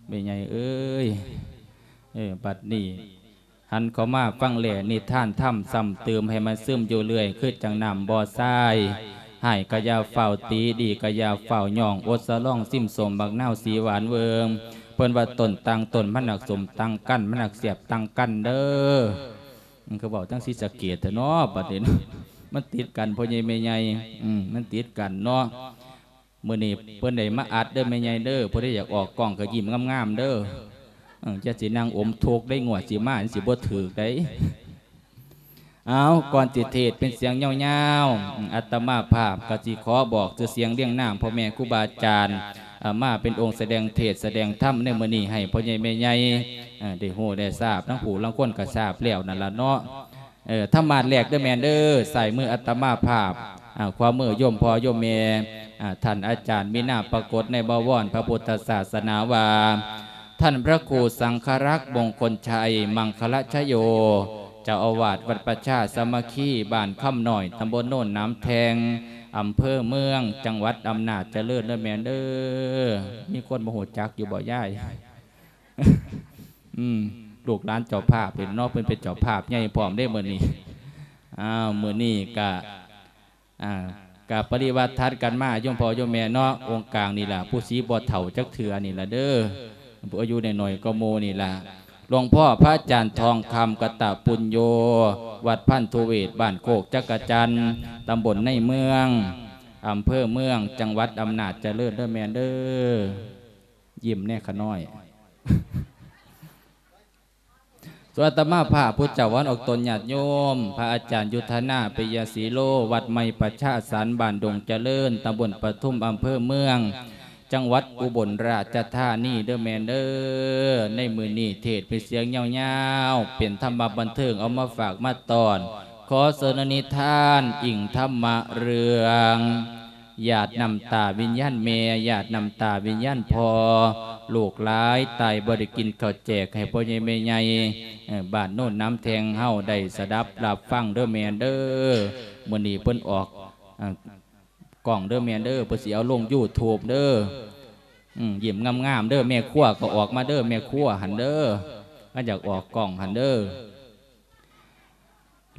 ແມ່ໃຫຍ່ເອີຍ ເອີ ບັດນີ້ຫັນເຂົ້າມາຟັງແລນິທານທຳຊ້ຳຕື່ມໃຫ້ມັນຊຶມຢູ່ເລື້ອຍ ຄືຈັ່ງນ້ຳບໍ່ຊາຍ. ຮ້າຍກໍຢ່າຟ້າວຕີ ດີກໍຢ່າຟ້າວຍ້ອງ ອົດສະຫຼອງຊິມສົ້ມບັກນາວສີຫວານເວີງ. ເພິ່ນວ່າຕົ້ນຕ່າງຕົ້ນມັນຮັກສົ້ມຕ່າງກັນ ມັນຮັກແຊບຕ່າງກັນເດີ. ມັນກໍເວົ້າທາງສີສະເກດແທ້ເນາະ ບັດນີ້ເນາະ ມັນຕິດກັນພໍ່ໃຫຍ່ແມ່ໃຫຍ່ ອືມ ມັນຕິດກັນເນາະ. ມື້ນີ້ເພິ່ນໄດ້ມາອັດເດີແມ່ໃຫຍ່ເດີ ຜູ້ໃດຢາກອອກກ້ອງກໍຍິ້ມງາມໆເດີ ເອີ ຢ່າຊິນັ່ງອົມທຸກໄດ໋ ງວດຊິມາມັນຊິບໍ່ຖືກໄດ໋. ເອົາ ກ່ອນຊິເທດເປັນສຽງຍາວໆ ອາດຕະມາພາບກໍຊິຂໍບອກຊື່ສຽງລຽງນາມພໍ່ແມ່ຄູບາອາຈານ ເອີ ມາເປັນອົງສະແດງເທດສະແດງທຳໃນມື້ນີ້ ໃຫ້ພໍ່ໃຫຍ່ແມ່ໃຫຍ່ ເອີ ໄດ້ຮູ້ໄດ້ຊາບ ທັງຜູ້ລາງຄົນກໍຊາບແລ້ວນັ້ນລະເນາະ. ເອີ ທຳມາດແລກເດີແມ່ເດີ ຊ້າຍມືອາດຕະມາພາບ ອາ ຂວາມືໂຍມພໍ່ໂຍມແມ່ ອາ ທ່ານອາຈານມີນາມປາກົດໃນບະວອນພະພຸດທະສາສະໜາວ່າ ທ່ານພະຄູສັງຄະລັກ ມົງຄົນໄຊ ມັງຄະລະຊະໂຍ ເຈົ້າອາວາດວັດປະຊາສາມັກຄີ ບ້ານຄຳນ້ອຍ ຕຳບົນໂນນໜາມແທ່ງ ອຳເພີເມືອງ ຈັງຫວັດອຳນາດຈະເລີນເດີແມ່ເດີ. ມີຄົນບໍ່ຮູ້ຈັກຢູ່ບໍ່ຍາຍ? ອືມ ລູກຫຼານເຈົ້າພາບເດ້ເນາະ ເພິ່ນເປັນເຈົ້າພາບໃຫຍ່ພ້ອມເດ້ມື້ນີ້. ອ້າວ ມື້ນີ້ກະ ອ່າ ກະປະລິວາດຖັດກັນມາ ໂຍມພໍ່ໂຍມແມ່ເນາະ ອົງກາງນີ້ລະ ຜູ້ສີບໍ່ເຖົ້າຈັກເທື່ອນີ້ລະເດີ ອາຍຸນ້ອຍໆກວ່າໝູ່ນີ້ລະ. ຫຼວງພໍ່ພະອາຈານທອງຄຳ ກະຕະປຸນໂຍ ວັດພັນທຸເວດ ບ້ານໂຄກຈັກກະຈັນ ຕຳບົນໃນເມືອງ ອຳເພີເມືອງ ຈັງຫວັດອຳນາດຈະເລີນເດີແມ່ເດີ. ຍິ້ມແດ່ຂະນ້ອຍ. ສ່ວນອາດຕະມາພາບ ຜູ້ເຈົ້າວັນອອກຕົນຍາດໂຍມ ພະອາຈານຍຸດທະນາ ປິຍະສີໂລ ວັດໃໝ່ປະຊາສັນ ບ້ານດົງຈະເລີນ ຕຳບົນປະທຸມ ອຳເພີເມືອງ ຈັງຫວັດອຸບົນລາຊະທານີເດີແມ່ເດີ. ໃນມື້ນີ້ເທດເປັນສຽງຍາວໆ ເປັນທຳມະບັນເທີງ ເອົາມາຝາກມາຕ້ອນ ຂໍເສີນນິທານ ອີງທຳມະເລື່ອງ ຫຍາດນ້ຳຕາວິນຍານແມ່ ຫຍາດນ້ຳຕາວິນຍານພໍ່ ລູກຫຼາຍຕາຍບໍ່ໄດ້ກິນເຂົ້າແຈກໃຫ້ພໍ່ໃຫຍ່ແມ່ໃຫຍ່ ເອີ ບ້ານໂນນໜາມແທ່ງເຮົາໄດ້ສະດັບຮັບຟັງເດີແມ່ເດີ. ມື້ນີ້ເພິ່ນອອກ ເອີ ກ້ອງເດີແມ່ເດີ ເພິ່ນຊິເອົາລົງຢູທູບເດີ. ອືມ ຍິ້ມງາມໆເດີ ແມ່ຄົວກໍອອກມາເດີ ແມ່ຄົວຫັ້ນເດີ ຄັນຢາກອອກກ້ອງຫັ້ນເດີ.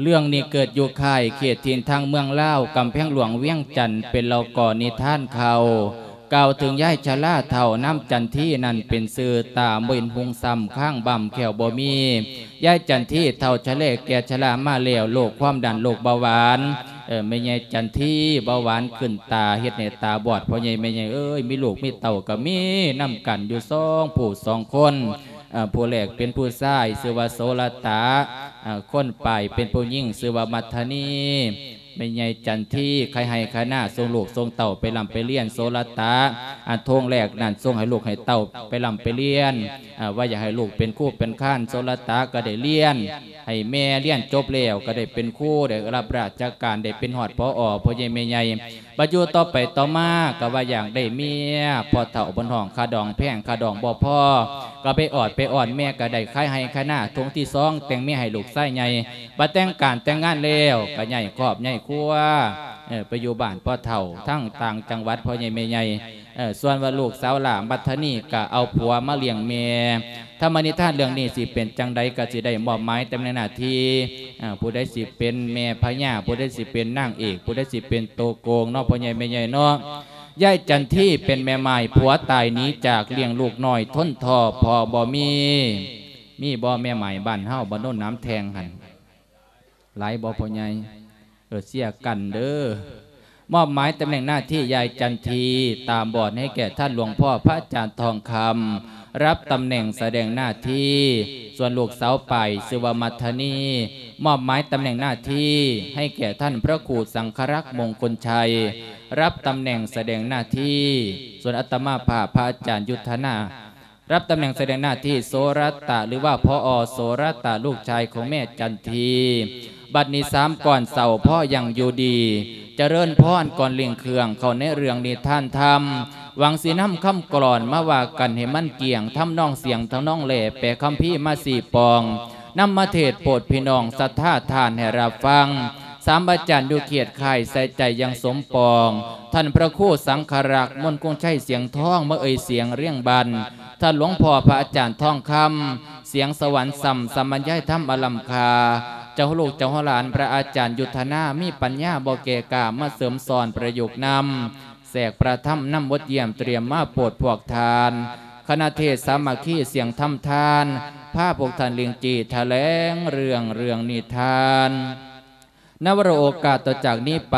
ເລື່ອງນີ້ເກີດຢູ່ຄ້າຍເຂດຖິ່ນທາງເມືອງລາວ ກຳແພງຫຼວງວຽງຈັນ ເປັນເລົ່າກ່ອນນິທານເຂົາ ກ່າວເຖິງຍາຍຊະລາເຖົ້ານາມຈັນທີນັ້ນເປັນຊື່ ຕາບໍ່ເຫັນຮຸ່ງຊ້ຳ ຄາງບຳແຂ້ວບໍ່ມີ ຍາຍຈັນທີເຖົ້າຊະແລແກ່ຊະລາມາແລ້ວ ໂລກຄວາມດັນ ໂລກເບົາຫວານ ເອີ ແມ່ໃຫຍ່ຈັນທີເບົາຫວານຂຶ້ນຕາ ເຮັດໃຫ້ຕາບອດ ພໍ່ໃຫຍ່ແມ່ໃຫຍ່ເອີຍ ມີລູກມີເຕົ້າກໍມີນຳກັນຢູ່ສອງຜູ້ສອງຄົນ ເອີ ຜູ້ແລກເປັນຜູ້ຊາຍຊື່ວ່າໂສລະຕະ ເອີ ຄົນປາຍເປັນຜູ້ຍິງຊື່ວ່າມັດທະນີ. ແມ່ໃຫຍ່ຈັນທີໄຄໄຮ່ໄຄນາ ສົ່ງລູກສົ່ງເຕົ້າໄປລ່ຳໄປລຽນ ໂສລະຕະ ອາ ໂທງແລກນັ້ນສົ່ງໃຫ້ລູກໃຫ້ເຕົ້າໄປລ່ຳໄປລຽນ ເອີ ວ່າຢາກໃຫ້ລູກເປັນຄູເປັນຄານ ໂສລະຕະກໍໄດ້ລຽນ ໃຫ້ແມ່ລຽນຈົບແລ້ວກໍໄດ້ເປັນຄູ ໄດ້ຮັບລາຊະການ ໄດ້ເປັນຮອດ ຜອ ພໍ່ໃຫຍ່ແມ່ໃຫຍ່. ບັດຢູ່ຕໍ່ໄປຕໍ່ມາກໍວ່າຢາກໄດ້ເມຍ ພໍ່ເຖົ້າເພິ່ນຮ້ອງຄ່າດອງແພງ ຄ່າດອງບໍ່ພໍ ກໍໄປອອດໄປອ້ອນແມ່ ກໍໄດ້ຂາຍໄຮ່ຂາຍນາ ທົ່ງທີສອງແຕ່ງເມຍໃຫ້ລູກຊາຍໃຫຍ່. ບັດແຕ່ງການແຕ່ງງານແລ້ວ ກໍຍ້າຍຄອບຍ້າຍຄົວ ເອີ ໄປຢູ່ບ້ານພໍ່ເຖົ້າ ທາງຕ່າງຈັງຫວັດ ພໍ່ໃຫຍ່ແມ່ໃຫຍ່. ເອີ ສ່ວນວ່າລູກສາວຫຼ້າມັດທະນີກໍເອົາຜົວມາລ້ຽງແມ່. ທຳມະນິທານເລື່ອງນີ້ຊິເປັນຈັ່ງໃດ ກໍຊິໄດ້ມອບໝາຍຕຳແໜ່ງໜ້າທີ່ ເອີ ຜູ້ໃດຊິເປັນແມ່ພະຍາ ຜູ້ໃດຊິເປັນນາງເອກ ຜູ້ໃດຊິເປັນໂຕໂກງເນາະ ພໍ່ໃຫຍ່ແມ່ໃຫຍ່ເນາະ. ຍາຍຈັນທີເປັນແມ່ໝ້າຍ ຜົວຕາຍໜີຈາກ ລ້ຽງລູກນ້ອຍທົນທໍ້ພໍ່ບໍ່ມີ. ມີບໍ່ແມ່ໝ້າຍບ້ານເຮົາ ບ້ານໂນນໜາມແທ່ງຫັ້ນ? ຫຼາຍບໍ່ພໍ່ໃຫຍ່? ເອີ ເຊຍກັນເດີ. ມອບໝາຍຕຳແໜ່ງໜ້າທີ່ ຍາຍຈັນທີຕາບອດໃຫ້ແກ່ທ່ານຫຼວງພໍ່ພະອາຈານທອງຄຳ ຮັບຕຳແໜ່ງສະແດງໜ້າທີ່. ສ່ວນລູກສາວປາຍຊື່ວ່າມັດທະນີ ມອບໝາຍຕຳແໜ່ງໜ້າທີ່ໃຫ້ແກ່ທ່ານພະຄູສັງຄະລັກ ມົງຄົນໄຊ ຮັບຕຳແໜ່ງສະແດງໜ້າທີ່. ສ່ວນອາດຕະມາພາບ ພະອາຈານຍຸດທະນາ ຮັບຕຳແໜ່ງສະແດງໜ້າທີ່ໂສລະຕະ ຫຼືວ່າ ຜອ ໂສລະຕະ ລູກຊາຍຂອງແມ່ຈັນທີ. ບັດນີ້ສາມກ່ອນເຊົາພໍຍັງຢູ່ດີ ຈະເລີນພອນກ່ອນເລັ່ງເຄື່ອງເຂົ້າໃນເລື່ອງນິທານທຳ ຫວັງຊິນຳຄຳກລອນມາວ່າກັນໃຫ້ມັນກ້ຽງ ທຳນອງສຽງທຳນອງແຫຼ ແປຄຳພີມາຊີ້ປອງ ນຳມາເທດໂປດພີ່ນ້ອງສັດທາທ່ານໃຫ້ຮັບຟັງ. ສາມອາຈານຢູ່ຂຽດຄ້າຍໃສ່ໃຈຢ່າງສົມປອງ ທ່ານພະຄູສັງຄະລັກ ມົນຄົງໄຊ ສຽງທອງ ມາເອີ່ຍສຽງລຽງບັນ ທ່ານຫຼວງພໍ່ພະອາຈານທອງຄຳ ສຽງສະຫວັນຊ່ຳ ສຳບັນຍາຍທຳອັນລ້ຳຄ່າ, ເຈົ້າລູກເຈົ້າຫຼານ ພະອາຈານຍຸດທະນາ ມີປັນຍາບໍ່ແກ່ກ້າ ມາເສີມສອນປະຍຸກນຳ ແຊກພະທຳນຳບົດຢ້ຽມ ຕຽມມາໂປດພວກທ່ານ. ຄະນະເທດສາມັກຄີສຽງທຳທານ ພາພວກທ່ານລິ້ງຈີ່ຖະແຫຼງເລື່ອງ ເລື່ອງນິທານ. ໃນວາລະໂອກາດຕໍ່ຈາກນີ້ໄປ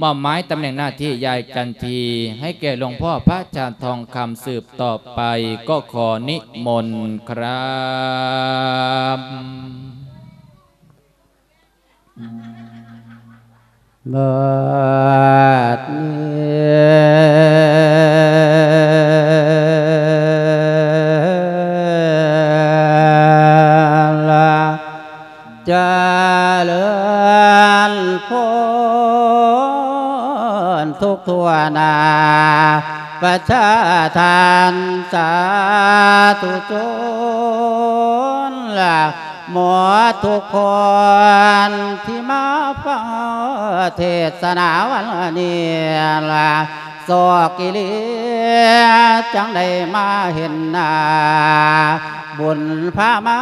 ມອບໝາຍຕຳແໜ່ງໜ້າທີ່ຍ້າຍກັນທີ່ ໃຫ້ແກ່ຫຼວງພໍ່ພະອາຈານທອງຄຳສືບຕໍ່ໄປ ກໍຂໍນິມົນຄັບ. ບັດນີ້ລະ ຈະເລີນພົ້ນທຸກທົ່ວໜ້າ ປະຊາທ່ານສາທຸຊົນລະ ໝົດທຸກຄົນທີ່ມາຟັງເທດສະໜາວັນນີ້ລະ ໂຊກອີ່ຫຼີຈັ່ງໄດ້ມາເຫັນໜ້າ ບຸນພາມາ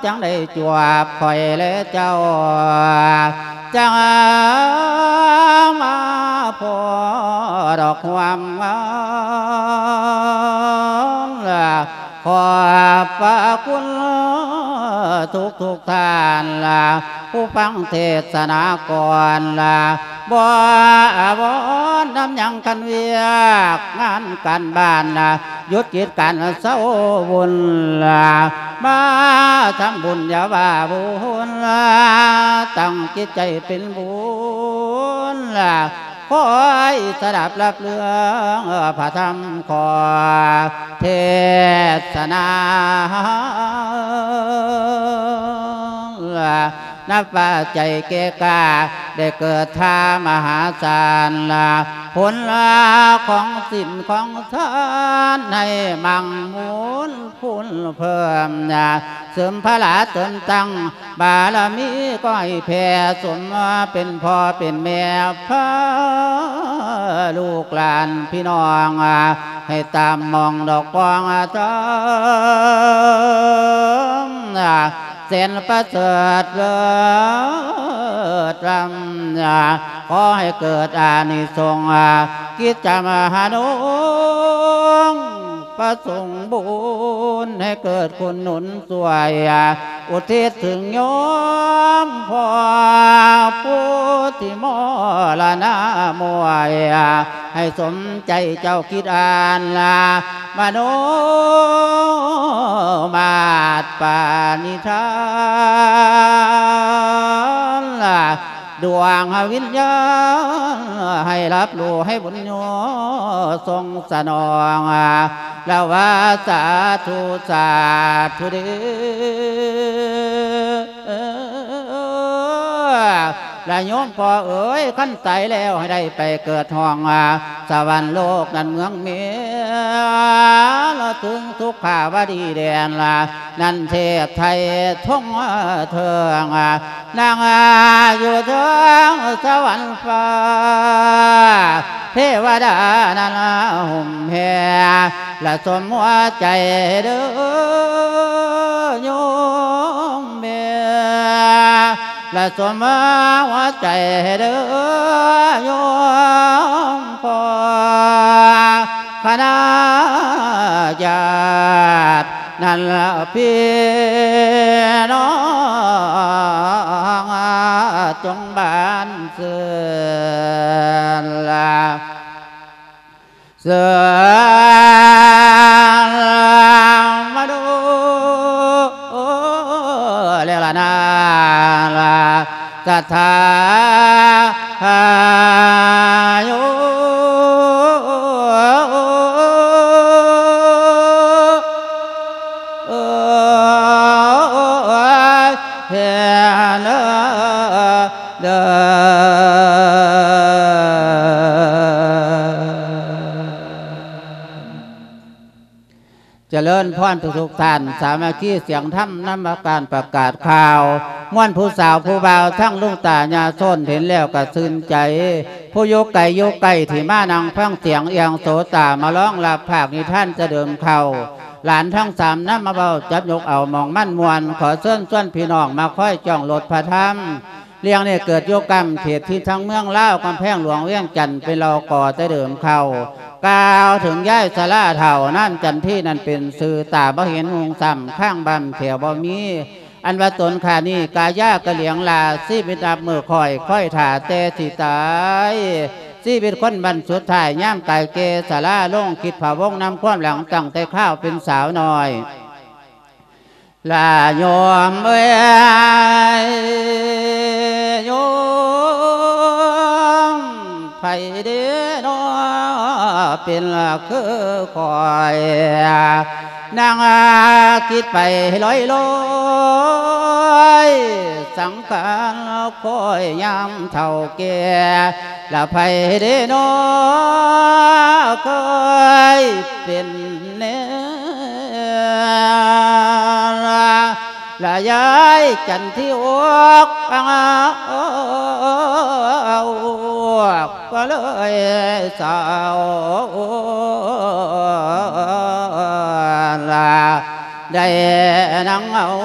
ຈັ່ງໄດ້ຈວບຂ້ອຍແລະເຈົ້າ ຈັ່ງມາພໍດອກຄວາມງາມ ຂອບພະຄຸນທຸກໆທ່ານລະ ຜູ້ຟັງເທດສະໜາກ່ອນລະ ບໍ່ອາວອນນຳຫຍັງ ຄັນວຽກງານການບ້ານລະ ຢຸດກິດການເຊົາວຸ່ນລະ ມາທຳບຸນຢ່າວ່າບຸນລະ ຕັ້ງຈິດໃຈເປັນບຸນລະ ຄອຍສະດັບຮັບເລື່ອງພະທຳ ຂໍເທດສະໜາ ນັບວ່າໃຈແກ່ກ້າ ໄດ້ເກີດທ່າມະຫາສານ ຜົນຂອງສິນຂອງທານ ໃຫ້ມັ່ງມູນພູນເພີ່ມ ເສີມພະລາເສີມຕັ້ງ ບາລະມີກໍໃຫ້ແຜ່ສົມ ເປັນພໍ່ເປັນແມ່ພາລູກຫຼານພີ່ນ້ອງ ໃຫ້ຕາມມອງດອກປອງທຳ ແສນປະເສີດເລີດລ້ຳ ຂໍໃຫ້ເກີດອານິສົງ ກິດຈະມະຫານົງ ປະສົງບຸນໃຫ້ເກີດຄຸນໜູນຊ່ວຍ ອຸທິດເຖິງໂຍມພໍ່ຜູ້ທີ່ມໍລະນະມວຍ ໃຫ້ສົມໃຈເຈົ້າຄິດອ່ານລະ ມະໂນມາດປານິທານລະ ດວງວິນຍານໃຫ້ຮັບຮູ້ໃຫ້ບຸນໂຍສົ່ງສະໜອງ ລະວ່າສາທຸ ສາທຸເດ ລະໂຍມພໍ່ເອີຍ ຄັນຕາຍແລ້ວໃຫ້ໄດ້ໄປເກີດຫ້ອງສະຫວັນໂລກນັ້ນເມືອງເມ ລະເຖິງສຸຂາວະດີແດນລະ ນັ້ນເທບໄທທົ່ງເທິງ ນັ່ງຢູ່ເທິງສະຫວັນຟ້າ ເທວະດານັ້ນຫຸ້ມແຜ່ ລະສົມຫົວໃຈເດີໂຍມແມ່ ລະສົມຫົວໃຈເດີໂຍມພໍ່ ຄະນະຍາດນັ້ນລະພີ່ນ້ອງ ຈົ່ງບານຊື່ນລະ ເຊີນມາດູແລ້ວລະນາລະ ສະຖາຍໂຍ ເອີຍ ເຫັນເດີ ຈະເລີນພອນທຸກໆທ່ານ ສາມັກຄີສຽງທຳນຳການປະກາດຂ່າວ ມ່ວນຜູ້ສາວຜູ້ບ່າວ ທັງລຸງຕາຍາໂຊນ ເຫັນແລ້ວກະຊື່ນໃຈ ຜູ້ຢູ່ໄກຢູ່ໃກ້ ທີ່ມານັ່ງຟັງສຽງ ອຽງໂສຕາ ມາລອງຮັບພາກນິທານຈະເດີມເຂົ້າ ຫຼານທັງສາມນຳມາເວົ້າຈັບຍົກເອົາໝ່ອງມັນມ່ວນ ຂໍເຊີນຊວນພີ່ນ້ອງມາຄອຍຈ້ອງລົດພະທຳ. ເລື່ອງນີ້ເກີດຢູ່ກ້ຳເຂດທີ່ທາງເມືອງລາວ ກຳແພງຫຼວງວຽງຈັນ ເປັນເຫຼົ່າກໍ່ແຕ່ເດີມເກົ່າ. ກ່າວເຖິງຍາຍສາລາເຖົ້ານາມຈັນທີນັ້ນເປັນຊື່ ຕາບໍ່ເຫັນຮຸ່ງຊ້ຳ ຄາງບຳແຂ້ວບໍ່ມີ. ອັນວ່າຕົນຂ້ານີ້ກາຍາກະຫຼຽງລາ ຊີວິດນັບມື້ຄ່ອຍ ຄອຍຖ້າແຕ່ຊິຕາຍ. ຊີວິດຄົນບັ້ນສຸດທ້າຍ ຍາມກາຍແກ່ຊະລາລົງ ຄິດພະວົງນຳຄວາມຫຼັງ ຕັ້ງແຕ່ຄາວເປັນສາວນ້ອຍ. ລາໂຍມເອີຍ ໂຍມ ໃຜເດນໍເປັນຄືຂ້ອຍ ນັ່ງຄິດໄປລອຍໆ ສັງຂານຂ້ອຍຍາມເຖົ້າແກ່ ລະໃຜເດນໍເຄີຍເປັນແນວ ລະຍາຍຈັນທີອອກ ກໍເລີຍເສົ້າ ລະໄດ້ນັ່ງເອົາ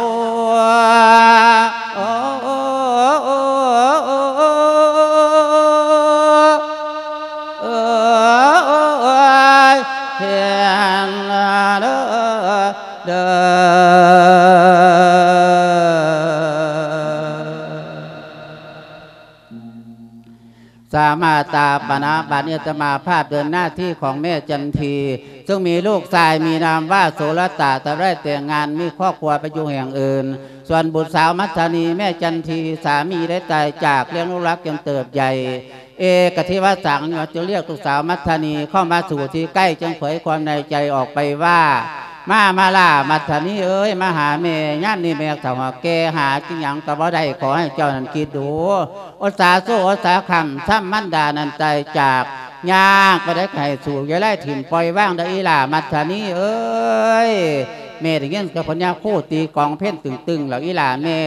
ເຫັນເດີ ເດີ ສາມາຕາປະນະ ບັດນີ້ອາດຕະມາພາບເດີນໜ້າທີ່ຂອງແມ່ຈັນທີ ເຊິ່ງມີລູກຊາຍມີນາມວ່າໂສລະຕາ ແຕ່ໄດ້ແຕ່ງງານມີຄອບຄົວໄປຢູ່ແຫ່ງອື່ນ. ສ່ວນບຸດສາວມັດທະນີ ແມ່ຈັນທີ ສາມີໄດ້ຕາຍຈາກ ລ້ຽງລູກລັກຈົນເຕີບໃຫຍ່ ເອກະທິວະສັງ ຈຶ່ງລຽກລູກສາວມັດທະນີເຂົ້າມາສູ່ທີ່ໃກ້ ຈຶ່ງເຜີຍຄວາມໃນໃຈອອກໄປວ່າ ມາ ມາລາ ມັດທະນີເອີຍ ມາຫາແມ່ ຍາມນີ້ແມ່ເຖົ້າແກ່ ຫາກິນຫຍັງກໍບໍ່ໄດ້ ຂໍໃຫ້ເຈົ້ານັ້ນຄິດດູ ອົດສາຊູ່ ອົດສາຄ້ຳ ຊ້ຳມັນດານັ້ນຕາຍຈາກ ຍາກປານໃດກໍໃຫ້ສູ້ ຢ່າໄດ້ຖິ້ມປ່ອຍວາງເດີອີ່ຫຼ້າມັດທະນີເອີຍ. ແມ່ໄດ້ຍິນກັບພະຍາຄູຕີກອງເພັນຕຶງໆ ແລ້ວອີ່ຫຼ້າແມ່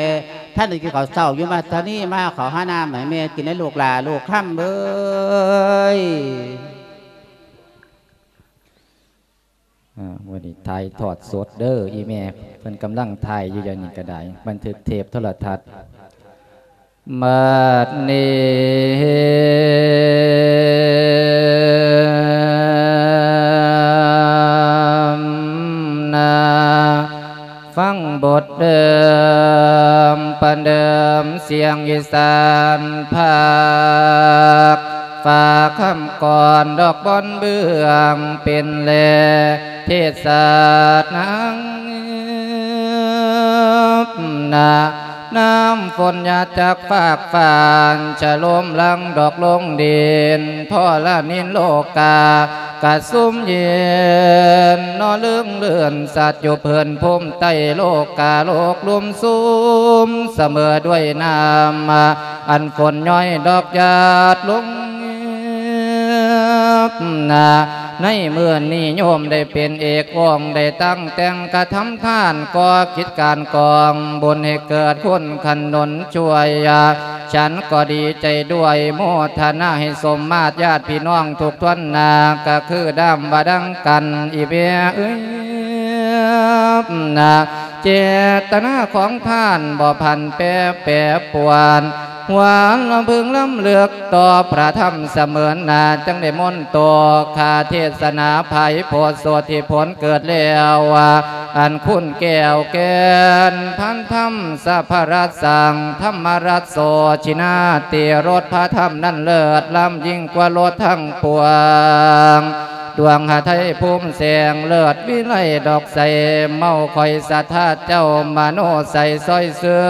ທ່ານໄດ້ກິນເຂົ້າເຊົ້າຢູ່ ມາທານີ ມາເຂົ້າຫານ້ຳໃຫ້ແມ່ກິນໃຫ້ລູກຫຼ້າລູກຄຳເອີຍ. ອ່າ ມື້ນີ້ຖ່າຍທອດສົດເດີ ອີ່ແມ່ເພິ່ນກຳລັງຖ່າຍຢູ່ ດຽວນີ້ກໍໄດ້ ບັນທຶກເທບໂທລະທັດ. ບັດນີ້ນາ ຟັງບົດເດີມ ປະເດີມສຽງອີສານພາກ ຝາກຄຳກອນດອກບອນເບື້ອງ ເປັນແລເທດສາດນາງນາ ນ້ຳຝົນຫຍາດຈາກຟາກຟ້າ ຊະໂລມຫຼັ່ງດອກລົງດິນ ທໍລະນິນໂລກາ ກະຊຸ່ມເຢັນ ເນາະເລິງເລື່ອນ ສັດຢູ່ພື້ນພູມໃຕ້ໂລກາໂລກ ລຸມຊຸ່ມສະເໝີດ້ວຍນ້ຳ ອັນຝົນຍ້ອຍດອກຫຍາດລົງ ນາ ໃນມື້ນີ້ໂຍມໄດ້ເປັນເອກອົງ ໄດ້ຕັ້ງແຕ່ງກະທຳທານ ກໍ່ກິດການກອງບຸນໃຫ້ເກີດຄຸນຂະໜູນຊ່ວຍ ອາ ສັນກໍດີໃຈດ້ວຍ ໂມທະນາໃຫ້ສົມມາດ ຍາດພີ່ນ້ອງທຸກທົ່ວໜ້າ ກໍຄືດຳວ່າດັ່ງກັນ ອີແມ່ເອີຍ ນາ ເຈດຕະນາຂອງທ່ານບໍ່ຜັນແປ ແປປວນ ຫວານລຳເພິງລຳເລິກຕໍ່ພະທຳສະເໝີນໜ້າ ຈຶ່ງໄດ້ມົນໂຕຄາເທດສະໜາ ໄພໂພດໂສດທີ່ຜົນເກີດແລ້ວ ອັນຄຸນແກ້ວແກ່ນພັນທຳ ສະພະລັດສັງ ທຳມະລັດໂສ ຊິນາຕິລົດ ພະທຳນັ້ນເລີດລ້ຳຍິ່ງກວ່າລົດທັງປວງ ດວງຫະໄທພູມແສງ ເລີດວິໄລດອກໃສ ເມົາຂ້ອຍສະທາເຈົ້າ ມະໂນໃສຊ່ອຍເຊີ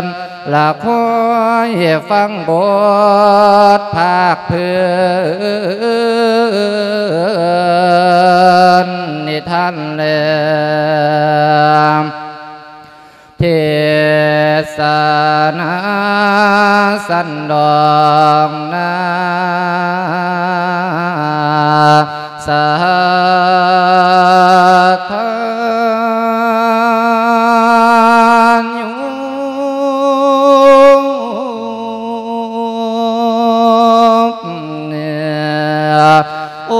ນ ລະຄອຍຟັງບົດພາກພື້ນນິທານແລ ເທດສະນາສັນດອງນາ ສະທານໂຍມ ໂອ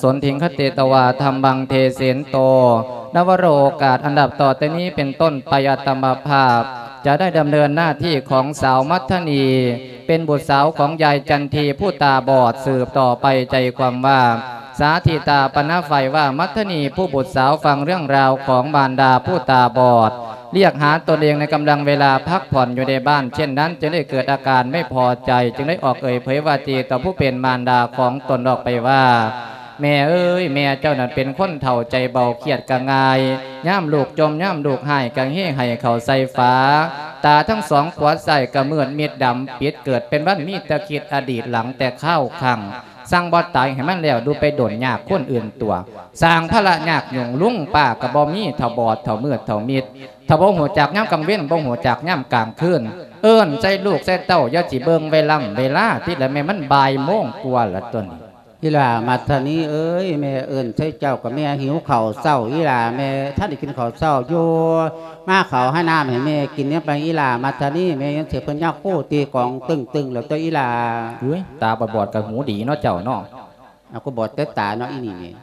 สนทิงคเตตวาธัมมังเทเสนโต นวโรกาสอันดับต่อแต่นี้เป็นต้นไปอาตมาภาพ จะได้ดำเนินหน้าที่ของสาวมัทธนี เป็นบุตรสาวของยายจันทีผู้ตาบอดสืบต่อไป ใจความว่า สาธิตาปณะไฟว่ามัทธนีผู้บุตรสาวฟังเรื่องราวของมารดาผู้ตาบอด เรียกหาตนเองในกำลังเวลาพักผ่อนอยู่ในบ้าน เช่นนั้นจึงได้เกิดอาการไม่พอใจ จึงได้ออกเอ่ยเผยวาจีต่อผู้เป็นมารดาของตนออกไปว่า แม่เอ้ย แม่เจ้านั้นเป็นคนเฒ่าใจเบา เครียดก็ง่าย ยามลูกจ่มยามลูกไห้ก็เฮไห้เข้าใส่ฝา ตาทั้งสองขวาซ้ายก็มืดมิดดำปิด เกิดเป็นวันมีแต่คิดอดีตหลังแต่คาวครั้ง สั่งบ่ตายให้มันแล้ว ดูไปโดนยากคนอื่นตั๊ว สร้างภาระยากยุ่ง ลุงป้าก็บ่มี เฒ่าบอดเฒ่ามืดเฒ่ามิด ถ้าบ่ฮู้จักยามกลางเว็น บ่ฮู้จักยามกลางคืน เอิ้นใส่ลูกใส่เต้า อย่าสิเบิ่งเวลา เวลาติ ละแม่ มันบ่ายโมงกว่าละตั๊วนี้ อีหล่ามัทธนีเอ้ย แม่เอิ้นใส่เจ้าก็แม่หิวข้าวเช้า อีหล่า แม่ทันได้กินข้าวเช้าอยู่ มาข้าวหาน้ำให้แม่กินเนี่ยไป อีหล่ามัทธนี แม่ยังสิเพิ่นยากโคตีกองตึงๆ แล้วตั๊ว อีหล่า เฮ้ย ตาบอดๆ ก็หูดีเนาะเจ้าเนาะ เอา ก็บอดแต่ตาเนาะ อีนี่นี่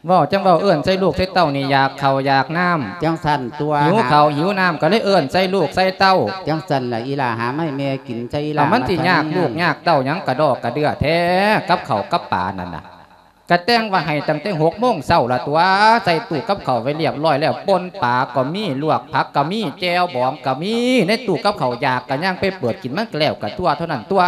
เว้าจั่งเว้า เอิ้นใส่ลูกใส่เต้านี่ อยากข้าวอยากน้ำ จั่งซั่นตั๊ว หิวข้าวหิวน้ำ ก็เลยเอิ้นใส่ลูกใส่เต้า จั่งซั่นล่ะ อีหล่า หามาให้แม่กินซะ อีหล่า เอามันสิยากลูกยากเต้าหยังกระดอกกระเดื่อแท้ กับข้าวกับปลานั่นน่ะ กะแต่งว่าให้ตั้งแต่หกโมงเช้าละตั๊ว ใส่ตู้กับข้าวไว้เรียบร้อยแล้ว ป่นปลาก็มี ลวกผักก็มี แจ่วบองก็มี ในตู้กับข้าว อยากก็ย่างไปเปิดกินมันก็แล้วก็ตั๊ว เท่านั้นตั๊ว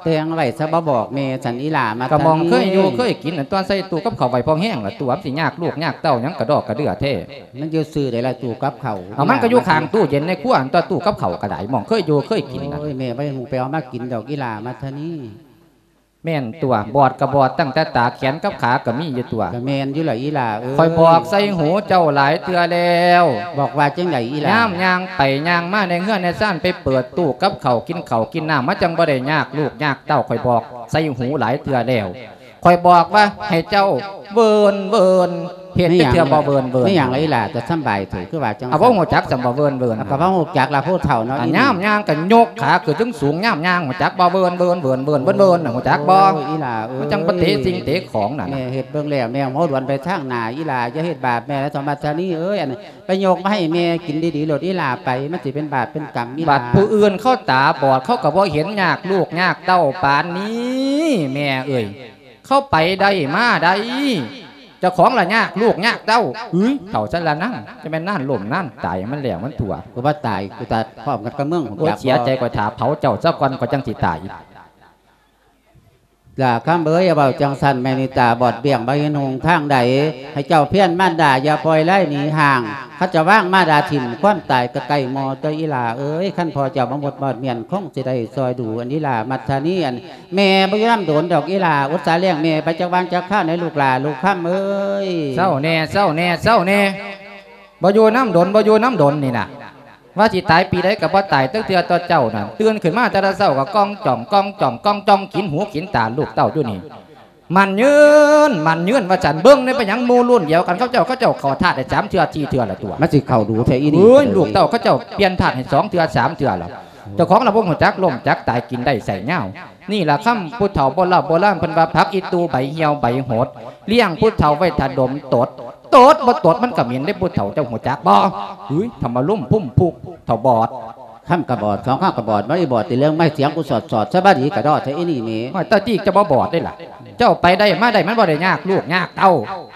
แต่งไว้ซะ บ่บอกแม่ซั่น อีหล่ามัทธนี ก็หม่องเคยอยู่เคยกินนั่นตั๊ว ใส่ตู้กับข้าวไว้พอแฮงละตั๊ว มันสิยากลูกยากเต้าหยังกระดอกกระเดื่อแท้ มันอยู่ซื่อใดล่ะ ตู้กับข้าว เอามันก็อยู่ข้างตู้เย็นในครัวตั๊ว ตู้กับข้าวก็ได้ หม่องเคยอยู่เคยกินน่ะ โอ้ย แม่บ่ฮู้ไปเอามากินดอก อีหล่ามัทธนี แม่นตั๊ว บอดก็บอดตั้งแต่ตา แขนกับขาก็มีอยู่ตั๊ว ก็แม่นอยู่ล่ะ อีหล่าเอ้ย ข้อยบอกใส่หูเจ้าหลายเทื่อแล้ว บอกว่าจั่งใด อีหล่า ยามย่างไปย่างมาในเฮือนในซาน ไปเปิดตู้กับข้าว กินข้าวกินน้ำ มันจั่งบ่ได้ยากลูกยากเต้า ข้อยบอกใส่หูหลายเทื่อแล้ว ข้อยบอกว่าให้เจ้าเวิ้นเวิ้น เฮ็ดจักเทื่อบ่เวิ้นเวิ้น มีหยังล่ะ อีหล่า จะสำบายเถอะ คือว่าจั่ง เอา ซั่น บ่ฮู้จักสำบ่เวิ้นเวิ้น ก็บ่ฮู้จักล่ะ ผู้เฒ่าเนาะ อ่ะ อีนี่ ยามย่างก็ยกขาขึ้นสูงๆ ยามย่าง ฮู้จักบ่ เวิ้นเวิ้น เวิ้นเวิ้น เวิ้นเวิ้นน่ะ ฮู้จักบ่ โอ้ย อีหล่าเอ้ย มันจั่งไปเตะสิ่งเตะของนั่น แม่เฮ็ดเบิ่งแล้ว แม่หัวหลวนไปทางหน้า อีหล่า อย่าเฮ็ดบาปแม่นะ สมัทธานีเอ้ย อัน ไปยกมาให้แม่กินดีๆ โลด อีหล่า ไป มันสิเป็นบาปเป็นกรรม อีหล่า บัดผู้อื่นเขาตาบอด เขาก็บ่เห็นยากลูกยากเต้าปานนี้ แม่เอ้ย เขาไปได้มาได้ เจ้าของละยากลูกยากเต้า เฮ้ย เฒ่าซั่นละนั่ง จะแม่นนานล้มนานตาย มันแล้วมันทั่ว กูบ่ตาย กูตายพร้อมกันกับมึง โอ๊ย อยาก เสียใจ ข้อยถ่าเผาเจ้าซะก่อน ข้อยจั่งสิตาย ล่าคำเอ๋ย อย่าเว้าจั่งซั่น แม่นี่ตาบอดเบี้ยง บ่เห็นหนทางใด ให้เจ้าเพียรมารดา อย่าปล่อยไล่หนีห่าง คันเจ้าวางมารดาถิ่ม ความตายก็ใกล้มอตั๊ว อีหล่าเอ๋ย คันพ่อเจ้าบ่หมดบอดเมียน คงสิได้ซอยดู อันอีหล่ามัทธานี อัน แม่บ่อยู่นำดนดอก อีหล่า อุตส่าห์เลี้ยงแม่ไปจักวางจักคราว ในลูกหล่าลูกคำเอ๋ย เซาแหน่ เซาแหน่ เซาแหน่ บ่อยู่นำดน บ่อยู่นำดนนี่นะ ว่าสิตายปีใดก็บ่ตายจักเทื่อตั๊วเจ้านั่น ตื่นขึ้นมาแต่ละเช้าก็ก้องจ่อง ก้องจ่อง ก้องจ่อง กินหูกินตาลูกเต้าอยู่นี่ หมั้นยืน หมั้นยืนว่าซั่น เบิ่งแหน่ เป็นหยังหมู่รุ่นเดียวกัน เขาเจ้า เขาเจ้าเข้าธาตุได้สามเทื่อสี่เทื่อละตั๊ว มันสิเข้าดูแท้อีนี่ โอ้ย ลูกเต้าเขาเจ้าเปลี่ยนธาตุให้สองเทื่อสามเทื่อละ เจ้าของละบ่ฮู้จักล้มจักตาย กินได้ใช้ยาว นี่ล่ะคำผู้เฒ่าโบราณโบราณเพิ่นว่า ผักอีตู่ใบเหี่ยวใบหด เลี้ยงผู้เฒ่าไว้ถ้าดมตด ตดบ่ตดมันก็เหม็นเด้ผู้เฒ่า เจ้าฮู้จักบ่ เฮ้ย ธรรมะลุ่มพุ่มพุก เฒ่าบอด คำกะบอด สองคำกะบอด บ่ได้บอดติเรื่องไม้เสียงกูสอดๆ สบายดีกะดอแท้อีนี่แหม โอ้ย ตาตี้เจ้าบ่บอดเด้ล่ะ เจ้าไปได้มาได้มันบ่ได้ยากลูกยากเต้า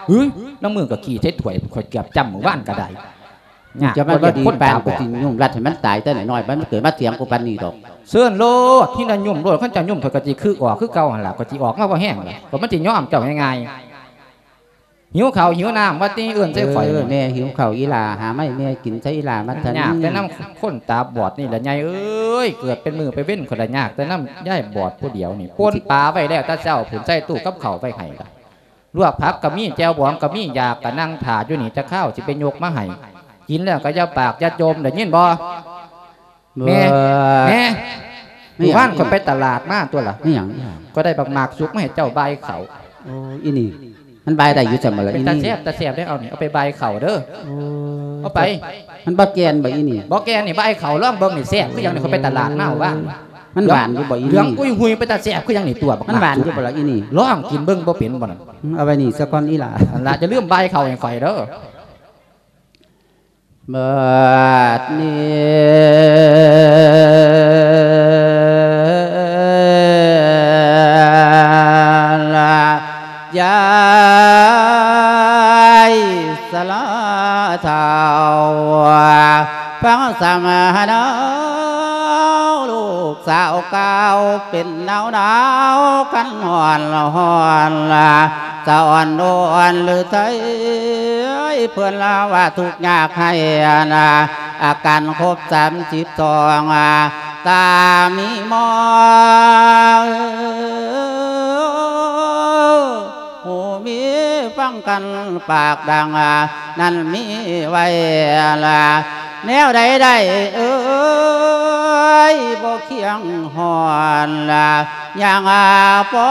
เฮ้ย น้ำมือก็ขี้ใส่ถ้วย ข้อยเกือบจ้ำมื้อวานก็ได้ ยาก จะมา บ่ได้ ดี คน ปาน ตาบอด กูสิยุ่มรัดให้มันตายแต่น้อยๆ มันเกิดมาเถียงกูปานนี้ดอก เชิญโลด ที่นั่นยุ่มโลด คันเจ้ายุ่มข้อยก็สิคึกออกคือเก่าหั่นล่ะ ข้อยสิออกมาบ่แฮงล่ะ ก็มันสิยอมเจ้าง่ายๆ หิวข้าวหิวน้ำ ว่าติ เอิ้นใส่ข้อย เออ แม่หิวข้าวอีหล่า หามาให้แม่กินซะอีหล่า มัทธานี ยากแต่นำคนตาบอดนี่ล่ะ ใหญ่เอ้ย เกิดเป็นมื้อเป็นเว็น ข้อยละยากแต่นำยายบอดผู้เดียวนี่ ป่นปลาไว้แล้วแต่เช้าพุ้น ใส่ตู้กับข้าวไว้ให้ล่ะ ลวกผักก็มี แจ่วบองก็มี อยากก็นั่งถ่าอยู่นี่ จักคราวสิไปยกมาให้ กินแล้วก็อย่าปากอย่าจ่ม ได้ยินบ่ แม่ แม่ แม่ มื้อวานข้อยไปตลาดมาตั๊วล่ะ มีหยัง ข้อยได้บักหมากสุกมาให้เจ้าบ่ายข้าว โอ้ อีนี่ มันบ่ายได้อยู่ซั่นบ่ล่ะ เป็นตาแซ่บ ตาแซ่บเด้ เอานี่ เอาไปบ่ายข้าวเด้อ โอ้ เอาไป มันบ่แก่นบ่อีนี่ บ่แก่นนี่ บ่ายข้าว ลองเบิ่งนี่ แซ่บคือหยังนี่ ข้อยไปตลาดมามื้อวาน ມັນຫວານຢູ່ບໍ່ອີ່ນີ້? ເຫຼືອງອຸ້ຍຫຸຍ ເປັນຕາແຊບຄືຫຍັງນີ້ຕົວບັກ ມັນຫວານຢູ່ບໍ່ລະອີ່ນີ້? ລອງກິນເບິ່ງ ບໍ່ເປັນບໍ່ນັ້ນ? ອືມ ເອົາໄວ້ນີ້ສາກ່ອນອີ່ຫຼ້າ. ຫັ້ນລະ ຢ່າລືມບາຍເຂົ້າໃຫ້ຂ້ອຍເດີ້. ບັດນີ້ລະ ຍາຍຊະລາເຖົ້າ ຟັງສຳມະນາ ລູກສາວກ່າວເປັນໜາວໆ ຄັນຮ້ອນຮ້ອນລະ ສະອ່ອນໂດອ່ອນຫຼືໄທ ເພິ່ນລາວ່າທຸກຍາກໄຮ້ນະ ອາການຄົບສາມສິບສອງ ຕາມີມອງ ຫູມີຟັງກັນປາກດັງ ນັ້ນມີໄວ້ລະ ແນວໃດໄດ້ເອີຍ ບໍ່ຄຽງຮ້ອນລະ ຍັງພໍ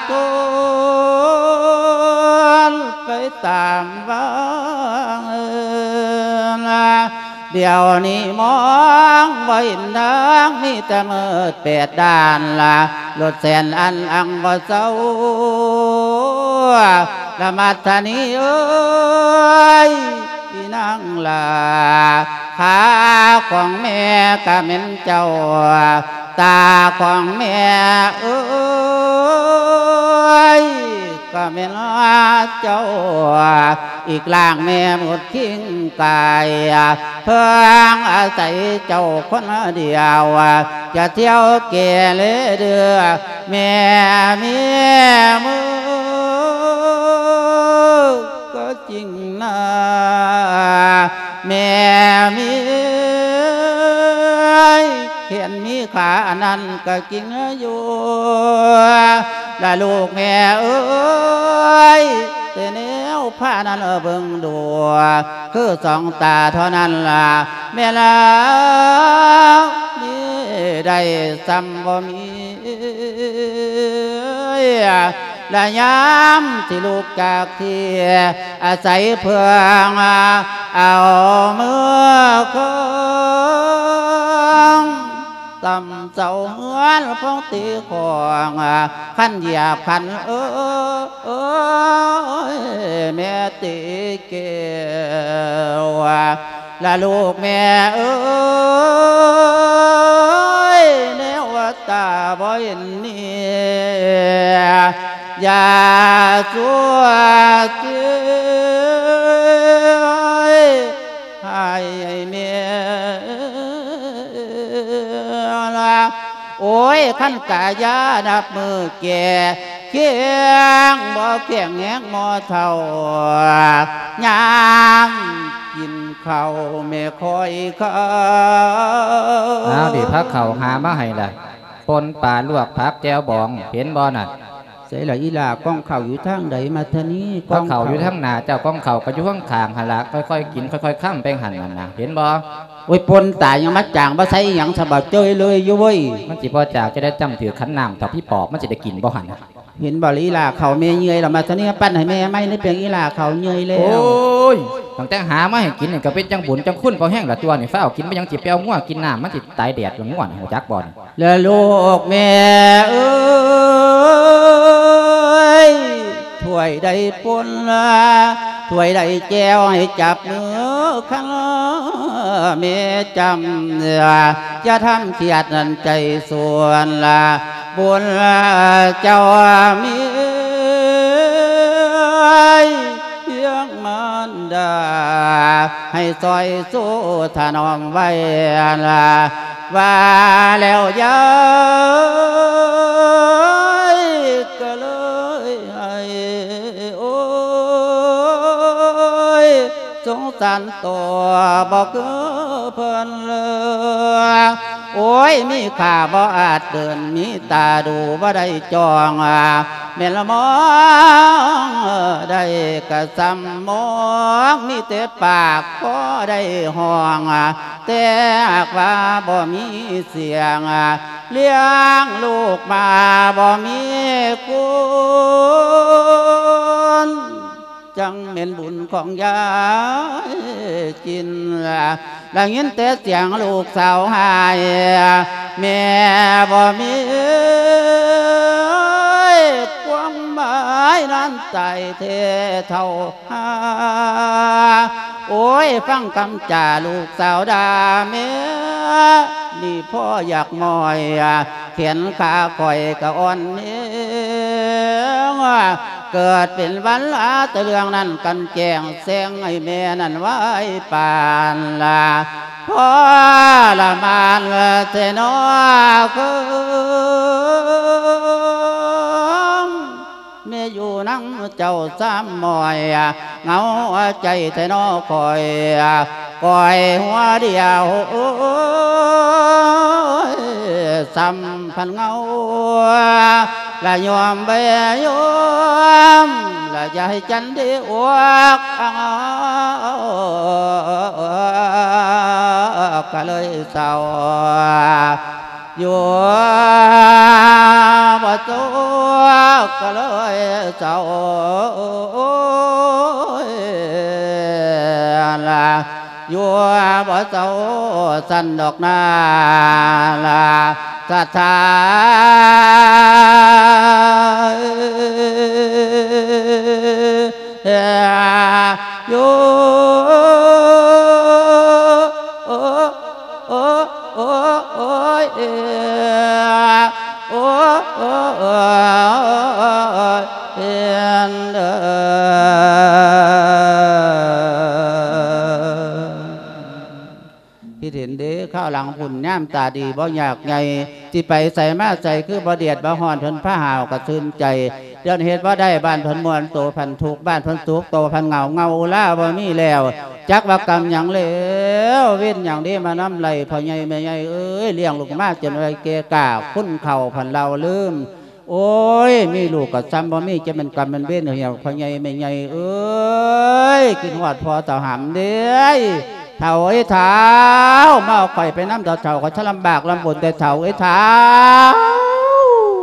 ທົນໄປຕາມວັງ ດຽວນີ້ມອງບໍ່ເຫັນທາງ ມີແຕ່ມືດແປດດ້ານລະ ລົດແສນອັນອັງບໍ່ເຊົາ ລະມັດທະນີເອີຍ ອີນາງຫຼ້າ ຂາຂອງແມ່ກະແມ່ນເຈົ້າ ຕາຂອງແມ່ເອີຍ ກະແມ່ນເຈົ້າ ອີກລ່າງແມ່ໝົດຄິງກາຍ ເພິ່ງອາໄສເຈົ້າຄົນດຽວ ຈະທ່ຽວເກເລເດືອ ແມ່ມີມື ກໍຈິງນາ ແມ່ມີແຂນມີຂາ ອັນນັ້ນກໍຈິງຢູ່ ລະລູກແມ່ເອີຍ ແຕ່ແນວພານັ້ນເບິ່ງດູ ຄືສອງຕາເທົ່ານັ້ນລະ ແມ່ລາວມີໄດ້ສ່ຳບໍ່ມີ ລະຍາມທີ່ລູກຈາກທີ່ອາໄສເພິ່ງ ເອົາມືຄອງ ຕ່ຳເສົາເຮືອນພອງຕີຂອງ ຄັນຢຽບຄັນເອີຍ ແມ່ຕີແກ້ວ ລະລູກແມ່ເອີຍ ແນວຕາບໍ່ເຫັນນີ້ ຢ່າຊົ່ວເສຍໃຫ້ແມ່ລະ ໂອ້ຍ ຄັນກະຢ່ານັບມື້ແກ່ ແຂງບໍ່ແຂງແຮງໝໍເຖົ້າ ຍາມກິນເຂົ້າແມ່ຄອຍເຂົ້າ ອ້າວ ນີ້ພາເຂົ້າຫາມາໃຫ້ລະ ປົ່ນປາ ລວກຜັກ ແຈ່ວບອງ ເຫັນບໍ່ນັ້ນ? ໃສລະອີ່ຫຼ້າ? ກ່ອງເຂົ້າຢູ່ທາງໃດ ມາທານີ? ພາເຂົ້າຢູ່ທາງໜ້າເຈົ້າ ກ່ອງເຂົ້າກໍຢູ່ຂ້າງໆຫັ້ນລະ ຄ່ອຍໆກິນ ຄ່ອຍໆຄຳໄປຫັ້ນນັ້ນນະ ເຫັນບໍ່? ໂອ້ຍ ປົ່ນຕາຍ ຍັງມາຈາງ ບໍ່ໃສ່ອີ່ຫຍັງ ສະບາດເຈ້ຍເລີຍຢູ່ເວີຍ ມັນຊິບໍ່ຈາງ ຈະໄດ້ຈ້ຳຖືກຂັນນ້ຳ ຖ້າຜີປອບມັນຊິໄດ້ກິນບໍ່ຫັ້ນນະ? ເຫັນບໍ່ລະອີ່ຫຼ້າ ເຂົ້າແມ່ເມື່ອຍລະ ມາທານີ ປັ້ນໃຫ້ແມ່ໃໝ່ ນີ້ເປັນອີ່ຫຼ້າເຂົ້າເມື່ອຍແລ້ວ. ໂອ້ຍ ຕັ້ງແຕ່ຫາມາໃຫ້ກິນນີ້ ກໍເປັນຈັ່ງບຸນຈັ່ງຄຸນພໍແຮງລະຕົວນີ້ ຟ້າວກິນ ບໍ່ຫຍັງຊິໄປເອົາງົວກິນນ້ຳ ມັນຊິຕາຍແດດລະ ງົວນີ້ ຮູ້ຈັກບໍ່ນີ້? ລະລູກແມ່ເອີຍ ຖ້ວຍໃດປົ່ນ ຖ້ວຍໃດແຈ່ວ ໃຫ້ຈັບມືຄັນ ແມ່ຈຳ ຢ່າທຳຄຽດນັ້ນໃຈສ່ວນລະ ບຸນເຈົ້າມີພຽງມານດາ ໃຫ້ຊ່ອຍຊູຖະໜອມໄວ້ລະ ວ່າແລ້ວຍາຍກໍເລີຍໃຫ້ ໂອ້ຍ ສົງສານຕໍ່ບໍ່ຄືເພິ່ນເລີຍ ໂອ້ຍ ມີຂາບໍ່ອາດເດີນ ມີຕາດູບໍ່ໄດ້ຈ້ອງ ແມ່ນລະມອງໄດ້ກະສ່ຳມອງ ມີແຕ່ປາກພໍໄດ້ຮ້ອງ ແຕ່ຫາກວ່າບໍ່ມີສຽງ ລ້ຽງລູກມາບໍ່ມີຄຸນ ຈັ່ງແມ່ນບຸນຂອງຍາຍຈິນ ໄດ້ຍິນແຕ່ສຽງລູກສາວຮ້າຍ ແມ່ບໍ່ມີຄວາມໝາຍນັ້ນຕາຍແທ້ເຖົ້າຫາ. ໂອ້ຍ ຟັງຄຳຈາລູກສາວດາແມ່ ນີ້ພໍ່ຢາກໝອຍ ແຂນຂາຂ້ອຍກະອ່ອນແຮງ ເກີດເປັນວັນລາ ແຕ່ເລື່ອງນັ້ນກັນແຈ້ງແຊງ ໃຫ້ແມ່ນັ້ນໄວປານລາ ທໍລະມານແທ້ນໍເຄີງ ແມ່ຢູ່ນຳເຈົ້າຊ້ຳໝອຍ ເຫງົາໃຈແທ້ນໍຂ້ອຍ ຂ້ອຍຫົວດຽວ ໂອ້ຍ ຊ້ຳພັນເຫງົາ ລະຍອມໄປຍອມ ລະຢ່າໃຫ້ຈັນໄດ້ອວກ ກະເລີຍເສົ້າ ຢູ່ບໍ່ຈົບກະເລີຍເສົ້າ ລະ ຢູ່ບໍ່ເຊົາຊັ້ນດອກນາລະ ສະຖານ ຢູ່ ໂອ້ ໂອ້ ໂອ້ ໂອ້ ໂອ້ຍ ເອີ ໂອ້ ໂອ້ ໂອ້ຍ ເອີ ເອີ ຄິດເຫັນເດ້ ຄາວຫຼັງພຸ້ນຍາມຕາດີບໍ່ຍາກໃຫຍ່ ຊິໄປໃສມາໃສຄືບໍ່ເດືອດບໍ່ຮ້ອນ ເພິ່ນພາຫາວກະຊື່ນໃຈ ດຽວນີ້ເຮັດບໍ່ໄດ້ ບ້ານເພິ່ນມ່ວນໂຕພັນທຸກ ບ້ານເພິ່ນສຸກໂຕພັນເຫງົາ ເຫງົາລາບໍ່ມີແລ້ວ ຈັກວ່າກຳຫຍັງແລ້ວ ເວນຫຍັງເດ້ມານຳໄລ່ພໍ່ໃຫຍ່ແມ່ໃຫຍ່ເອີຍ ລ້ຽງລູກມາຈົນໄວແກ່ກ້າ ຄຸນເຂົ້າພັນເລົ່າລືມ ໂອ້ຍ ມີລູກກໍຊ້ຳບໍ່ມີ ຈະແມ່ນກຳແມ່ນເວນເຫືອກ ພໍ່ໃຫຍ່ແມ່ໃຫຍ່ເອີຍ ຄິດຮອດພໍ່ເຖົ້າຫຳເດ້ ເຖົ້າເອີຍເຖົ້າ ມາເອົາຂ້ອຍໄປນຳເຖົ້າ ຂ້ອຍຊະລຳບາກລຳບົນແຕ່ເຖົ້າເອີຍເຖົ້າ.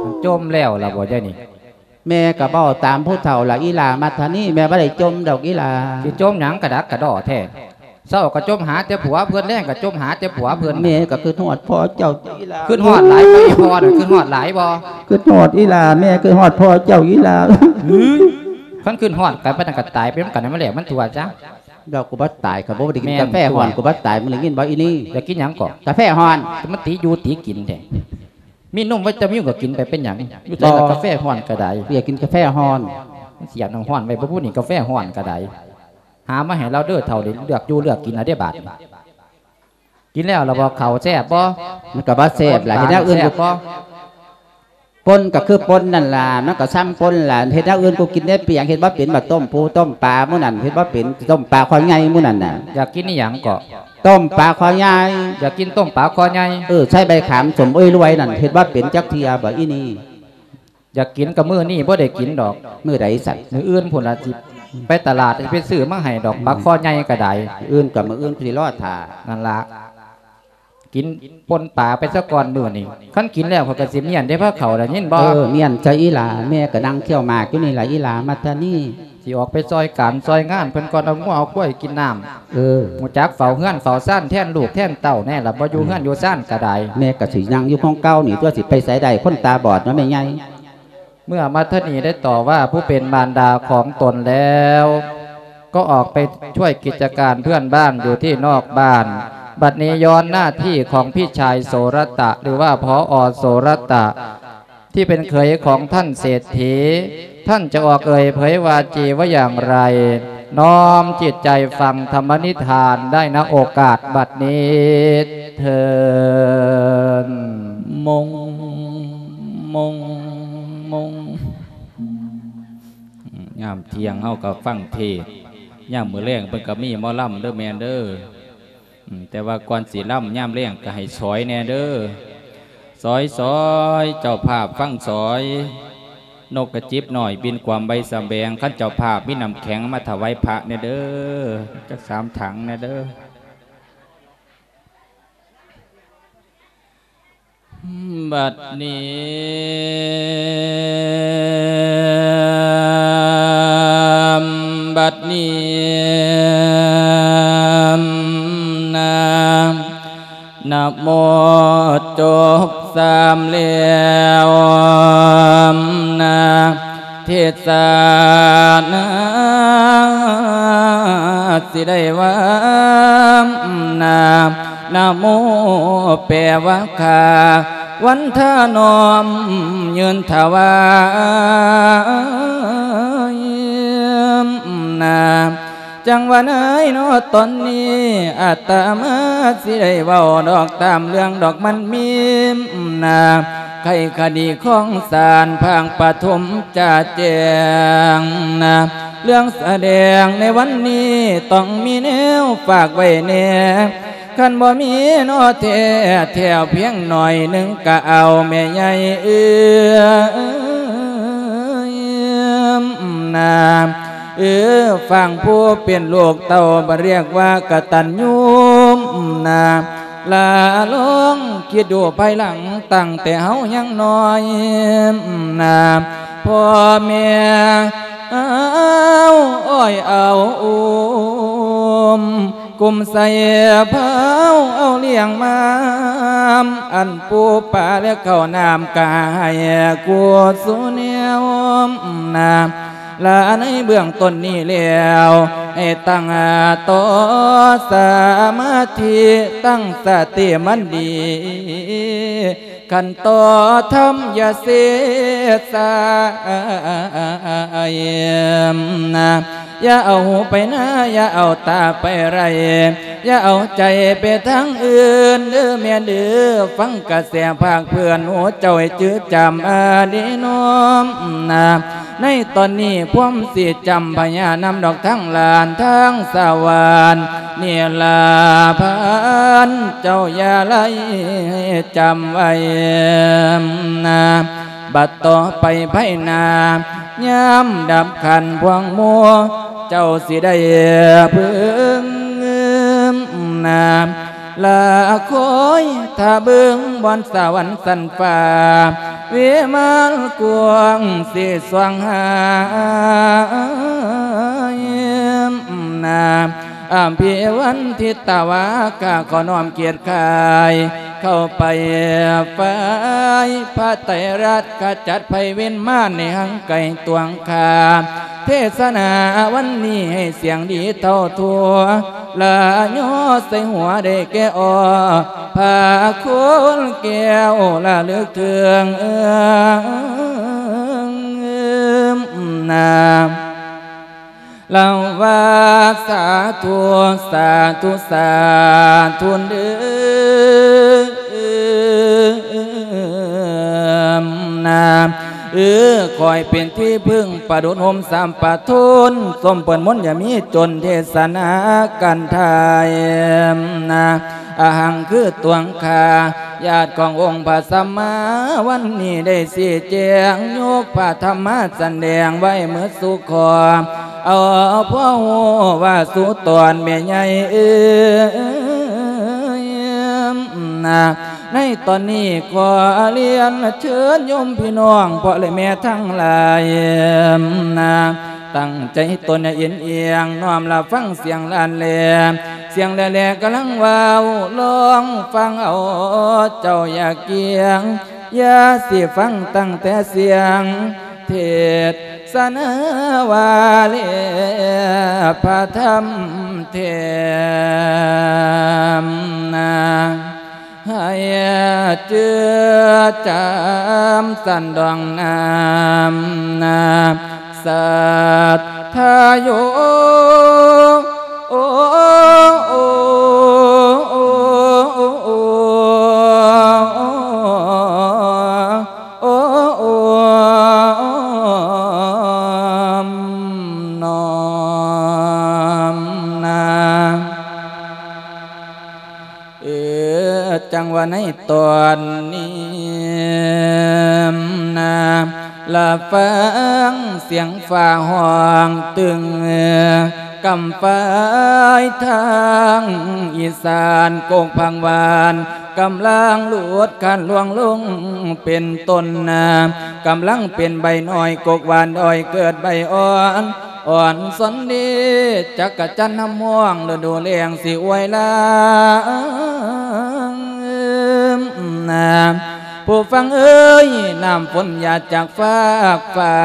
ມັນຈົມແລ້ວລະບໍ່ ດຽວນີ້? ແມ່ກໍເວົ້າຕາມຜູ້ເຖົ້າລະ ອີ່ຫຼ້າມັດທະນີ ແມ່ບໍ່ໄດ້ຈົມດອກອີ່ຫຼ້າ. ຊິຈົມຫຍັງກະດັກກະດໍ້ແທ້? ເຊົ້າກໍຈົມຫາແຕ່ຜົວເພິ່ນ ແລງກໍຈົມຫາແຕ່ຜົວເພິ່ນ ແມ່ກໍຄິດຮອດພໍ່ເຈົ້າອີ່ຫຼ້າ ຄິດຮອດຫຼາຍບໍ່ ອີ່ພໍ່ນັ້ນ ຄິດຮອດຫຼາຍບໍ່? ຄິດຮອດອີ່ຫຼ້າ ແມ່ຄິດຮອດພໍ່ເຈົ້າອີ່ຫຼ້າ. ເຮີ້ຍ ຄັນຄິດຮອດກັນປານນັ້ນກໍຕາຍໄປນຳກັນໃຫ້ມັນແລ້ວມັນທົ່ວຊະ. ດອກ ກູບໍ່ຕາຍ ຂ້ອຍບໍ່ໄດ້ກິນກາແຟຮ້ອນ ກູບໍ່ຕາຍ ມຶງໄດ້ຍິນບໍ່ອີ່ນີ້? ຢາກກິນຫຍັງກໍ? ກາແຟຮ້ອນ ມັນຕິຢູ່ຕິກິນແທ້ ມີນົມໄວຕາມິນກໍກິນໄປ ເປັນຫຍັງ? ຢູ່ໃສລະ ບໍ່ ກາແຟຮ້ອນກໍໄດ້ ຢາກກິນກາແຟຮ້ອນ ມັນຊິຢາກນ້ຳຮ້ອນໄວ້ບໍ່ພຸ້ນນີ້ ກາແຟຮ້ອນກໍໄດ້. ຫາມາໃຫ້ລາວເດີເຖົ້າ ໄດ້ເລືອກຢູ່ເລືອກກິນລະເດ້ບາດນີ້. ກິນແລ້ວລະບໍ່ເຂົ້າ ແຊບບໍ່? ມັນກໍບໍ່ແຊບລະ ເຮັດແນວອື່ນ ແຊບບໍ່? ປົນກໍຄືປົນນັ້ນລະ ມັນກໍຊ້ຳປົນລະ ເຮັດແນວອື່ນກູກິນໄດ້ປຽງ ເຮັດບໍ່ເປັນ ບາດຕົ້ມປູຕົ້ມປາໝູ່ນັ້ນ ເຮັດບໍ່ເປັນ ຕົ້ມປາຄໍໃຫຍ່ໝູ່ນັ້ນນະ. ຢາກກິນອີ່ຫຍັງເກາະ? ຕົ້ມປາຄໍໃຫຍ່. ຢາກກິນຕົ້ມປາຄໍໃຫຍ່? ເອີ ໃສ່ໃບຂາມສົ້ມເອີຍລວຍນັ້ນ ເຮັດບໍ່ເປັນຈັກເທື່ອບໍ່ອີ່ນີ້? ຢາກກິນກໍມື້ນີ້ບໍ່ໄດ້ກິນດອກ. ມື້ໃດຊັ້ນ? ມື້ອື່ນພຸ້ນລະ ຊິໄປຕະຫຼາດ ຊິໄປຊື້ມາໃຫ້ດອກ ປາຄໍໃຫຍ່ກໍໄດ້. ມື້ອື່ນກໍມື້ອື່ນ ກູຊິລໍຖ້າ. ນັ້ນລະ ກິນປົ່ນປາໄປຊະກ່ອນມື້ນີ້. ຄັນກິນແລ້ວຂ້ອຍກໍຊິມ້ຽນເດ້ພາເຂົ້າ ໄດ້ຍິນບໍ່? ເອີ ມ້ຽນຊະອີ່ຫຼ້າ ແມ່ກໍນັ່ງຄ້ຽວໝາກຢູ່ນີ້ລະ ອີ່ຫຼ້າມັດທະນີ. ຊິອອກໄປຊ່ອຍການຊ່ອຍງານເພິ່ນກ່ອນ ເອົາງົວເອົາຄວາຍກິນນ້ຳ. ເອີ ຮູ້ຈັກເຝົ້າເຮືອນເຝົ້າຊານແທນລູກແທນເຕົ້າແນ່ລະ ບໍ່ຢູ່ເຮືອນຢູ່ຊານກໍໄດ້. ແມ່ກໍຊິນັ່ງຢູ່ຂອງເກົ່ານີ້ຕົວະ ຊິໄປໃສໄດ້ ຄົນຕາບອດເນາະແມ່ໃຫຍ່. ເມື່ອມັດທະນີໄດ້ຕໍ່ວ່າຜູ້ເປັນມານດາຂອງຕົນແລ້ວ ກໍອອກໄປຊ່ວຍກິດຈະການເພື່ອນບ້ານຢູ່ທີ່ນອກບ້ານ. ບັດນີ້ຍ້ອນໜ້າທີ່ຂອງພີ່ຊາຍໂສລະຕະ ຫຼືວ່າ ຜອ ໂສລະຕະ ທີ່ເປັນເຂີຍຂອງທ່ານເສດຖີ ທ່ານຈະອອກເອີ່ຍເຜີຍວາຈີວ່າຢ່າງໃດ ນ້ອມຈິດໃຈຟັງທຳມະນິທານໄດ້ ນະໂອກາດບັດນີ້ເທີ້ນ. ມົງ ມົງ ມົງ. ຍາມທ່ຽງເຮົາກໍຟັງເທດ ຍາມມື້ແລງເພິ່ນກໍມີໝໍລຳເດີແມ່ເດີ. ອືມ ແຕ່ວ່າກ່ອນຊິລຳຍາມແລງກໍໃຫ້ສອຍແດ່ເດີ ສອຍ ສອຍ ເຈົ້າພາບຟັງສອຍ. ນົກກະຈິບນ້ອຍບິນກວມໃບສະແບງ ຄັນເຈົ້າພາບມີນ້ຳແຂງມາຖວາຍພະແດ່ເດີ ຈັກສາມຖັງແດ່ເດີ. ບັດນີ້ ບັດນີ້ນາ ນະໂມຈົບສາມແລ້ວນະ ເທດສະນາຊິໄດ້ວ່ານະ ນະໂມແປວ່າຂ້າ ວັນທະນ້ອມຍື່ນຖວາຍນະ. ຈັ່ງວ່າໃນເນາະ ຕອນນີ້ອາດຕະມາຊິໄດ້ເວົ້າດອກ ຕາມເລື່ອງດອກມັນມີນະ ໄຂຄະດີຂອງສານພາກປະຖົມຈະແຈ້ງນະ ເລື່ອງສະແດງໃນວັນນີ້ ຕ້ອງມີແນວຝາກໄວ້ແດ່ ຄັນບໍ່ມີເນາະແທ້ ແຖວພຽງໜ້ອຍໜຶ່ງກະເອົາແມ່ໃຫຍ່ເອີຍນະ. ເອີ ຟັງຜູ້ເປັນລູກເຕົ້າ ບໍ່ຮຽກວ່າກະຕັນຍູນະ ລະລອງຄິດດູພາຍຫຼັງ ຕັ້ງແຕ່ເຮົາຍັງນ້ອຍນະ ພໍ່ແມ່ເອົາອ້ອຍເອົາອຸ້ມ ກຸ້ມໃສ່ເຜົາເອົາລ້ຽງມາ ອັນປູປາແລະເຂົ້ານ້ຳກະໃຫ້ກູດສູ່ແນວນະ ລະໃນເບື້ອງຕົ້ນນີ້ແລ້ວ ໃຫ້ຕັ້ງຕໍ່ສະມາທິ ຕັ້ງສະຕິໝັ້ນດີ ຂັນຕໍ່ທຳຢ່າເສດສາຍນະ ຢ່າເອົາຫູໄປນາ ຢ່າເອົາຕາໄປໄລ່ ຢ່າເອົາໃຈໄປທາງອື່ນເດີແມ່ເດີ ຟັງກະແສພາກເພື່ອນ ຫູເຈົ້າໃຫ້ຈື່ຈຳອາດີນ້ອມນະ. ໃນຕອນນີ້ພວມຊິຈຳພະຍານຳດອກ ທັງຫຼານທັງສາວານ ນີ້ລະພານເຈົ້າຢ່າໄລ່ ໃຫ້ຈຳໄວ້ນະ ບັດຕໍ່ໄປພາຍໜ້າ ຍາມດັບຂັນພວງໝູ່ ເຈົ້າຊິໄດ້ເບິ່ງນະ ລະຄອຍຖ້າເບິ່ງບ່ອນສະຫວັນຊັ້ນຟ້າ ວິມານກວ້າງຊິສ່ອງຫານະ. ອະພິວັນທິຕະວາ ຂ້າຂໍນ້ອມກຽດຄ້າຍ ເຂົ້າໄປໄຟພະໄຕຣະ ຂະຈັດໄພເວນມານໃນຮັ່ງໄກຕວງຂ້າ ເທດສະນາວັນນີ້ໃຫ້ສຽງດີເທົ່າທົ່ວ ລະຍໍໃສ່ຫົວໄດ້ແກ່ອໍ ພະຄຸນແກ້ວລະລຶກເຖິງນາ ລະວ່າສາທຸ ສາທຸ ສາທຸເດີນາ ເອີ ຂໍໃຫ້ເປັນທີ່ເພິ່ງປະດຸດຮົ່ມສາມປະທົນ ສົມເພິ່ນມົນຢ່າມີຈົນ ເທດສະນາກັນທາຍນາ ອະຫັງຄືຕົວຂ້າ ຍາດຂອງອົງພະສຳມາ ວັນນີ້ໄດ້ຊີ້ແຈງ ຍົກພະທຳມາສະແດງໄວ້ໝົດສູ່ຂໍ້ ເອົາພໍຮູ້ວ່າສູ່ຕອນແມ່ໃຫຍ່ເອີຍນາ ໃນຕອນນີ້ຂໍລຽນເຊີນໂຍມພີ່ນ້ອງ ພໍ່ແລະແມ່ທັງຫຼາຍນາ ຕັ້ງໃຈຕົນໃຫ້ເອັນອຽງ ນ້ອມຮັບຟັງສຽງລ້ານແລ ສຽງແລໆກຳລັງເວົ້າ ລອງຟັງເອົາເຈົ້າຢ່າກຽງ ຢ່າຊິຟັງຕັ້ງແຕ່ສຽງເທດສະນາວ່າແລ ພະທຳແຖມນາ ໃຫ້ຈື່ຈຳສັນດອງນາມນາ ສັດທາໂຍ ໂອ ໂອ ໂອ ໂອ ໂອ ໂອ ນ້ອມນາ ເອີ ຈັ່ງວ່າໃນຕອນນີ້ນາ ລະຟັງສຽງຟ້າຮ້ອງຕຶງ ກຳປາຍທາງອີສານ ກົກຜັງຫວານ ກຳລັງຫຼຸດຄານລ່ວງລົງເປັນຕົ້ນນາ ກຳລັງເປັນໃບນ້ອຍ ກົກຫວານດອຍເກີດໃບອ່ອນ ອ່ອນສອນດີ ຈັກກະຈັນນຳຮ້ອງ ລະດູແລ້ງຊິອວຍລາ ຜູ້ຟັງເອີຍ ນ້ຳຝົນຫຍາດຈາກຟາກຟ້າ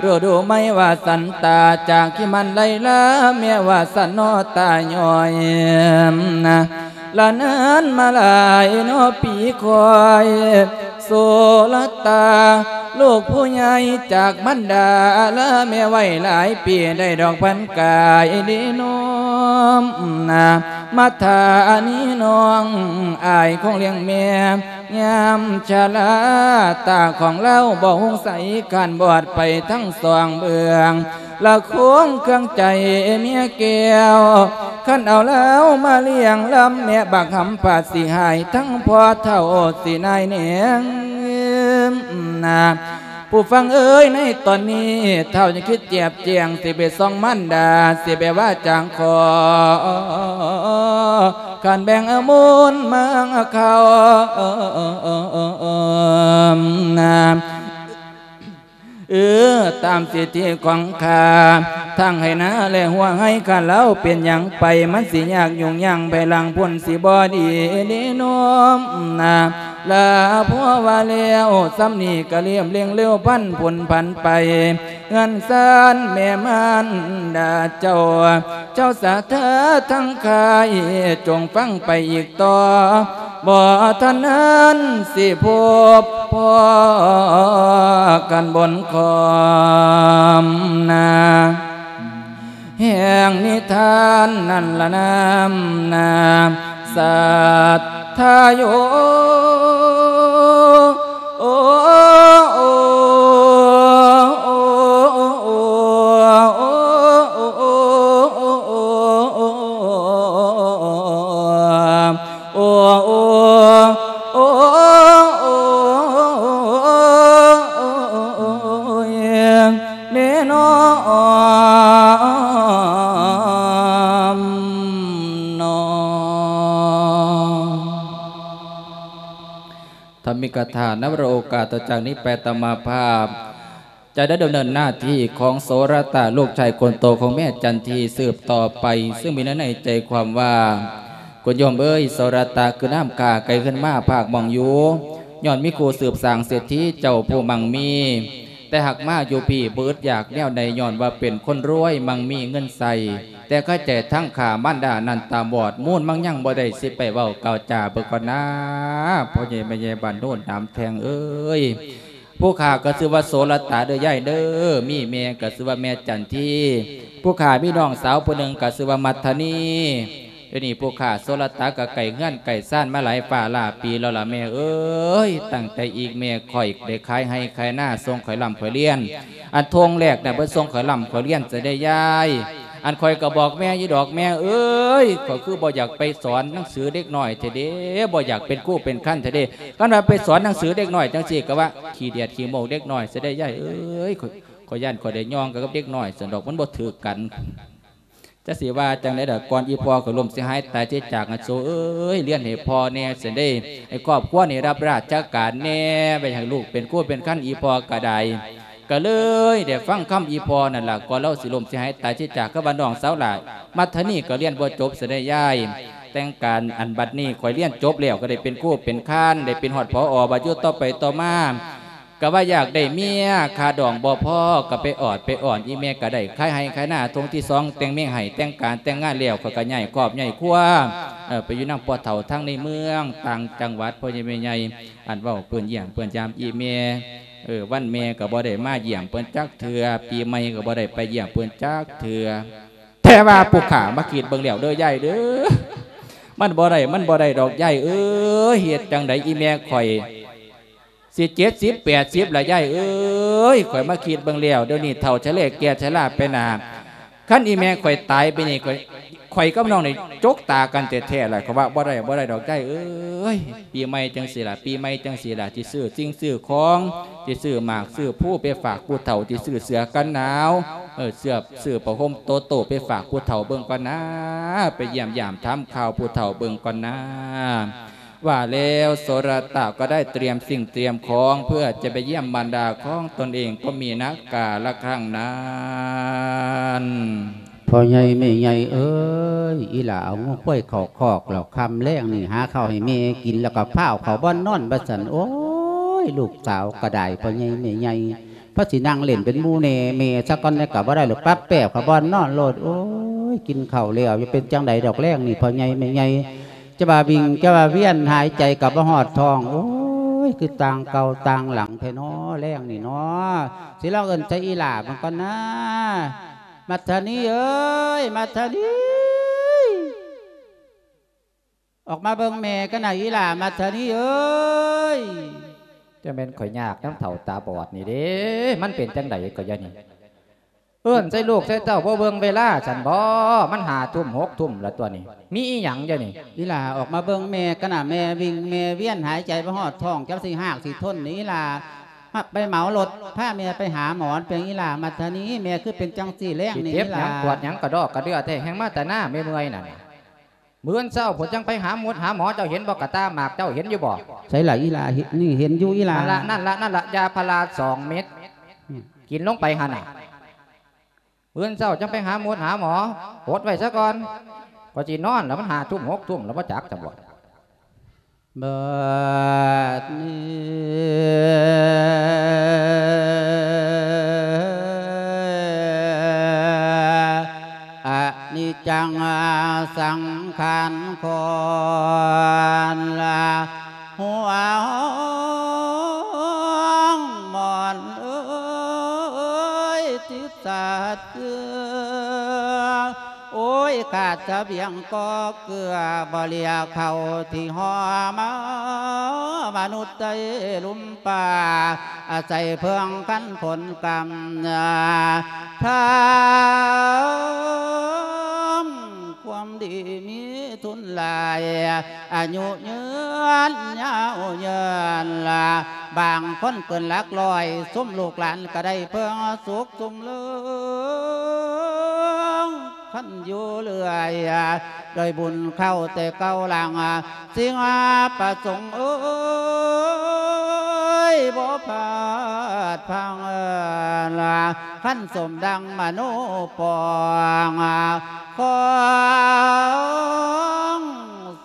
ລະດູໃໝ່ວ່າສັນຕາ ຈາກທີ່ມັນໄຫຼຫຼາ ແມ່ວ່າສັນເນາະຕາຍ້ອຍ ລະນານມາຫຼາຍເນາະປີຄອຍ ໂສລະຕາ ລູກຜູ້ໃຫຍ່ຈາກມັນດາ ລາແມ່ໄວ້ຫຼາຍປີ ໄດ້ດອກພັນກາຍເດນ້ອມນາ ມາທານີນ້ອງອາຍຄົງລ້ຽງແມ່ ຍາມຊະລາ ຕາຂອງລາວບໍ່ຮຸ່ງໃສ ຄານບອດໄປທັງສອງເບື້ອງ ລະຄວງເຄື່ອງໃຈເມຍແກ້ວ ຄັນເອົາລາວມາລ້ຽງລຳ ແມ່ບັກຫຳພາດຊິຫາຍ ທັງພໍ່ເຖົ້າຊິນາຍແນງນາ ຜູ້ຟັງເອີຍ ໃນຕອນນີ້ ທ້າວຈະຄິດແຈບແຈງ ຊິໄປສ່ອງມານດາ ຊິໄປວ່າຈາງຂໍ ຄັນແບ່ງເອົາມູນມາເຂົ້ານາ ເອີ ຕາມສິດທິຂອງຂ້າ ທັງໄຮ່ນາແລະຫົວໄຮ່ ຂ້າລາວເປັນຫຍັງໄປ ມັນຊິຍາກຫຍຸ້ງຍາກ ໄປຫຼັງພຸ້ນຊິບໍ່ດີເດນ້ອມນາ ລາພໍວ່າແລ້ວ ສ່ຳນີ້ກະລຽບລ້ຽງເລັວ ພັນພຸ້ນພັນໄປ ເຮືອນຊານແມ່ມານດາເຈົ້າ ເຈົ້າສາທາທັງຂາຍ ຈົ່ງຟັງໄປອີກຕໍ່ ບໍ່ທັນນັ້ນຊິພົບພໍ້ກັນບົນຄອມນາ ແຫ່ງນິທານນັ້ນລະນາມນາ ສັດທາໂຍ ໂອ ໂອ ເນນ້ອມເນາະ. ທຳມິກະຖາ ນະ ວະໂລກາ ຕໍ່ຈາກນີ້ໄປອາດຕະມາພາບ ຈະໄດ້ດຳເນີນໜ້າທີ່ຂອງໂສລະຕະ ລູກຊາຍຄົນໂຕຂອງແມ່ຈັນທີສືບຕໍ່ໄປ ຊຶ່ງມີເນື້ອໃນໃຈຄວາມວ່າ ຄຸນໂຍມເອີຍ ໂສລະຕະຄືນ້ຳຂ້າໄກຂຶ້ນມາພາກໝ່ອງຢູ່ ຍ້ອນມີຄູ່ສືບສ້າງເສດຖີເຈົ້າຜູ້ມັ່ງມີ ແຕ່ຫາກມາຢູ່ພີ້ບໍ່ອຶດຢາກແນວໃດ ຍ້ອນວ່າເປັນຄົນລວຍມັ່ງມີເງິນໃຊ້ ແຕ່ຄາໃຈທັງຂ້າມານດານັ້ນຕາບອດ ມູນມັ່ງຍັງບໍ່ໄດ້ ຊິໄປເວົ້າກ່າວຈາເບິ່ງກ່ອນນາ ພໍ່ໃຫຍ່ແມ່ໃຫຍ່ບ້ານໂນນໜາມແທງເອີຍ. ຜູ້ຂ້າກໍຊື່ວ່າໂສລະຕະເດີຍາຍເດີ ມີແມ່ກໍຊື່ວ່າແມ່ຈັນທີ ຜູ້ຂ້າມີນ້ອງສາວຜູ້ໜຶ່ງກໍຊື່ວ່າມັດທະນີ. ດຽວນີ້ຜູ້ຂ້າໂສລະຕະກໍໄກເຮືອນໄກຊານມາຫຼາຍຟ້າຫຼາຍປີແລ້ວລະແມ່ເອີຍ ຕັ້ງແຕ່ອີກແມ່ຂ້ອຍໄດ້ຂາຍໄຮ່ຂາຍນາ ສົ່ງຂ້ອຍລ່ຳຂ້ອຍລຽນ ອັນທົ່ງແລກນະ ເພິ່ນສົ່ງຂ້ອຍລ່ຳຂ້ອຍລຽນຊະເດ້ຍາຍ. ອັນຂ້ອຍກໍບອກແມ່ຢູ່ດອກ ແມ່ເອີຍ ຂ້ອຍຄືບໍ່ຢາກໄປສອນໜັງສືເດັກນ້ອຍແທ້ເດ້ ບໍ່ຢາກເປັນຄູເປັນຄັນແທ້ເດ້. ຄັນວ່າໄປສອນໜັງສືເດັກນ້ອຍຈັ່ງຊີ້ ກໍວ່າຂີ້ດຽດຂີ້ໂມກເດັກນ້ອຍຊະເດ້ຍາຍເອີຍ. ຂ້ອຍ ຂ້ອຍຢ້ານຂ້ອຍໄດ້ຍ່ອງກັນກັບເດັກນ້ອຍຊັ້ນດອກ ມັນບໍ່ຖືກກັນ. ຈັກຊິວ່າຈັ່ງໃດດອກ ກ່ອນອີ່ພໍ່ຂ້ອຍລົ້ມເສຍຫາຍຕາຍເສຍຈາກ ອັນໂສເອີຍ ລຽນໃຫ້ພໍ່ແດ່ຊັ້ນເດ້ ໃຫ້ຄອບຄົວນີ້ຮັບລາຊະການແດ່ ໄວ້ໃຫ້ລູກເປັນຄູເປັນຄັນ ອີ່ພໍ່ກໍໄດ້ ກໍເລີຍໄດ້ຟັງຄຳອີ່ພໍ່ນັ້ນລະ ກ່ອນລາວຊິລົ້ມເສຍຫາຍຕາຍເສຍຈາກ. ຄືວ່ານ້ອງສາວຫຼ້າ ມັດທະນີກໍລຽນບໍ່ຈົບຊະເດ້ຍາຍ. ແຕ່ງການ ອັນບັດນີ້ຂ້ອຍລຽນຈົບແລ້ວ ກໍໄດ້ເປັນຄູເປັນຄານ ໄດ້ເປັນຮອດ ຜອ ບັດຢູ່ຕໍ່ໄປຕໍ່ມາ ກໍວ່າຢາກໄດ້ເມຍ ຄ່າດອງບໍ່ພໍກໍໄປອອດໄປອ້ອນ ອີ່ແມ່ກໍໄດ້ຂາຍໄຮ່ຂາຍນາທົ່ງທີສອງ ແຕ່ງເມຍໃຫ້ ແຕ່ງການແຕ່ງງານແລ້ວ ຂ້ອຍກໍຍ້າຍຄອບຍ້າຍຄົວ ເອີ ໄປຢູ່ນຳພໍ່ເຖົ້າທາງໃນເມືອງຕ່າງຈັງຫວັດ ພໍ່ໃຫຍ່ແມ່ໃຫຍ່ ອັນເວົ້າເພິ່ນຢ້ຽມເພິ່ນຢາມອີ່ແມ່ ເອີ ວັນແມ່ກໍບໍ່ໄດ້ມາຢ້ຽມເພິ່ນຈັກເທື່ອ ປີໃໝ່ກໍບໍ່ໄດ້ໄປຢ້ຽມເພິ່ນຈັກເທື່ອ. ແຕ່ວ່າຜູ້ຂ້າມາຄິດເບິ່ງແລ້ວເດີຍາຍເດີ ມັນບໍ່ໄດ້ ມັນບໍ່ໄດ້ດອກຍາຍເອີຍ ເຮັດຈັ່ງໃດອີ່ແມ່ຂ້ອຍ ຊິເຈັດສິບແປດສິບລະຍາຍເອີຍ. ຂ້ອຍມາຄິດເບິ່ງແລ້ວ ດຽວນີ້ເຖົ້າຊະເລແກ່ຊະລາໄປໜ້າ ຄັນອີ່ແມ່ຂ້ອຍຕາຍໄປນີ້ ຂ້ອຍ ຂ້ອຍກັບນ້ອງນີ້ຈົກຕາກັນແທ້ໆລະ. ຂ້ອຍວ່າບໍ່ໄດ້ ບໍ່ໄດ້ດອກຍາຍເອີຍ. ປີໃໝ່ຈັ່ງຊີ້ລະ ປີໃໝ່ຈັ່ງຊີ້ລະ ຊິຊື້ສິ່ງຊື້ຂອງ ຊິຊື້ໝາກຊື້ພູໄປຝາກຜູ້ເຖົ້າ ຊິຊື້ເສື້ອກັນໜາວ ເອີ ເສື້ອ ຊື້ຜ້າຫົ່ມໂຕໂຕໄປຝາກຜູ້ເຖົ້າເບິ່ງກ່ອນນາ ໄປຢ້ຽມຢາມຖາມຂ່າວຜູ້ເຖົ້າເບິ່ງກ່ອນນາ. ว่าแล้วโสรตะก็ได้เตรียมสิ่งเตรียมของเพื่อจะไปเยี่ยมมารดาของตนเองก็มีนะกาละครั้งนั้น ພໍ່ໃຫຍ່ແມ່ໃຫຍ່ເອີຍ ອີ່ຫຼ້າເອົາງົວຄວາຍເຂົ້າຄອກແລ້ວ ຄ່ຳແລງນີ້ຫາເຂົ້າໃຫ້ແມ່ກິນ ແລ້ວກໍພາເຂົ້າບ່ອນນອນວ່າຊັ້ນ. ໂອ້ຍ ລູກສາວກໍໄດ້ ພໍ່ໃຫຍ່ແມ່ໃຫຍ່ ພາຊິນັ່ງຫຼິ້ນເປັນໝູ່ແດ່ແມ່ຊະກ່ອນແດ່ກໍບໍ່ໄດ້ດອກ ປັບແປບເຂົ້າບ່ອນນອນໂລດ. ໂອ້ຍ ກິນເຂົ້າແລ້ວ ຈະເປັນຈັ່ງໃດດອກແລງນີ້ ພໍ່ໃຫຍ່ແມ່ໃຫຍ່ ຈະວ່າວິ່ງ ຈະວ່າວຽນ ຫາຍໃຈກໍບໍ່ຮອດທ້ອງ. ໂອ້ຍ ຄືຕ່າງເກົ່າຕ່າງຫຼັງແທ້ນໍ ແລງນີ້ນໍ. ຊິລອງເອີ້ນໃສ່ອີ່ຫຼ້າເບິ່ງກ່ອນນາ. ມັດທະນີເອີຍ ມັດທະນີ ອອກມາເບິ່ງແມ່ກັນນາ ອີ່ຫຼ້າ ມັດທະນີເອີຍ. ຈະແມ່ນຂ້ອຍຍາກນຳເຖົ້າຕາບອດນີ້ເດ້ ມັນເປັນຈັ່ງໃດກໍຢ່ານີ້ ເອີ້ນໃສ່ລູກໃສ່ເຕົ້າ ບໍ່ເບິ່ງເວລາຊັ້ນບໍ? ມັນຫ້າທຸ່ມຫົກທຸ່ມລະຕົວນີ້ ມີອີ່ຫຍັງດຽວນີ້? ອີ່ຫຼ້າ ອອກມາເບິ່ງແມ່ກັນນາ ແມ່ວິ່ງແມ່ວຽນ ຫາຍໃຈບໍ່ຮອດທ້ອງ ຈັກຊິຮາກຊິທົນນີ້ ອີ່ຫຼ້າ. ມາ ໄປເໝົາລົດພາແມ່ໄປຫາໝໍ ເປັນຫຍັງອີ່ຫຼ້າ ມັດທະນີ ແມ່ຄືເປັນຈັ່ງຊີ້ແລງນີ້ ຊິເຈັບຫຍັງ ອີ່ຫຼ້າ ປວດຫຍັງກະດອກກະເດືອແທ້ ແຮ່ງມາແຕ່ນາ ແມ່ເມື່ອຍນັ້ນ. ມື້ອື່ນເຊົ້າພຸ້ນຈັ່ງໄປຫາໝົດຫາໝໍ ເຈົ້າເຫັນບໍ່ ກະຕາໝາກເຈົ້າເຫັນຢູ່ບໍ່? ໃສລະອີ່ຫຼ້າ ເຫັນ ນີ້ເຫັນຢູ່ອີ່ຫຼ້າ. ນັ້ນລະ ນັ້ນລະ ນັ້ນລະ ຢາພາລາສອງເມັດ ອືມ ກິນລົງໄປຫັ້ນນະ. ມື້ອື່ນເຊົ້າຈັ່ງໄປຫາໝົດຫາໝໍ ອົດໄວ້ຊະກ່ອນ ກໍຊິນອນລະ ມັນຫ້າທຸ່ມຫົກທຸ່ມລະ ບໍ່ຈັກຈະບອກ. ບັດນີ້ ອະນິດຈັງສັງຂານຄອນລະ ຫົວຫ້ອງໝອນເອີຍ ຕິດສາດເກືອ ໂອ້ຍ ຂາດສະບຽງກໍເກືອ ບໍ່ເຫຼືອເຂົ້າທີ່ຫໍ່ມາ ມະນຸດໃຕ້ລຸ່ມປ່າ ອາໄສເພິ່ງຄັນຜົນກຳ ທຳຄວາມດີມີ ທຸນຫຼາຍ ອາຍຸຍືນຍາວເຍີນລະ ບາງຄົນເກີນຫຼັກຮ້ອຍ ຊຸມລູກຫຼານກໍໄດ້ເພິ່ງສຸກຊຸມເລີງ ຄັນຢູ່ເລື້ອຍ ດ້ວຍບຸນເຂົ້າແຕ່ເກົ່າຫຼັງ ສິ່ງປະສົງເອີຍ ບໍ່ພາດພັງລະ ຄັນສົມດັ່ງມະໂນປອງ ຂອງ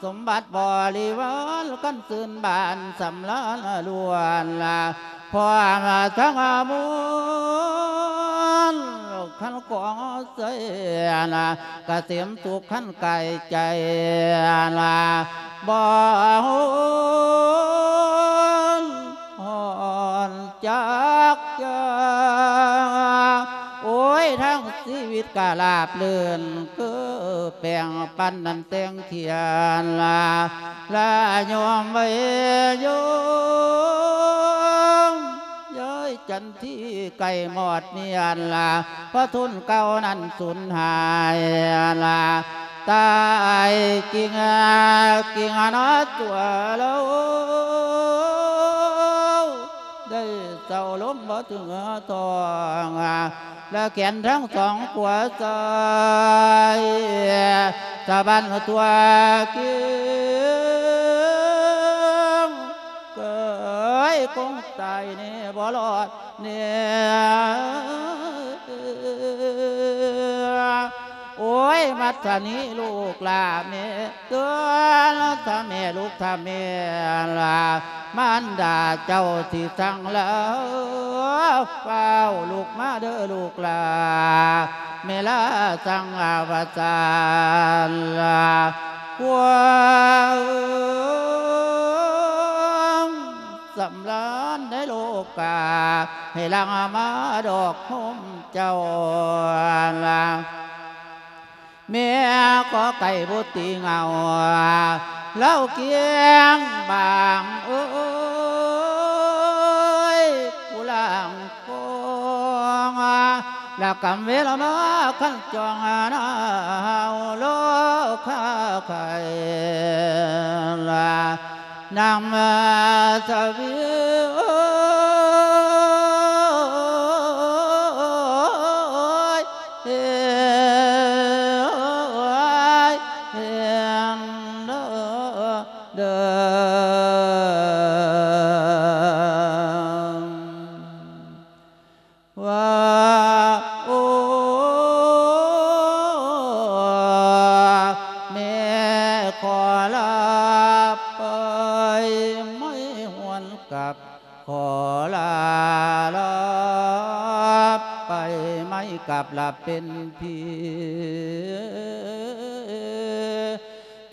ສົມບັດບໍລິວານ ຄັນຊື່ນບານສຳລານລ້ວນລະ ພ້ອມທັງມວນ ຄັນຂອງໃສລະ ກະເສມສຸກຄັນກາຍໃຈລະ ບໍ່ຮ້ອນ ຮ້ອນຈັກຢ່າ ໂອ້ຍ ທັງຊີວິດກະລາບລື່ນ ຄືແປ້ງປັນນັ້ນແຕ່ງຂຽນລະ ລະຍອມໄວ້ໂຍມ ເອີຍ ຈັນ ທີ່ໃກ້ມອດມຽນລະ ເພາະທຶນເກົ່ານັ້ນສູນຫາຍລະ ຕາຍກິງກິງນອດຕົວລາວ ໄດ້ເຊົາລົມບໍ່ເຖິງທ້ອງ ລະແຂນທັງສອງຂວາຊ້າຍ ສະບັ້ນຕົວກິງ ເກີຍຄົງຕາຍແນ່ບໍ່ລອດແນ່ ໂອ້ຍ ມັດທະນີລູກຫຼ້າແມ່ເຕືອນ ຖ້າແມ່ລູກ ຖ້າແມ່ຫຼ້າ ມານດາເຈົ້າຊິສັ່ງລາ ຟ້າວລຸກມາເດີລູກຫຼ້າ ແມ່ລາສັ່ງວ່າຊັ້ນລະ ຄວາມ ສຳລານໃນໂລກາ ໃຫ້ຫຼັ່ງມາດອກໂຮມເຈົ້າລະ ແມ່ຂໍໄກ່ບໍ່ຕີເຫງົາ ລາວກຽງບາງເອີຍ ຜູ້ລ່າງຄອງ ລະກຳເວລາມາຄັນຈ້ອງນາວໂລກຄາໄຂ່ລະ ນຳສະເຫວີຍ ໂອ້ຍ ເອີຍ ເຫັນເດີ ເດີ ວ່າ ໂອ້ ຂໍລາໄປໄມ້ຫວນກັບ ຂໍລາລາໄປໄມ້ກັບລາເປັນຜີ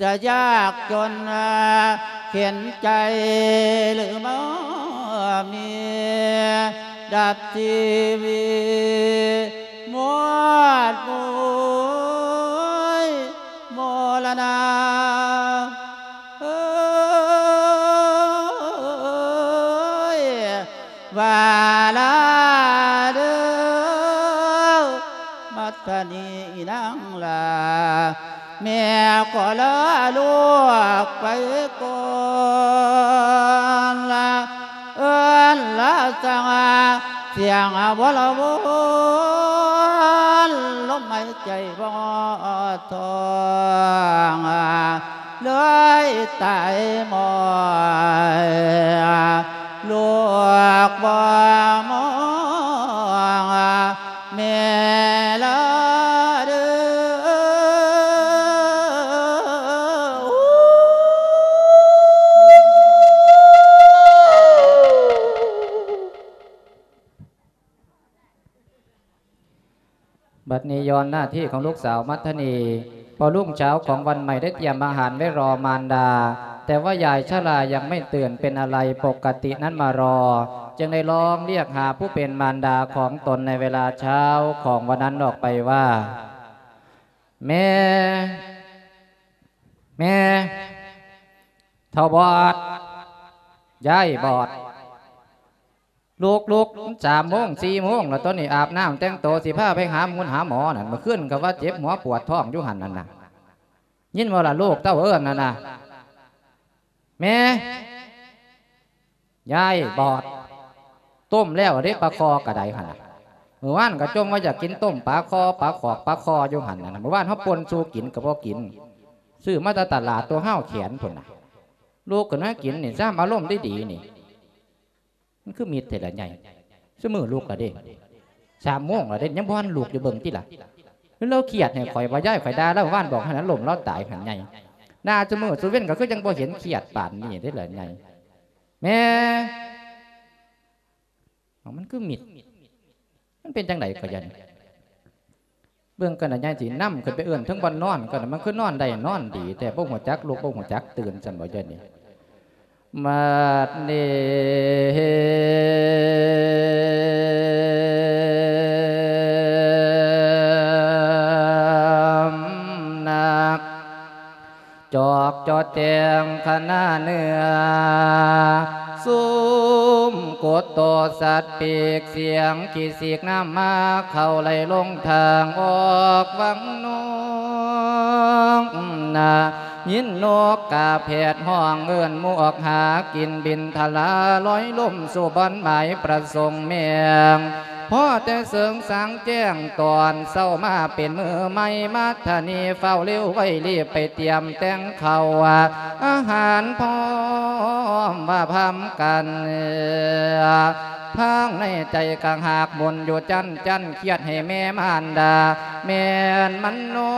ຈະຍາກຈົນເຂັນໃຈ ຫຼືບໍ່ມີດັບຊີວິດ ໝົດບຸຍ ມໍລະນະເອີຍ ວ່າລາເດີ ມັດທະນີນາງລາ ແມ່ຂໍລາລູກໄປກ່ອນລະ ເອີ້ນລາສັງ ສຽງວອລະວອນ ລົມຫາຍໃຈບໍ່ທອງ ເລີຍຕາຍໝອຍ ລູກບໍ່ມອງ ແມ່ລາເດີ. ບັດນີ້ຍ້ອນໜ້າທີ່ຂອງລູກສາວມັດທະນີ ພໍລຸງເຊົ້າຂອງວັນໃໝ່ໄດ້ຕຽມອາຫານໄວ້ລໍມານດາ, ແຕ່ວ່າຍາຍຊະລາຍັງໄມ່ຕື່ນເປັນອາໄລປົກກະຕິນັ້ນມາລໍ, ຈຶ່ງໄດ້ລອງລຽກຫາຜູ້ເປັນມານດາຂອງຕົນໃນເວລາເຊົ້າຂອງວັນນັ້ນອອກໄປວ່າ, ແມ່, ແມ່, ເຖົ້າບອດ, ຍາຍບອດ. ລຸກ, ລຸກ, ມັນສາມໂມງ ສີ່ໂມງແລ້ວ ຕອນນີ້ອາບນ້ຳແຕ່ງໂຕ ຊິພາໄປຫາໝູຫາໝໍນັ້ນ. ມື້ຄືນກໍວ່າເຈັບຫົວປວດທ້ອງຢູ່ຫັ້ນນັ້ນນະ. ຍິນບໍ່ລະລູກເຕົ້າເອີ້ນນັ້ນນະ. ແມ່, ຍາຍບອດ, ຕົ້ມແລ້ວເດ້ ປາຄໍ່ກະໄດຫັ້ນນະ. ມື້ວານກໍຈົ່ມວ່າຢາກກິນຕົ້ມປາຄໍ່ ປາຂອກ ປາຄໍ່ຢູ່ຫັ້ນນະ. ມື້ວານເຮົາປົ່ນສູ່ກິນກໍບໍ່ກິນ, ຊື້ມາແຕ່ຕະຫຼາດ ຕົວຮາວແຂນພຸ້ນນະ. ລຸກຂຶ້ນມາກິນນີ້ ຊ້ຳອາລົມດີໆນີ້. ມັນຄືມິດແທ້ລະໃຫຍ່. ຊຸມື້ລຸກລະເດ້ ສາມໂມງລະເດ້ ຍັງບໍ່ທັນລຸກຢູ່ ເບິ່ງຕິລະ. ລາວຄຽດໃຫ້ຂ້ອຍວ່າ ຍາຍຂ້ອຍດ່າລາວວານ ບອກໃຫ້ລາວລົ້ມລາວຕາຍຫັ້ນໃຫຍ່. ດ່າຊຸມື້ຊຸເວັນກໍຄືຍັງບໍ່ເຫັນຄຽດປານນີ້ເດ້ລະໃຫຍ່. ແມ່, ເອົາ ມັນຄືມິດ. ມັນເປັນຈັ່ງໃດກໍຢ່ານີ້. ເບິ່ງກັນນະ ຍາຍຊິນຳຂຶ້ນໄປເອີ້ນເທິງບ່ອນນອນກ່ອນນະ. ມັນຄືນອນໄດ້ນອນດີແທ້ ບໍ່ຮູ້ຈັກລຸກ ບໍ່ຮູ້ຈັກຕື່ນຊັ້ນບໍ່ ຍາຍນີ້. ບັດນີ້ ຈອກຈໍແຈງຂະໜາເໜືອ ຊຸມກົດໂຕສັດປີກ ສຽງຂີ້ສີກນ້ຳໝາເຂົ້າໄຫຼລົງທາງອອກວັງນອກນາ. ຍິນນົກກາແພດຮ້ອງເອີ້ນໝູ່ອອກຫາກິນ ບິນທະລາລອຍລົມສູ່ບ່ອນໝາຍປະສົງແມງ. ພໍແຕ່ເສີງສາງແຈ້ງຕອນເຊົ້າມາເປັນມື້ໃໝ່ ມັດທະນີຟ້າວເລວໄວລີບໄປຕຽມແຕ່ງເຂົ້າອາຫານພ້ອມວ່າພາມກັນ. ທາງໃນໃຈກະຫາກໝຸນຢູ່ຈັ່ນໆ ຄຽດໃຫ້ແມ່ມານດາ ແມ່ນມັນນອ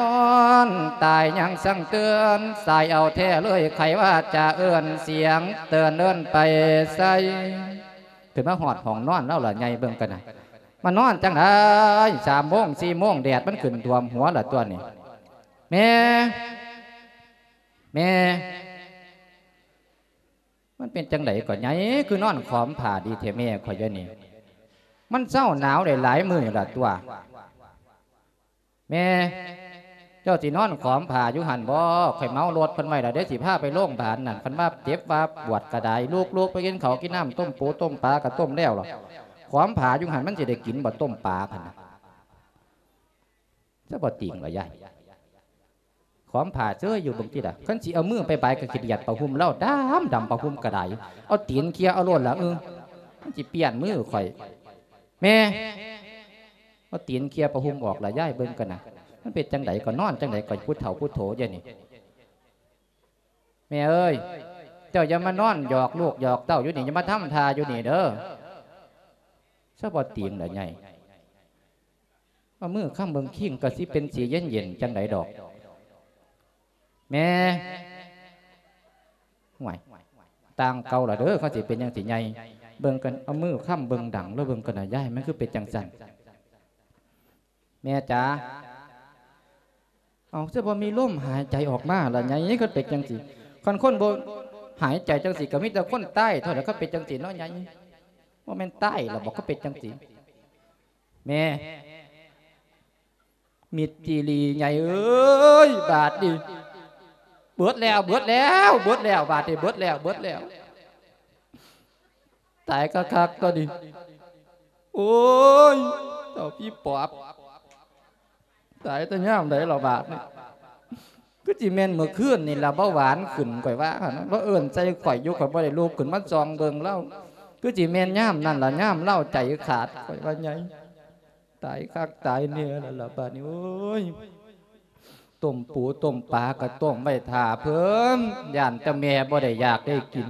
ນຕາຍຍັງສັງເຕືອນ ສາຍເອົາແທ້ເລີຍ ໃຜວ່າຈະເອີ້ນສຽງເຕືອນເອີ້ນໄປໃສ. ຂຶ້ນມາຮອດຫ້ອງນອນລາວລະໃຫຍ່ ເບິ່ງກັນນະ ມານອນຈັ່ງໃດ ສາມໂມງ ສີ່ໂມງ ແດດມັນຂຶ້ນຖ້ວມຫົວລະຕົວນີ້. ແມ່, ແມ່, ມັນເປັນຈັ່ງໃດກໍໃຫຍ່ ຄືນອນຂອມຜ້າດີແທ້ແມ່ຂ້ອຍດຽວນີ້. ມັນເຊົາໜາວໄດ້ຫຼາຍມື້ລະຕົວະ. ແມ່, ເຈົ້າຊິນອນຂອມຜ້າຢູ່ຫັ້ນບໍ? ຂ້ອຍເໝົາລົດເພິ່ນໄວ້ລະເດ້ ຊິພາໄປໂລງບານນັ້ນ. ຄັນວ່າເຈັບວ່າປວດກະໄດ້ ລຸກໆ ໄປກິນເຂົ້າກິນນ້ຳ ຕົ້ມປູຕົ້ມປາກະຕົ້ມແລ້ວລະ. ຂອມຜ້າຢູ່ຫັ້ນ ມັນຊິໄດ້ກິນບໍ ຕົ້ມປາຫັ້ນນະ? ຊະບໍ່ຕິງລະຍາຍ. ຂອມຜ້າເຊີຍຢູ່ເບິ່ງຕິລະ. ຄັນຊິເອົາມືໄປບາຍກະຂີ້ດຽດຜ້າຫົ່ມລາວດຳໆ ຜ້າຫົ່ມກະໄດ້. ເອົາຕີນເຄຍເອົາໂລດລະ. ເອີ ມັນຊິປ່ຽນມືຂ້ອຍ. ແມ່, ເອົາຕີນເຄຍຜ້າຫົ່ມອອກລະຍາຍ ເບິ່ງກັນນະ. ມັນເປັນຈັ່ງໃດກໍນອນຈັ່ງໃດກໍ ຜູ້ເຖົ້າຜູ້ໂຖດຽວນີ້. ແມ່ເອີຍ, ເຈົ້າຢ່າມານອນຫຍອກລູກຫຍອກເຕົ້າຢູ່ນີ້, ຢ່າມາທຳທ່າຢູ່ນີ້ເດີ. ຊະບໍ່ຕີງລະໃຫຍ່. ເອົາມືຄ້ຳເບິ່ງຄີງກໍຊິເປັນສີເຢັນໆ ຈັ່ງໃດດອກ. ແມ່, ຫວຍ ຕ່າງເກົ່າລະເດີ ເຂົາຊິເປັນຫຍັງຊິໃຫຍ່ ເບິ່ງກັນ ເອົາມືຄ້ຳເບິ່ງດັງ ແລ້ວເບິ່ງກັນນະ ຍາຍ ມັນຄືເປັນຈັ່ງຊັ້ນ ແມ່ຈ໋າ. ເອົາ ຄືບໍ່ມີລົມຫາຍໃຈອອກມາລະໃຫຍ່ ຄັນເປັນຈັ່ງຊີ້ ຄັນຄົນບໍ່ຫາຍໃຈຈັ່ງຊີ້ ກໍມີແຕ່ຄົນຕາຍເທົ່ານັ້ນ ຄັນເປັນຈັ່ງຊີ້ເນາະໃຫຍ່ ບໍ່ແມ່ນຕາຍລະບໍ ຄັນເປັນຈັ່ງຊີ້ ແມ່ ມິດຈີ່ຫຼີ່ໃຫຍ່ເອີຍ ບາດນີ້ ເບິດແລ້ວ ເບິດແລ້ວ ເບິດແລ້ວ ບາດນີ້ ເບິດແລ້ວ ເບິດແລ້ວ ຕາຍຄັກໆ ຕົວນີ້ ໂອ້ຍ ເຈົ້າຜີປອບ ຕາຍແຕ່ຍາມໃດລະບາດນີ້ ຄືຊິແມ່ນມື້ຄືນນີ້ລະ ເບົາຫວານຂຶ້ນ ຂ້ອຍວ່າຫັ້ນນະ ລາວເອີ້ນໃສ່ຂ້ອຍຢູ່ ຂ້ອຍບໍ່ໄດ້ລຸກຂຶ້ນມາສ່ອງເບິ່ງລາວ ຄືຊິແມ່ນຍາມນັ້ນລະ ຍາມລາວໃຈຂາດ ຂ້ອຍວ່າໃຫຍ່ ຕາຍຄັກຕາຍແນ່ແລ້ວລະບາດນີ້ ໂອ້ຍ ຕົ້ມປູຕົ້ມປາກໍຕົ້ມໄວ້ຖ້າເພິ່ນ ຢ້ານແຕ່ແມ່ບໍ່ໄດ້ຢາກໄດ້ກິນ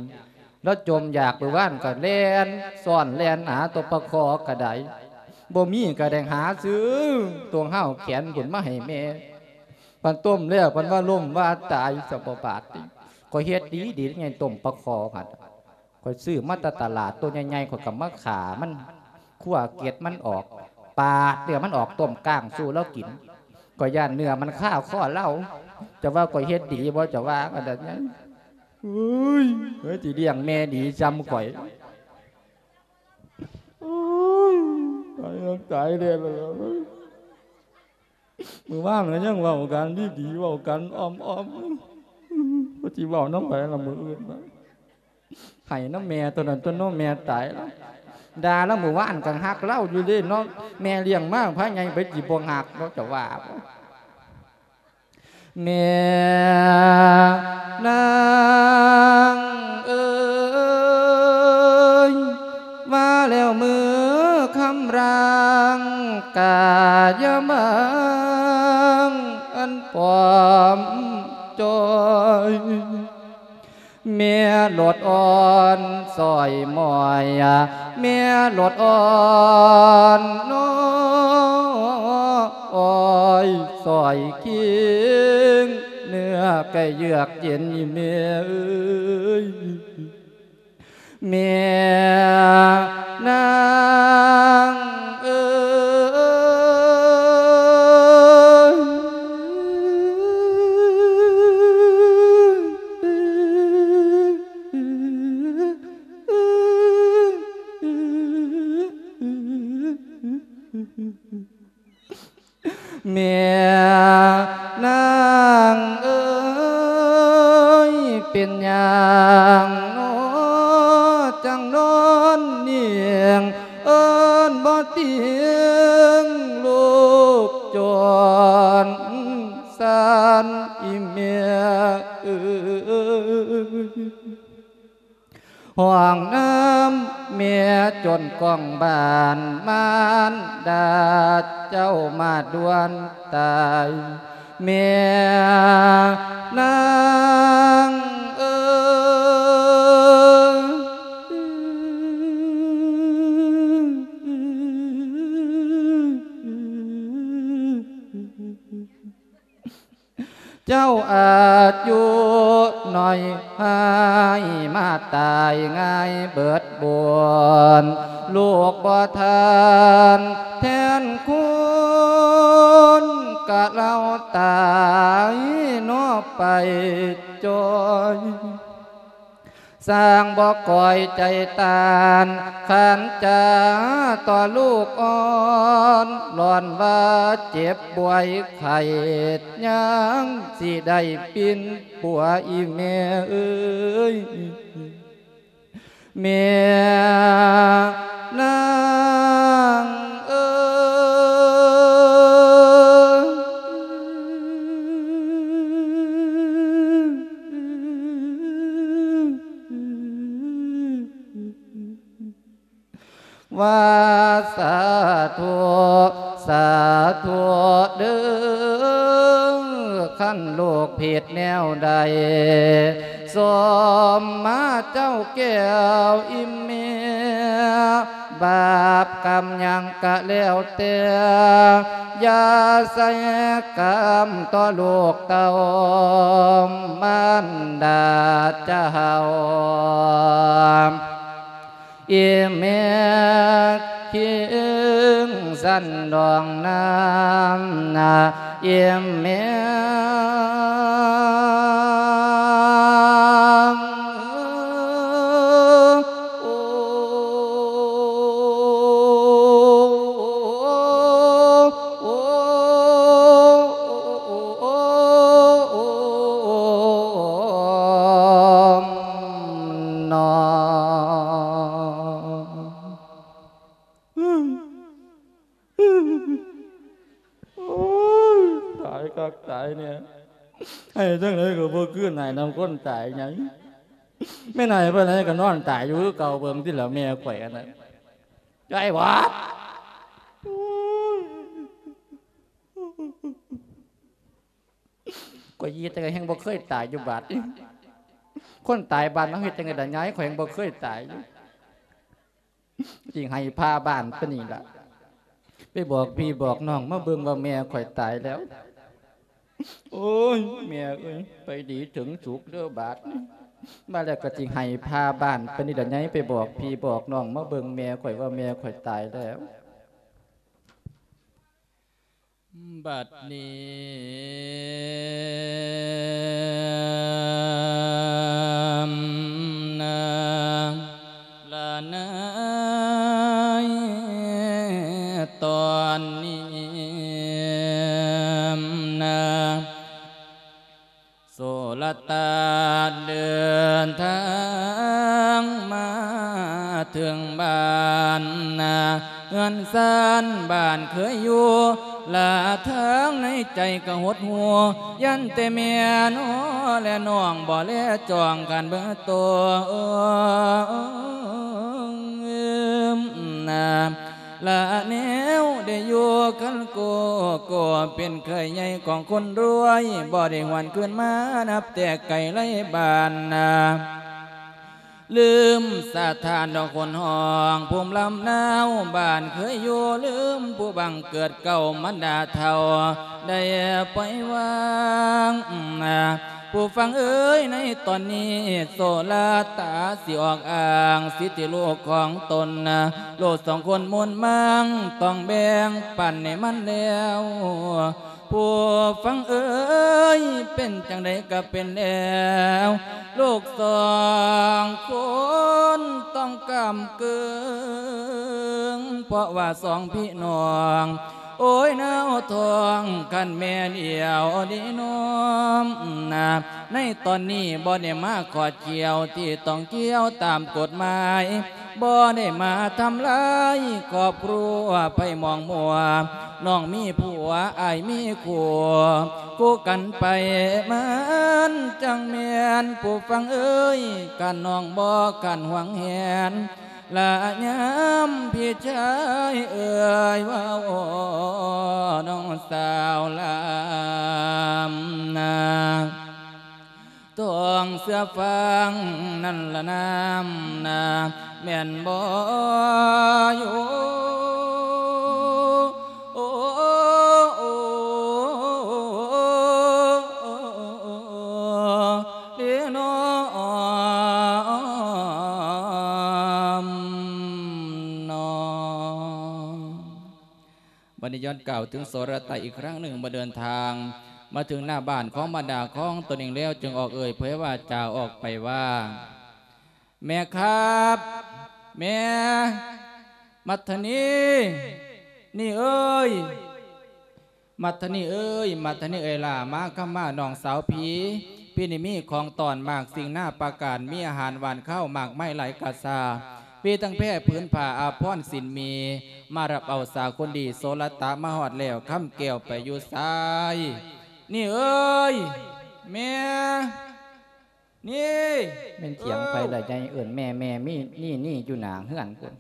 ລາວຈົມຢາກມື້ວານກໍແລ່ນຊ້ອນແລ່ນຫາຕົວປາຄໍກໍໄດ້ ບໍ່ມີກໍໄດ້ຫາຊື້ຕົວຫ້າວແຂນພຸ້ນມາໃຫ້ແມ່ ພັນຕົ້ມແລ້ວພັນວ່າລົ້ມວ່າຕາຍ ສະບໍ່ບາດນີ້ ຂ້ອຍເຮັດດີໆ ໃຫຍ່ ຕົ້ມປາຄໍຫັ້ນ ຂ້ອຍຊື້ມາແຕ່ຕະຫຼາດ ໂຕໃຫຍ່ໆ ຂ້ອຍກໍມາຂ້າມັນ ຄົ່ວເກັດມັນອອກ ປາດເນື້ອມັນອອກ ຕົ້ມກ້າງສູ່ລາວກິນ ຂ້ອຍຢ້ານເນື້ອມັນຄາຄໍລາວ ເຈົ້າວ່າຂ້ອຍເຮັດດີບໍ່ ເຈົ້າວ່າອັນນັ້ນ ເອີຍ ເອີຍ ຊິລ້ຽງແມ່ດີຊ່ຳຂ້ອຍ ໂອ້ຍ ຕາຍແລ້ວ ຕາຍແລ້ວ ມື້ວານກໍຍັງເວົ້າກັນດີໆ ເວົ້າກັນອ້ອມໆ ວ່າຊິເວົ້ານຳໃຜລະມື້ອື່ນນະ ໃຫ້ນຳແມ່ຕົວນັ້ນຕົວເນາະ ແມ່ຕາຍລະ ດ່າລະມື້ວານກໍຮັກລາວຢູ່ເດ້ເນາະ ແມ່ລ້ຽງມາພາໃຫຍ່ ໄປຊິບໍ່ຮັກເນາະ ເຈົ້າວ່າບໍ່ ແມ່ນາງເອີຍ ວ່າແລ້ວມື້ຄຳລາງ ກະຢ່າມາງອັນປອມຈ່ອຍ ແມ່ຫຼົດອ່ອນຊ່ອຍໝ້ອຍ ແມ່ຫຼົດອ່ອນໜໍ ອ້ອຍຊ່ອຍຄີງ ເນື້ອໄກ່ເຍືອກເຢັນອີ່ແມ່ເອີຍ ແມ່ນາງເອີຍ. ແມ່ນາງເອີຍ ເປັນຫຍັງໜໍ ຈັ່ງນອນໜິງ ເອີ້ນບໍ່ຕິງລູກຈົນສັນ ອີແມ່ເອີຍ. ຮ້ອງນຳແມ່ຈົນກ້ອງບ້ານ ມານດາເຈົ້າມາດ່ວນຕາຍ ແມ່ນາງເອີຍ. ເຈົ້າອາຍຸໜ້ອຍ ຫາຍມາຕາຍງ່າຍເບິດບຸນ ລູກບໍ່ທັນແທນຄຸນ ກະລາວຕາຍເນາະໄປຈ່ອຍ. ຊ່າງບໍ່ກ່ອຍໃຈຕ້ານ ຂັນຈາຕໍ່ລູກອ່ອນ ລ້ອນວ່າເຈັບປ່ວຍໄຂ້ ຍັງຊິໄດ້ປິ່ນປົວອີແມ່ເອີຍ ແມ່ນາງເອີຍ. ວ່າສາທຸ ສາທຸເດີ້ ຄັນລູກຜິດແນວໃດ ສົມມາເຈົ້າແກ້ວອີແມ່ ບາບກຳຫຍັງກະແລ້ວແຕ່ ຢ່າໃສ່ກຳຕໍ່ລູກເຕົ້າມານດາເຈົ້າ. ອີແມ່ຄິງສັນດອງນ້ຳນາ ອີແມ່ ຕາຍຄັກຕາຍແນ່ ໄຫ້ຈັ່ງໃດກໍບໍ່ຄືນໄຫ້ນຳຄົນຕາຍຫຍັງ. ແມ່ນໄຫ້ປານໃດກໍນອນຕາຍຢູ່ຄືເກົ່າ. ເບິ່ງຕິລະແມ່ຂ້ອຍອັນນັ້ນ ຍາຍຫວາດ ໂອ້ຍ ຂ້ອຍເຮັດຈັ່ງໃດແຮ່ງບໍ່ເຄີຍຕາຍຢູ່ບາດນີ້. ຄົນຕາຍບ້ານເຮົາເຮັດຈັ່ງໃດລະຍາຍ ຂ້ອຍຍັງບໍ່ເຄີຍຕາຍຢູ່. ຊິໃຫ້ພາບ້ານປານນີ້ລະ ໄປບອກພີ່ບອກນ້ອງມາເບິ່ງວ່າແມ່ຂ້ອຍຕາຍແລ້ວ. ໂອ້ຍ ແມ່ເອີຍ ໄປດີເຖິງສຸກເດີບາດນີ້. ມາແລ້ວກໍຊິໃຫ້ພາບ້ານປານນີ້ລະຍາຍ ໄປບອກພີ່ບອກນ້ອງມາເບິ່ງແມ່ຂ້ອຍວ່າແມ່ຂ້ອຍຕາຍແລ້ວ. ບັດນີ້ນາ ລະນາຍ ຕອນນີ້ນາ ໂສລະຕາເດີນທາງມາເຖິງບ້ານນາ ເຮືອນຊານບ້ານເຄີຍຢູ່ ລະທາງໃນໃຈກໍຫົດຫູ່ ຢ້ານແຕ່ແມ່ນອ ແລະນ້ອງບໍ່ແລຈ້ອງກັນເບິ່ງໂຕນາ ລະແນວໄດ້ຢູ່ກັນໂກໂກ ເປັນເຂີຍໃຫຍ່ຂອງຄົນລວຍ ບໍ່ໄດ້ຫວນຄືນມານັບແຕ່ໄກໄລບ້ານນາ ລືມສະຖານດອກຄົນຮ້ອງພູມລຳນາວບ້ານເຄີຍຢູ່ ລືມຜູ້ບັງເກີດເກົ່າມັນດາເຖົ້າໄດ້ປ່ອຍວາງນາ ຜູ້ຟັງເອີຍ ໃນຕອນນີ້ໂສລະຕາຊິອອກອ້າງສິດທິລູກຂອງຕົນນາ ລູກສອງຄົນມູນມັງຕ້ອງແບ່ງປັນໃຫ້ມັນແລ້ວ ຜູ້ຟັງເອີຍ ເປັນຈັ່ງໃດກໍເປັນແລ້ວ ລູກສອງຄົນຕ້ອງກ້ຳເກີງ ເພາະວ່າສອງພີ່ນ້ອງ ໂອ້ຍ ນາວທອງ ຄັນແມ່ນດຽວນີ້ນ້ອມນາ ໃນຕອນນີ້ບໍ່ໄດ້ມາຂອດຂຽວທີ່ຕ້ອງກ່ຽວຕາມກົດໝາຍ ບໍ່ໄດ້ມາທຳລາຍຄອບຄົວໃຜໝອງມົວ ນ້ອງມີຜົວ ອ້າຍມີຄູ່ ຄູ່ກັນໄປ ມັນຈັ່ງແມ່ນ ຜູ້ຟັງເອີຍ ຄັນນ້ອງບໍ່ຄັນຫວງແຫນ ລະຍາມພີ່ຊາຍເອີຍ ເວົ້ານ້ອງສາວລຳນາ ຕ້ອງເຊື່ອຟັງນັ້ນລະນາ ນາ ແມ່ນບໍ່ຢູ່ ໂອ ໂອ ເດນ້ອມນອ. ບັດນີ້ຍ້ອນກ່າວເຖິງໂສລະຕາອີກຄັ້ງໜຶ່ງ ເມື່ອເດີນທາງມາເຖິງໜ້າບ້ານຂອງມາດາຂອງຕົນເອງແລ້ວ ຈຶ່ງອອກເອີ່ຍເຜີຍວາຈາອອກໄປວ່າ ແມ່ຄັບ ແມ່ ມັດທະນີ ນີເອີຍ ມັດທະນີເອີຍ ມັດທະນີເອີຍຫຼ້າ ມາຄຳມານ້ອງສາວພີ່ ພີ່ນີ້ມີຂອງຕ້ອນມາກສິ່ງນາປະການ ມີອາຫານຫວານຄາວມາກມາຍຫຼາຍກະຊາ ມີທັງແພຜືນຜ້າອາພອນສິນມີ ມາຮັບເອົາສາຄົນດີໂສລະຕາມາຮອດແລ້ວ ຄຳແກ້ວໄປຢູ່ໃສ ນີເອີຍ ແມ່ ນີ ແມ່ນສຽງໃຜລະໃຫຍ່ເອີ້ນແມ່ ແມ່ ມີ ນີ ນີ ຢູ່ໜ້າເຮືອນພຸ້ນ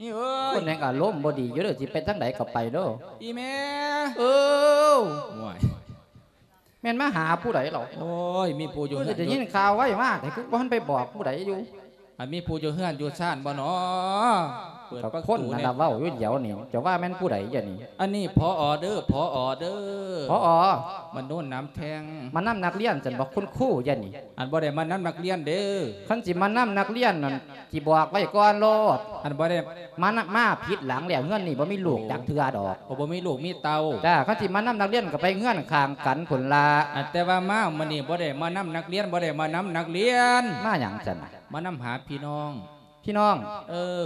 ນີເອີຍ ຄົນແຮ່ງອາລົມບໍ່ດີຢູ່ເດີ ຊິໄປທາງໃດກໍໄປໂລດ ອີແມ່ ເອີ ໂອ້ຍ ແມ່ນມາຫາຜູ້ໃດເຫຼົ່າ ໂອ້ຍ ມີຜູ້ຢູ່ເຮືອນ ໄດ້ຍິນຂ່າວໄວມາ ແຕ່ຄືບໍ່ທັນໄປບອກຜູ້ໃດຢູ່ ອັນມີຜູ້ຢູ່ເຮືອນຢູ່ຊານບໍ່ນໍ ເປີດປະຕູແດ່ ກໍຄົນນັ້ນລະເວົ້າຢູ່ດຽວນີ້ ເຈົ້າວ່າແມ່ນຜູ້ໃດດຽວນີ້? ອັນນີ້ ຜອ ເດີ ຜອ ເດີ ຜອ ມາໂນນນຳແທ່ງ ມານຳນັກຮຽນຊັ້ນບໍ? ຄຸນຄູດຽວນີ້ ອັນບໍ່ໄດ້ມານຳນັກຮຽນເດີ. ຄັນຊິມານຳນັກຮຽນນັ້ນ ຊິບອກໄວ້ກ່ອນໂລດ ອັນບໍ່ໄດ້ ມານຳ ມາຜິດຫຼັງແລ້ວ. ເຮືອນນີ້ບໍ່ມີລູກຈັກເທື່ອດອກ. ໂອ້ ບໍ່ມີລູກມີເຕົ້າ. ຈ້າ ຄັນຊິມານຳນັກຮຽນກໍໄປເຮືອນຂ້າງກັນພຸ້ນລະ. ອັນແຕ່ວ່າມາມື້ນີ້ບໍ່ໄດ້ມານຳນັກຮຽນ ບໍ່ໄດ້ມານຳນັກຮຽນ. ມາຫຍັງຊັ້ນ? ມານຳຫາພີ່ນ້ອງ. ພີ່ນ້ອງ? ເອີ.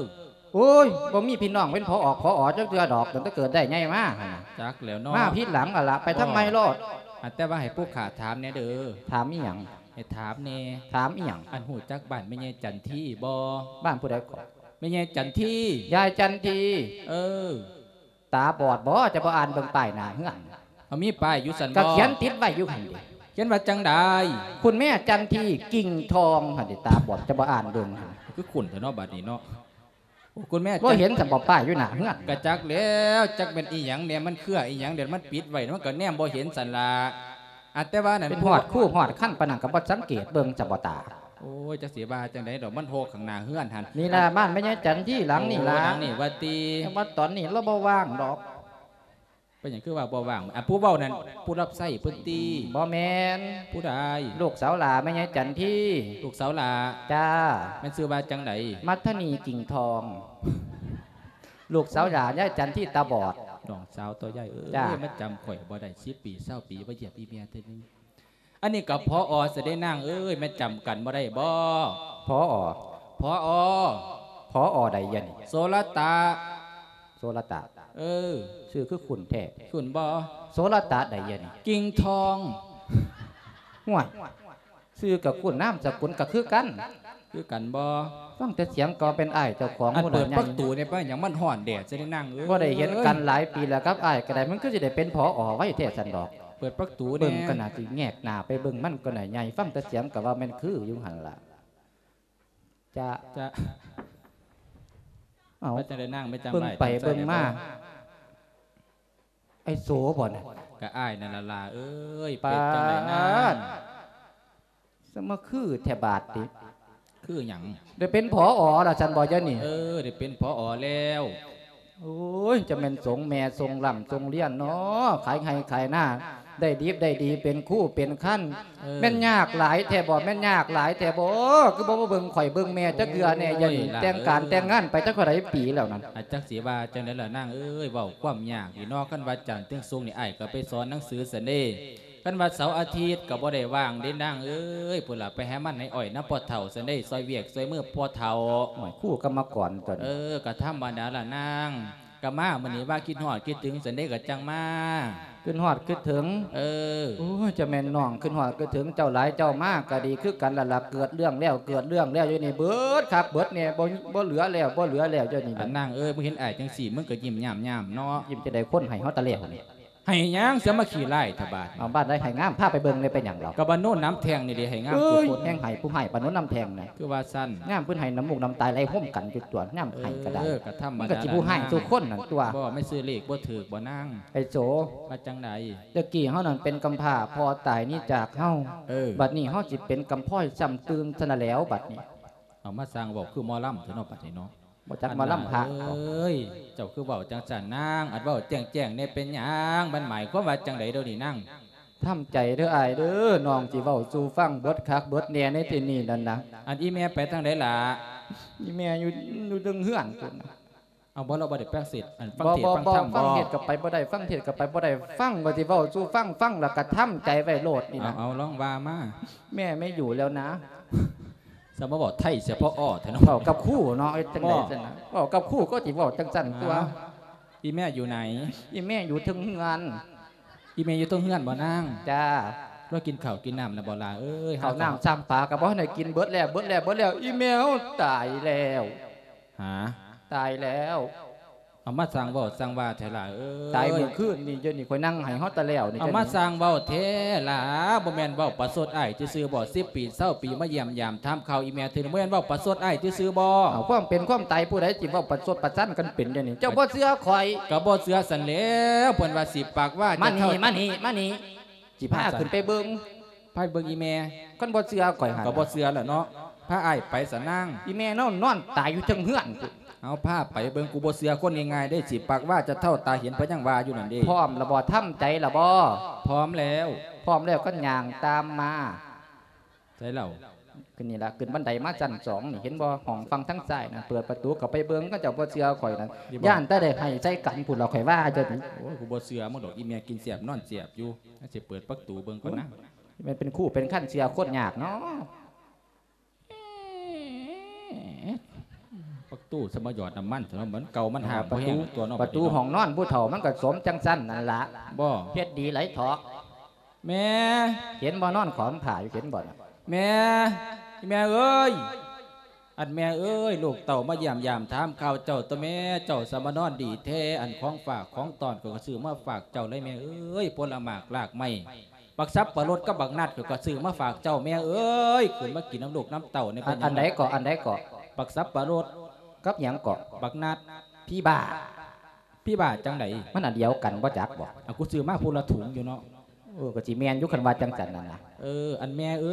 ໂອ້ຍ ບໍ່ມີພີ່ນ້ອງເປັນ ຜອ ຜອ ຈັກເທື່ອດອກ ຕັ້ງແຕ່ເກີດໄດ້ໃຫຍ່ມາຫັ້ນນະ. ຈັກແລ້ວເນາະ ມາຜິດຫຼັງຫັ້ນລະ. ໄປທາງໃໝ່ໂລດ. ອັນແຕ່ວ່າໃຫ້ຜູ້ຂ້າຖາມແດ່ເດີ. ຖາມອີ່ຫຍັງ? ໃຫ້ຖາມແດ່. ຖາມອີ່ຫຍັງ? ອັນຮູ້ຈັກບ້ານແມ່ໃຫຍ່ຈັນທີບໍ່? ບ້ານຜູ້ໃດເກາະ? ແມ່ໃຫຍ່ຈັນທີ. ຍາຍຈັນທີ? ເອີ. ຕາບອດບໍ? ຈະບໍ່ອ່ານເບິ່ງປ້າຍໜ້າເຮືອນ? ເອົາ ມີປ້າຍຢູ່ຊັ້ນບໍ? ກໍຂຽນຕິດໄວ້ຢູ່ຫັ້ນເດ. ຂຽນວ່າຈັ່ງໃດ? ຄຸນແມ່ຈັນທີ ກິ່ງທອງ ຫັ້ນເດ. ຕາບອດ ຈະບໍ່ອ່ານເບິ່ງ. ຄືຄຸ້ນແທ້ເນາະ ບາດນີ້ເນາະ. ໂອ້ ຄຸນແມ່ ບໍ່ເຫັນຊັ້ນບໍ ປ້າຍຢູ່ໜ້າເຮືອນ? ກະຈັກແລ້ວ ຈັກແມ່ນອີ່ຫຍັງແດ່ ມັນເຄືອອີ່ຫຍັງແດ່ ມັນປິດໄວ້ ມັນກໍແນມບໍ່ເຫັນຊັ້ນລະ. ອັນແຕ່ວ່ານັ້ນ ເປັນຮອດຄູຮອດຄັນປານນັ້ນ ກໍບໍ່ສັງເກດເບິ່ງຊັ້ນບໍຕາ? ໂອ້ຍ ຈັກຊິວ່າຈັ່ງໃດດອກ ມັນໂຮກຂ້າງໜ້າເຮືອນຫັ້ນ. ນີ້ລະ ອັນ ບ້ານແມ່ໃຫຍ່ຈັນທີຫຼັງນີ້ລະ. ໂອ້ ຫຼັງນີ້ວ່າຕິ? ແຕ່ວ່າຕອນນີ້ລາວບໍ່ວ່າງດອກ. ເປັນຫຍັງຄືວ່າບໍ່ວ່າງ? ອັນຜູ້ເວົ້ານັ້ນ ຜູ້ຮັບໃຊ້ເພິ່ນຕິ? ບໍ່ແມ່ນ. ຜູ້ໃດ? ລູກສາວຫຼ້າແມ່ໃຫຍ່ຈັນທີ. ລູກສາວຫຼ້າ? ຈ້າ. ແມ່ນຊື່ວ່າຈັ່ງໃດ? ມັດທະນີ ກິ່ງທອງ. ລູກສາວຫຼ້າຍາຍຈັນທີຕາບອດ. ນ້ອງສາວຕົວໃຫຍ່ເອີຍ. ຈ້າ. ມາຈຳຂ້ອຍບໍ່ໄດ້ ສິບປີ ຊາວປີ ມາຢ້ຽມອີ່ແມ່ເທື່ອໜຶ່ງ. ອັນນີ້ກໍ ຜອ ຊະເດນາງເອີຍ ແມ່ນຈຳກັນບໍ່ໄດ້ບໍ? ຜອ ຜອ ຜອ ໃດຍະນີ້? ໂສລະຕະ. ໂສລະຕະ? ເອີ. ຊື່ຄືຄຸ້ນແທ້. ຄຸ້ນບໍ? ໂສລະຕະໃດຍະນີ້? ກິ່ງທອງ. ຫ້ວຍ ຊື່ກໍຄຸ້ນ ນາມສະກຸນກໍຄືກັນ. ຄືກັນບໍ? ຟັງແຕ່ສຽງກໍເປັນອ້າຍເຈົ້າຂອງ. ອັນ ເປີດປະຕູນີ້ ເປັນຫຍັງມັນຮ້ອນແດ່ຊະເດນາງເອີຍ? ບໍ່ໄດ້ເຫັນກັນຫຼາຍປີແລ້ວກັບອ້າຍກໍໄດ້ ມັນຄືຊິໄດ້ເປັນ ຜອ ໄວແທ້ຊັ້ນດອກ. ເປີດປະຕູແດ່. ເບິ່ງກໍໜ້າຊິແຍກໜ້າໄປເບິ່ງ ມັນກໍໜ້າໃຫຍ່ ຟັງແຕ່ສຽງກໍວ່າແມ່ນຄືຢູ່ຫັ້ນລະ. ຈະ ຈະ ເອົ້າ ວ່າຈັ່ງໃດນາງ? ແມ່ນຈັ່ງໃດ? ເບິ່ງໄປເບິ່ງມາ ອ້າຍໂສບໍນະ? ກະອ້າຍນັ້ນລະຫຼ້າເອີຍ. ເປັນຈັ່ງໃດນາງ? ສະມາຄືແທ້ບາດນີ້. ຄືຫຍັງ? ໄດ້ເປັນ ຜອ ລະຊັ້ນບໍ ດຽວນີ້? ເອີ ໄດ້ເປັນ ຜອ ແລ້ວ. ໂອ້ຍ ຈະແມ່ນສົມແມ່ສົມລ່ຳສົມລຽນເນາະ ຂາຍໄຮ່ຂາຍນາ ໄດ້ດິບໄດ້ດີ ເປັນຄູເປັນຄັນ. ເອີ ແມ່ນຍາກຫຼາຍແທ້ບໍ? ແມ່ນຍາກຫຼາຍແທ້ບໍ? ຄືບໍ່ມາເບິ່ງຂ້ອຍເບິ່ງແມ່ຈັກເທື່ອແດ່ ໂອ້ຍ ດຽວນີ້. ຫຼ້າເອີຍ ແຕ່ງການແຕ່ງງານໄປຈັກເທົ່າໃດປີແລ້ວນັ້ນ. ອາ ຈັກຊິວ່າຈັ່ງໃດລະນາງເອີຍ ເວົ້າຄວາມຍາກນີ້ເນາະ. ຄັນວ່າຈັນເຖິງສຸກນີ້ ອ້າຍກໍໄປສອນໜັງສືຊັ້ນເດ. ຄັນວ່າເສົາອາທິດກໍບໍ່ໄດ້ວ່າງເດ້ນາງເອີຍ. ພຸ້ນລະ ໄປໃຫ້ມັນໃຫ້ອ້ອຍນຳພໍ່ເຖົ້າຊັ້ນເດ້ ຊ່ອຍວຽກຊ່ອຍມືພໍ່ເຖົ້າ. ໂອ້ຍ ຄູກຳມະກອນຕົວນີ້. ເອີ ກໍທຳມະດາລະນາງ. ກໍມາມື້ນີ້ວ່າຄິດຮອດຄິດເຖິງຊັ້ນເດ້ ກໍຈັ່ງມາ. ຄິດຮອດຄິດເຖິງ? ເອີ. ໂອ້ຍ ຈະແມ່ນນ້ອງຄິດຮອດຄິດເຖິງເຈົ້າຫຼາຍ ເຈົ້າມາກໍດີຄືກັນລະລະ. ເກີດເລື່ອງແລ້ວເກີດເລື່ອງແລ້ວ ຢູ່ນີ້ເບິດຄັກເບິດແນ່ ບໍ່ ບໍ່ເຫຼືອແລ້ວ ບໍ່ເຫຼືອແລ້ວ ຢູ່ນີ້. ອັນນາງເອີຍ ມຶງເຫັນອ້າຍຈັ່ງຊີ້ ມຶງກໍຍິ້ມຍາມໆເນາະ. ຍິ້ມຈັ່ງໃດ ຄົນໃຫ້ເຮົາຕະແລ້ວນີ້. ໃຫ້ຫຍັງ ສາມັກຄີຫຼາຍແທ້ບາດນີ້? ເອົາ ບ້ານໃດໃຫ້ງາມ ພາໄປເບິ່ງແດ່ ເປັນຫຍັງດອກ? ກໍບ້ານໂນນນ້ຳແທງນີ້ເດ້ ໃຫ້ງາມ ເອີຍ ທຸກຄົນ. ແຮງໃຫ້ຜູ້ໃຫ້ ບ້ານໂນນນ້ຳແທງນະ. ຄືວ່າຊັ້ນ? ຍາມເພິ່ນໃຫ້ ນ້ຳມູກນ້ຳຕາໄຫຼໂຮມກັນຢູ່ຕົວະ ຍາມໃຫ້ກໍໄດ້. ເອີ ກໍທຳມະດາ ມັນກໍຊິຜູ້ໃຫ້ທຸກຄົນນັ້ນຕົວະ. ບໍ່ ແມ່ນຊື້ເລກບໍ່ຖືກບໍ່ນາງ? ໄອ້ໂສ ວ່າຈັ່ງໃດ? ແຕ່ກີ້ເຮົານັ້ນເປັນກຳພ້າ ພໍ່ຕາຍໜີຈາກເຮົາ. ເອີ ບັດນີ້ເຮົາຊິເປັນກຳພ້ອຍຊ້ຳຕື່ມຊັ້ນລະແລ້ວ ບັດນີ້. ເອົາ ມາສ້າງເວົ້າຄືໝໍລຳແທ້ເນາະ ບັດນີ້ເນາະ. ບໍ່ຈັກໝໍລຳພະ. ອັນນາງເອີຍ ເຈົ້າຄືເວົ້າຈັ່ງຊັ້ນນາງ? ອັນເວົ້າແຈ້ງໆແດ່ ເປັນຫຍັງ? ມັນໝາຍຄວາມວ່າຈັ່ງໃດດຽວນີ້ນາງ? ທຳໃຈເດີອ້າຍເດີ ນ້ອງຊິເວົ້າສູ່ຟັງເບິດຄັກເບິດແນ່ໃນທີ່ນີ້ນັ້ນນະ. ອັນອີ່ແມ່ໄປທາງໃດລະ? ອີ່ແມ່ຢູ່ ຢູ່ເທິງເຮືອນພຸ້ນ. ເອົາ ບໍ່ ລາວບໍ່ໄດ້ຟັງເທດ ອັນ ຟັງເທດ ບໍ່ ບໍ່ ຟັງທຳ ຟັງເທດກໍໄປບໍ່ໄດ້ ຟັງເທດກໍໄປບໍ່ໄດ້. ຟັງວ່າຊິເວົ້າສູ່ຟັງ ຟັງແລ້ວກໍທຳໃຈໄວ້ໂລດນີ້ນະ. ເອົາ ເອົາ ລອງວ່າມາ. ແມ່ໄມ່ຢູ່แล้วนะ. ສະມາເວົ້າໄທສະເພາະ ອໍ ແທ້ເນາະ. ເວົ້າກັບຄູເນາະ ເຮັດຈັ່ງໃດຊັ້ນນະ? ເວົ້າກັບຄູກໍຊິເວົ້າຈັ່ງຊັ້ນຕົວະ. ອີ່ແມ່ຢູ່ໃນ? ອີ່ແມ່ຢູ່ເທິງເຮືອນ. ອີ່ແມ່ຢູ່ເທິງເຮືອນບໍ່ນາງ? ຈ້າ. ລາວກິນເຂົ້າກິນນ້ຳແລ້ວບໍ່ຫຼ້າເອີຍ? ເຂົ້ານ້ຳຊ້ຳປາກໍບໍ່ທັນໄດ້ກິນ ເບິດແລ້ວ ເບິດແລ້ວ ເບິດແລ້ວ. ອີ່ແມ່ເຮົາຕາຍແລ້ວ. ຫາ? ຕາຍແລ້ວ. ເອົາ ມາສ້າງເວົ້າສ້າງວ່າແທ້ຫຼ້າເອີຍ. ຕາຍມື້ຄືນນີ້ ດຽວນີ້ຂ້ອຍນັ່ງໄຫ້ຮອດຕາແລ້ວນີ້. ເອົາ ມາສ້າງເວົ້າແທ້ຫຼ້າ ບໍ່ແມ່ນເວົ້າປະຊົດອ້າຍຊື່ໆບໍ? ສິບປີ ຊາວປີ ມາຢ້ຽມຢາມຖາມຂ່າວອີ່ແມ່ເທື່ອໜຶ່ງ ບໍ່ແມ່ນເວົ້າປະຊົດອ້າຍຊື່ໆບໍ? ເອົາ ຄວາມເປັນຄວາມຕາຍຜູ້ໃດຊິເວົ້າປະຊົດປະຊັນກັນເປັນດຽວນີ້? ເຈົ້າບໍ່ເຊື່ອຂ້ອຍ? ກໍບໍ່ເຊື່ອຊັ້ນແລ້ວ ເພິ່ນວ່າສິປາກວ່າ. ມານີ້ ມານີ້ ມານີ້ ຊິພາຂຶ້ນໄປເບິ່ງ. ພາໄປເບິ່ງອີ່ແມ່. ຄັນບໍ່ເຊື່ອຂ້ອຍຫັ້ນ ກໍບໍ່ເຊື່ອແຫຼະເນາະ. ພາອ້າຍໄປຊະນາງ. ອີ່ແມ່ນອນ ນອນຕາຍຢູ່ເທິງເຮືອນພຸ້ນ. ເອົາພາໄປເບິ່ງ ກູບໍ່ເຊື່ອຄົນງ່າຍໆເດ້ ຊິປາກວາຈະເທົ້າຕາເຫັນ ເພິ່ນຍັງວ່າຢູ່ນັ້ນເດ້. ພ້ອມລະບໍ່? ທຳໃຈລະບໍ່? ພ້ອມແລ້ວ. ພ້ອມແລ້ວກໍຍ່າງຕາມມາ. ໃສລາວ? ຂຶ້ນນີ້ລະ ຂຶ້ນບັນໄດມາຊັ້ນສອງນີ້ ເຫັນບໍ່? ຫ້ອງຝັ່ງທາງຊ້າຍນັ້ນ ເປີດປະຕູເຂົ້າໄປເບິ່ງ ເຂົາເຈົ້າບໍ່ເຊື່ອຂ້ອຍນັ້ນ ຢ້ານແຕ່ໄດ້ໄຫ້ໃສ່ກັນພຸ້ນລະ ຂ້ອຍວ່າເຈົ້ານີ້. ໂອ້ຍ ກູບໍ່ເຊື່ອມຶງດອກ ອີ່ແມ່ກິນແຊບນອນແຊບຢູ່. ຊິເປີດປະຕູເບິ່ງກ່ອນນະ. ແມ່ນເປັນຄູ່ເປັນຄັນເຊື່ອຄົນຍາກເນາະ. ປະຕູສະມາຢອດນ້ຳມັນເນາະ ມັນເກົ່າມັນຫ້າມ ປະຕູ ບໍ່ແຮງຕົວເນາະ ປະຕູຫ້ອງນອນຜູ້ເຖົ້າມັນກໍສົມຈັ່ງຊັ້ນນັ້ນລະ. ບໍ່ ເຮັດດີຫຼາຍເຖາະ. ແມ່ ເຫັນບໍ່? ນອນຂອມຜ້າຢູ່ ເຫັນບໍ່ນະ? ແມ່ ອີ່ແມ່ເອີຍ ອັນແມ່ເອີຍ ລູກເຕົ້າມາຢ້ຽມຢາມຖາມຂ່າວເຈົ້າຕົວະແມ່. ເຈົ້າສະມານອນດີແທ້ ອັນຂອງຝາກຂອງຕ້ອນຂ້ອຍກໍຊື້ມາຝາກເຈົ້າເລີຍແມ່ເອີຍ ຜົນລະໝາກລາກໄມ້ ບັກສັບປະລົດກັບບັກນັດ ຂ້ອຍກໍຊື້ມາຝາກເຈົ້າແມ່ເອີຍ. ຂຶ້ນມາກິນນຳລູກນຳເຕົ້າແດ່. ອັນ ເປັນຫຍັງ ອັນໃດເກາະ? ອັນໃດເກາະ? ບັກສັບປະລົດ. ກັບຫຍັງເກາະ? ບັກນັດ. ຜີບ້າ. ຜີບ້າຈັ່ງໃດ? ມັນອັນດຽວກັນບໍ່ຈັກບໍ່? ເອົາ ກູຊື້ມາຜູ້ລະຖົງຢູ່ເນາະ. ເອີ ກໍຊິແມ່ນຢູ່ ຄັນວ່າຈັ່ງຊັ້ນນັ້ນນະ. ເອີ ອັນແມ່ເອ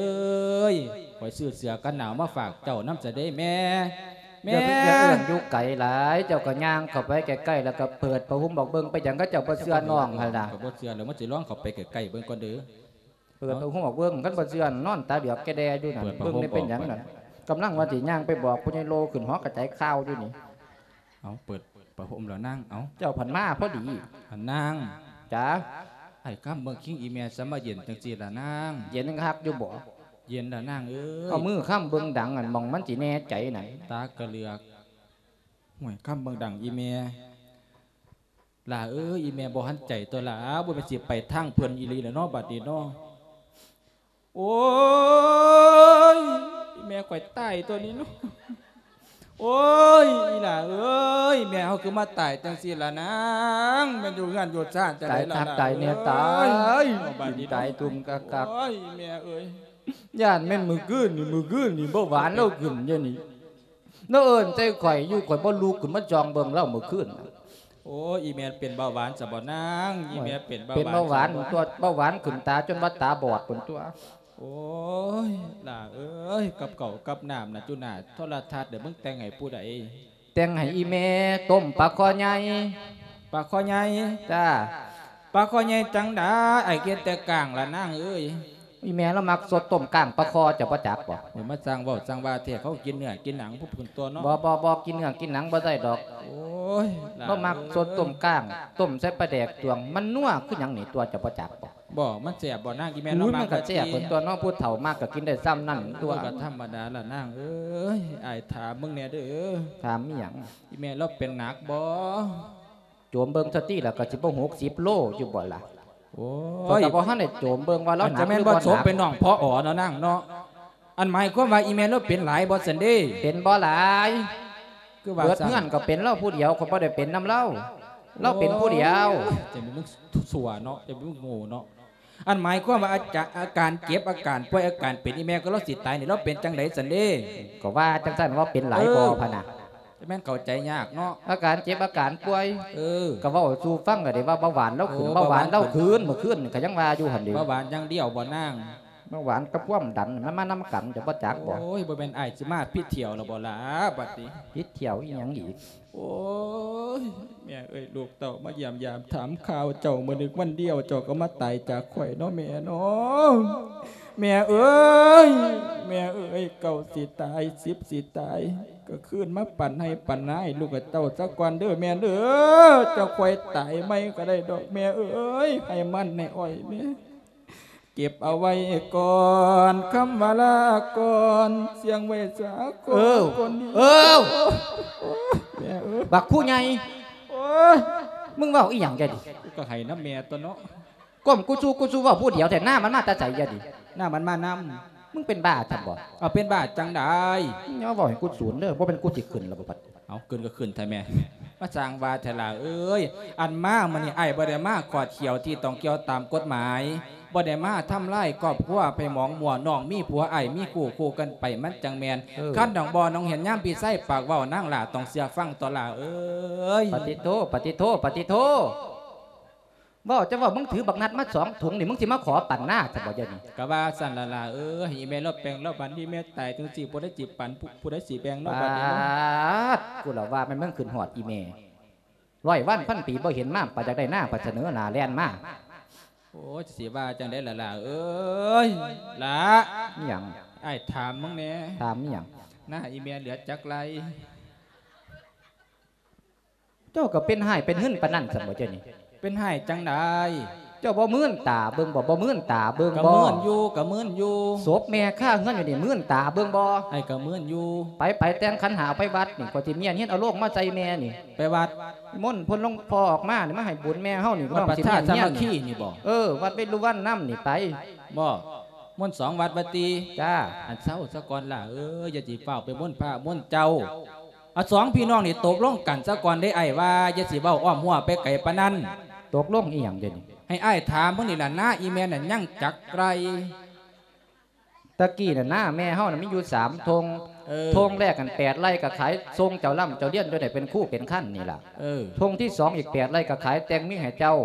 ີຍ ຂ້ອຍຊື້ເສື້ອກັນໜາວມາຝາກເຈົ້ານຳຊະເດ້ແມ່. ແມ່ ຢ່າໄປ ຢ່າເອີ້ນຢູ່ໄກຫຼາຍ ເຈົ້າກໍຍ່າງເຂົ້າໄປໃກ້ໆ ແລ້ວກໍເປີດຜ້າຫົ່ມອອກເບິ່ງ. ໄປຫຍັງເຂົາເຈົ້າບໍ່ເຊື່ອນ້ອງຫັ້ນລະ? ຂ້ອຍບໍ່ເຊື່ອແລ້ວ ມັນຊິລອງເຂົ້າໄປໃກ້ໆເບິ່ງກ່ອນເດີ້. ເປີດຜ້າຫົ່ມອອກເບິ່ງ ຄັນບໍ່ເຊື່ອນອນຕາເຫຼືອກແກ່ແດ່ຢູ່ນັ້ນ. ເບິ່ງໄດ້ເປັນຫຍັງນັ້ນ. ກຳລັງວ່າຊິຍ່າງໄປບອກຜູ້ໃຫຍ່ໂລຂຶ້ນຫໍກະຈາຍຂ່າວຢູ່ນີ້. ເອົາ ເປີດຜ້າຫົ່ມແລ້ວນາງ. ເອົາ ເຈົ້າພັນມາພໍດີ. ອັນນາງ. ຈ໋າ. ອ້າຍຄຳເບິ່ງຄິງອີ່ແມ່ສະມາເຢັນຈັ່ງຊີ້ລະນາງ. ເຢັນຄັກຢູ່ບໍ່? ເຢັນລະນາງເອີຍ. ເອົາມືຄຳເບິ່ງດັງ ອັນໝ່ອງມັນຊິແນ່ໃຈນັ້ນ. ຕາກະເຫຼືອກ. ຫ້ວຍ ຄຳເບິ່ງດັງອີ່ແມ່. ຫຼ້າເອີຍ ອີ່ແມ່ບໍ່ຫັນໃຈຕົວະຫຼ້າ ບໍ່ແມ່ນຊິໄປທາງເພິ່ນອີ່ຫຼີລະເນາະ ບາດນີ້ເນາະ. ໂອ້ຍ ອີ່ແມ່ຂ້ອຍຕາຍຕົວະນີ້ເນາະ. ໂອ້ຍ ອີ່ຫຼ້າເອີຍ ແມ່ເຮົາຄືມາຕາຍຈັ່ງຊີ້ລະນາງ. ແມ່ນຢູ່ເຮືອນຢູ່ຊານຈັ່ງໃດລະ ຕາຍຄັກຕາຍແນ່ ຕາຍ ເອີຍ ຕາຍທຸ່ມຄັກໆ. ໂອ້ຍ ແມ່ເອີຍ ຢ້ານແມ່ນມື້ຄືນນີ້ ມື້ຄືນນີ້ເບົາຫວານລາວຂຶ້ນຢູ່ນີ້. ລາວເອີ້ນໃສ່ຂ້ອຍຢູ່ ຂ້ອຍບໍ່ລຸກຂຶ້ນມາສ່ອງເບິ່ງລາວມື້ຄືນ. ໂອ້ຍ ອີ່ແມ່ເປັນເບົາຫວານຊະບໍ່ນາງ? ອີ່ແມ່ເປັນເບົາຫວານ ເປັນເບົາຫວານຕົວະ ເບົາຫວານຂຶ້ນຕາຈົນວ່າຕາບອດພຸ້ນຕົວະ. ໂອ້ຍ ຫຼ້າເອີຍ ກັບເຂົ້າກັບນ້ຳນະ ຢູ່ໜ້າໂທລະທັດເດ້ ມຶງແຕ່ງໃຫ້ຜູ້ໃດ? ແຕ່ງໃຫ້ອີ່ແມ່ຕົ້ມປາຄໍໃຫຍ່. ປາຄໍໃຫຍ່? ຈ້າ. ປາຄໍໃຫຍ່ຈັ່ງໃດ? ອ້າຍເຮັດແຕ່ກ້າງລະນາງເອີຍ. ອີ່ແມ່ລາວມັກສົດຕົ້ມກ້າງປາຄໍ ເຈົ້າບໍ່ຈັກບໍ່? ໂອ້ຍ ມາຊ່າງເວົ້າຊ່າງວ່າແທ້ ເຂົາກິນເນື້ອກິນໜັງພຸ້ນຕົວະເນາະ. ບໍ່ ບໍ່ ບໍ່ກິນເນື້ອກິນໜັງ ບໍ່ໄດ້ດອກ. ໂອ້ຍ ລາວມັກສົດຕົ້ມກ້າງ ຕົ້ມໃສ່ປາແດກຕວງ ມັນນົວຄືຫຍັງນີ້ຕົວະ ເຈົ້າບໍ່ຈັກບໍ່? ບໍ່ ມັນແຊບບໍ່ນາງ? ອີ່ແມ່ລາວມັກ ມັນກໍແຊບພຸ້ນຕົວະເນາະ ຜູ້ເຖົ້າມັກກໍກິນໄດ້ຊ່ຳນັ້ນຕົວະ. ເອີ ກໍທຳມະດາລະນາງເອີຍ. ອ້າຍຖາມມຶງແດ່ເດີ. ຖາມອີ່ຫຍັງ? ອີ່ແມ່ລາວເປັນໜັກບໍ່? ໂຈມເບິ່ງສະຕິລະ ກໍຊິບໍ່ຫົກສິບໂລຢູ່ບໍ່ລະ? ໂອ້ຍ ຂ້ອຍກໍບໍ່ທັນໄດ້ໂຈມເບິ່ງວ່າລາວໜັກ ຈະແມ່ນບໍ່ສົມເປັນນ້ອງ ພໍ ເນາະນາງເນາະ. ອັນໝາຍຄວາມວ່າອີ່ແມ່ລາວເປັນຫຼາຍບໍ່ຊັ້ນເດ? ເປັນບໍ່ຫຼາຍ ຄືວ່າ ເບິດເຮືອນກໍເປັນລາວຜູ້ດຽວ ຂ້ອຍບໍ່ໄດ້ເປັນນຳລາວ ລາວເປັນຜູ້ດຽວ. ໂອ້ຍ ຈະມີມຶງຊົ່ວເນາະ ຈະມີມຶງໂງ່ເນາະ. ອັນໝາຍຄວາມວ່າອາຈາ ອາການເຈັບ ອາການປ່ວຍ ອາການເປັນ ອີ່ແມ່ກໍລາວຊິຕາຍນີ້ ລາວເປັນຈັ່ງໃດຊັ້ນເດ? ກໍວ່າຈັ່ງຊັ້ນວ່າເປັນຫຼາຍບໍ່ພະນະ? ຈະແມ່ນເຂົ້າໃຈຍາກເນາະ ອາການເຈັບອາການປ່ວຍ. ເອີ ກໍເວົ້າສູ່ຟັງກໍໄດ້ວ່າເບົາຫວານລາວຂຶ້ນ. ໂອ້ ເບົາຫວານລາວຂຶ້ນ ເບົາຫວານຂຶ້ນ ມື້ຄືນກໍຍັງວ່າຢູ່ຫັ້ນເດ. ເບົາຫວານຢ່າງດຽວບໍ່ນາງ? ເບົາຫວານກັບຄວາມດັນມັນມານຳກັນ ເຈົ້າບໍ່ຈັກບໍ່? ໂອ້ຍ ບໍ່ແມ່ນອ້າຍຊິມາຜິດຖ້ຽວແລ້ວບໍ່ລະບາດນີ້? ຜິດຖ້ຽວອີ່ຫຍັງອີກ? ໂອ້ຍ ແມ່ເອີຍ ລູກເຕົ້າມາຢ້ຽມຢາມຖາມຂ່າວເຈົ້າ ມື້ໜຶ່ງວັນດຽວເຈົ້າກໍມາຕາຍຈາກຂ້ອຍເນາະແມ່ເນາະ. ແມ່ເອີຍ ແມ່ເອີຍ ເກົ້າຊິຕາຍ ສິບຊິຕາຍ ກໍຄືນມາປັນໄຮ່ປັນນາໃຫ້ລູກໃຫ້ເຕົ້າຊະກ່ອນເດີແມ່ເດີ. ເຈົ້າຄ່ອຍຕາຍໃໝ່ກໍໄດ້ດອກແມ່ເອີຍ ໃຫ້ມັນໃຫ້ອ້ອຍແມ່. ເກັບເອົາໄວ້ກ່ອນ ຄຳວ່າລາກ່ອນ ສ່ຽງໄວ້ສາກ່ອນ ເອີ ຄົນດີ. ເອີ ໂອ້ຍ ແມ່ເອີຍ ບັກຜູ້ໃຫຍ່ ໂອ້ຍ ມຶງເວົ້າອີ່ຫຍັງແກນີ້? ກໍໃຫ້ນຳແມ່ຕົວະເນາະ. ກົ້ມກູຊູກູຊູເວົ້າຜູ້ດຽວແທ້ ໜ້າມັນມາແຕ່ໃສແກນີ້? ໜ້າມັນມານຳ. ມຶງເປັນບ້າຊັ້ນບໍ່? ເອົາ ເປັນບ້າຈັ່ງໃດ? ຢ່າເວົ້າໃຫ້ກູສູນເດີ ບໍ່ແມ່ນກູຊິຂຶ້ນແລ້ວບໍ່ບັດ. ເອົາ ຂຶ້ນກໍຂຶ້ນແທ້ແມ່ ມາສ້າງວ່າແທ້ຫຼ້າເອີຍ. ອັນມາມື້ນີ້ອ້າຍບໍ່ໄດ້ມາຂອດຂຽວທີ່ຕ້ອງກ່ຽວຕາມກົດໝາຍ ບໍ່ໄດ້ມາທຳລາຍຄອບຄົວໃຜໝອງມົວ. ນ້ອງມີຜົວ ອ້າຍມີຄູ່ ຄູ່ກັນໄປມັນຈັ່ງແມ່ນ. ເອີ ຄັນນ້ອງບໍ່ນ້ອງເຫັນຍາມພີ່ຊາຍປາກເວົ້າ ນາງຫຼ້າຕ້ອງເຊື່ອຟັງຕົວະຫຼ້າເອີຍ. ປະຕິໂທ ປະຕິໂທ ປະຕິໂທ. ເວົ້າ ເຈົ້າເວົ້າ ມຶງຖືບັກນັດມາສອງຖົງນີ້ ມຶງຊິມາຂໍປັນນາຊັ້ນບໍ່ ດຽວນີ້? ກະວ່າຊັ້ນລະຫຼ້າເອີຍ ໃຫ້ອີແມ່ລາວແບ່ງລາວປັນ ອີແມ່ຕາຍຈັ່ງຊີ້ ຜູ້ໃດຊິປັນ ຜູ້ ຜູ້ໃດຊິແບ່ງເນາະ ບາດນີ້ເນາະ. ປາດ ກູລະວ່າແມ່ນມຶງຂຶ້ນຮອດອີແມ່ ຮ້ອຍວັນພັນປີບໍ່ເຫັນມາ ປານຢາກໄດ້ນາ ປານສະເໜີໜ້າແລ່ນມາ. ໂອ້ຍ ຊິວ່າຈັ່ງໃດລະຫຼ້າເອີຍ ຫຼ້າ ອີ່ຫຍັງ? ອ້າຍຖາມມຶງແດ່ ຖາມອີ່ຫຍັງ? ນາອີແມ່ເຫຼືອຈັກໄຮ່? ເຈົ້າກໍເປັນຮ້າຍເປັນຫຶນປານນັ້ນຊັ້ນບໍ່ ເຈົ້ານີ້? ເປັນຮ້າຍຈັ່ງໃດ? ເຈົ້າບໍ່ມື່ນຕາເບິ່ງບໍ່? ບໍ່ມື່ນຕາເບິ່ງບໍ່? ກໍມື່ນຢູ່ ກໍມື່ນຢູ່. ສົບແມ່ຄາເຮືອນຢູ່ນີ້ ມື່ນຕາເບິ່ງບໍ່? ອ້າຍກໍມື່ນຢູ່. ໄປ ໄປແຕ່ງຂັນຫ້າໄປວັດນີ້ ຂ້ອຍຊິມ້ຽນຮຽນເອົາໂລງມາໃສ່ແມ່ນີ້. ໄປວັດ ນິມົນເພິ່ນ ຫຼວງພໍ່ອອກມານີ້ ມາໃຫ້ບຸນແມ່ເຮົານີ້ ວັດປະຊາສາມັກຄີນີ້ບໍ່? ເອີ ວັດເວລຸວັນນຳນີ້ໄປ. ບໍ່ ມົນສອງວັດວ່າຕິ? ຈ້າ. ອັນ ເຊົາສາກ່ອນຫຼ້າເອີຍ ຢ່າຊິຟ້າວໄປມົນພະມົນເຈົ້າ. ເອົາ ສອງພີ່ນ້ອງນີ້ຕົກລົງກັນສາກ່ອນເດ້ ອ້າຍວ່າ ຢ່າຊິເວົ້າອ້ອມຮົ້ວໄປໄກປານນັ້ນ. ຕົກລົງອີ່ຫຍັງເດນີ້? ໃຫ້ອ້າຍຖາມເບິ່ງນີ້ລະ ນາອີແມ່ນັ້ນຍັງຈັກໄຮ່? ຕະກີ້ນະ ນາແມ່ເຮົານະມີຢູ່ສາມທົ່ງ. ເອີ ທົ່ງແລກຫັ້ນແປດໄຮ່ ກໍຂາຍສົ່ງເຈົ້າລ່ຳເຈົ້າລຽນ ຈົນໄດ້ເປັນຄູເປັນຄັນນີ້ລະ. ເອີ ທົ່ງທີສອງອີກແປດໄຮ່ ກໍຂາຍແຕ່ງເມຍໃຫ້ເຈົ້າ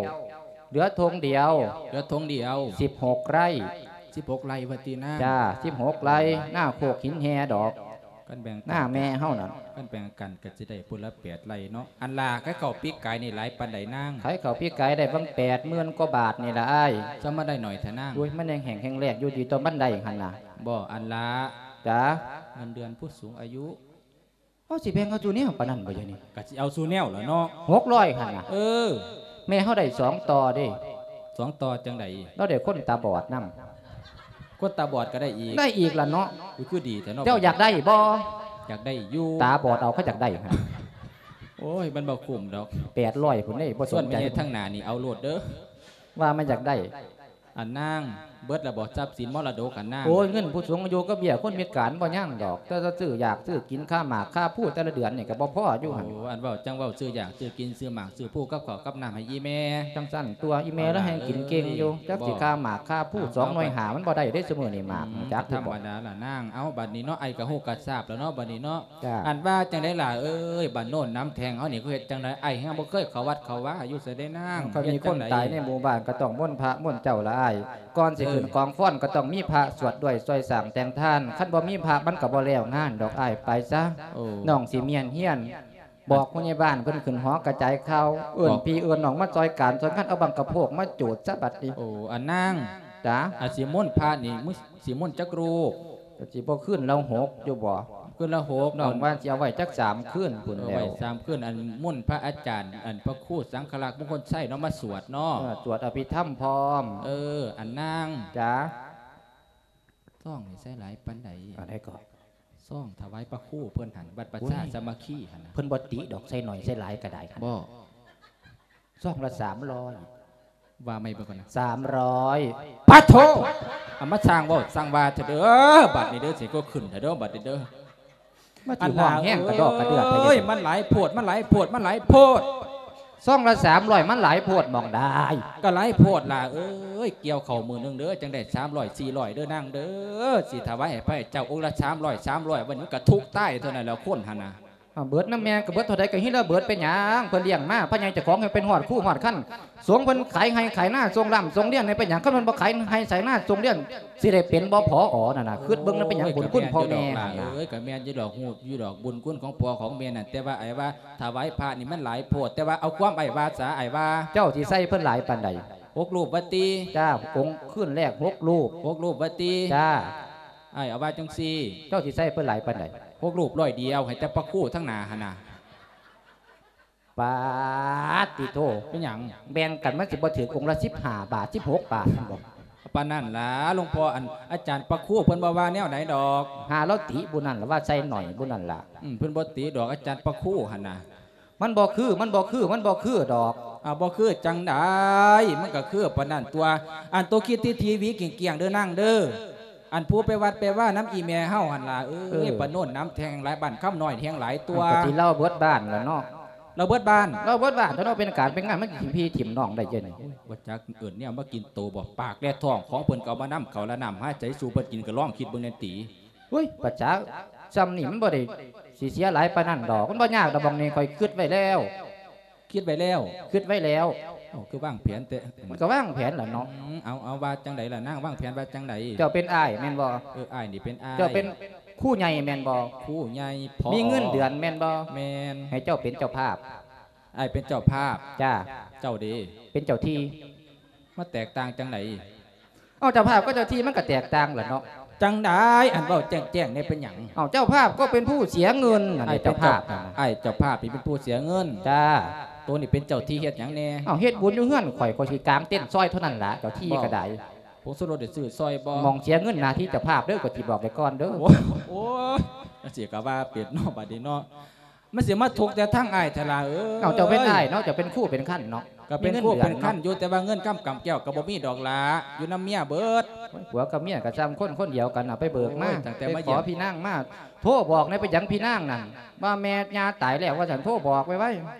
ເຫຼືອທົ່ງດຽວ. ເຫຼືອທົ່ງດຽວ ສິບຫົກໄຮ່. ສິບຫົກໄຮ່ວ່າຕິນາ? ຈ້າ ສິບຫົກໄຮ່ ນາໂຄກຫີນແຮ່ດອກ. ຄັນແບ່ງກັນ ນາແມ່ເຮົານັ້ນ ຄັນແບ່ງກັນກໍຊິໄດ້ຜູ້ລະແປດໄຮ່ເນາະ. ອັນລາ ຂາຍເຂົ້າປີກາຍນີ້ຫຼາຍປານໃດນາງ? ຂາຍເຂົ້າປີກາຍໄດ້ບັງແປດໝື່ນກວ່າບາດນີ້ລະອ້າຍ. ຊະ ມາໄດ້ໜ້ອຍແທ້ນາງ? ໂອ້ຍ ມັນຍັງແຫ້ງແຮງແລ້ງຢູ່ ດີຕໍ່ມັນໄດ້ຫັ້ນນະ. ບໍ່ ອັນລາ. ຈ້າ. ເງິນເດືອນຜູ້ສູງອາຍຸ ເຮົາຊິແບ່ງເອົາສູ່ແນວປານນັ້ນບໍ່ ດຽວນີ້? ກະຊິເອົາສູ່ແນວລະເນາະ. ຫົກຮ້ອຍຫັ້ນນະ. ເອີ ແມ່ເຮົາໄດ້ສອງຕໍ່ເດ້. ສອງຕໍ່ຈັ່ງໃດ? ລາວໄດ້ຄົນຕາບອດນຳ. ຄົນຕາບອດກໍໄດ້ອີກ? ໄດ້ອີກລະເນາະ. ອຸ້ຍ ຄືດີແທ້ເນາະ. ເຈົ້າຢາກໄດ້ບໍ່? ຢາກໄດ້ຢູ່. ຕາບອດເອົາ ເຂົາຢາກໄດ້ຫັ້ນ. ໂອ້ຍ ມັນບໍ່ຄຸ້ມດອກ. ແປດຮ້ອຍພຸ້ນເດ້ ບໍ່ສົນໃຈ. ສ່ວນແມ່ທາງໜ້ານີ້ເອົາໂລດເດີ. ວ່າມັນຢາກໄດ້. ອັນນາງ ເບິດແລ້ວບໍ່ ຊັບສິນມໍລະດົກຫັ້ນນາງ? ໂອ້ຍ ເງິນຜູ້ສູງອາຍຸກັບເບ້ຍຄົນພິການບໍ່ຍັງດອກ ແຕ່ຈະຊື້ຢາກຊື້ກິນ ຄ່າໝາກຄ່າພູແຕ່ລະເດືອນນີ້ກໍບໍ່ພໍຢູ່ຫັ້ນ. ໂອ້ ອັນເວົ້າຈັ່ງເວົ້າ ຊື້ຢາກຊື້ກິນ ຊື້ໝາກຊື້ພູກັບເຂົ້າກັບນ້ຳໃຫ້ອີ່ແມ່. ຈັ່ງຊັ້ນຕົວະ ອີ່ແມ່ລະແຮ່ງກິນເກັ່ງຢູ່. ຈັກຊິຄ່າໝາກຄ່າພູ ສອງໜ່ວຍຫ້າມັນບໍ່ໄດ້ເດ້ ຊຸມື້ນີ້ໝາກ ຮູ້ຈັກຢູ່ບໍ່? ທຳມະດາລະນາງ. ເອົ້າ ບັດນີ້ເນາະ ອ້າຍກໍຮູ້ກໍຊາບແລ້ວເນາະ ບັດນີ້ເນາະ. ຈ້າ. ອັນວ່າຈັ່ງໃດລະເອີຍ ບ້ານໂນນນ້ຳແທງເຮົານີ້ ເຂົາເຮັດຈັ່ງໃດ? ອ້າຍແຮ່ງບໍ່ເຄີຍເຂົ້າວັດເຂົ້າວາຢູ່ໃສເດ້ນາງ. ເຂົາມີຄົນຕາຍໃນໝູ່ບ້ານກໍຕ້ອງມົນພະມົນເຈົ້າລະອ້າຍ. ກ່ອນຊິຂຶ້ນກອງຟ້ອນກໍຕ້ອງມີພະສວດດ້ວຍ ຊ່ວຍສ້າງແຕ່ງທານ. ຄັນບໍ່ມີພະມັນກໍບໍ່ແລ້ວງານດອກອ້າຍ. ໄປຊະ ນ້ອງຊິມ້ຽນຮຽນ ບອກຜູ້ໃຫຍ່ບ້ານເພິ່ນຂຶ້ນຫໍກະຈາຍຂ່າວ ເອີ້ນພີ່ເອີ້ນນ້ອງມາຊ່ອຍການຊ່ອຍງານ ເອົາບັ້ງກະໂພກມາຈູດຊະບັດນີ້. ໂອ້ ອັນນາງ. ຈ້າ. ອາ ຊິມົນພະນີ້ ຊິມົນຈັກຮູບ? ກໍຊິບໍ່ຄືນລະຫົກຢູ່ບໍ່? ຄືນລະຫົກ ນ້ອງວ່າຊິເອົາໄວ້ຈັກສາມຄືນພຸ້ນແລ້ວ. ເອົາໄວ້ສາມຄືນ. ອັນມົນພະອາຈານ ອັນພະຄູສັງຄະລັກ ມົງຄົນໄຊເນາະ ມາສວດເນາະ. ເອີ ສວດອະພິທຳພ້ອມ. ເອີ ອັນນາງ. ຈ້າ. ຊອງນີ້ໃສ່ຫຼາຍປານໃດ? ອັນໃດກໍ? ຊອງຖວາຍພະຄູເພິ່ນຫັ້ນ ວັດປະຊາສາມັກຄີຫັ້ນນະ. ເພິ່ນບໍ່ຕິດອກ ໃສ່ໜ້ອຍໃສ່ຫຼາຍກໍໄດ້. ບໍ່. ຊອງລະສາມຮ້ອຍ. ວ່າໃໝ່ເບິ່ງກ່ອນນະ. ສາມຮ້ອຍ. ປາໂທ! ອາ ມາຊ່າງເວົ້າຊ່າງວ່າເຖາະເດີ ບັດນີ້ເດີ ຊິກໍຂຶ້ນເຖາະເດີ ບັດນີ້ເດີ. ມາຊິຮ້ອງແຮງກະດອກກະເດືອດແທ້. ເອີຍ ມັນຫຼາຍໂພດ ມັນຫຼາຍໂພດ ມັນຫຼາຍໂພດ. ຊອງລະສາມຮ້ອຍ ມັນຫຼາຍໂພດໝ່ອງໃດ? ກໍຫຼາຍໂພດຫຼ້າເອີຍ ກ່ຽວເຂົ້າມື້ໜຶ່ງເດີ ຈັ່ງໄດ້ສາມຮ້ອຍ ສີ່ຮ້ອຍເດີນາງເດີ ຊິຖວາຍໃຫ້ພະເຈົ້າອົງລະສາມຮ້ອຍ ສາມຮ້ອຍ ວັນນີ້ມັນກະທຸກຕາຍເທົ່ານັ້ນແຫຼະ ຄົນຫັ້ນນະ. ອາ ເບິດນຳແມ່ ກະເບິດເທົ່າໃດກະຮີລະເບີດ ເປັນຫຍັງ? ເພິ່ນລ້ຽງມາ ພະໃຫຍ່ເຈົ້າຂອງເພິ່ນເປັນຮອດຄູຮອດຄັນ ສົງເພິ່ນຂາຍໄຮ່ຂາຍນາສົ່ງລ່ຳສົ່ງລຽນໃຫ້ ເປັນຫຍັງ? ຄັນເພິ່ນບໍ່ຂາຍໄຮ່ຂາຍນາສົ່ງລຽນ ຊິໄດ້ເປັນບໍ່ ຜອ ນັ້ນນະ? ຄິດເບິ່ງນະ ເປັນຫຍັງ ໂອ້ຍ ບຸນຄຸນພໍ່ແມ່ຫັ້ນນະ. ເອີຍ ກະແມ່ນຢູ່ດອກ ຮູ້ຢູ່ດອກບຸນຄຸນຂອງພໍ່ຂອງແມ່ນັ້ນ ແຕ່ວ່າອ້າຍວ່າຖວາຍພະນີ້ມັນຫຼາຍໂພດ ແຕ່ວ່າເອົາຄວາມອ້າຍວ່າສາ ອ້າຍວ່າ. ເຈົ້າຊິໃສ່ເພິ່ນຫຼາຍປານໃດ? ຫົກຮູບວ່າຕິ? ຈ້າ ອົງຄືນແລກຫົກຮູບ. ຫົກຮູບວ່າຕິ? ຈ້າ. ອ້າຍເອົາວ່າຈັ່ງຊີ້ ເຈົ້າຊິໃສ່ເພິ່ນຫຼາຍປານໃດ? ຫົກຮູບຮ້ອຍດຽວ ໃຫ້ແຕ່ພະຄູທາງໜ້າຫັ້ນນະ. ປາດຕິໂທ ເປັນຫຍັງ? ແບ່ງກັນມັນຊິບໍ່ຖືກອົງລະສິບຫ້າບາດ ສິບຫົກບາດຫັ້ນບໍ່? ປານນັ້ນລະ ຫຼວງພໍ່ ອັນອາຈານພະຄູເພິ່ນບໍ່ວ່າແນວໃດດອກ. ຫາລາວຕິບຸນນັ້ນລະ ວ່າໃສ່ໜ້ອຍບຸນນັ້ນລະ. ອືມ ເພິ່ນບໍ່ຕິດອກ ອາຈານພະຄູຫັ້ນນະ. ມັນບໍ່ຄື ມັນບໍ່ຄື ມັນບໍ່ຄືດອກ. ອາ ບໍ່ຄືຈັ່ງໃດ? ມັນກະຄືປານນັ້ນຕົວະ. ອັນໂຕຄິດທີ່ທີວີກ້ຽງໆເດີນາງເດີ. ອັນຜູ້ໄປວັດໄປວານຳອີ່ແມ່ເຮົາຫັ້ນລະເອີຍ. ເອີ ປາໂນນນຳແທງຫຼາຍ ບ້ານຄຳນ້ອຍແທງຫຼາຍຕົວະ. ກະຊິລາວເບິດບ້ານລະເນາະ. ລາວເບິດບ້ານ? ລາວເບິດບ້ານຕົວະເນາະ. ເປັນການເປັນງານ ມັນຊິທີມທີມນ້ອງໄດ້ຈັ່ງໃດ? ໂອ້ຍ ບໍ່ຈັກເອີ້ນແນວມາກິນໂຕບໍ່? ປາກແລະທ້ອງຂອງເພິ່ນກະເອົາມານຳ ເຂົ້າລະນ້ຳຫາໃຈສູ່ເພິ່ນກິນ ກະລອງຄິດເບິ່ງແດ່ຕິ. ໂອ້ຍ ປະຈາ ຊ່ຳນີ້ມັນບໍ່ໄດ້ຊິເສຍຫຼາຍປານນັ້ນດອກ. ມັນບໍ່ຍາກດອກ ໝ່ອງນີ້ຂ້ອຍຄິດໄວ້ແລ້ວ. ຄິດໄວ້ແລ້ວ? ຄິດໄວ້ແລ້ວ. ເອົາ ຄືວາງແຜນແຕ່ ມັນກໍວາງແຜນລະເນາະ. ອືມ ເອົາ ເອົາ ວ່າຈັ່ງໃດລະນາງ ວາງແຜນວ່າຈັ່ງໃດ? ເຈົ້າເປັນອ້າຍແມ່ນບໍ່? ເອີ ອ້າຍນີ້ເປັນອ້າຍ. ເຈົ້າເປັນຄູໃຫຍ່ແມ່ນບໍ່? ຄູໃຫຍ່ ພໍ່ ມີເງິນເດືອນແມ່ນບໍ່? ແມ່ນ. ໃຫ້ເຈົ້າເປັນເຈົ້າພາບ. ອ້າຍເປັນເຈົ້າພາບ. ຈ້າ. ເຈົ້າເດ? ເປັນເຈົ້າທີ່. ມາແຕກຕ່າງຈັ່ງໃດ? ເອົາ ເຈົ້າພາບກັບເຈົ້າທີ່ມັນກໍແຕກຕ່າງລະເນາະ. ຈັ່ງໃດ? ອັນເວົ້າແຈ້ງໆແດ່ ເປັນຫຍັງ? ເອົາ ເຈົ້າພາບກໍເປັນຜູ້ເສຍເງິນ ອັນນີ້ເຈົ້າພາບ. ອ້າຍເຈົ້າພາບນີ້ເປັນຜູ້ເສຍເງິນ. ຈ້າ. ໂຕນີ້ເປັນເຈົ້າທີ່ເຮັດຫຍັງແດ່? ເອົາ ເຮັດບຸນຢູ່ເຮືອນຂ້ອຍ ຂ້ອຍຊິກາງເຕັນຊ່ອຍເທົ່ານັ້ນລະ ເຈົ້າທີ່ກໍໄດ້. ຜົງຊູລົດໄດ້ຊື້ຊ່ອຍບໍ່? ໝ່ອງເສຍເງິນໜ້າທີ່ເຈົ້າພາບເດີ້ ຂ້ອຍຊິບອກໄວ້ກ່ອນເດີ້. ໂອ້ຍ ໂອ້ຍ ຈັ່ງຊີ້ກໍວ່າເປັນເນາະ ບາດນີ້ເນາະ. ມັນຊິມາທຸກແຕ່ທາງອ້າຍແທ້ລະເອີຍ. ເອົາ ເຈົ້າເປັນອ້າຍເນາະ ເຈົ້າເປັນຄູເປັນຄັນເນາະ. ກໍເປັນຄູເປັນຄັນຢູ່ ແຕ່ວ່າເງິນຄຳກຳແກ້ວກໍບໍ່ມີດອກລະ ຢູ່ນຳເມຍເບິດ. ໂອ້ຍ ຜົວກັບເມຍກໍຊ່ຳຄົນຄົນດຽວກັນ ເອົາໄປເບີກມາ. ໂອ້ຍ ຕັ້ງແຕ່ມາຢ້ຽມ ໄປຂໍພີ່ນາງມາ ໂທບອກແດ່ ເປັນຫຍັງພີ່ນາງນັ້ນ ວ່າແມ່ຍ່າຕາຍແລ້ວວ່າຊັ້ນ ໂທບອກໄວໆ. ໂອ້ຍ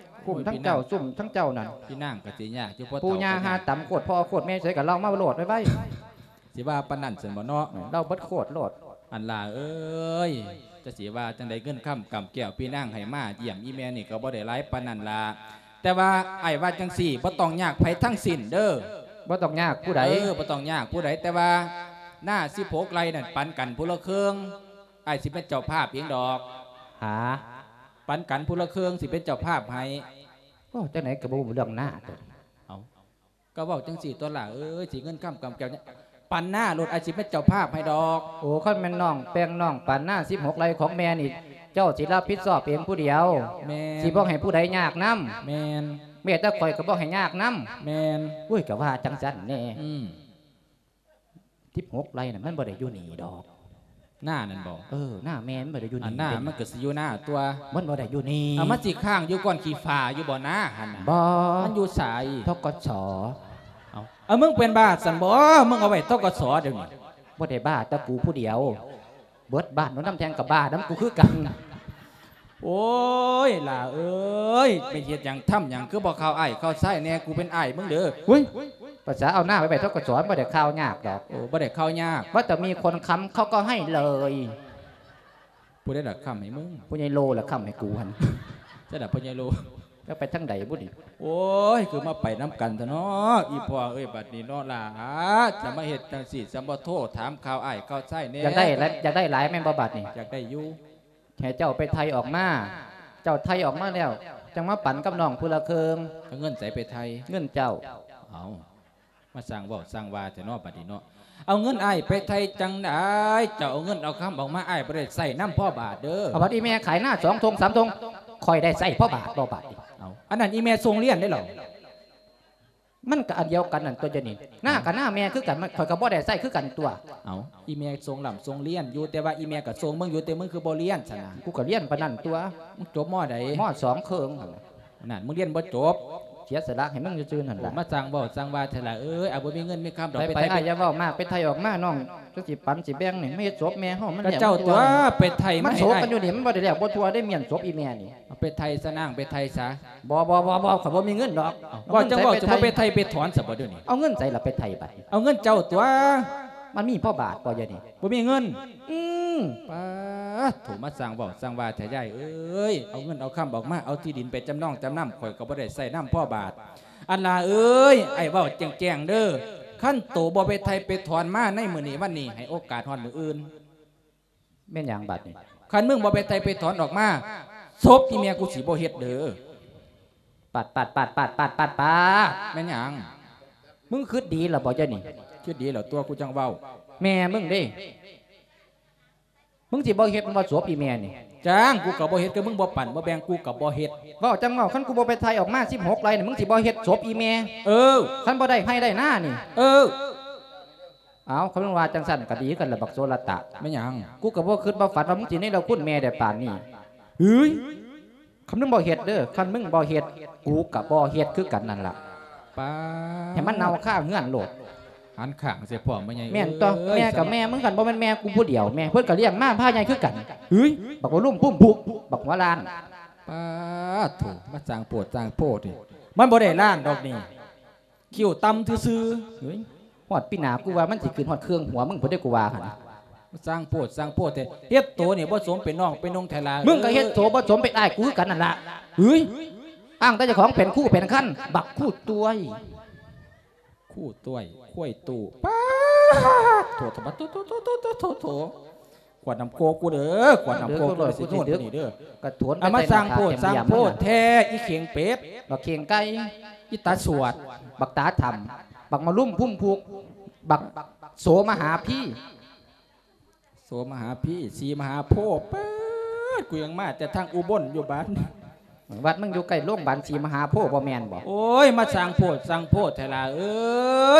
ກຸ່ມທັງເຈົ້າ ຊຸມທັງເຈົ້ານັ້ນ. ພີ່ນາງກໍຊິຍາກຢູ່ ພໍ່ເຖົ້າ ປູ່ຍ່າຫາຕຳໂຄດພໍ່ໂຄດແມ່ໃສກໍເລົ່າມາໂລດໄວໆ. ຊິວ່າປານນັ້ນຊັ້ນບໍ່ເນາະ? ເອີ ເລົ່າເບິດໂຄດໂລດ. ອັນຫຼ້າເອີຍ ຈະຊິວ່າຈັ່ງໃດ ເງິນຄຳກຳແກ້ວພີ່ນາງໃຫ້ມາຢ້ຽມອີ່ແມ່ນີ້ກໍບໍ່ໄດ້ຫຼາຍປານນັ້ນລະ. ແຕ່ວ່າອ້າຍວ່າຈັ່ງຊີ້ ບໍ່ຕ້ອງຍາກໃຜທັງສິ້ນເດີ້. ບໍ່ຕ້ອງຍາກຜູ້ໃດ? ເອີ ບໍ່ຕ້ອງຍາກຜູ້ໃດ ແຕ່ວ່ານາສິບຫົກໄຮ່ນັ້ນປັນກັນຜູ້ລະເຄິ່ງ. ອ້າຍຊິເປັນເຈົ້າພາບເອງດອກ. ຫາ? ປັນກັນຜູ້ລະເຄິ່ງ ຊິເປັນເຈົ້າພາບໃຫ້. ເວົ້າຈັ່ງໃດກໍບໍ່ຮູ້ເລື່ອງນາຕົວ. ເອົາ ກໍເວົ້າຈັ່ງຊີ້ຕົວຫຼ້າເອີຍ ຊິເງິນຄຳກຳແກ້ວ ປັນນາໂລດ ອ້າຍຊິເປັນເຈົ້າພາບໃຫ້ດອກ. ໂອ້ ຄັນແມ່ນນ້ອງແບ່ງນ້ອງປັນນາສິບຫົກໄຮ່ຂອງແມ່ນີ້ ເຈົ້າຊິຮັບຜິດຊອບເອງຜູ້ດຽວ. ແມ່ນ. ຊິບໍ່ໃຫ້ຜູ້ໃດຍາກນຳ. ແມ່ນ. ແມ້ແຕ່ຂ້ອຍກໍບໍ່ໃຫ້ຍາກນຳ. ແມ່ນ. ໂອ້ຍ ກໍວ່າຈັ່ງຊັ້ນແດ່. ອືມ. ສິບຫົກໄຮ່ນັ້ນມັນບໍ່ໄດ້ຢູ່ນີ້ດອກ. ນານັ້ນບໍ? ເອີ ນາແມ່ມັນບໍ່ໄດ້ຢູ່ນີ້. ອັນນາມັນກໍຊິຢູ່ນາຕົວະ. ມັນບໍ່ໄດ້ຢູ່ນີ້. ເອົາ ມັນຊິຄ້າງຢູ່ກ້ອນຂີ້ຝ້າຢູ່ບໍ່ນາຫັ້ນນະ? ບໍ່. ມັນຢູ່ໃສ? ທກສ. ເອົາ ເອົາ ມຶງເປັນບ້າຊັ້ນບໍ? ມຶງເອົາໄວ້ ທກສ ດຽວນີ້. ບໍ່ໄດ້ບ້າແຕ່ກູຜູ້ດຽວ ເບິດບ້ານໂນນນຳແທ່ງກໍບ້ານຳກູຄືກັນ. ໂອ້ຍ ຫຼ້າເອີຍ ໄປເຮັດຫຍັງທຳຫຍັງ ຄືບໍ່ຂ່າວອ້າຍຂ່າວຊາຍແດ່? ກູເປັນອ້າຍມຶງເດີ້. ຫຸ້ຍ ພາສາເອົານາໄປໄວ້ ທກສ ບໍ່ໄດ້ຂ່າວຍາກດອກ. ໂອ້ ບໍ່ໄດ້ຂ່າວຍາກ. ວ່າແຕ່ມີຄົນຄ້ຳເຂົາກໍໃຫ້ເລີຍ. ຜູ້ໃດລະຄ້ຳໃຫ້ມຶງ? ພໍ່ໃຫຍ່ໂລລະຄ້ຳໃຫ້ກູຫັ້ນ. ໃຊ່ລະພໍ່ໃຫຍ່ໂລ. ແລ້ວໄປທາງໃດບຸນີ້? ໂອ້ຍ ຄືມາໄປນຳກັນແທ້ເນາະ ອີ່ພໍ່ເອີຍ. ບັດນີ້ເນາະຫຼ້າ ຈະມາເຮັດຈັ່ງຊີ້ ຈະບໍ່ໂທຖາມຂ່າວອ້າຍຂ່າວຊາຍແດ່? ຢາກໄດ້ຫຼາຍ ຢາກໄດ້ຫຼາຍແມ່ນບໍ່ບັດນີ້? ຢາກໄດ້ຢູ່. ໃຫ້ເຈົ້າໄປໄຖ່ອອກມາ ເຈົ້າໄຖ່ອອກມາແລ້ວ ຈັ່ງມາປັນກັບນ້ອງຜູ້ລະເຄິ່ງ. ເອົາເງິນໃສໄປໄຖ່? ເງິນເຈົ້າ. ເອົາ ມາສ້າງເວົ້າສ້າງວ່າແທ້ເນາະ ບັດນີ້ເນາະ. ເອົາເງິນອ້າຍໄປໄຖ່ຈັ່ງໃດ? ເຈົ້າເອົາເງິນເອົາຄຳອອກມາ ອ້າຍບໍ່ໄດ້ໃຊ້ນຳພໍບາດເດີ້. ເອົາ ບັດອີ່ແມ່ຂາຍນາສອງທົ່ງສາມທົ່ງ ຂ້ອຍໄດ້ໃຊ້ພໍບາດບໍ່ບາດນີ້? ເອົາ ອັນນັ້ນອີ່ແມ່ສົ່ງຮຽນເດ້ເຫຼົ່າ. ມັນກໍອັນດຽວກັນນັ້ນຕົວະ ດຽວນີ້ນາກໍນາແມ່ຄືກັນ ຂ້ອຍກໍບໍ່ໄດ້ໃຊ້ຄືກັນຕົວະ. ເອົາ ອີ່ແມ່ສົ່ງລ່ຳສົ່ງຮຽນຢູ່ ແຕ່ວ່າອີ່ແມ່ກໍສົ່ງມຶງຢູ່ ແຕ່ມຶງຄືບໍ່ຮຽນຊັ້ນນະ? ກູກໍຮຽນປານນັ້ນຕົວະ. ມຶງຈົບ ມໍ ໃດ? ມໍ ສອງ ເຄິ່ງຫັ້ນນະ. ນັ້ນ ມຶງຮຽນບໍ່ຈົບ ເສຍສະຫຼະໃຫ້ມຶງຊື່ໆນັ້ນລະ. ໂອ້ ມາສ້າງເວົ້າສ້າງວ່າແທ້ລະເອີຍ. ອ້າຍບໍ່ມີເງິນມີຄຳດອກ. ໄປໆ ໄປໄປ ອ້າຍຢ່າເວົ້າມາກ ໄປໄຖ່ອອກມາ ນ້ອງຈັ່ງຊິປັນຊິແບ່ງນີ້ ມາເຮັດສົບແມ່ເຮົາມັນ. ກໍເຈົ້າຕົວະ ໄປໄຖ່ມາໃຫ້ອ້າຍ. ມັນໂສກກັນຢູ່ນີ້ ມັນບໍ່ໄດ້ແລ້ວບໍ່ທົ່ວໄດ້ ມ້ຽນສົບອີ່ແມ່ນີ້. ເອົາໄປໄຖ່ຊະນາງ ໄປໄถ่ຊະ. ບໍ່ ບໍ່ ບໍ່ ບໍ່ ຂ້ອຍບໍ່ມີເງິນດອກ. ເອົາ ເວົ້າຈັ່ງເວົ້າ ຊິບໍ່ໄປໄຖ່ໄປຖອນຊະບໍ່ດຽວນີ້? ເອົາເງິນໃສລະໄປໄຖ່ບັດນີ້? ເອົາເງິນເຈົ້າຕົວະ. ມັນມີພໍບາດບໍ່ດຽວນີ້? ບໍ່ມີເງິນ. ອືມ. ປາດໂທ້ ມາສ້າງເວົ້າສ້າງວ່າແທ້ຍາຍເອີຍ. ເອົາເງິນເອົາຄຳອອກມາ ເອົາທີ່ດິນໄປຈຳນອງຈຳນຳ ຂ້ອຍກໍບໍ່ໄດ້ໃຊ້ນຳພໍບາດ. ອັນຫຼ້າເອີຍ ອ້າຍເວົ້າແຈ້ງໆເດີ້ ຄັນໂຕບໍ່ໄປໄຖ່ໄປຖອນມາໃນມື້ນີ້ວັນນີ້ ໃຫ້ໂອກາດຮອດມື້ອື່ນ. ແມ່ນຫຍັງບັດນີ້? ຄັນມຶງບໍ່ໄປໄຖ່ໄປຖອນອອກມາ ສົບອີ່ແມ່ກູຊິບໍ່ເຮັດເດີ້. ປາດ ປາດ ປາດ ປາດ ປາດ ປາດ ປາດ. ແມ່ນຫຍັງ? ມຶງຄິດດີລະບໍ່ດຽວນີ້? ຄິດດີແລ້ວຕົວະ ກູຈັ່ງເວົ້າ. ແມ່ມຶງເດ້? ມຶງຊິບໍ່ເຮັດແມ່ນບໍ່ ສົບອີ່ແມ່ນີ້? ຈ້າງ ກູກໍບໍ່ເຮັດ ຄືມຶງບໍ່ປັນບໍ່ແບ່ງ ກູກໍບໍ່ເຮັດ. ເວົ້າຈັ່ງເວົ້າ ຄັນກູບໍ່ໄປໄຖ່ອອກມາສິບຫົກໄຮ່ນີ້ ມຶງຊິບໍ່ເຮັດສົບອີ່ແມ່? ເອີ. ຄັນບໍ່ໄດ້ໄຮ່ໄດ້ນານີ້? ເອີ. ເອົາ ຄັນວ່າຈັ່ງຊັ້ນກໍດີຄືກັນລະບັກໂສລະຕະ. ແມ່ນຫຍັງ? ກູກໍບໍ່ຄິດບໍ່ຝັນວ່າມຶງຊິເນລະຄຸນແມ່ໄດ້ປານນີ້. ເຮີ້ຍ ຄັນມຶງບໍ່ເຮັດເດີ້ ຄັນມຶງບໍ່ເຮັດ ກູກໍບໍ່ເຮັດຄືກັນນັ້ນລະ. ປາດ ໃຫ້ມັນເນົ່າຄາເຮືອນໂລດ. ຫັນຂ້າງໃສ່ພໍ່ແມ່ໃຫຍ່. ແມ່ນຕົວະ. ເອີຍ ແມ່ກໍແມ່ ມຶງກັນບໍ່ແມ່ນແມ່ກູຜູ້ດຽວແມ່ ເພິ່ນກໍລ້ຽງມາພາໃຫຍ່ຄືກັນ. ເຮີ້ຍ ບັກບໍ່ລຸ້ມພຸ້ມພຸກ ບັກຫົວລ້ານ. ປາດໂທ້ ມາສ້າງໂພດສ້າງໂພດ ມັນບໍ່ໄດ້ລ້ານດອກນີ້. ຄິ້ວຕ່ຳຊື່ໆ. ເຮີ້ຍ ຮອດປີໜ້າ ກູວ່າມັນຊິຂຶ້ນຮອດເຄື່ອງຫົວມຶງພຸ້ນເດ້ ກູວ່າຫັ້ນ. ສ້າງໂພດສ້າງໂພດແທ້ ເຮັດໂຕນີ້ບໍ່ສົມເປັນນ້ອງເປັນນຸ່ງແທ້ລະ. ມຶງກໍເຮັດໂຕບໍ່ສົມເປັນອ້າຍກູຄືກັນນັ້ນລະ. ເຮີ້ຍ ອ້າງແຕ່ເຈົ້າຂອງເປັນຄູເປັນຄັນ ບັກຄູຕ້ວຍ ຄູຕ້ວຍ ຄວາຍຕູ້ ປາດ ໂຖ ໂຖ ໂຖ ໂຖ ກວດນ້ຳໂກກກູເດີ ກວດນ້ຳໂກກກູເດີ ຊິໂຍນໄປນີ້ເດີ ກະຖວນໄປ ອາ ມາສ້າງໂພດສ້າງໂພດແທ້ ອີເຂັງເປັດ ບັກເຂັງໄກ່ ອີຕາສວດ ບັກຕາຖໍ່າ ບັກມະລຸມພຸມພຸກ ບັກໂສມະຫາພີ ໂສມະຫາພີ ສີມະຫາໂພ ປາດ ກູຍັງມາແຕ່ທາງອຸບົນຢູ່ບາດ ວັດມຶງຢູ່ໃກ້ໂລງບານສີມະຫາໂພບໍ່ແມ່ນບໍ? ໂອ້ຍ ມາສ້າງໂພດສ້າງໂພແທ້ຫຼ້າເອີ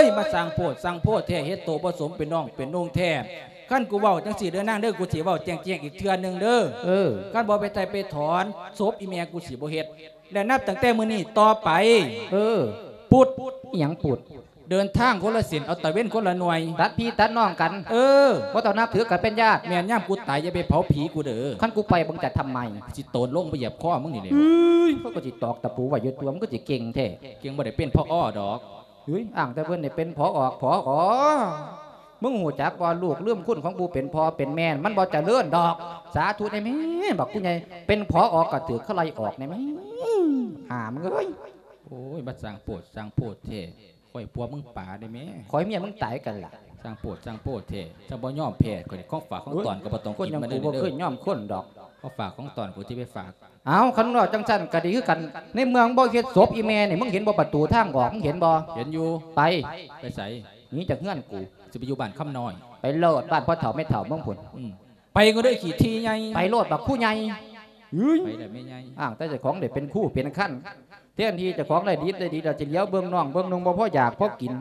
ຍ ມາສ້າງໂພດສ້າງໂພແທ້ ເຮັດໂຕບໍ່ສົມເປັນນ້ອງເປັນນຸ່ງແທ້ ຄັນກູເວົ້າຈັ່ງຊີ້ເດີນາງເດີ ກູຊິເວົ້າແຈ້ງໆອີກເທື່ອໜຶ່ງເດີ ເອີ ຄັນບໍ່ໄປໄຖ່ໄປຖອນ ສົບອີແມ່ກູຊິບໍ່ເຮັດ ແລະ ນັບຕັ້ງແຕ່ມື້ນີ້ຕໍ່ໄປ ເອີ ປຸດ ອີຫຍັງປຸດ? ເດີນທາງຄົນລະເສັ້ນ ເອົາຕາເວັນຄົນລະໜ່ວຍ ຕັດພີ່ຕັດນ້ອງກັນ ເອີ ບໍ່ຕ້ອງນັບຖືກັນເປັນຍາດ ແມ່ນຍາມກູຕາຍຢ່າໄປເຜົາຜີກູເດີ ຄັນກູໄປມຶງຈະທຳໄມ? ຊິໂຕນລົງໄປຢຽບຄໍມຶງນີ້ແຫຼະ ເອີຍ ເຂົາກໍຊິຕອກຕະປູໄວ້ຢູ່ຕົວະ ມຶງກໍຊິເກັ່ງແທ້ ເກັ່ງບໍ່ໄດ້ເປັນ ຜອ ດອກ ເຮີ້ຍ ອ້າງແຕ່ເພິ່ນໄດ້ເປັນ ຜອ ຜອ ມຶງຮູ້ຈັກບໍ່ ລູກລືມຄຸນຂອງຜູ້ເປັນພໍ່ເປັນແມ່ ມັນບໍ່ຈະເລີນດອກ ສາທຸແດ່ແມ້ ບັກຜູ້ໃຫຍ່ ເປັນ ຜອ ກໍຖືກເຂົາໄລ່ອອກແດ່ແມ້ ຫາມຶງເອີຍ ໂອ້ຍ ມາສ້າງໂພດສ້າງໂພແທ້ ຂ້ອຍຜົວມຶງປາໄດ້ແມ້ ຂ້ອຍເມຍມຶງຕາຍກັນລະ ສ້າງໂພດສ້າງໂພແທ້ ຈັ່ງບໍ່ຍອມແພ້ ຂ້ອຍຂອງຝາກຂອງຕ້ອນກໍບໍ່ຕ້ອງກິນມາເດີ ໂອ້ຍ ຄົນຢ່າງກູບໍ່ເຄີຍຍອມຄົນດອກ ຂອງຝາກຂອງຕ້ອນກູຊິໄປຝາກ ເອົ້າ ຄັນວ່າຈັ່ງຊັ້ນກໍດີຄືກັນ ໃນເມື່ອມຶງບໍ່ເຮັດສົບອີແມ່ນີ້ ມຶງເຫັນບໍ່ປະຕູທາງອອກ ມຶງເຫັນບໍ່? ເຫັນຢູ່ ໄປ ໄປໃສ? ໜີຈາກເຮືອນກູ ຊິໄປຢູ່ບ້ານຄຳນ້ອຍ ໄປໂລດ ບ້ານພໍ່ເຖົ້າແມ່ເຖົ້າມຶງພຸ້ນ ອືມ ໄປກໍໄດ້ຂີ້ຖີ່ໃຫຍ່ ໄປໂລດບັກຄູໃຫຍ່ ເຮີ້ຍ ໄປແລ້ວແມ່ໃຫຍ່ ອ້າງແຕ່ເຈົ້າຂອງໄດ້ເປັນຄູເປັນຄັນ ແທນທີ່ເຈົ້າຂອງໄດ້ດິບໄດ້ດີ ແລ້ວຊິຫຼຽວເບິ່ງນ້ອງເບິ່ງນຸ່ງ ບໍ່ພໍຢາກພໍກິນ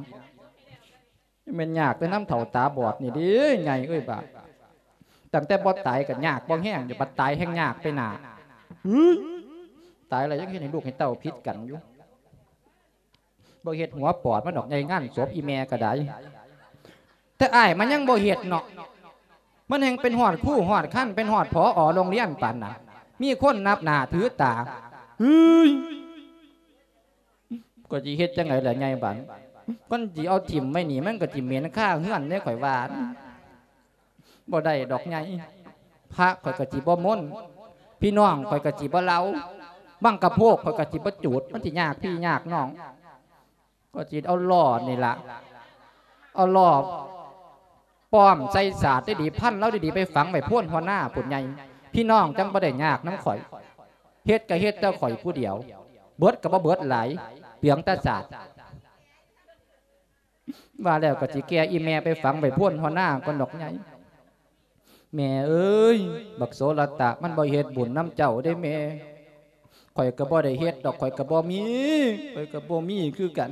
ແມ່ນຍາກແຕ່ນຳເຖົ້າຕາບອດນີ້ເດ້ ໃຫຍ່ເອີຍບາດ ຕັ້ງແຕ່ບໍ່ຕາຍກໍຍາກບໍ່ແຮງຢູ່ ບັດຕາຍແຮ່ງຍາກໄປໜ້າ ເຮີ້ຍ ຕາຍແລ້ວຍັງເຮັດໃຫ້ລູກໃຫ້ເຕົ້າຜິດກັນຢູ່ ບໍ່ເຮັດຫົວປອດມັນດອກໃຫຍ່ ງານສົບອີແມ່ກໍໄດ້ ແຕ່ອ້າຍມັນຍັງບໍ່ເຮັດເນາະ ມັນແຮ່ງເປັນຮອດຄູຮອດຄັນ ເປັນຮອດ ຜອ ໂຮງຮຽນປານນັ້ນ ມີຄົນນັບໜ້າຖືຕາ ເຮີ້ຍ ກໍຊິເຮັດຈັ່ງໃດລະໃຫຍ່ບາດ ມັນຊິເອົາຖິ້ມໄວ້ນີ້ ມັນກໍຊິເໝັນຄາເຮືອນເດ້ ຂ້ອຍວ່າ ບໍ່ໄດ້ດອກໃຫຍ່ ພະຂ້ອຍກໍຊິບໍ່ມົນ ພີ່ນ້ອງຂ້ອຍກໍຊິບໍ່ເລົ່າ ບັ້ງກະໂພກຂ້ອຍກໍຊິບໍ່ຈູດ ມັນຊິຍາກພີ່ຍາກນ້ອງ ກໍຊິເອົາລໍ້ນີ້ລະ ເອົາລໍ້ປ້ອມໃສ່ສາດດີໆ ພັນລາວດີໆ ໄປຝັງໄວ້ໂພນຫົວໜ້າພຸ້ນໃຫຍ່ ພີ່ນ້ອງຈັ່ງບໍ່ໄດ້ຍາກນຳຂ້ອຍ ເຮັດກໍເຮັດແຕ່ຂ້ອຍຜູ້ດຽວ ເບິດກໍບໍ່ເບິດຫຼາຍ ເປືອງແຕ່ສາດ. ວ່າແລ້ວກໍຊິແກ່ອີແມ່ໄປຝັງໄວ້ໂພນຫົວໜ້າກ່ອນດອກໃຫຍ່. ແມ່ເອີຍ ບັກໂສລະຕະ ມັນບໍ່ເຮັດບຸນນຳເຈົ້າເດ້ແມ່. ຂ້ອຍກໍບໍ່ໄດ້ເຮັດດອກ ຂ້ອຍກໍບໍ່ມີ ຂ້ອຍກໍບໍ່ມີຄືກັນ.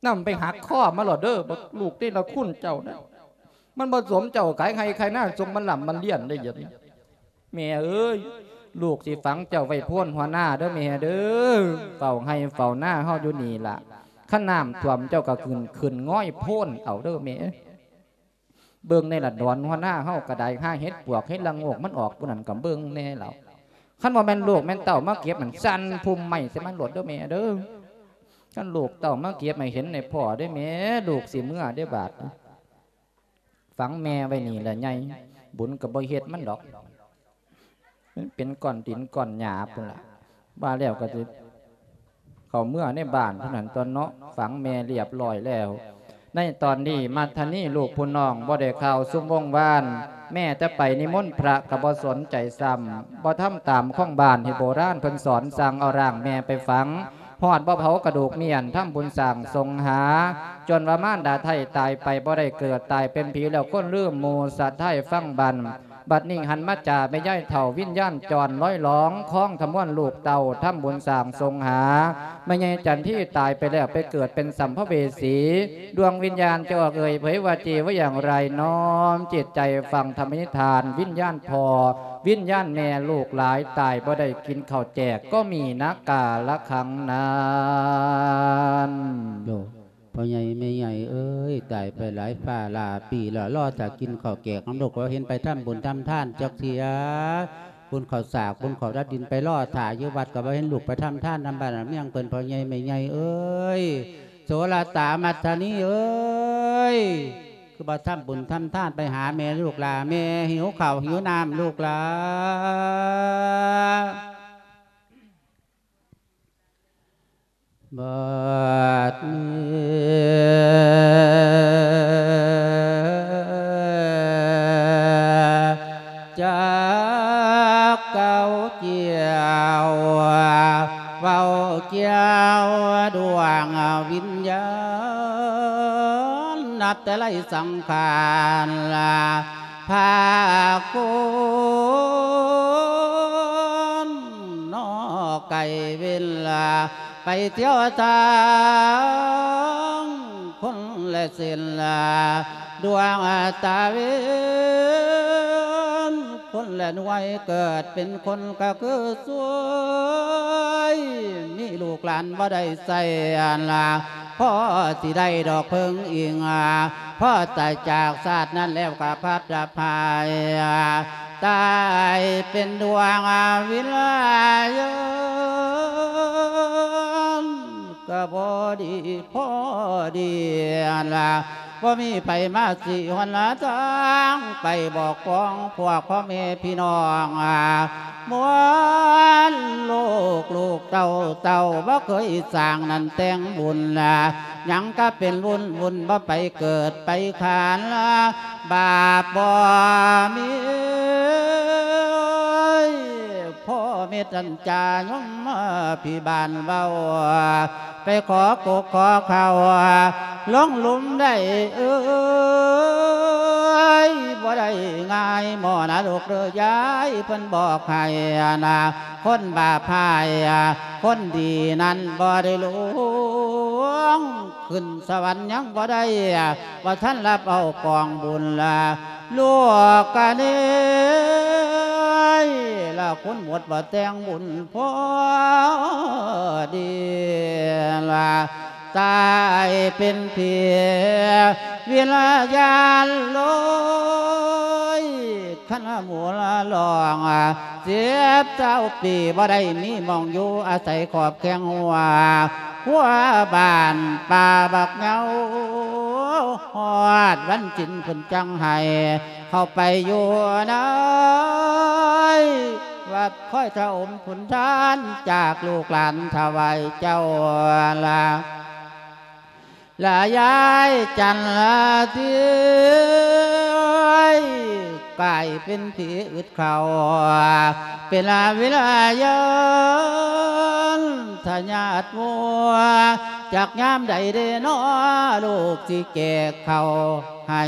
ນຳໄປຫັກຄໍມັນໂລດເດີ ບັກລູກເນລະຄຸນເຈົ້ານະ. ມັນບໍ່ສົມເຈົ້າຂາຍໄຮ່ຂາຍນາ ສົ່ງມັນລ່ຳມັນລຽນໄດ້ດຽວນີ້. ແມ່ເອີຍ ລູກຊິຝັງເຈົ້າໄວ້ໂພນຫົວໜ້າເດີແມ່ເດີ. ເຝົ້າໄຮ່ເຝົ້ານາເຮົາຢູ່ນີ້ລະ. ຄັນນ້ຳຖ້ວມເຈົ້າກໍຂຶ້ນ ຂຶ້ນງອຍໂພນເອົາເດີແມ່. ເບິ່ງແນ່ລະ ດອນຫົວໜ້າເຮົາກໍໄດ້ ຫາເຫັດປວກເຫັດລະໂງກມັນອອກ ຜູ້ນັ້ນກໍເບິ່ງແນ່ລະ. ຄັນບໍ່ແມ່ນລູກແມ່ນເຕົ້າມາເກັບ ມັນສັ່ນພຸ່ມໄມ້ໃສ່ມັນໂລດເດີແມ່ເດີ. ຄັນລູກເຕົ້າມາເກັບໃຫ້ເຫັນໃຫ້ພໍ້ເດ້ແມ່ ລູກຊິເມືອເດ້ບາດນີ້. ຝັງແມ່ໄວ້ນີ້ລະໃຫຍ່ ບຸນກໍບໍ່ເຮັດມັນດອກ. ມັນເປັນກ້ອນດິນກ້ອນຫຍ້າພຸ້ນລະ. ວ່າແລ້ວກໍຊິເຂົ້າເມືອໃນບ້ານເທົ່ານັ້ນຕົວະເນາະ. ຝັງແມ່ລຽບຮ້ອຍແລ້ວ. ໃນຕອນນີ້ມັດທະນີລູກຜູ້ນ້ອງບໍ່ໄດ້ຂ່າວຊຸມວົງວານ ແມ້ແຕ່ໄປນິມົນພະກໍບໍ່ສົນໃຈຊ້ຳ. ບໍ່ທຳຕາມຂອງບ້ານທີ່ໂບລານເພິ່ນສອນ ສັ່ງເອົາຮ່າງແມ່ໄປຝັງ. ຮອດບໍ່ເຜົາກະດູກມ້ຽນ ທຳບຸນສ້າງສົງຫາ ຈົນວ່າມານດາໄທ້ຕາຍໄປບໍ່ໄດ້ເກີດ ຕາຍເປັນຜີແລ້ວຄົນລືມໝູ່ ສະທ້າຍຟັງບັນ. ບັດນີ້ຫັນມາຈາແມ່ຍາຍເຖົ້າ ວິນຍານຈອນລອຍຫຼອງ ຄອງທະມວນລູກເຕົ້າ ທຳບຸນສ້າງສົງຫາ. ແມ່ໃຫຍ່ຈັນທີຕາຍໄປແລ້ວໄປເກີດເປັນສຳພະເວສີ ດວງວິນຍານຈະອອກເອີ່ຍເຜີຍວ່າຈີວ່າຢ່າງໃດ ນ້ອມຈິດໃຈຟັງທຳມະນິທານ ວິນຍານພໍ່ ວິນຍານແມ່ ລູກຫຼາຍຕາຍບໍ່ໄດ້ກິນເຂົ້າແຈກ ກໍມີນະກາລະຄັງນັ້ນ. ໂອ້ ພໍ່ໃຫຍ່ແມ່ໃຫຍ່ເອີຍ ຕາຍໄປຫຼາຍຟ້າຫຼາຍປີແລ້ວ ລໍຖ້າກິນເຂົ້າແຈກນຳລູກ ບໍ່ເຫັນໄປທຳບຸນທຳທານຈັກເທື່ອ. ບຸນເຂົ້າສາກ ບຸນເຂົ້າດັດດິນ ໄປລໍຖ້າຢູ່ວັດ ກໍບໍ່ເຫັນລູກໄປທຳທານນຳບ້ານນຳເມືອງເພິ່ນ ພໍ່ໃຫຍ່ແມ່ໃຫຍ່ເອີຍ. ໂສລະຕາ ມັດທະນີເອີຍ ຄືບໍ່ທຳບຸນທຳທານໄປຫາແມ່ລູກຫຼ້າ ແມ່ຫິວເຂົ້າຫິວນ້ຳລູກຫຼ້າ. ບັດນີ້ ຈັກກ່າວກ່ຽວ ເວົ້າກ່ຽວດວງວິນຍານ ນັບແຕ່ໄລສັງຂານ ພາຄົນນອກໄກເວນລາ ໄປທ່ຽວທາງຄົນແລະເສັ້ນລາ ດວງຕາເວັນ ຄົນແລະໜ່ວຍເກີດເປັນຄົນກະຄືຊ່ວຍ ມີລູກຫຼານບໍ່ໄດ້ໃຊ້ອັນລາ ພໍຊິໄດ້ດອກເພິ່ງອີງ ພໍຕາຍຈາກຊາດນັ້ນແລ້ວກະພັດພາຍ ຕາຍເປັນດວງວິນຍານ ກະພໍດີພໍດີລະ ບໍ່ມີໃຜມາຊີ້ຫົນລະທາງ ໄປບອກຂອງພວກພໍ່ແມ່ພີ່ນ້ອງ ມວນລູກລູກເຕົ້າເຕົ້າ ບໍ່ເຄີຍສ້າງນັ້ນແຕ່ງບຸນລະ ຍັງກະເປັນວຸ່ນວຸ່ນ ບໍ່ໄປເກີດໄປຂານລະ ບາບບໍ່ມີ ພໍ່ເມດອັນຈາຍົມພິບານເວົ້າ ໄປຂໍກົກຂໍເຂົ້າ ລົງຫຼຸມໄດ້ເອີຍ ບໍ່ໄດ້ງ່າຍໝໍນະລູກເດີຍາຍ ເພິ່ນບອກໃຫ້ນະ ຄົນບາບຮ້າຍ ຄົນດີນັ້ນບໍ່ໄດ້ລົງ ຂຶ້ນສະຫວັນຍັງບໍ່ໄດ້ ບໍ່ທັນຮັບເອົາກອງບຸນລະ ລູກກະເນຍລະ ຄົນໝົດບໍ່ແຕ່ງບຸນພໍດີລະ ຕາຍເປັນຜີວິນຍານໂລຍ ຄັນໝູລະລອງ ສິບຊາວປີ ບໍ່ໄດ້ມີໝ່ອງຢູ່ອາໄສຂອບແຄງຫົວ ຄົວບ້ານປ່າບັກເຍົາ ຮອດວັນສິນເພິ່ນຈັ່ງໃຫ້ເຂົ້າໄປຢູ່ໃນວັດ ຄອຍທະອົມຜົນທານຈາກລູກຫຼານຖວາຍເຈົ້າລະ ລະຍາຍຈັນລະຕິ ກາຍເປັນຜີອຶດເຂົ້າ ເປັນລະວິລະຍານທະຍາດມົວ ຈັກຍາມໃດເດນໍ ລູກຊິແກະເຂົ້າໃຫ້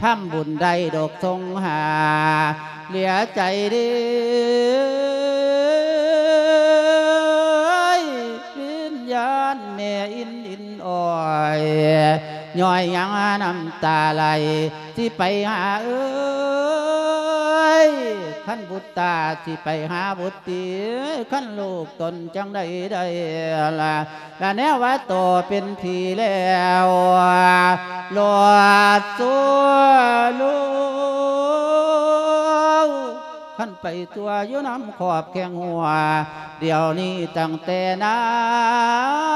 ທຳບຸນໄດ້ດອກສົງຫາ ເຫຼືອໃຈດີ ວິນຍານແມ່ອິນອິນອ້ອຍ ຍ້ອຍຍັງນ້ຳຕາໄຫຼ ຊິໄປຫາເອີຍ ຄັນບຸດຕາ ຊິໄປຫາບຸດຕີ ຄັນລູກຕົນຈັ່ງໃດໄດ້ລະ ລະແນວວ່າໂຕເປັນຜີແລ້ວ ລອດຊົ່ວລູກ ຄັນໄປຕົວຢູ່ນຳຂອບແຄງຫົວ ດຽວນີ້ຕັ້ງແຕ່ນາ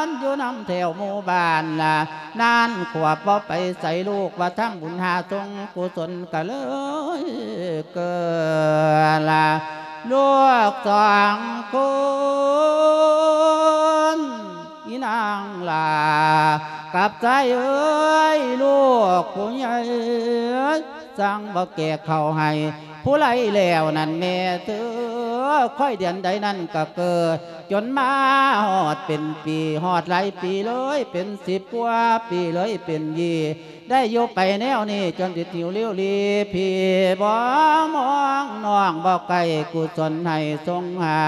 ນ ຢູ່ນຳແຖວໝູ່ບ້ານລະ ນານຂວບບໍ່ໄປໃສ ລູກວ່າທຳບຸນຫາສົງກຸສົນ ກະເລີຍເກີດລະ ລູກສອງຄົນ ອີນາງຫຼ້າກັບຊາຍເອີຍ ລູກຜູ້ໃຫຍ່ສັ່ງບໍ່ແກະເຂົ້າໃຫ້ ຜູ້ໄຫຼແລ້ວນັ້ນແມ່ເທີ ຄ່ອຍເດືອນໃດນັ້ນກະເກີດ ຈົນມາຮອດເປັນປີ ຮອດຫຼາຍປີເລີຍ ເປັນສິບກວ່າປີເລີຍ ເປັນຍີ່ ໄດ້ຢູ່ໄປແນວນີ້ ຈົນຊິຫິວລິວລີ ພີ່ບໍ່ມອງນ້ອງບໍ່ໃກ້ກຸສົນໃຫ້ຊົງຫາ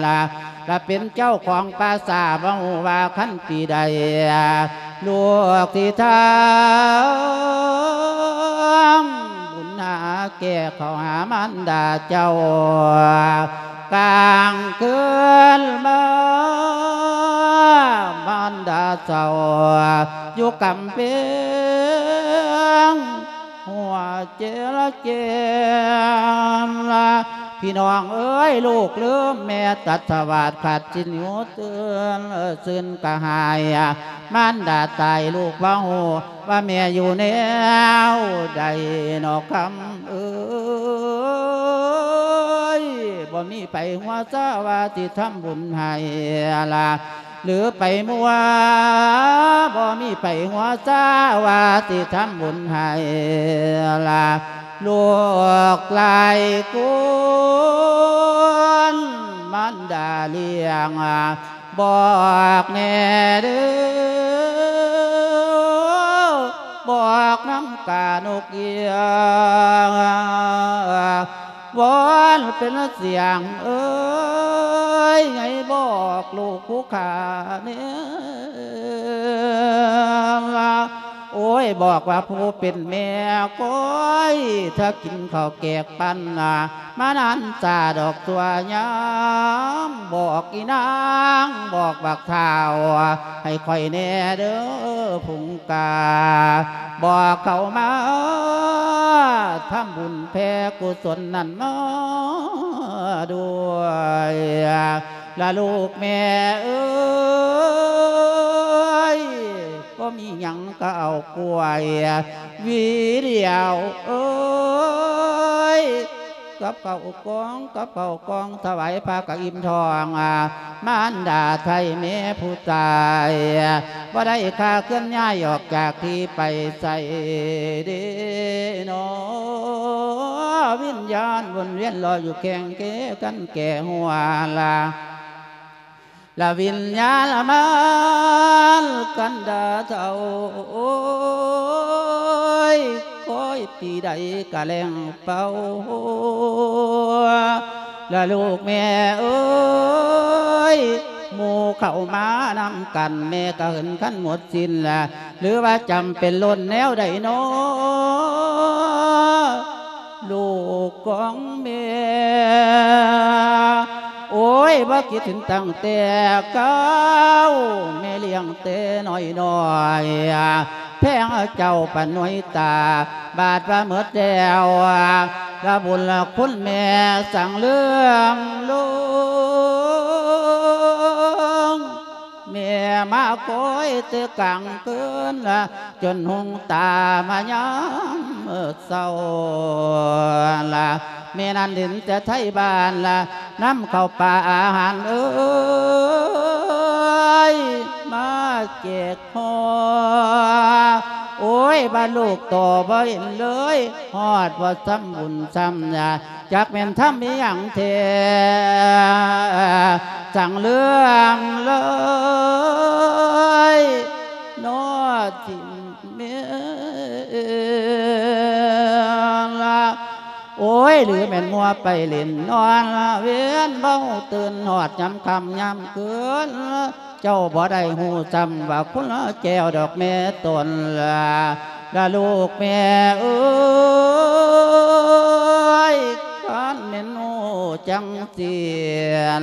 ລະ ລະເປັນເຈົ້າຂອງປາສາດ ບໍ່ຮູ້ວ່າຄັນປີໃດ ລູກຊິທຳບຸນຫາແກ່ເຂົ້າຫາມານດາເຈົ້າ ກາງຄືນມາ ມານດາເສົ້າ ຢູ່ກຳແພງ ຫົວເຈລະເກມລະ ພີ່ນ້ອງເອີຍ ລູກລືມແມ່ຕັດສະຫວາດ ຂາດສິນຢູ່ຕື່ນ ຊື່ນກະຫາຍ ມານດາຕາຍ ລູກບໍ່ຮູ້ວ່າແມ່ຢູ່ແນວໃດ ນ້ອງຄຳເອີຍ ບໍ່ມີໃຜຫົວຊາວ່າຊິທຳບຸນໃຫ້ລະ ຫຼືໄປມົວ ບໍ່ມີໄປຫົວຊາ ວ່າຊິທຳບຸນໃຫ້ລະ ລູກຫຼາຍຄົນ ມານດາລ້ຽງ ບອກແດ່ເດີ ບອກນຳການົກເອຍ ວອນເປັນສຽງເອີຍ ໃຫ້ບອກລູກຜູ້ຂ້າແດ່ ໂອ້ຍ ບອກວ່າຜູ້ເປັນແມ່ກ້ອຍ ຖ້າກິນເຂົ້າແກກປັນນາ ມານານຊາດອກຊົ່ວຍາມ ບອກອີນາງ ບອກບັກທ້າວ ໃຫ້ຂ້ອຍແດ່ເດີພຸງກາ ບອກເຂົ້າມາ ທຳບຸນແຜ່ກຸສົນນັ້ນມາດ້ວຍ ລະລູກແມ່ເອີຍ ບໍ່ມີຫຍັງກໍເອົາກ້ວຍຫວີດຽວເອີຍ ກັບເຂົ້າກອງ ກັບເຂົ້າກອງ ຖວາຍພະກະອີ່ມທ້ອງ ມານດາໄທແມ່ຜູ້ຕາຍ ບໍ່ໄດ້ຄ່າເຄື່ອນຍ້າຍອອກຈາກທີ່ໄປໃສເດເນາະ ວິນຍານວົນວຽນລໍຢູ່ແຂ່ງເຄກັນແກ່ຫົວລະ ລະວິນຍາລະມານກັນດາເຖົ້າ ໂອ້ຍ ຄອຍປີໃດກະແລ່ງເປົ່າ ລະລູກແມ່ເອີຍ ໝູ່ເຂົ້າມານຳກັນ ແມ່ກະເຫີນຄັນໝົດສິ້ນລະ ຫຼືວ່າຈຳເປັນລົ້ນແນວໃດນໍ ລູກຂອງແມ່ ໂອ້ຍ ບໍ່ຄິດເຫັນຕັ້ງແຕ່ເກົ່າ ແມ່ລ້ຽງແຕ່ນ້ອຍໆ ແພງເຈົ້າປານໜ່ວຍຕາ ບາດວ່າໝົດແລ້ວ ລະບຸນລະຄຸນແມ່ສັງເຫຼືອມລົງ ແມ່ມາຄອຍແຕ່ກາງຄືນ ຈົນຮຸ່ງຕາມາຍາມເຊົ້າລະ ແມ່ນັ້ນເຫັນແຕ່ໄທບ້ານລະ ນຳເຂົ້າປາອາຫານເອີຍ ມາແຈກຫໍ່ ໂອ້ຍ ບາດລູກຕໍ່ບໍ່ເຫັນເລີຍ ຮອດບໍ່ຊຳບຸນຊຳຍາ ຈັກແມ່ນທຳອີ່ຫຍັງແທ້ ສັງເຫຼືອມເລີຍ ນອດຖິ້ມແມ່ລະ ໂອ້ຍ ຫຼືແມ່ນມົວໄປຫຼິ້ນນອນ ວຽນເບົາຕື່ນ ຮອດຍາມຄ່ຳຍາມຄືນ ເຈົ້າບໍ່ໄດ້ຮູ້ຊ້ຳວ່າຄຸນແກ້ວດອກແມ່ຕົນລະ ລະລູກແມ່ເອີຍ ຄັນແມ່ນຮູ້ຈັ່ງຊີ້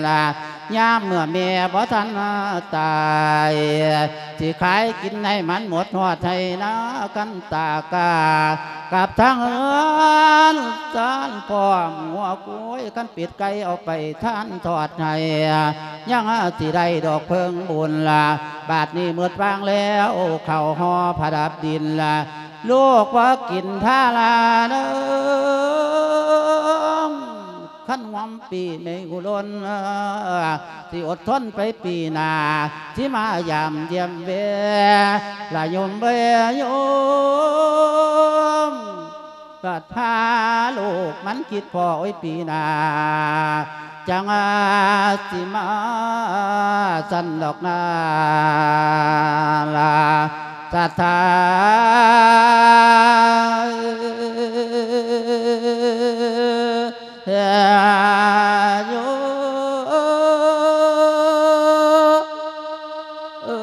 ລະ ຍາມເມື່ອແມ່ບໍ່ທັນຕາຍ ຊິຂາຍກິນໃຫ້ມັນໝົດຮອດໄຮ່ນາຄັນຕາກາ ກັບທາງເຮືອນຊານພ້ອມງົວຄວາຍ ຄັນເປັດໄກ່ເອົາໄປທານທອດໃຫ້ ຍັງຊິໄດ້ດອກເພິ່ງບຸນລະ ບາດນີ້ໝົດວາງແລ້ວ ເຂົ້າຫໍ່ປະດັບດິນລະ ລູກບໍ່ກິນທາລາເດີ ຄັນຫວມປີແມ່ອຸດົນ ຊິອົດທົນໄປປີໜ້າ ຊິມາຢາມຢ້ຽມແວ ລະໂຍມເອີຍໂຍມ ກະພາລູກມັນຄິດພໍ້ ໂອ້ຍ ປີໜ້າ ຈັ່ງວ່າຊິມາຊັ້ນດອກນາລະ ສະຖາ ເອີ ໂຍ ເອີ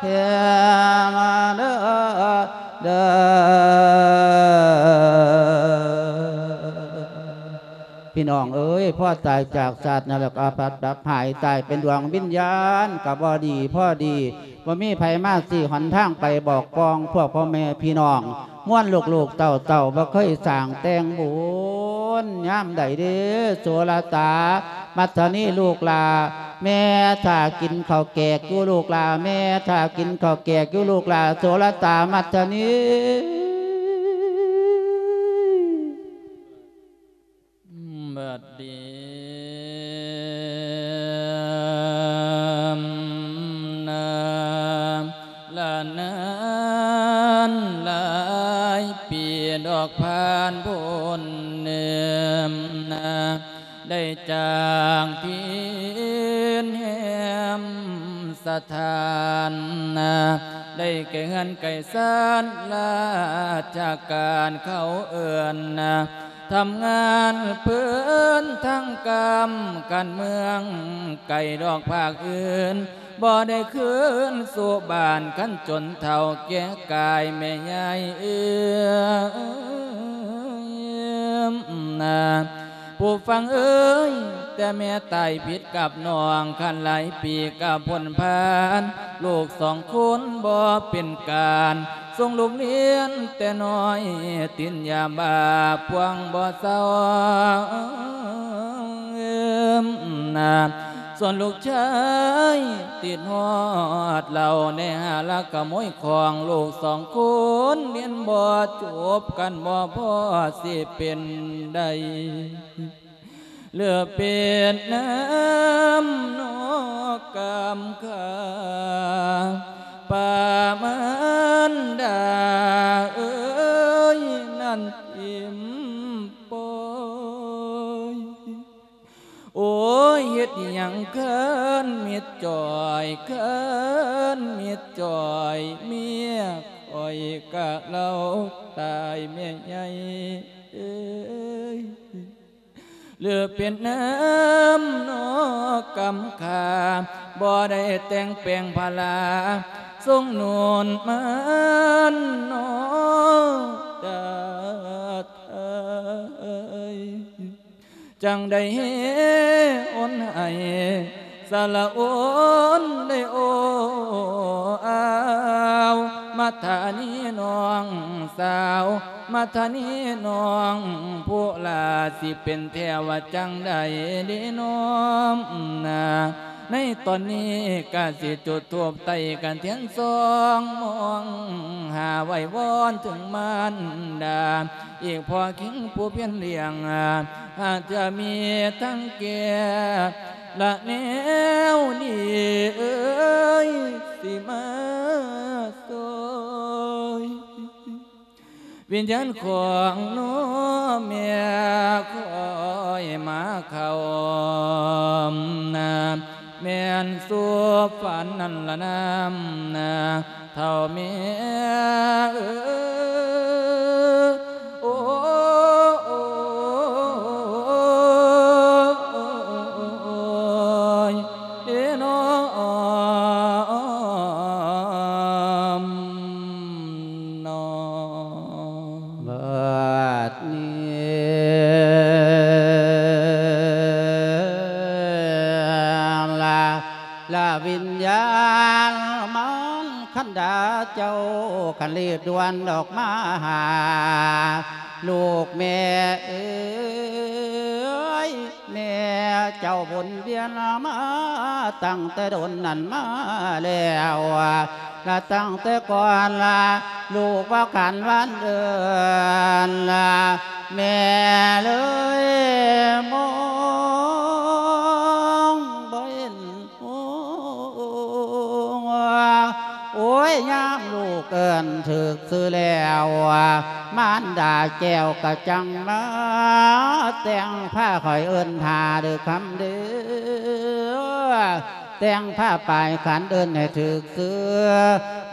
ເອີ ເອີ ເອີ ເອີ ເອີ ພີ່ນ້ອງເອີຍ ພໍຕາຍຈາກຊາດນີ້ແລ້ວກໍອາພັບດັບຫາຍ ຕາຍເປັນດວງວິນຍານກໍບໍ່ດີພໍດີ ບໍ່ມີໃຜມາຊີ້ຫົນທາງໄປບອກກ່ອງ ພວກພໍ່ແມ່ພີ່ນ້ອງ ມວນລູກໆເຕົ້າໆ ບໍ່ເຄີຍສ້າງແຕ່ງບຸນ ຍາມໃດເດ້ ໂສລະຕາ ມັດທະນີລູກຫຼ້າ ແມ່ຖ້າກິນເຂົ້າແກກຢູ່ລູກຫຼ້າ ແມ່ຖ້າກິນເຂົ້າແກກຢູ່ລູກຫຼ້າ ໂສລະຕາ ມັດທະນີ. ບັດນີ້ ນານຫຼາຍປີດອກຜ່ານພົ້ນເນີມນາ ໄດ້ຈາກຖິ່ນແຮມສະຖານນາ ໄດ້ແກ່ເຮືອນໄກສານລາຊະການເຂົາເອີ້ນນາ ທຳງານເພີນທາງກຳ ການເມືອງໄກດອກພາກອື່ນ ບໍ່ໄດ້ຄືນສູ່ບ້ານ ຄັນຈົນເຖົ້າແກ່ກາຍແມ່ຍາຍເອີຍນາ ຜູ້ຟັງເອີຍ ແຕ່ແມ່ຕາຍຜິດກັບນ້ອງ ຄັນຫຼາຍປີກະພົ້ນຜ່ານ ລູກສອງຄົນບໍ່ເປັນການ ສົ່ງລູກຮຽນແຕ່ນ້ອຍ ຕິນຢາບ້າພວງບໍ່ເຊົານາ ສ່ວນລູກຊາຍຕິດຮອດເຫຼົ້າ ໄດ້ຫາລັກຂະໂມຍຂອງ ລູກສອງຄົນຮຽນບໍ່ຈົບ ກັນບໍ່ພໍຊິເປັນໄດ້ ເຫຼືອເປັນນ້ຳນອກກຳຂາ ປ້າມານດາເອີຍ ນັ້ນຖິ້ມປ່ອຍ ໂອ້ຍ ເຮັດຫຍັງຄັນມິດຈ່ອຍ ຄັນມິດຈ່ອຍ ເມຍຂ້ອຍກະເລົ່າຕາຍແມ່ໃຫຍ່ເອີຍ ຫຼືເປັນນ້ຳນອກກຳຂາ ບໍ່ໄດ້ແຕ່ງແປງພາລາ ຊົງໜູນມານນອກຕາໄທ ຈັ່ງໄດ້ໂອນໃຫ້ ສະລະໂອນໄດ້ໂອອາວ ມາທານີນ້ອງສາວ ມາທານີນ້ອງຜູ້ຫຼ້າ ຊິເປັນແທ້ວ່າຈັ່ງໃດເດນ້ອມນາ ໃນຕອນນີ້ກະຊິຈຸດທູບໄຕ້ກະທຽນສອງ ມອງຫາໄຫວ້ວອນເຖິງມານດາ ອີກພໍຄິງຜູ້ພຽນລ້ຽງ ຫາກຈະມີທາງແກ້ ລະແນວນີ້ເອີຍ ຊິມາຊ່ອຍ ວິນຍານຂອງນ້ອງແມ່ຂ້ອຍມາເຂົ້ານາ ແມ່ນສູ່ຝັນນັ້ນລະນາ ເຖົ້າແມ່ເອີຍ ໂອ້ຍ ເອີນ້ອມ ເນາະ ບາດນີ້ລະ ລະວິນຍານມານຄັນດາເຈົ້າ ຄັນລີບດ່ວນອອກມາຫາລູກແມ່ເອີຍ ແມ່ເຈົ້າວົນວຽນມາຕັ້ງແຕ່ດົນນັ້ນມາແລ້ວ ລະຕັ້ງແຕ່ກ່ອນລະ ລູກວ່າການວານເດີນລະ ແມ່ເລີຍມອງບໍ່ເຫັນ ໂອ້ຍ ຍາມລູກເອີ້ນຖືກຊື່ແລ້ວ ມານດາແກ້ວກະຈັ່ງມາແຕ່ງພາຂ້ອຍເອີ້ນຫາເດີຄຳເດີ ແຕ່ງພາປາຍຂັນເອີ້ນໃຫ້ຖືກຊື່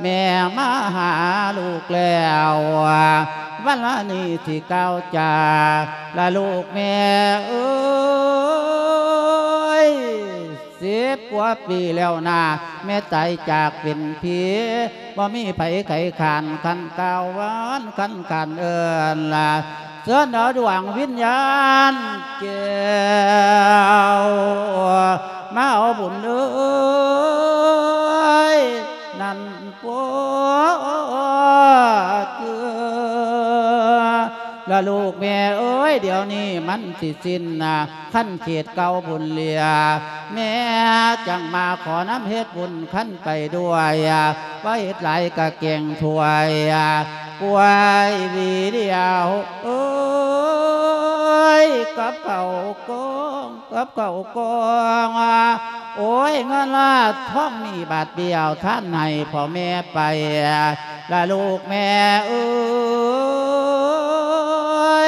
ແມ່ມາຫາລູກແລ້ວ ວັນລະນີ້ທີ່ກ່າວຈາ ລະລູກແມ່ເອີຍ ສິບກວ່າປີແລ້ວນາ ແມ່ຕາຍຈາກເປັນຜີ ບໍ່ມີໃຜໄຂຂານ ຄັນກ່າວຫວານ ຄັນຂັນເອີ້ນລະ ເຊີນເອົາດວງວິນຍານແກ້ວ ມາເອົາບຸນເອີຍ ນັ້ນ ໂອ້ ລະລູກແມ່ເອີຍ ດຽວນີ້ມັນຊິສິ້ນນະ ຄັນເຂດເກົ່າບຸນເຫຼືອ ແມ່ຈັ່ງມາຂໍນຳເຮັດບຸນຄັນໄປດ້ວຍ ບໍ່ເຮັດຫຼາຍກະແກງຖ້ວຍ ກວຍຫວີດຽວເອີຍ ກັບເຂົ້າກອງ ກັບເຂົ້າກອງ ໂອ້ຍ ເງິນລາດທອງມີບາດດຽວ ທານໃຫ້ພໍ່ແມ່ໄປ ລະລູກແມ່ເອີ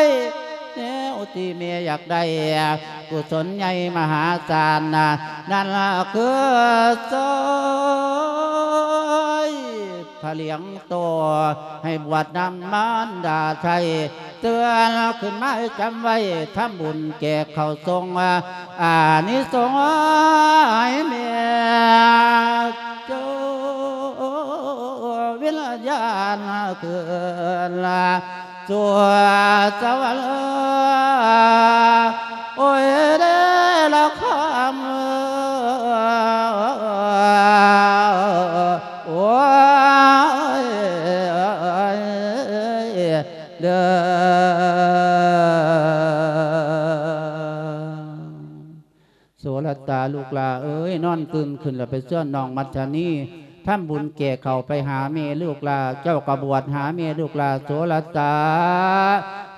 ຍ ແນວທີ່ແມ່ຢາກໄດ້ ກຸສົນໃຫຍ່ມະຫາສານ ນັ້ນລະຄືຊອຍພະຫຼຽງໂຕ ໃຫ້ບວດນຳມານດາໄທ ເຕືອນຂຶ້ນມາໃຫ້ຈຳໄວ້ ທຳບຸນແຈກເຂົ້າສົ່ງ ອານິສົງໃຫ້ແມ່ເຈົ້າ ວິນຍານຄືນ ສວດສະຫວັນ ໂອ້ຍເດລະຄຳ ໂອ້ຍເດີ ໂສລະຕາ ລູກຫຼ້າເອີຍ ນອນຕື່ນຂຶ້ນແລ້ວ ໄປເຊີນນ້ອງມັດທະນີ ທຳບຸນແກ່ເຂົ້າໄປຫາແມ່ ລູກຫຼ້າ ເຈົ້າກໍບວດຫາແມ່ ລູກຫຼ້າ ໂສລະຕາ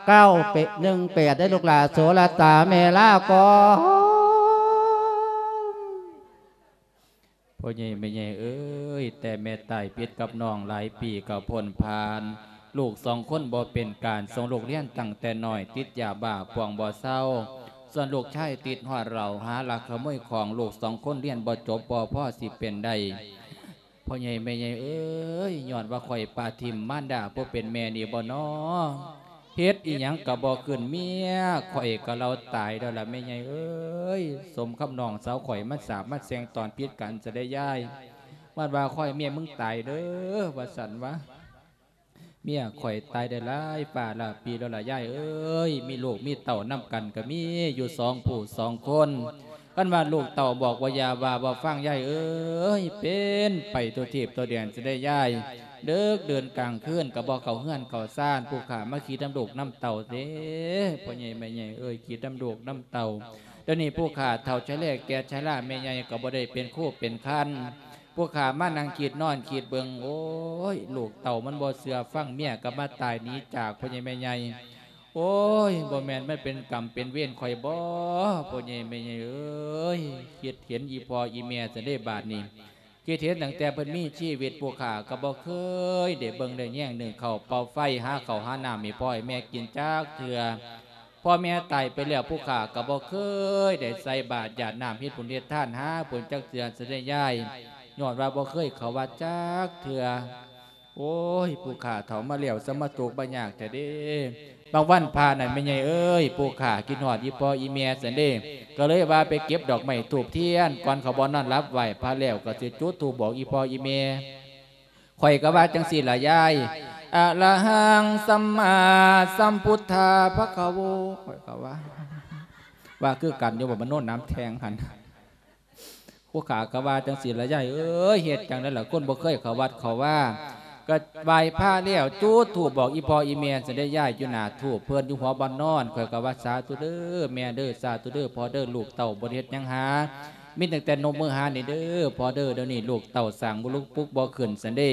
ເກົ້າ ເປັດ ໜຶ່ງ ແປດ ເດ້ ລູກຫຼ້າ ໂສລະຕາ ແມ່ລາກ່ອນ. ພໍ່ໃຫຍ່ແມ່ໃຫຍ່ເອີຍ ແຕ່ແມ່ຕາຍຜິດກັບນ້ອງຫຼາຍປີກໍພົ້ນຜ່ານ ລູກສອງຄົນບໍ່ເປັນການ ສົ່ງລູກຮຽນຕັ້ງແຕ່ນ້ອຍ ຕິດຢາບ້າພວງບໍ່ເຊົາ ສ່ວນລູກຊາຍຕິດຮອດເຫຼົ້າ ຫາລັກຂະໂມຍຂອງ ລູກສອງຄົນຮຽນບໍ່ຈົບ ບໍ່ພໍຊິເປັນໄດ້. ພໍ່ໃຫຍ່ແມ່ໃຫຍ່ເອີຍ ຍ້ອນວ່າຂ້ອຍປະຖິ້ມມານດາຜູ້ເປັນແມ່ນີ້ບໍ່ນໍ ເຮັດອີ່ຫຍັງກໍບໍ່ຂຶ້ນ ເມຍຂ້ອຍກໍເລົ່າຕາຍແລ້ວລະແມ່ໃຫຍ່ເອີຍ ສົມຄຳນ້ອງສາວຂ້ອຍມາສາບມາແຊ່ງຕອນຜິດກັນຊະເດ້ຍາຍ ມັນວ່າຂ້ອຍເມຍມຶງຕາຍເດີ ວ່າຊັ້ນວະ ເມຍຂ້ອຍຕາຍໄດ້ຫຼາຍຟ້າຫຼາຍປີແລ້ວລະຍາຍເອີຍ ມີລູກມີເຕົ້ານຳກັນກໍມີຢູ່ສອງຜູ້ສອງຄົນ ຄັນວ່າລູກເຕົ້າບອກວ່າຢ່າວ່າບໍ່ຟັງຍາຍເອີຍ ເປັນໄປທົ່ວທີບທົ່ວແດນຊະເດ້ຍາຍ ເດິກເດີນກາງຄືນກໍບໍ່ເຂົ້າເຮືອນເຂົ້າຊານ ຜູ້ຂ້າມາຄິດນຳລູກນຳເຕົ້າເດ້ ພໍ່ໃຫຍ່ແມ່ໃຫຍ່ເອີຍ ຄິດນຳລູກນຳເຕົ້າ ດຽວນີ້ຜູ້ຂ້າເຖົ້າຊະແລແກ່ຊະລາ ແມ່ໃຫຍ່ກໍບໍ່ໄດ້ເປັນຄູເປັນຄັນ ພວກຂ້າມານັ່ງຄິດນອນຄິດເບິ່ງ ໂອ້ຍ ລູກເຕົ້າມັນບໍ່ເຊື່ອຟັງ ເມຍກໍມາຕາຍໜີຈາກພໍ່ໃຫຍ່ແມ່ໃຫຍ່ ໂອ້ຍ ບໍ່ແມ່ນມັນເປັນກຳເປັນເວນຂ້ອຍບໍ ພໍ່ໃຫຍ່ແມ່ໃຫຍ່ເອີຍ ຄິດເຫັນອີ່ພໍ່ອີ່ແມ່ຊັ້ນເດ້ບາດນີ້ ຄິດເຫັນຕັ້ງແຕ່ເພິ່ນມີຊີວິດ ພວກຂ້າກໍບໍ່ເຄີຍໄດ້ເບິ່ງໄດ້ແຍງໜຶ້ງເຂົ້າເປົ່າໄຟ ຫາເຂົ້າຫານ້ຳໃຫ້ພໍ່ໃຫ້ແມ່ກິນຈັກເທື່ອ ພໍ່ແມ່ຕາຍໄປແລ້ວ ຜູ້ຂ້າກໍບໍ່ເຄີຍໄດ້ໃສ່ບາດຢາດນ້ຳເຮັດບຸນເຮັດທານຫາເພິ່ນຈັກເທື່ອຊັ້ນເດ້ຍາຍ ຍ້ອນວ່າບໍ່ເຄີຍເຂົ້າວັດຈັກເທື່ອ. ໂອ້ຍ ຜູ້ຂ້າເຖົ້າມາແລ້ວ ສະມາທຸກມາຍາກແທ້ເດ້. ບາງວັນພະນັ້ນ ແມ່ໃຫຍ່ເອີຍ ຜູ້ຂ້າຄິດຮອດອີ່ພໍ່ອີ່ແມ່ຊັ້ນເດ້ ກໍເລີຍວ່າໄປເກັບດອກໄມ້ທູບທຽນ ກ່ອນເຂົ້າບ່ອນນອນຫຼັບ ໄຫວ້ພະແລ້ວກໍຊິຈຸດທູບບອກອີ່ພໍ່ອີ່ແມ່ ຂ້ອຍກໍວ່າຈັ່ງຊີ້ລະຍາຍ ອະລະຫັງ ສຳມາສຳພຸດທາ ພະຄະໂວ ຂ້ອຍກໍວ່າ ວ່າຄືກັນຢູ່ບໍ່ ມະໂນນຳແທງຫັ້ນ ຜູ້ຂ້າກໍວ່າຈັ່ງຊີ້ລະຍາຍເອີຍ ເຮັດຈັ່ງໃດລະ ຄົນບໍ່ເຄີຍເຂົ້າວັດເຂົ້າວາ ກໍໄຫວ້ພະແລ້ວ ຈຸດທູບບອກອີ່ພໍ່ອີ່ແມ່ຊັ້ນເດ້ຍາຍ ຢູ່ໜ້າທູບເພິ່ນ ຢູ່ຫົວບ່ອນນອນ ຂ້ອຍກໍວ່າ ສາທຸເດີແມ່ເດີ ສາທຸເດີພໍ່ເດີ ລູກເຕົ້າບໍ່ໄດ້ເຮັດຫຍັງຫາ ມີຕັ້ງແຕ່ນົບມືຫານີ້ເດີພໍ່ເດີ ດຽວນີ້ລູກເຕົ້າສ້າງບຸລຸກປຸກບໍ່ຂຶ້ນຊັ້ນເດ້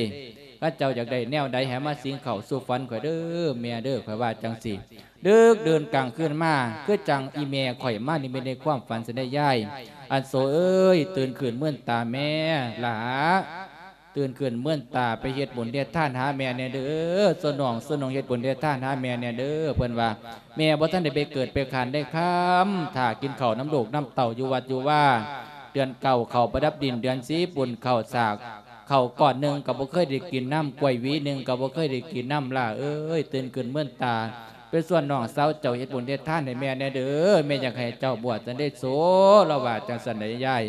ຄັນເຈົ້າຢາກໄດ້ແນວໃດໃຫ້ມາສິງເຂົ້າສູ່ຝັນຂ້ອຍເດີແມ່ເດີ ຂ້ອຍວ່າຈັ່ງຊີ້ ດຶກເດີນກາງຄືນມາ ຄືຈັ່ງອີ່ແມ່ຂ້ອຍມານິມິດໃນຄວາມຝັນຊັ້ນເດ້ຍາຍ ອັນໂສເອີຍ ຕື່ນຂຶ້ນເມີນຕາແມ່ຫຼ້າ ຕື່ນຂຶ້ນເມີນຕາ ໄປເຮັດບຸນເຮັດທານຫາແມ່ແດ່ເດີ ສ່ວນນ້ອງ ສ່ວນນ້ອງເຮັດບຸນເຮັດທານຫາແມ່ແດ່ເດີ ເພິ່ນວ່າ ແມ່ບໍ່ທັນໄດ້ໄປເກີດໄປຄານໄດ້ຄຳ ຖ້າກິນເຂົ້ານຳລູກນຳເຕົ້າຢູ່ວັດຢູ່ວາ ເດືອນເກົ້າເຂົ້າປະດັບດິນ ເດືອນສິບບຸນເຂົ້າສາກ ເຂົ້າກ້ອນໜຶ່ງກໍບໍ່ເຄີຍໄດ້ກິນນຳ ກ້ວຍຫວີໜຶ່ງກໍບໍ່ເຄີຍໄດ້ກິນນຳ ຫຼ້າເອີຍ ຕື່ນຂຶ້ນເມີນຕາ ໄປຊວນນ້ອງສາວເຈົ້າເຮັດບຸນເຮັດທານໃຫ້ແມ່ແດ່ເດີ ແມ່ຢາກໃຫ້ເຈົ້າບວດຊັ້ນເດ້ໂສ ລາວວ່າຈັ່ງຊັ້ນໃດຍາຍ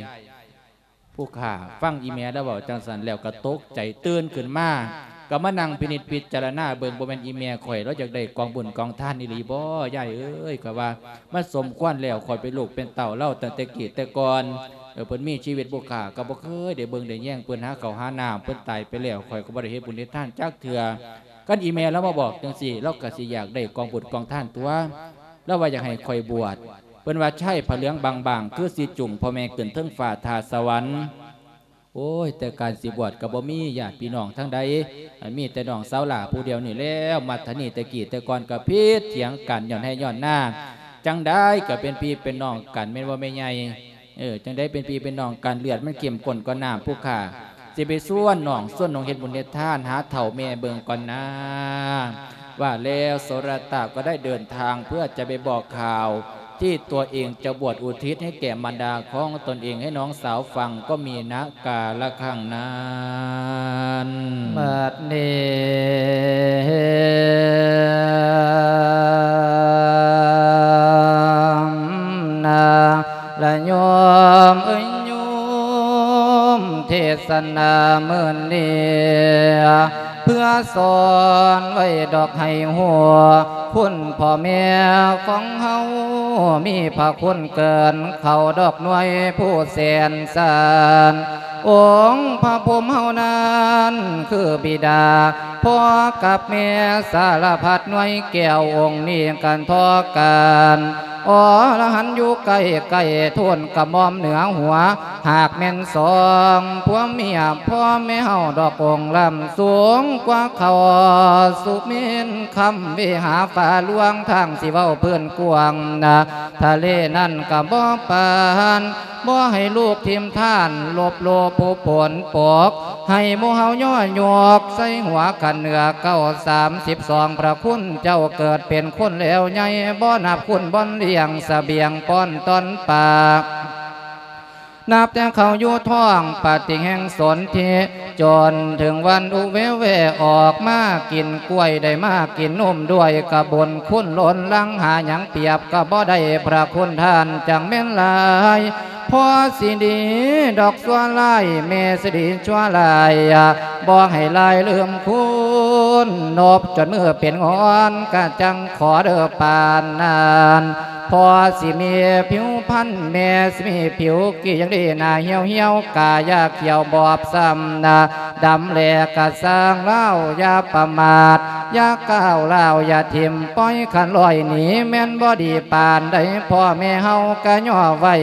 ຜູ້ຂ້າຟັງອີ່ແມ່ລາວເວົ້າຈັ່ງຊັ້ນແລ້ວກໍຕົກໃຈ ຕື່ນຂຶ້ນມາ ກໍມານັ່ງພິນິດພິຈາລະນາເບິ່ງ ບໍ່ແມ່ນອີ່ແມ່ຂ້ອຍລາວຢາກໄດ້ກອງບຸນກອງທານອີ່ຫຼີບໍ ຍາຍເອີຍ ຂ້ອຍວ່າມັນສົມຄວນແລ້ວ ຂ້ອຍເປັນລູກເປັນເຕົ້າລາວຕັ້ງແຕ່ກີ້ແຕ່ກ່ອນ ເອີ ເພິ່ນມີຊີວິດ ຜູ້ຂ້າກໍບໍ່ເຄີຍໄດ້ເບິ່ງໄດ້ແຍງເພິ່ນ ຫາເຂົ້າຫານ້ຳ ເພິ່ນຕາຍໄປແລ້ວ ຂ້ອຍກໍບໍ່ໄດ້ເຮັດບຸນເຮັດທານຈັກເທື່ອ ຄັນອີแม่ลาวมาบอกจั่งซี้ ลาวก็สิอยากได้กองบุญกองทานตั่ว ลาวว่าอยากให้ข้อยบวช เพิ่นว่าชายผ้าเหลืองบางๆ คือสิจูงพ่อแม่ขึ้นเทิงฟ้าท่าสวรรค์ โอ้ย แต่การสิบวชก็บ่มีญาติพี่น้องทางใด มีแต่น้องสาวหล้าผู้เดียวนี่แหล้ว มัดทะนีแต่กี้แต่ก่อนก็ผิดเถียงกันย้อนไฮ่ย้อนนา ຈັ່ງໃດກໍເປັນພີ່ເປັນນ້ອງກັນ ແມ່ນບໍ່ແມ່ໃຫຍ່? ເອີ ຈັ່ງໃດເປັນພີ່ເປັນນ້ອງກັນ ເລືອດມັນເຂັ້ມຂຸ້ນກວ່ານ້ຳ ຜູ້ຂ້າຊິໄປຊວນນ້ອງ ຊວນນ້ອງເຮັດບຸນເຮັດທານ ຫາເຖົ້າແມ່ເບິ່ງກ່ອນນາ. ວ່າແລ້ວ ໂສລະຕະກໍໄດ້ເດີນທາງເພື່ອຈະໄປບອກຂ່າວ ທີ່ຕົວເອງຈະບວດອຸທິດໃຫ້ແກ່ມານດາຂອງຕົນເອງໃຫ້ນ້ອງສາວຟັງກໍມີນະກາລະຄັ້ງນັ້ນ. ບັດນີ້ນາລະໂຍມເອີຍ ໂຍມເທສະນາມື້ນີ້ ເພື່ອສອນໄວ້ດອກໃຫ້ຮູ້ ຄຸນພໍ່ແມ່ຂອງເຮົາ ມີພະຄຸນເກີນເຂົາດອກໜ່ວຍຜູ້ແສນສານ ອົງພະພົມເຮົານັ້ນຄືບິດາ ພໍ່ກັບແມ່ສາລະພັດໜ່ວຍແກ້ວ ອົງນີ້ກັນທໍ່ກັນ ອໍລະຫັນຢູ່ໃກ້ໆ ທູນກະໝ່ອມເໜືອຫົວ ຫາກແມ່ນສອງຜົວເມຍ ພໍ່ແມ່ເຮົາດອກອົງລ້ຳສູງກວ່າເຂົາ ສຸເມນຄຳເວຫາຟ້າຫຼວງ ທາງຊິເວົ້າພື້ນກວ້າງນະ ທະເລນັ້ນກະບໍ່ປານ ບໍ່ໃຫ້ລູກຖິ້ມທ່ານ ລົບໂລຜູ້ຝົນປົກ ໃຫ້ໝູ່ເຮົາຍໍຍົກໃສ່ຫົວ ຂັ້ນເໜືອເກົ້າ ສາມສິບສອງ ພະຄຸນເຈົ້າເກີດເປັນຄົນແລ້ວໃຫຍ່ ບໍ່ນັບຄຸນບ່ອນລ້ຽງສະບຽງປ້ອນຕ້ອນປາກ ນັບແຕ່ເຂົາຢູ່ທ້ອງປະຕິແຫ່ງສົນທິ ຈົນເຖິງວັນອຸເວແວອອກມາກິນກ້ວຍ ໄດ້ມາກິນນົມດ້ວຍ ກະບຸນຄຸນລົ້ນຫຼັງ ຫາຫຍັງປຽບກະບໍ່ໄດ້ ພະຄຸນທ່ານຈັ່ງແມ່ນຫຼາຍ ພໍຊິດີດອກຊົ່ວຮ້າຍ ແມ່ຊິດີຊົ່ວຫຼາຍ ບໍ່ໃຫ້ລາຍລືມຄຸນ ນົບຈົນມືເປັນງອນ ກະຈັ່ງຂໍເດີປານນັ້ນ ພໍ່ຊິມີຜິວພັນ ແມ່ຊິມີຜິວກີ່ ຢ່າງດີໜ້າຫ່ຽວໆ ກາຢາຂຽວບອບຊ້ຳນະ ດຳແຫຼກະຊ່າງລາວ ຢ່າປະໝາດ ຢ່າກ້າວລາວ ຢ່າຖິ້ມປ່ອຍ ຄັນລອຍໜີແມ່ນບໍ່ດີປານໃດ ພໍ່ແມ່ເຮົາກະຍໍໄວ້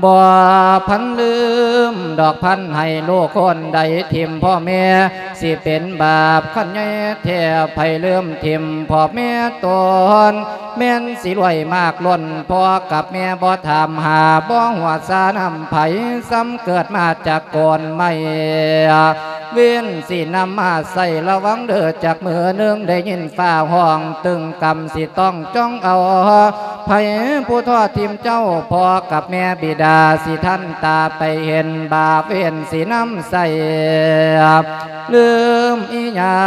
ບໍ່ພັນລືມດອກພັນໃຫ້ລູກຄົນໃດຖິ້ມພໍ່ແມ່ ຊິເປັນບາບຄັນໃຫຍ່ແທ້ ໃຜລືມຖິ້ມພໍ່ແມ່ຕົນ ແມ່ນຊິລວຍມາກລົ້ນ ພໍ່ກັບແມ່ບໍ່ຖາມຫາ ບໍ່ຫົວຊານຳໃຜ ຊ້ຳເກີດມາຈາກໂກນໄມ້ ເວັ້ນຊິນຳມາໃຊ້ລະວັງເດີ ຈັກມື້ໜຶ່ງໄດ້ຍິນຟ້າຮ້ອງ ຕຶງກຳຊິຕ້ອງຈ້ອງເອົາ ໃຜຜູ້ທໍ້ຖິ້ມເຈົ້າ ພໍ່ກັບແມ່ບິດາ ຊິທັນຕາໄປເຫັນ ບາບເວນຊິນຳໃສ່ ລືມອີ່ຫຍັ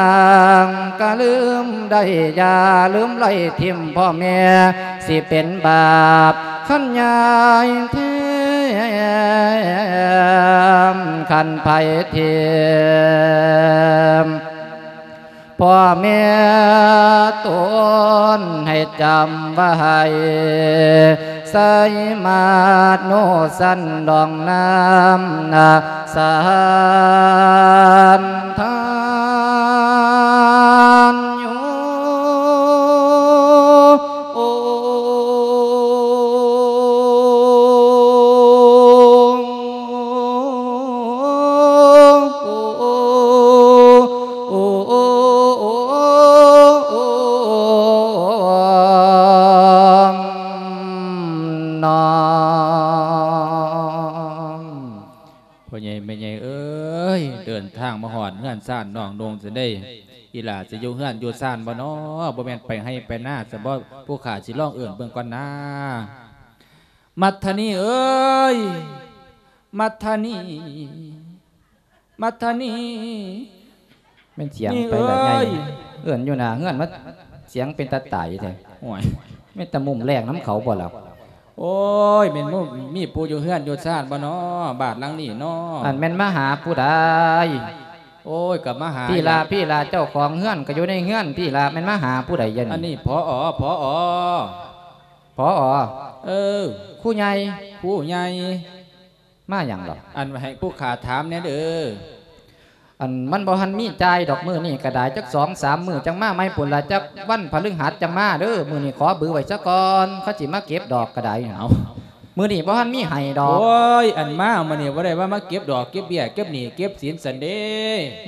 ງກະລືມໄດ້ ຢ່າລືມໄລ່ຖິ້ມພໍ່ແມ່ ຊິເປັນບາບຄັນໃຫຍ່ແທ້ ຄັນໃຜຖິ້ມ ພໍ່ແມ່ຕົນໃຫ້ຈຳໄວ້ ໃສ່ມາໂນສັນດອງນ້ຳນາ ສັນທານຢູ່. ພໍ່ໃຫຍ່ແມ່ໃຫຍ່ເອີຍ ເດີນທາງມາຮອດເຮືອນຊານນ້ອງນຸ່ງຊັ້ນເດ້ ອີ່ຫຼ້າຊິຢູ່ເຮືອນຢູ່ຊານບໍ່ນໍ? ບໍ່ແມ່ນໄປໄຮ່ໄປນາຊັ້ນບໍ? ຜູ້ຂ້າຊິລອງເອີ້ນເບິ່ງກ່ອນນາ. ມັດທະນີເອີຍ ມັດທະນີ ມັດທະນີ ແມ່ນສຽງໄປລະໃຫຍ່ ເອີ້ນຢູ່ໜ້າເຮືອນ ມາສຽງເປັນຕາຕາຍແທ້. ໂອ້ຍ ແມ່ນຕາມຸມແລງນຳເຂົາບໍ່ລະ? ໂອ້ຍ ແມ່ນມີ ມີຜູ້ຢູ່ເຮືອນຢູ່ຊານບໍ່ນໍ ບ້ານຫຼັງນີ້ນໍ? ອັນແມ່ນມາຫາຜູ້ໃດ? ໂອ້ຍ ກໍມາຫາ ພີ່ລະ ພີ່ລະ ເຈົ້າຂອງເຮືອນກໍຢູ່ໃນເຮືອນ ພີ່ລະ ແມ່ນມາຫາຜູ້ໃດ? ອັນນີ້ ອັນນີ້ ຜອ ຜອ ຜອ ເອີ ຄູໃຫຍ່ ຄູໃຫຍ່. ມາຫຍັງລະ? ອັນໃຫ້ຜູ້ຂ້າຖາມແດ່ເດີ. ອັນມັນບໍ່ທັນມີຈ່າຍດອກ ມື້ນີ້ກໍໄດ້ ຈັກສອງສາມມື້ຈັ່ງມາໃໝ່ພຸ້ນລະ ຈັກວັນພະລະຫັດຈັ່ງມາເດີ. ມື້ນີ້ຂໍບືໄວ້ສາກ່ອນ ເຂົາຊິມາເກັບດອກກໍໄດ້. ເອົາ ມື້ນີ້ບໍ່ທັນມີໃຫ້ດອກ. ໂອ້ຍ ອັນມາມື້ນີ້ບໍ່ໄດ້ວ່າມາເກັບດອກເກັບເບ້ຍ ເກັບໜີ້ເກັບສິນຊັ້ນເດ້.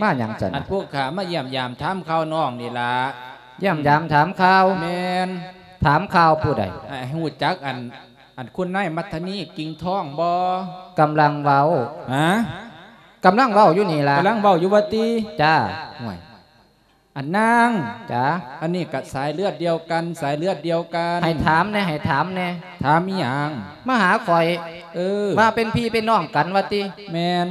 ມາຫຍັງຊັ້ນ? ອັນພວກຂ້າມາຢ້ຽມຢາມຖາມຂ່າວນ້ອງນີ້ລະ. ຢ້ຽມຢາມຖາມຂ່າວ. ແມ່ນ. ຖາມຂ່າວຜູ້ໃດ? ໃຫ້ຮູ້ຈັກອັນ ອັນຄຸນນາຍມັດທະນີກິ່ງທອງບໍ່? ກຳລັງເວົ້າ. ຮະ? ກຳລັງເວົ້າຢູ່ນີ້ລະ. ກຳລັງເວົ້າຢູ່ວ່າຕິ? ຈ້າ. ໂອ້ຍ ອັນນາງ. ຈ້າ. ອັນນີ້ກະສາຍເລືອດດຽວກັນ ສາຍເລືອດດຽວກັນ. ໃຫ້ຖາມແດ່ ໃຫ້ຖາມແດ່. ຖາມອີ່ຫຍັງ? ມາຫາຂ້ອຍ. ເອີ. ວ່າເປັນພີ່ເປັນນ້ອງກັນວ່າຕິ? ແມ່ນ.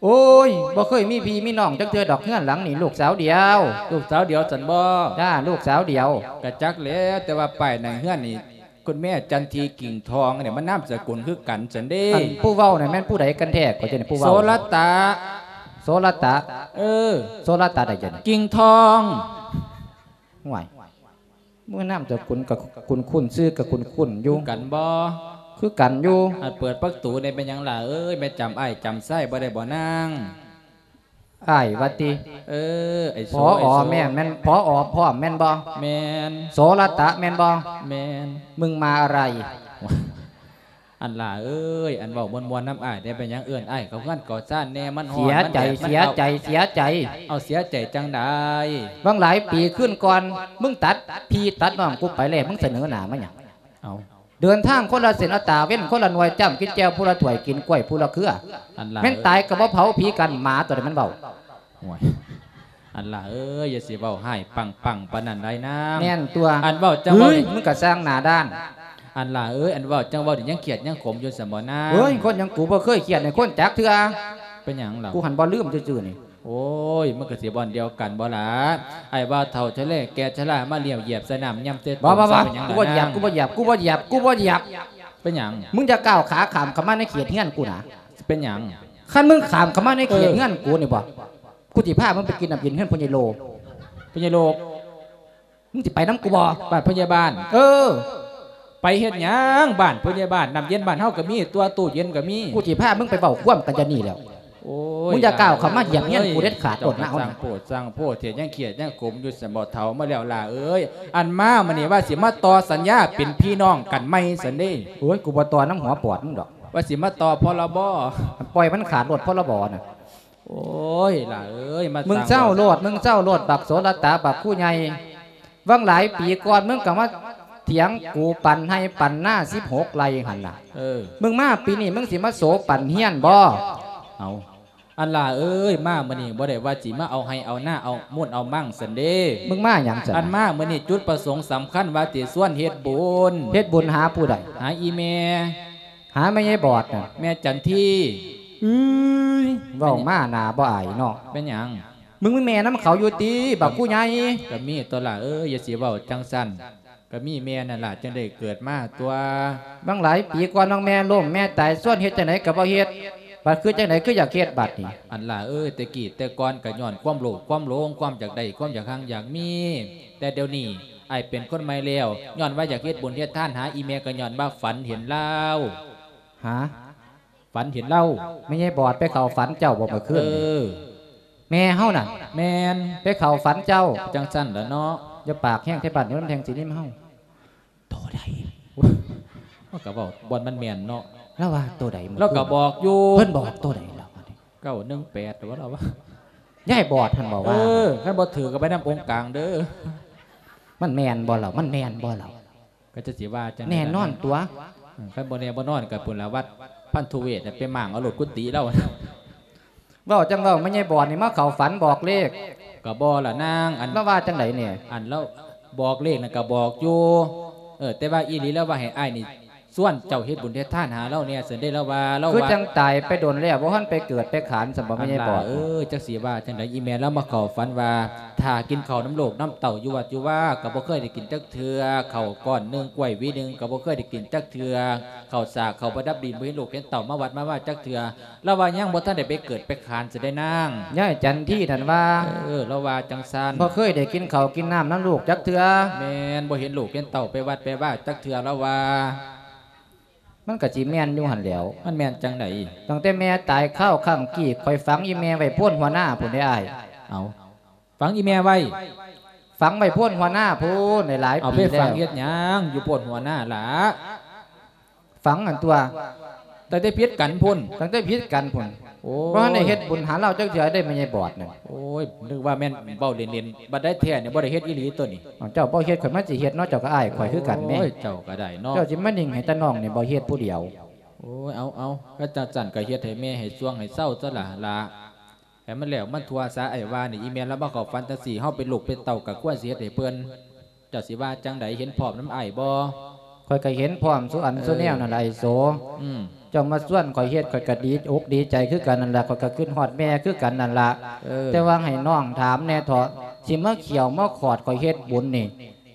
ໂອ້ຍ ບໍ່ເຄີຍມີພີ່ມີນ້ອງຈັກເທື່ອດອກ ເຮືອນຫຼັງນີ້ລູກສາວດຽວ. ລູກສາວດຽວຊັ້ນບໍ? ຈ້າ ລູກສາວດຽວ. ກະຈັກແຫຼະ ແຕ່ວ່າປ້າຍໜ້າເຮືອນນີ້ ຄຸນແມ່ຈັນທີກິ່ງທອງນີ້ ມັນນາມສະກຸນຄືກັນຊັ້ນເດ້. ອັນຜູ້ເວົ້ານັ້ນແມ່ນຜູ້ໃດກັນແທ້? ຂ້ອຍຈະໄດ້ ຜູ້ເວົ້າ. ໂສລະຕະ. ໂສລະຕະ? ເອີ. ໂສລະຕະໃດຈັ່ງ? ກິ່ງທອງ. ຫ້ວຍ ເມື່ອນາມສະກຸນກະຄຸ້ນໆ ຊື່ກະຄຸ້ນໆຢູ່. ຄືກັນບໍ? ຄືກັນຢູ່. ອັນເປີດປະຕູແດ່ ແມ່ນຫຍັງຫຼ້າເອີຍ? ແມ່ນຈຳອ້າຍຈຳຊາຍບໍ່ໄດ້ບໍນາງ? ອ້າຍວ່າຕິ? ເອີ ໄອ້ໂສ ພໍ ໄອ້ໂສ ແມ່ນ ແມ່ນ ພໍ ພ້ອມແມ່ນບໍ່? ແມ່ນ. ໂສລະຕະແມ່ນບໍ່? ແມ່ນ. ມຶງມາອະໄລ? ອັນຫຼ້າເອີຍ ອັນເວົ້າມ່ວນໆນຳອ້າຍແດ່ ເປັນຫຍັງເອີ້ນອ້າຍເຂົ້າເຮືອນເຂົ້າຊານແດ່? ມັນຮ້ອນ ເສຍໃຈ ມັນແດດ ມັນ ເສຍໃຈ ເອົາ ເສຍໃຈ. ເອົາ ເສຍໃຈຈັ່ງໃດ? ຫວ່າງຫຼາຍປີຄືນກ່ອນ ມຶງຕັດພີ່ຕັດນ້ອງກູໄປແລ້ວ ມຶງສະເໜີໜ້າມາຫຍັງ? ເອົາ ເດີນທາງຄົນລະເສັ້ນລະຕາ ເວັ້ນຄົນລະໜ່ວຍ ຈ້ຳກິນແຈ່ວຜູ້ລະຖ້ວຍ ກິນກ້ວຍຜູ້ລະເຄືອ. ອັນຫຼ້າ ແມ່ນຕາຍກະບໍ່ເຜົາ ຜີກັນໝາໂຕໃດມັນເວົ້າ. ໂອ້ຍ ອັນຫຼ້າເອີຍ ຢ່າຊິເວົ້າຮ້າຍປັງໆປານນັ້ນໄດ໋ນາງ. ແມ່ນຕົວະ. ອັນເວົ້າຈັ່ງເວົ້າ ເຮີ້ຍ ມຶງກະຊ່າງໜ້າດ້ານ. ອັນຫຼ້າເອີຍ ອັນເວົ້າຈັ່ງເວົ້ານີ້ ຍັງຄຽດຍັງຂົມຢູ່ຊັ້ນບໍນາງ? ເຮີ້ຍ ຄົນຫຍັງ ກູບໍ່ເຄີຍຄຽດໃຫ້ຄົນຈັກເທື່ອ. ເປັນຫຍັງລະ? ກູຫັ້ນບໍ່ລືມຊື່ໆນີ້. ໂອ້ຍ ມັນກະຊິບ່ອນດຽວກັນບໍລະ? ອ້າຍວ່າເຖົ້າຊະແລແກ່ຊະລາ ມາລ້ຽວຢຽບໃສ່ນ້ຳຍຳໃສ່ຕົ້ນ. ບໍ່ ບໍ່ ບໍ່ ເປັນຫຍັງລະ ກູບໍ່ຢຽບ ນາງ? ກູບໍ່ຢຽບ ກູບໍ່ຢຽບ ກູບໍ່ຢຽບ. ເປັນຫຍັງ? ມຶງຢ່າກ້າວຂາຂ້າມເຂົ້າມາໃນເຂດເຮືອນກູນະ. ເປັນຫຍັງ? ຄັນມຶງຂ້າມເຂົ້າມາໃນເຂດ ເອີ ເຮືອນກູນີ້ບໍ ກູຊິພາມຶງໄປກິນນ້ຳເຢັນເຮືອນພໍ່ໃຫຍ່ໂລ. ພໍ່ໃຫຍ່ໂລ? ມຶງຊິໄປນຳກູບໍ? ບ້ານພໍ່ໃຫຍ່ບ້ານ? ເອີ. ໄປເຮັດຫຍັງບ້ານພໍ່ໃຫຍ່ບ້ານ? ນ້ຳເຢັນບ້ານເຮົາກະມີຕົວະ ຕູ້ເຢັນກະມີ. ກູຊິພາມຶງໄປເວົ້າຄວາມກັນຢູ່ນີ້ແຫຼ້ວ. ໂອ້ຍ ມຶງຢ່າກ້າວເຂົ້າມາຢຽບເຮືອນກູເດັດຂາດ ໂຕນະເຮົາ. ຊ່າງໂພດຊ່າງໂພດ ເຮັດຫຍັງຄຽດຫຍັງຂົມຢູ່ຊັ້ນບໍເຖົ້າ? ມາແລ້ວຫຼ້າເອີຍ ອັນມາມື້ນີ້ວ່າຊິມາຕໍ່ສັນຍາເປັນພີ່ນ້ອງກັນໃໝ່ຊັ້ນເດ້. ໂອ້ຍ ກູບໍ່ຕໍ່ນຳຫົວປອດມຶງດອກ. ວ່າຊິມາຕໍ່ ພລບ. ປ່ອຍມັນຂາດໂລດ ພລບ ນະ. ໂອ້ຍ ຫຼ້າເອີຍ ມາ ມຶງເຊົາໂລດ ມຶງເຊົາໂລດ ບັກໂສລະຕາ ບັກຜູ້ໃຫຍ່. ຫວ່າງຫຼາຍປີກ່ອນ ມຶງກະມາຖຽງກູປັນໄຮ່ປັນນາສິບຫົກໄຮ່ຫັ້ນລະ. ເອີ. ມຶງມາປີນີ້ ມຶງຊິມາໂສປັນເຮືອນບໍ? ເອົາ ອັນຫຼ້າເອີຍ ມາມື້ນີ້ບໍ່ໄດ້ວ່າຊິມາເອົາໄຮ່ເອົານາ ເອົາມູນເອົາມັງຊັ້ນເດ້. ມຶງມາຫຍັງຊັ້ນ? ອັນມາມື້ນີ້ຈຸດປະສົງສຳຄັນວ່າຊິຊວນເຮັດບຸນ. ເຮັດບຸນຫາຜູ້ໃດ? ຫາອີ່ແມ່. ຫາແມ່ໃຫຍ່ບອດນະ. ແມ່ຈັນທີ. ອືຍ ເວົ້າມາໜ້າບໍ່ອາຍເນາະ. ເປັນຫຍັງ? ມຶງມີແມ່ນຳເຂົາຢູ່ຕິ ບັກຜູ້ໃຫຍ່? ກະມີຕົວະຫຼ້າເອີຍ ຢ່າຊິເວົ້າຈັ່ງຊັ້ນ. ກະມີແມ່ນັ້ນລະ ຈຶ່ງໄດ້ເກີດມາຕົວະ. ຫວ່າງຫຼາຍປີກ່ອນນ້ອງແມ່ລົ້ມແມ່ຕາຍ ຊວນເຮັດຈັ່ງໃດກະບໍ່ເຮັດ ບັດຄືຈັ່ງໃດຄືຢາກເຮັດບັດນີ້? ອັນຫຼ້າເອີຍ ແຕ່ກີ້ແຕ່ກ່ອນກະຍ້ອນຄວາມໂລບຄວາມຫຼົງ ຄວາມຢາກໄດ້ ຄວາມຢາກຮັ່ງຢາກມີ. ແຕ່ດຽວນີ້ອ້າຍເປັນຄົນໃໝ່ແລ້ວ ຍ້ອນວ່າຢາກເຮັດບຸນເຮັດທານຫາອີ່ແມ່ ກະຍ້ອນວ່າຝັນເຫັນລາວ. ຫາ? ຝັນເຫັນລາວ. ແມ່ໃຫຍ່ບອດໄປເຂົ້າຝັນເຈົ້າບໍມື້ຄືນ? ເອີ. ແມ່ເຮົານັ້ນ? ແມ່ນ. ໄປເຂົ້າຝັນເຈົ້າ? ຈັ່ງຊັ້ນລະເນາະ. ຢ່າປາກແຮງແທ້ ບ້ານນີ້ມັນແທງຊິນິມເຮົາ. ໂຕໃດ? ເຮົາກະເວົ້າບ່ອນມັນແມ່ນເນາະ. ລາວວ່າໂຕໃດ? ລາວກະບອກຢູ່. ເພິ່ນບອກໂຕໃດລາວ? ເກົ້າໜຶ່ງແປດ ວ່າລາວວ່າ. ຍາຍບອດຫັ້ນບອກວ່າ. ເອີ ຄັນບໍ່ຖືກກະໄປນຳອົງກາງເດີ. ມັນແມ່ນບໍ່ລາວ? ມັນແມ່ນບໍ່ລາວ? ກະຈະຊິວ່າຈັ່ງໃດ? ແນ່ນອນຕົວະ. ເອີ ຄັນບໍ່ແນ່ບໍ່ນອນກະພຸ້ນລະ ວັດພັນທຸເວດ ໄປມ້າງເອົາໂລດກຸຕິລາວ. ເວົ້າຈັ່ງເວົ້າ ແມ່ໃຫຍ່ບອດນີ້ມາເຂົ້າຝັນບອກເລກ. ກະບໍ່ລະນາງ ອັນ ລາວວ່າຈັ່ງໃດແນ່? ອັນລາວບອກເລກນັ້ນກະບອກຢູ່. ເອີ ແຕ່ວ່າອີ່ຫຼີລາວວ່າໃຫ້ອ້າຍນີ້ຊວນເຈົ້າເຮັດບຸນເຮັດທານຫາລາວແນ່ ຊັ້ນເດ້. ລາວວ່າ ລາວວ່າ ຄືຈັ່ງຕາຍໄປດົນແລ້ວ ບໍ່ທັນໄປເກີດໄປຂານຊັ້ນບໍ ແມ່ໃຫຍ່ບອດ? ເອີ ຈັກຊິວ່າຈັ່ງໃດ ອີ່ແມ່ລາວມາເຂົ້າຝັນວ່າ ຖ້າກິນເຂົ້ານຳລູກນຳເຕົ້າຢູ່ວັດຢູ່ວາ ກະບໍ່ເຄີຍໄດ້ກິນຈັກເທື່ອ ເຂົ້າກ້ອນໜຶ່ງ ກ້ວຍຫວີໜຶ່ງ ກະບໍ່ເຄີຍໄດ້ກິນຈັກເທື່ອ. ເຂົ້າສາກເຂົ້າປະດັບດິນ ບໍ່ເຫັນລູກເຫັນເຕົ້າມາວັດມາວາຈັກເທື່ອ. ລາວວ່າຍັງບໍ່ທັນໄດ້ໄປເກີດໄປຂານຊັ້ນເດ້ນາງ. ຍາຍຈັນທີນັ້ນວ່າ. ເອີ ລາວວ່າຈັ່ງຊັ້ນ. ບໍ່ເຄີຍໄດ້ກິນເຂົ້າກິນນ້ຳນຳລູກຈັກເທື່ອ. ແມ່ນ ບໍ່ເຫັນລູກເຫັນເຕົ້າໄປວັດໄປວາຈັກເທື່ອ ລາວວ່າ. ມັນກະຊິແມ່ນຢູ່ຫັ້ນແຫຼ້ວ. ມັນແມ່ນຈັ່ງໃດ? ຕັ້ງແຕ່ແມ່ຕາຍຄາວຄັ້ງກີ້ ຂ້ອຍຝັງອີ່ແມ່ໄວ້ໂພນຫົວນາພຸ້ນເດ້ອ້າຍ. ເອົາ ຝັງອີ່ແມ່ໄວ້? ຝັງໄວ້ໂພນຫົວນາພຸ້ນ ຫຼາຍໆປີແລ້ວ. ເອົາໄປຝັງເຮັດຫຍັງຢູ່ໂພນຫົວນາລະ? ຝັງຫັ້ນຕົວະ. ຕັ້ງແຕ່ຜິດກັນພຸ້ນ? ຕັ້ງແຕ່ຜິດກັນພຸ້ນ. ໂອ້ຍ ບໍ່ທັນໄດ້ເຮັດບຸນຫາລາວຈັກເທື່ອເດ້ ແມ່ໃຫຍ່ບອດນັ້ນ. ໂອ້ຍ ນຶກວ່າແມ່ນເວົ້າເລ່ນໆ ບັດໃດແທ້ນີ້ບໍ່ໄດ້ເຮັດອີ່ຫຼີຕົວນີ້. ເອົ້າ ເຈົ້າບໍ່ເຮັດ ຂ້ອຍມາຊິເຮັດເນາະ ເຈົ້າກໍອ້າຍຂ້ອຍຄືກັນແໝ່. ໂອ້ຍ ເຈົ້າກໍໄດ້ເນາະ ເຈົ້າຊິມານິ່ງໃຫ້ຕານ້ອງນີ້ບໍ່ເຮັດຜູ້ດຽວ. ໂອ້ຍ ເອົາໆ ຄັນຈັ່ງຊັ້ນກໍເຮັດໃຫ້ແມ່ໃຫ້ຊ່ວງໃຫ້ເຊົາຊະລະ ຫຼ້າ ໃຫ້ມັນແລ້ວມັນທົ່ວຊະ. ອ້າຍວ່ານີ້ ອີ່ແມ່ລາວມາເຂົ້າຝັນຈັ່ງຊີ້ ເຮົາເປັນລູກເປັນເຕົ້າກໍຄວນຊິເຮັດໃຫ້ເພິ່ນ. ເຈົ້າຊິວ່າຈັ່ງໃດ ເຫັນພ້ອມນຳອ້າຍບໍ່? ຂ້ອຍກໍເຫັນພ້ອມສູ່ອັນ ເອີ ສູ່ແນວນັ້ນລະ ອ້າຍໂສ. ອືມ ເຈົ້າມາຊວນຂ້ອຍເຮັດ ຂ້ອຍກໍດີອົກດີໃຈຄືກັນນັ້ນລະ ຂ້ອຍກໍຄິດຮອດແມ່ຄືກັນນັ້ນລະ. ເອີ ແຕ່ວ່າໃຫ້ນ້ອງຖາມແດ່ເຖາະ ຊິມາຂ້ຽວມາຂອດຂ້ອຍເຮັດບຸນນີ້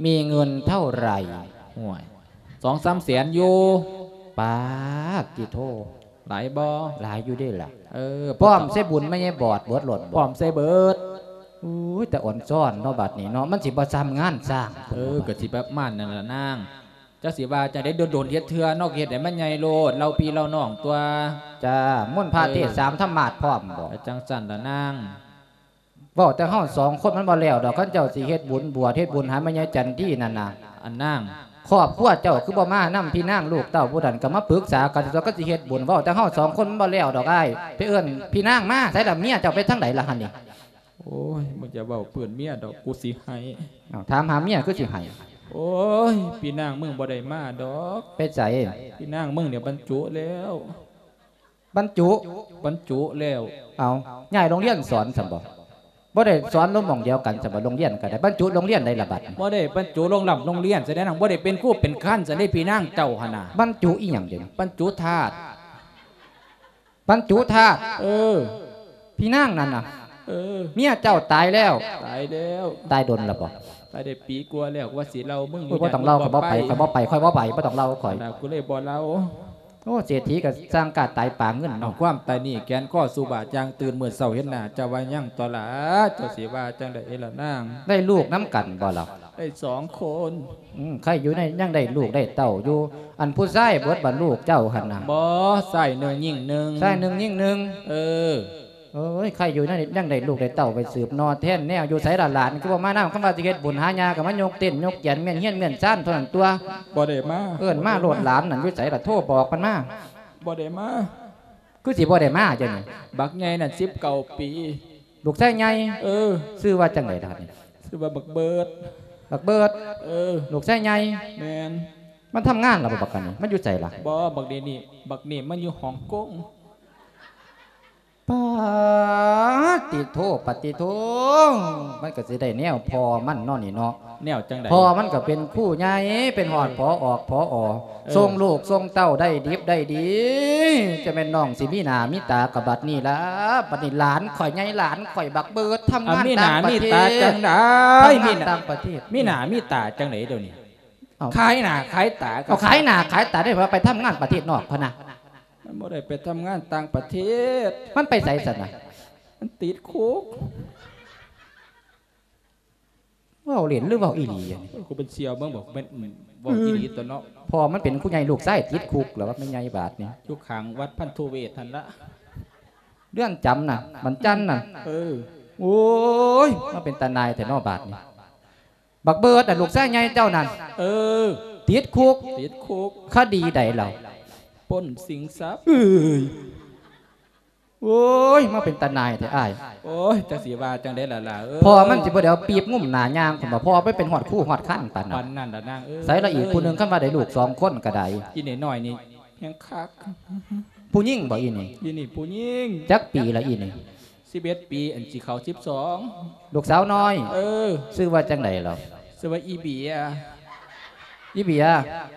ມີເງິນເທົ່າໃດ? ໂອ້ຍ ສອງສາມແສນຢູ່. ປາດຕິໂທ ຫຼາຍບໍ່? ຫຼາຍຢູ່ເດ້ລະ. ເອີ ພ້ອມໃສ່ບຸນມາໃຫຍ່ບອດເບິດໂລດບໍ່? ພ້ອມໃສ່ເບິດ. ໂອ້ຍ ແຕ່ອ່ອນຊ້ອນເນາະ ບັດນີ້ເນາະ ມັນຊິບໍ່ຊ່ຳງານສ້າງ. ເອີ ກໍຊິປະມານນັ້ນລະນາງ. ຈັກຊິວ່າຈັ່ງໃດ ດົນໆເຮັດເທື່ອເນາະ ເຮັດໃຫ້ມັນໃຫຍ່ໂລດ ເຫຼົ່າພີ່ເຫຼົ່ານ້ອງຕົວະ. ຈ້າ ມົນພະ ເອີ ເທດສາມທຳມາດພ້ອມບໍ່? ຈັ່ງຊັ້ນລະນາງ. ເວົ້າແຕ່ເຮົາສອງຄົນມັນບໍ່ແລ້ວດອກ ຄັນເຈົ້າຊິເຮັດບຸນບວດ ເຮັດບຸນຫາແມ່ໃຫຍ່ຈັນດີນັ້ນນະ. ອັນນາງ ຄອບຄົວເຈົ້າຄືບໍ່ມານຳ ພີ່ນາງລູກເຕົ້າຜູ້ນັ້ນກໍມາປຶກສາກັນ ຕົວະ ຄັນຊິເຮັດບຸນ. ເວົ້າແຕ່ເຮົາສອງຄົນມັນບໍ່ແລ້ວດອກອ້າຍ. ໄປເອີ້ນພີ່ນາງມາ ໃສລະເມຍເຈົ້າໄປທາງໃດລະຫັ້ນນີ້? ໂອ້ຍ ມຶງຢ່າເວົ້າເປື້ອນເມຍດອກ ກູຊິໄຫ້. ເອົ້າ ຖາມຫາເມຍຄືຊິໄຫ້? ໂອ້ຍ ພີ່ນາງມຶງບໍ່ໄດ້ມາດອກ. ໄປໃສ? ພີ່ນາງມຶງນີ້ບັນຈຸແລ້ວ. ບັນຈຸ? ບັນຈຸແລ້ວ. ເອົ້າ ຍ້າຍໂຮງຮຽນສອນຊັ້ນບໍ່? ບໍ່ໄດ້ສອນລົງໝ່ອງດຽວກັນຊັ້ນບໍ່? ໂຮງຮຽນກໍໄດ້ ບັນຈຸໂຮງຮຽນໃດລະບັດ? ບໍ່ໄດ້ບັນຈຸໂຮງຮ່ຳໂຮງຮຽນ ສະແດງວ່າບໍ່ໄດ້ເປັນຄູເປັນຄານຊັ້ນເດ້ ພີ່ນາງເຈົ້າຫັ້ນນະ. ບັນຈຸອີ່ຫຍັງເດ? ບັນຈຸທາດ. ບັນຈຸທາດ? ເອີ ພີ່ນາງນັ້ນນະ. ເອີ ເມຍເຈົ້າຕາຍແລ້ວ? ຕາຍແລ້ວ. ຕາຍດົນລະບໍ່? ຕາຍໄດ້ປີກວ່າແລ້ວ. ວ່າຊິເລົ່າ ມຶງຢູ່ ບໍ່ຕ້ອງເລົ່າ ຂ້ອຍບໍ່ໄປ ຂ້ອຍບໍ່ໄປ ຂ້ອຍບໍ່ໄປ ບໍ່ຕ້ອງເລົ່າຂ້ອຍ. ອັນນັ້ນ ກູເລີຍບໍ່ເລົ່າ. ໂອ້ ເສດຖີກໍສ້າງກາດຕາຍປາເງິນເນາະ. ເອົາຄວາມຕາຍນີ້ແກ່ນຄໍສູ່ບາດຢ່າງຕື່ນ ມື້ເຊົ້າເຫັນໜ້າເຈົ້າວ່າຍັງຕົວະລະ. ເຈົ້າຊິວ່າຈັ່ງໃດລະນາງ? ໄດ້ລູກນຳກັນບໍ່ລະ? ໄດ້ສອງຄົນ. ອືມ ໃຄ່ຢູ່ໃນ ຍັງໄດ້ລູກໄດ້ເຕົ້າຢູ່. ອັນຜູ້ຊາຍເບິດບໍ່ ລູກເຈົ້າຫັ້ນນະ? ບໍ່ ຊາຍໜຶ່ງຍິງໜຶ່ງ. ຊາຍໜຶ່ງຍິງໜຶ່ງ. ເອີ. ໂອ້ຍ ໃຄ່ຢູ່ນັ້ນ ຍັງໄດ້ລູກໄດ້ເຕົ້າໄປສືບໜໍ່ແທນແນວ. ຢູ່ໃສລະຫຼານ ຄືບໍ່ມານຳ? ຄຳວ່າຊິເຮັດບຸນຫາຍ່າກໍມາຍົກເຕັນຍົກແຈນ ມ້ຽນຮຽນມ້ຽນຊານເທົ່ານັ້ນຕົວະ. ບໍ່ໄດ້ມາ. ເອີ້ນມາໂລດ ຫຼານນັ້ນຢູ່ໃສລະ ໂທບອກມັນມາ. ບໍ່ໄດ້ມາ. ຄືຊິບໍ່ໄດ້ມາຈັ່ງນີ້? ບັກໃຫຍ່ນັ້ນສິບເກົ້າປີ. ລູກຊາຍໃຫຍ່? ເອີ. ຊື່ວ່າຈັ່ງໃດລະນີ້? ຊື່ວ່າບັກເບີດ. ບັກເບີດ? ເອີ. ລູກຊາຍໃຫຍ່? ແມ່ນ. ມັນທຳງານລະບໍ່ບັກອັນນີ້? ມັນຢູ່ໃສລະ? ບໍ່ ບັກນີ້ນີ້ ບັກນີ້ມັນຢູ່ຮ່ອງກົງ. ປາດຕິໂທ ປາດຕິໂທ ມັນກໍຊິໄດ້ແນວພໍ່ມັນເນາະນີ້ເນາະ. ແນວຈັ່ງໃດ? ພໍ່ມັນກໍເປັນຄູໃຫຍ່ ເປັນຮອດ ເອີ ຜອ ອອກ ຜອ ເອີ ສົ່ງລູກສົ່ງເຕົ້າໄດ້ດິບໄດ້ດີ. ຈະແມ່ນນ້ອງຊິມີໜ້າມີຕາກັບບັດນີ້ລະ. ບັດນີ້ຫຼານຂ້ອຍໃຫຍ່ ຫຼານຂ້ອຍບັກເບີດ ທຳງານຕ່າງປະເທດ. ມີໜ້າມີຕາຈັ່ງໃດ? ມີໜ້າມີຕາຈັ່ງໃດດຽວນີ້? ເອົ້າ ຂາຍໜ້າຂາຍຕາ. ເອົາ ຂາຍໜ້າຂາຍຕາໄດ້ວ່າໄປທຳງານປະເທດນອກພະນະ. ມັນບໍ່ໄດ້ໄປທຳງານຕ່າງປະເທດ. ມັນໄປໃສຊັ້ນນະ? ມັນຕິດຄຸກ. ເວົ້າເລ່ນຫຼືເວົ້າອີ່ຫຼີ? ໂອ້ຍ ກູເປັນສ່ຽວເບິ່ງບໍ່ ແມ່ນເວົ້າອີ່ຫຼີຕົວະເນາະ. ພໍ່ມັນເປັນຄູໃຫຍ່ ລູກຊາຍຕິດຄຸກແລ້ວວ່າແມ່ນໃຫຍ່ບາດນີ້. ຢູ່ຂ້າງວັດພັນທຸເວດຫັ້ນລະ. ເຮືອນຈຳນະ ວັນຈັນນະ. ເອີ. ໂອ້ຍ ມາເປັນຕາໜ່າຍແທ້ເນາະບາດນີ້. ບັກເບີດນະ ລູກຊາຍໃຫຍ່ເຈົ້ານັ້ນ. ເອີ. ຕິດຄຸກ. ຕິດຄຸກ. ຄະດີໃດລາວ? ປຸ້ນຊິງຊັບ. ເອີຍ ໂອ້ຍ ມາເປັນຕາໜ່າຍແທ້ອ້າຍ. ໂອ້ຍ ຈັກຊິວ່າຈັ່ງໃດລະຫຼ້າເອີຍ. ພໍ່ມັນຊິບໍ່ໄດ້ເອົາປີບງຸ້ມໜ້າຍ່າງພຸ້ນບໍ່? ພໍ່ໄປເປັນຮອດຄູຮອດຄັນປານນັ້ນ. ປານນັ້ນລະນາງເອີຍ. ໃສລະອີກຜູ້ໜຶ່ງ ຄັນວ່າໄດ້ລູກສອງຄົນກໍໄດ້. ອີນີ້ນ້ອຍນີ້ແຮງຄັກ. ຜູ້ຍິງບໍ່ອີນີ້? ອີນີ້ຜູ້ຍິງ. ຈັກປີລະອີນີ້? ສິບເອັດປີ ອັນຊິເຂົ້າສິບສອງ. ລູກສາວນ້ອຍ. ເອີ. ຊື່ວ່າຈັ່ງໃດລະ? ຊື່ວ່າອີເບຍ. ອີເບຍ.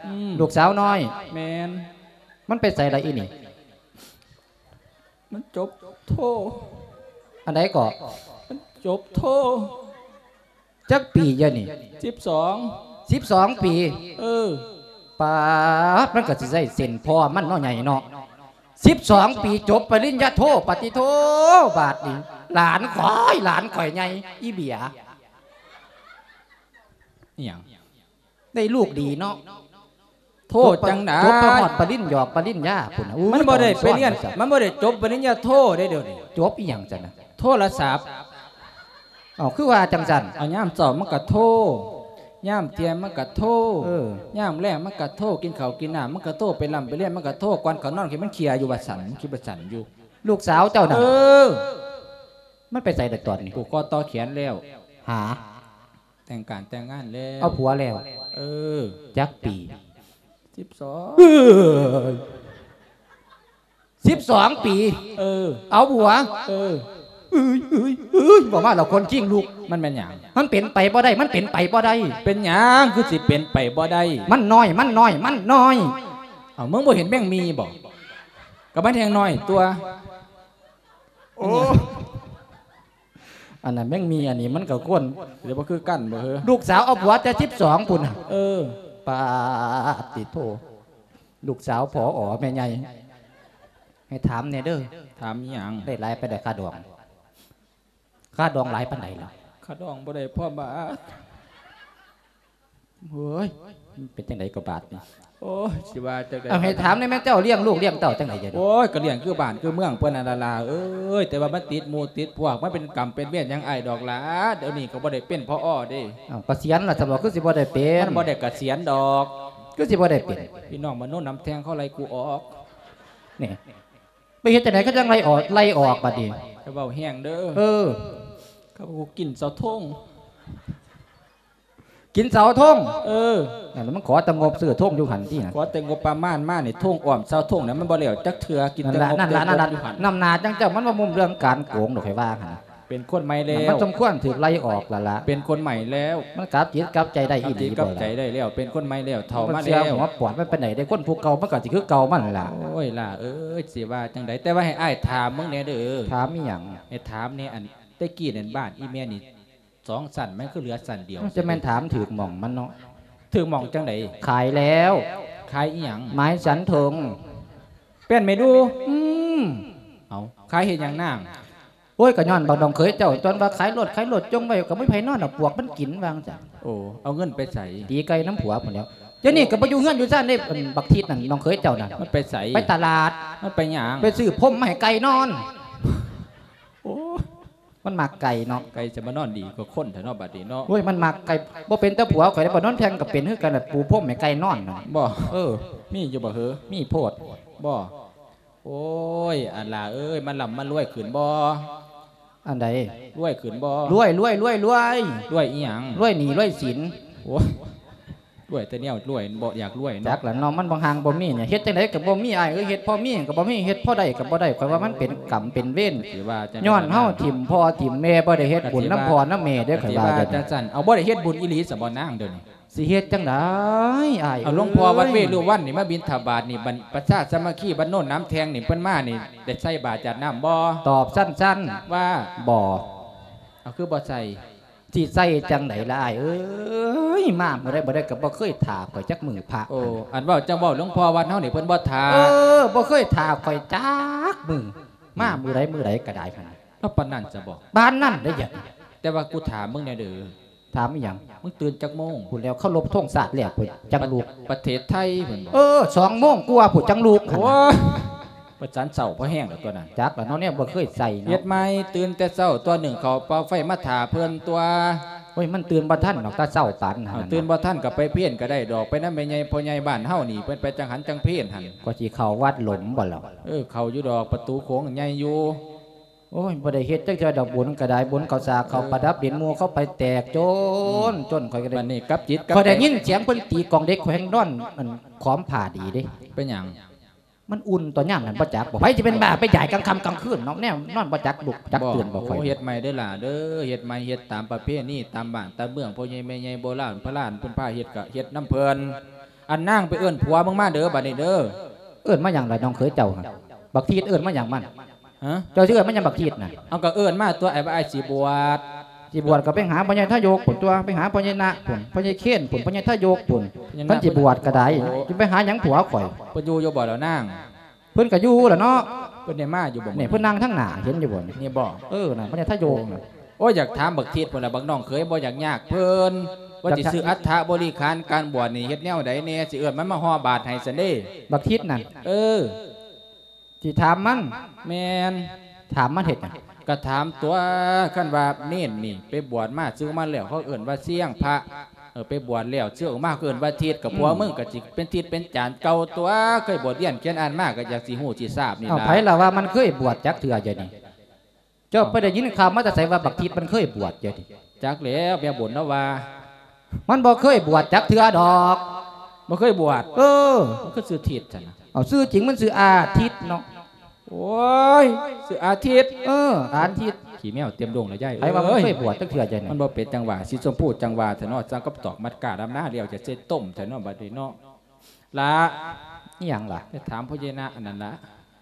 ອືມ. ລູກສາວນ້ອຍ. ແມ່ນ. ມັນໄປໃສລະອີນີ້? ມັນຈົບໂທ. ອັນໃດເກາະ? ມັນຈົບໂທ. ຈັກປີດຽວນີ້? ສິບສອງ. ສິບສອງປີ? ເອີ. ປາດ ມັນກໍຊິໃຊ້ເສັ້ນພໍ່ມັນເນາະ ໃຫຍ່ເນາະ. ສິບສອງປີ ຈົບປະລິນຍາໂທ ປາດຕິໂທ ບາດນີ້ ຫຼານຂ້ອຍ ຫຼານຂ້ອຍໃຫຍ່ ອີເບຍ. ອີຫຍັງ? ໄດ້ລູກດີເນາະ. ໂທຈັ່ງໃດ? ຈົບໄປຮອດປະລິນຍອກປະລິນຍາພຸ້ນນະ. ມັນບໍ່ໄດ້ໄປຮຽນ ມັນບໍ່ໄດ້ຈົບປະລິນຍາໂທເດ້ດຽວນີ້. ຈົບອີຫຍັງຊັ້ນນະ? ໂທລະສັບ. ເອົ້າ ຄືວ່າຈັ່ງຊັ້ນ? ເອົາ ຍາມເຊົ້າມັນກະໂທ ຍາມທ່ຽງມັນກະໂທ. ເອີ. ຍາມແລງມັນກະໂທ ກິນເຂົ້າກິນນ້ຳມັນກະໂທ ໄປລ່ຳໄປລຽນມັນກະໂທ ກ່ອນເຂົ້ານອນຄືມັນເຄຍຢູ່ວ່າຊັ້ນ ຄິດວ່າຊັ້ນຢູ່. ລູກສາວເຈົ້ານັ້ນ ເອີ ມັນໄປໃສລະຕອນນີ້? ຜູກຄໍຕໍ່ແຂນແລ້ວ ຫາ ແຕ່ງການແຕ່ງງານແລ້ວ ເອົາຜົວແລ້ວ ເອີ ຈັກປີ? ສິບສອງ ເອີຍ ສິບສອງປີ ເອີ ເອົາຜົວ ເອີ ເອີຍ ເອີຍ ເອີຍ ເວົ້າມາແລ້ວຂົນຄີງລຸກ ມັນແມ່ນຫຍັງ? ມັນເປັນໄປບໍ່ໄດ້ ມັນເປັນໄປບໍ່ໄດ້ ເປັນຫຍັງຄືຊິເປັນໄປບໍ່ໄດ້? ມັນນ້ອຍ ມັນນ້ອຍ ມັນນ້ອຍ ເອົ້າ ມຶງບໍ່ເຫັນແມງໝີ່ບໍ? ກໍມັນແຮ່ງນ້ອຍຕົວະ ໂອ້ ອັນນັ້ນແມ່ງມີ ອັນນີ້ມັນກໍຄວນ ດຽວບໍ່ຄືກັນບໍ່ເຮີ? ລູກສາວເອົາຜົວແຕ່ສິບສອງພຸ້ນນະ ເອີ ປາດຕິໂທ ລູກສາວ ຜອ ແມ່ໃຫຍ່ ໃຫ້ຖາມແດ່ເດີ. ຖາມອີ່ຫຍັງ? ໄດ້ຫຼາຍປານໃດຄ່າດອງ? ຄ່າດອງຫຼາຍປານໃດລະ? ຄ່າດອງບໍ່ໄດ້ພໍບາດ. ເຮີ້ຍ ມັນເປັນຈັ່ງໃດກໍບາດນີ້? ໂອ້ຍ ຊິວ່າຈັ່ງໃດ? ເອົາ ໃຫ້ຖາມແດ່ແມ່ ເຈົ້າລ້ຽງລູກລ້ຽງເຕົ້າຈັ່ງໃດດຽວນີ້? ໂອ້ຍ ກໍລ້ຽງຄືບ້ານຄືເມືອງເພິ່ນຫັ້ນລະຫຼ້າເອີຍ ແຕ່ວ່າມັນຕິດໝູ່ຕິດພວກ ມັນເປັນກຳເປັນເວນຫຍັງອ້າຍດອກຫຼ້າ ດຽວນີ້ກໍບໍ່ໄດ້ເປັນ ຜອ ເດ້. ເອົ້າ ກະສຽນລະຊັ້ນບໍ່ ຄືຊິບໍ່ໄດ້ເປັນ? ມັນບໍ່ໄດ້ກະສຽນດອກ. ຄືຊິບໍ່ໄດ້ເປັນ? ພີ່ນ້ອງມະໂນນນຳແທງເຂົາໄລ່ກູອອກ ນີ້ ໄປເຮັດຈັ່ງໃດເຂົາຈັ່ງໄລ່ອອກ ໄລ່ອອກບາດນີ້? ຢ່າເວົ້າແຮງເດີ. ເອີ ເຂົາວ່າກູກິນເສົາທົງ. ກິນເສົາທົງ? ເອີ ນັ້ນລະ ມັນຂໍແຕ່ງົບຊື້ທົງຢູ່ຫັ້ນຕິ. ຂໍແຕ່ງົບປະມານມານີ້ ທົງອ້ອມເສົາທົງນະ ມັນບໍ່ແລ້ວຈັກເທື່ອ ກິນແຕ່ງົບ ນັ້ນລະ ນັ້ນລະ ນັ້ນລະ ນຳໜ້າຈັ່ງເຈົ້າ ມັນບໍ່ມຸມເລື່ອງການໂກງດອກ ຂ້ອຍວ່າຫັ້ນ. ເປັນຄົນໃໝ່ແລ້ວ ມັນສົມຄວນຖືກໄລ່ອອກລະລະ. ເປັນຄົນໃໝ່ແລ້ວ ມັນກັບຈິດກັບໃຈໄດ້ອີ່ຫຼີບໍ່ລະ? ກັບຈິດກັບໃຈໄດ້ແລ້ວ ເປັນຄົນໃໝ່ແລ້ວ ເຖົ້າມາແລ້ວ. ຫົວປອດມັນປານໃດເດ້ ຄົນຜູ້ເກົ່າມັນກໍຊິຄືເກົ່າມັນລະ. ໂອ້ຍ ຫຼ້າເອີຍ ຊິວ່າຈັ່ງໃດ ແຕ່ວ່າໃຫ້ອ້າຍຖາມເບິ່ງແດ່ເດີ. ຖາມອີ່ຫຍັງ? ໃຫ້ຖາມແດ່ ອັນແຕ່ກີ້ນັ້ນ ບ້ານອີ່ແມ່ນີ້ ສອງຊັ້ນ ມັນຄືເຫຼືອຊັ້ນດຽວ. ຈະແມ່ນຖາມຖືກໝ່ອງມັນເນາະ. ຖືກໝ່ອງຈັ່ງໃດ? ຂາຍແລ້ວ. ຂາຍອີ່ຫຍັງ? ໄມ້ສັນເທິງ. ແປ້ນແມ່ດູ? ອືມ. ເອົ້າ ຂາຍເຮັດຫຍັງນາງ? ໂອ້ຍ ກໍຍ້ອນບັກນ້ອງເຂີຍເຈົ້າ ຕອນວ່າຂາຍລົດ ຂາຍລົດຈົ່ງໄວ້ ກໍບໍ່ມີໃຜນອນດອກ ປວກມັນກິນ ວ່າຈັ່ງຊັ້ນ. ໂອ້ ເອົາເງິນໄປໃສ? ຕີໄກ່ນຳຜົວພຸ້ນແລ້ວ. ດຽວນີ້ກໍບໍ່ຢູ່ເຮືອນຢູ່ຊານເດ້ ອັນບັກທິດນັ້ນ ນ້ອງເຂີຍເຈົ້ານັ້ນ. ມັນໄປໃສ? ໄປຕະຫຼາດ. ມັນໄປຫຍັງ? ໄປຊື້ພົມມາໃຫ້ໄກ່ນອນ. ໂອ້ ມັນມັກໄກ່ເນາະ. ໄກ່ຈະມານອນດີກວ່າຄົນແທ້ເນາະ ບາດນີ້ເນາະ. ໂອ້ຍ ມັນມັກໄກ່ ບໍ່ເປັນແຕ່ຜົວຂ້ອຍເດ້ ບໍ່ນອນແທ່ງກໍເປັນຄືກັນແຫຼະ ປູພົມໃຫ້ໄກ່ນອນນະ. ບໍ່? ເອີ ມີຢູ່ບໍ່ເຮີ? ມີໂພດ. ບໍ່? ໂອ້ຍ ອັນຫຼ້າເອີຍ ມັນລ່ຳມັນລວຍຂຶ້ນບໍ່? ອັນໃດ? ລວຍຂຶ້ນບໍ່? ລວຍ ລວຍ ລວຍ ລວຍ. ລວຍອີ່ຫຍັງ? ລວຍໜີ້ລວຍສິນ. ໂອ້ຍ ລວຍແຕ່ແນວລວຍ ບໍ່ຢາກລວຍເນາະ. ຈັກລະເນາະ ມັນບໍ່ຮັ່ງບໍ່ມີນີ້ ເຮັດຈັ່ງໃດກໍບໍ່ມີ ອ້າຍເອີຍ ເຮັດພໍມີກໍບໍ່ມີ ເຮັດພໍໄດ້ກໍບໍ່ໄດ້. ຂ້ອຍວ່າມັນເປັນກຳເປັນເວນ ຊິວ່າຈັ່ງໃດ ຍ້ອນເຮົາຖິ້ມພໍ່ຖິ້ມແມ່ ບໍ່ໄດ້ເຮັດບຸນນຳພໍ່ນຳແມ່ເດ້. ຂ້ອຍວ່າຈັ່ງຊັ້ນ. ເອົາ ບໍ່ໄດ້ເຮັດບຸນອີ່ຫຼີຊະບໍ່ນາງ ດຽວນີ້? ຊິເຮັດຈັ່ງໃດອ້າຍ? ເອົາ ເອີຍ ຫຼວງພໍ່ວັດເວລຸວັນນີ້ມາບິນທະບາດນີ້ ບັນ ປະຊາສາມັກຄີບ້ານໂນນໜາມແທງນີ້ ເພິ່ນມານີ້ ໄດ້ໃສ່ບາດຈາດນ້ຳບໍ່? ຕອບສັ້ນໆ ວ່າ ບໍ່. ເອົາ ຄືບໍ່ໃສ່? ຊິໃສ່ຈັ່ງໃດລະອ້າຍເອີຍ ມາມື້ໃດບໍ່ໄດ້ ກໍບໍ່ເຄີຍຖ້າຂ້ອຍຈັກມື້ພະ. ໂອ້ ອັນເວົ້າຈັ່ງເວົ້າ ຫຼວງພໍ່ວັດເຮົານີ້ເພິ່ນບໍ່ຖ້າ. ເອີ ບໍ່ເຄີຍຖ້າຂ້ອຍຈັກມື້ ມາມື້ໃດມື້ໃດກໍໄດ້ຫັ້ນ. ເອົາ ປານນັ້ນຊະບໍ? ປານນັ້ນເດ້. ແຕ່ວ່າກູຖາມມຶງແດ່ເດີ. ຖາມອີ່ຫຍັງ? ມຶງຕື່ນຈັກໂມງ? ພຸ້ນແລ້ວ ເຄົາລົບທົງຊາດແລ້ວພຸ້ນ ຈັ່ງລຸກ. ປະເທດໄທພຸ້ນບໍ? ເອີ ສອງໂມງກວ່າພຸ້ນ ຈັ່ງລຸກ. ໂອ້ຍ ປະຈັນເຊົ້າພໍແຮງແລ້ວຕົວນັ້ນ. ຈັກລະເນາະ ແນວບໍ່ເຄີຍໃສ່ເນາະ. ເຮັດໃໝ່ ຕື່ນແຕ່ເຊົ້າຕົວະ ໜຶ້ງເຂົ້າເປົ່າໄຟມາຖ້າເພິ່ນຕົວະ. ໂອ້ຍ ມັນຕື່ນບໍ່ທັນດອກ ແຕ່ເຊົ້າປານນັ້ນ. ເອົາ ຕື່ນບໍ່ທັນກໍໄປເພນກໍໄດ້ດອກ ໄປນຳແມ່ໃຫຍ່ພໍ່ໃຫຍ່ບ້ານເຮົານີ້ ເພິ່ນໄປຈັງຫັນຈັ່ງເພນຫັ້ນ. ກໍຊິເຂົ້າວັດຫຼົມບໍ່ລະ? ເອີ ເຂົ້າຢູ່ດອກ ປະຕູໂຂງໃຫຍ່ຢູ່. ໂອ້ຍ ບໍ່ໄດ້ເຮັດຈັກເທື່ອດອກ ບຸນກໍໄດ້ ບຸນເຂົ້າສາກເຂົ້າປະດັບດິນ ໝູ່ເຂົາໄປແຕກໂຈນ ອືມ ຈົນຂ້ອຍກໍໄດ້ ບັດນີ້ກັບຈິດກັບ ຂ້ອຍໄດ້ຍິນສຽງເພິ່ນຕີກອງເດັກ ຂ້ອຍແຮ່ງນອນ ອັນ ຂອມຜ້າດີເດ້. ເປັນຫຍັງ? ມັນອຸ່ນຕົວະ ຍາມນັ້ນບໍ່ຈັກບໍ? ໃຜຊິເປັນບ້າໄປຢາຍກາງຄ່ຳກາງຄືນເນາະ ແນວນອນບໍ່ຈັກລຸກຈັກຕື່ນບໍຂ້ອຍ? ໂອ້ ເຮັດໃໝ່ເດີຫຼ້າເດີ ເຮັດໃໝ່ ເຮັດຕາມປະເພນີຕາມບ້ານຕາມເມືອງ ພໍ່ໃຫຍ່ແມ່ໃຫຍ່ໂບລານພະລານເພິ່ນພາເຮັດ ກໍເຮັດນຳເພິ່ນ. ອັນນາງໄປເອີ້ນຜົວມຶງມາເດີ ບັດນີ້ເດີ. ເອີ້ນມາຫຍັງລະນ້ອງເຂີຍເຈົ້າ? ບັກທີດເອີ້ນມາຫຍັງມັນ? ຮະ? ເຈົ້າຊິເອີ້ນມາຫຍັງບັກທີດນະ? ເອົາ ກໍເອີ້ນມາຕົວະ ອ້າຍວ່າອ້າຍຊິບວດ. ຊິບວດກໍໄປຫາພໍ່ໃຫຍ່ທະຍົກພຸ້ນຕົວະ ໄປຫາພໍ່ໃຫຍ່ນະພຸ້ນ ພໍ່ໃຫຍ່ເຄນພຸ້ນ ພໍ່ໃຫຍ່ທະຍົກພຸ້ນ. ຄັນຊິບວດກໍໄດ້ ໂອ້ ຊິໄປຫາຫຍັງຜົວຂ້ອຍ? ເພິ່ນຢູ່ຢູ່ບໍ່ລະນາງ? ເພິ່ນກໍຢູ່ລະເນາະ. ເພິ່ນໄດ້ມາຢູ່ບໍ່? ນີ້ເພິ່ນນັ່ງທາງໜ້າ ເຫັນຢູ່ບໍ່ນີ້? ນີ້ບໍ? ເອີ ນັ້ນ ພະຍາທະໂຍງນະ. ໂອ້ຍ ຢາກຖາມບັກທິດພຸ້ນລະ ບັກນ້ອງເຂີຍບໍ່ຢາກຍາກເພິ່ນ ວ່າຊິຊື້ອັດຖະບໍລິຂານການບວດນີ້ ເຮັດແນວໃດແດ່ ຊິເອີ້ນມັນມາຫໍ່ບາດໃຫ້ຊັ້ນເດ້. ບັກທິດນັ້ນ? ເອີ ຊິຖາມມັນ? ແມ່ນ. ຖາມມັນເຮັດຫຍັງ? ກະຖາມຕົວະ ຄັນວ່າເນນນີ້ໄປບວດມາ ສຶກມາແລ້ວ ເຂົາເອີ້ນວ່າຊຽງພະ. ເອີ ໄປບວດແລ້ວ ເຊື່ອອອກມາເອີ້ນວ່າທິດ ກໍ ອືມ ພວກມຶງກໍຊິເປັນທິດເປັນຈານເກົ່າຕົວະ ເຄີຍບວດຮຽນຂຽນອ່ານມາ ກໍຢາກຊິຮູ້ຊິຊາບນີ້ ເອົາ ລະ ໃຜລະວ່າມັນເຄີຍບວດຈັກເທື່ອ ດຽວນີ້ ເຈົ້າໄປໄດ້ຍິນຂ່າວມາແຕ່ໃສວ່າບັກທິດມັນເຄີຍບວດ ດຽວນີ້ ຈັກແລ້ວ ແມ່ບຸນລາວວ່າ ມັນບໍ່ເຄີຍບວດຈັກເທື່ອດອກ ບໍ່ເຄີຍບວດ ເອີ ມັນຄືຊື່ທິດຊັ້ນນະ ເອົາ ຊື່ຈິງມັນຊື່ອາທິດເນາະ ໂອ້ຍ ຊື່ອາທິດ ເອີ ອາທິດ ຂີ້ແມວເຕັມດົງລະຍາຍ ໃຜວ່າມັນເຄີຍບວດຈັກເທື່ອ ຍາຍ ມັນບໍ່ເປັນຈັ່ງຫວາ ສີຊົມພູຈັ່ງຫວາແທ້ເນາະ ຈັ່ງກັບຕອກມັດກ້າດຳນາແລ້ວ ຈະເຊັດຕົ້ມແທ້ເນາະ ບັດນີ້ເນາະ ລະ ອີ່ຫຍັງລະ ໄປຖາມພໍ່ໃຫຍ່ນະອັນນັ້ນລະ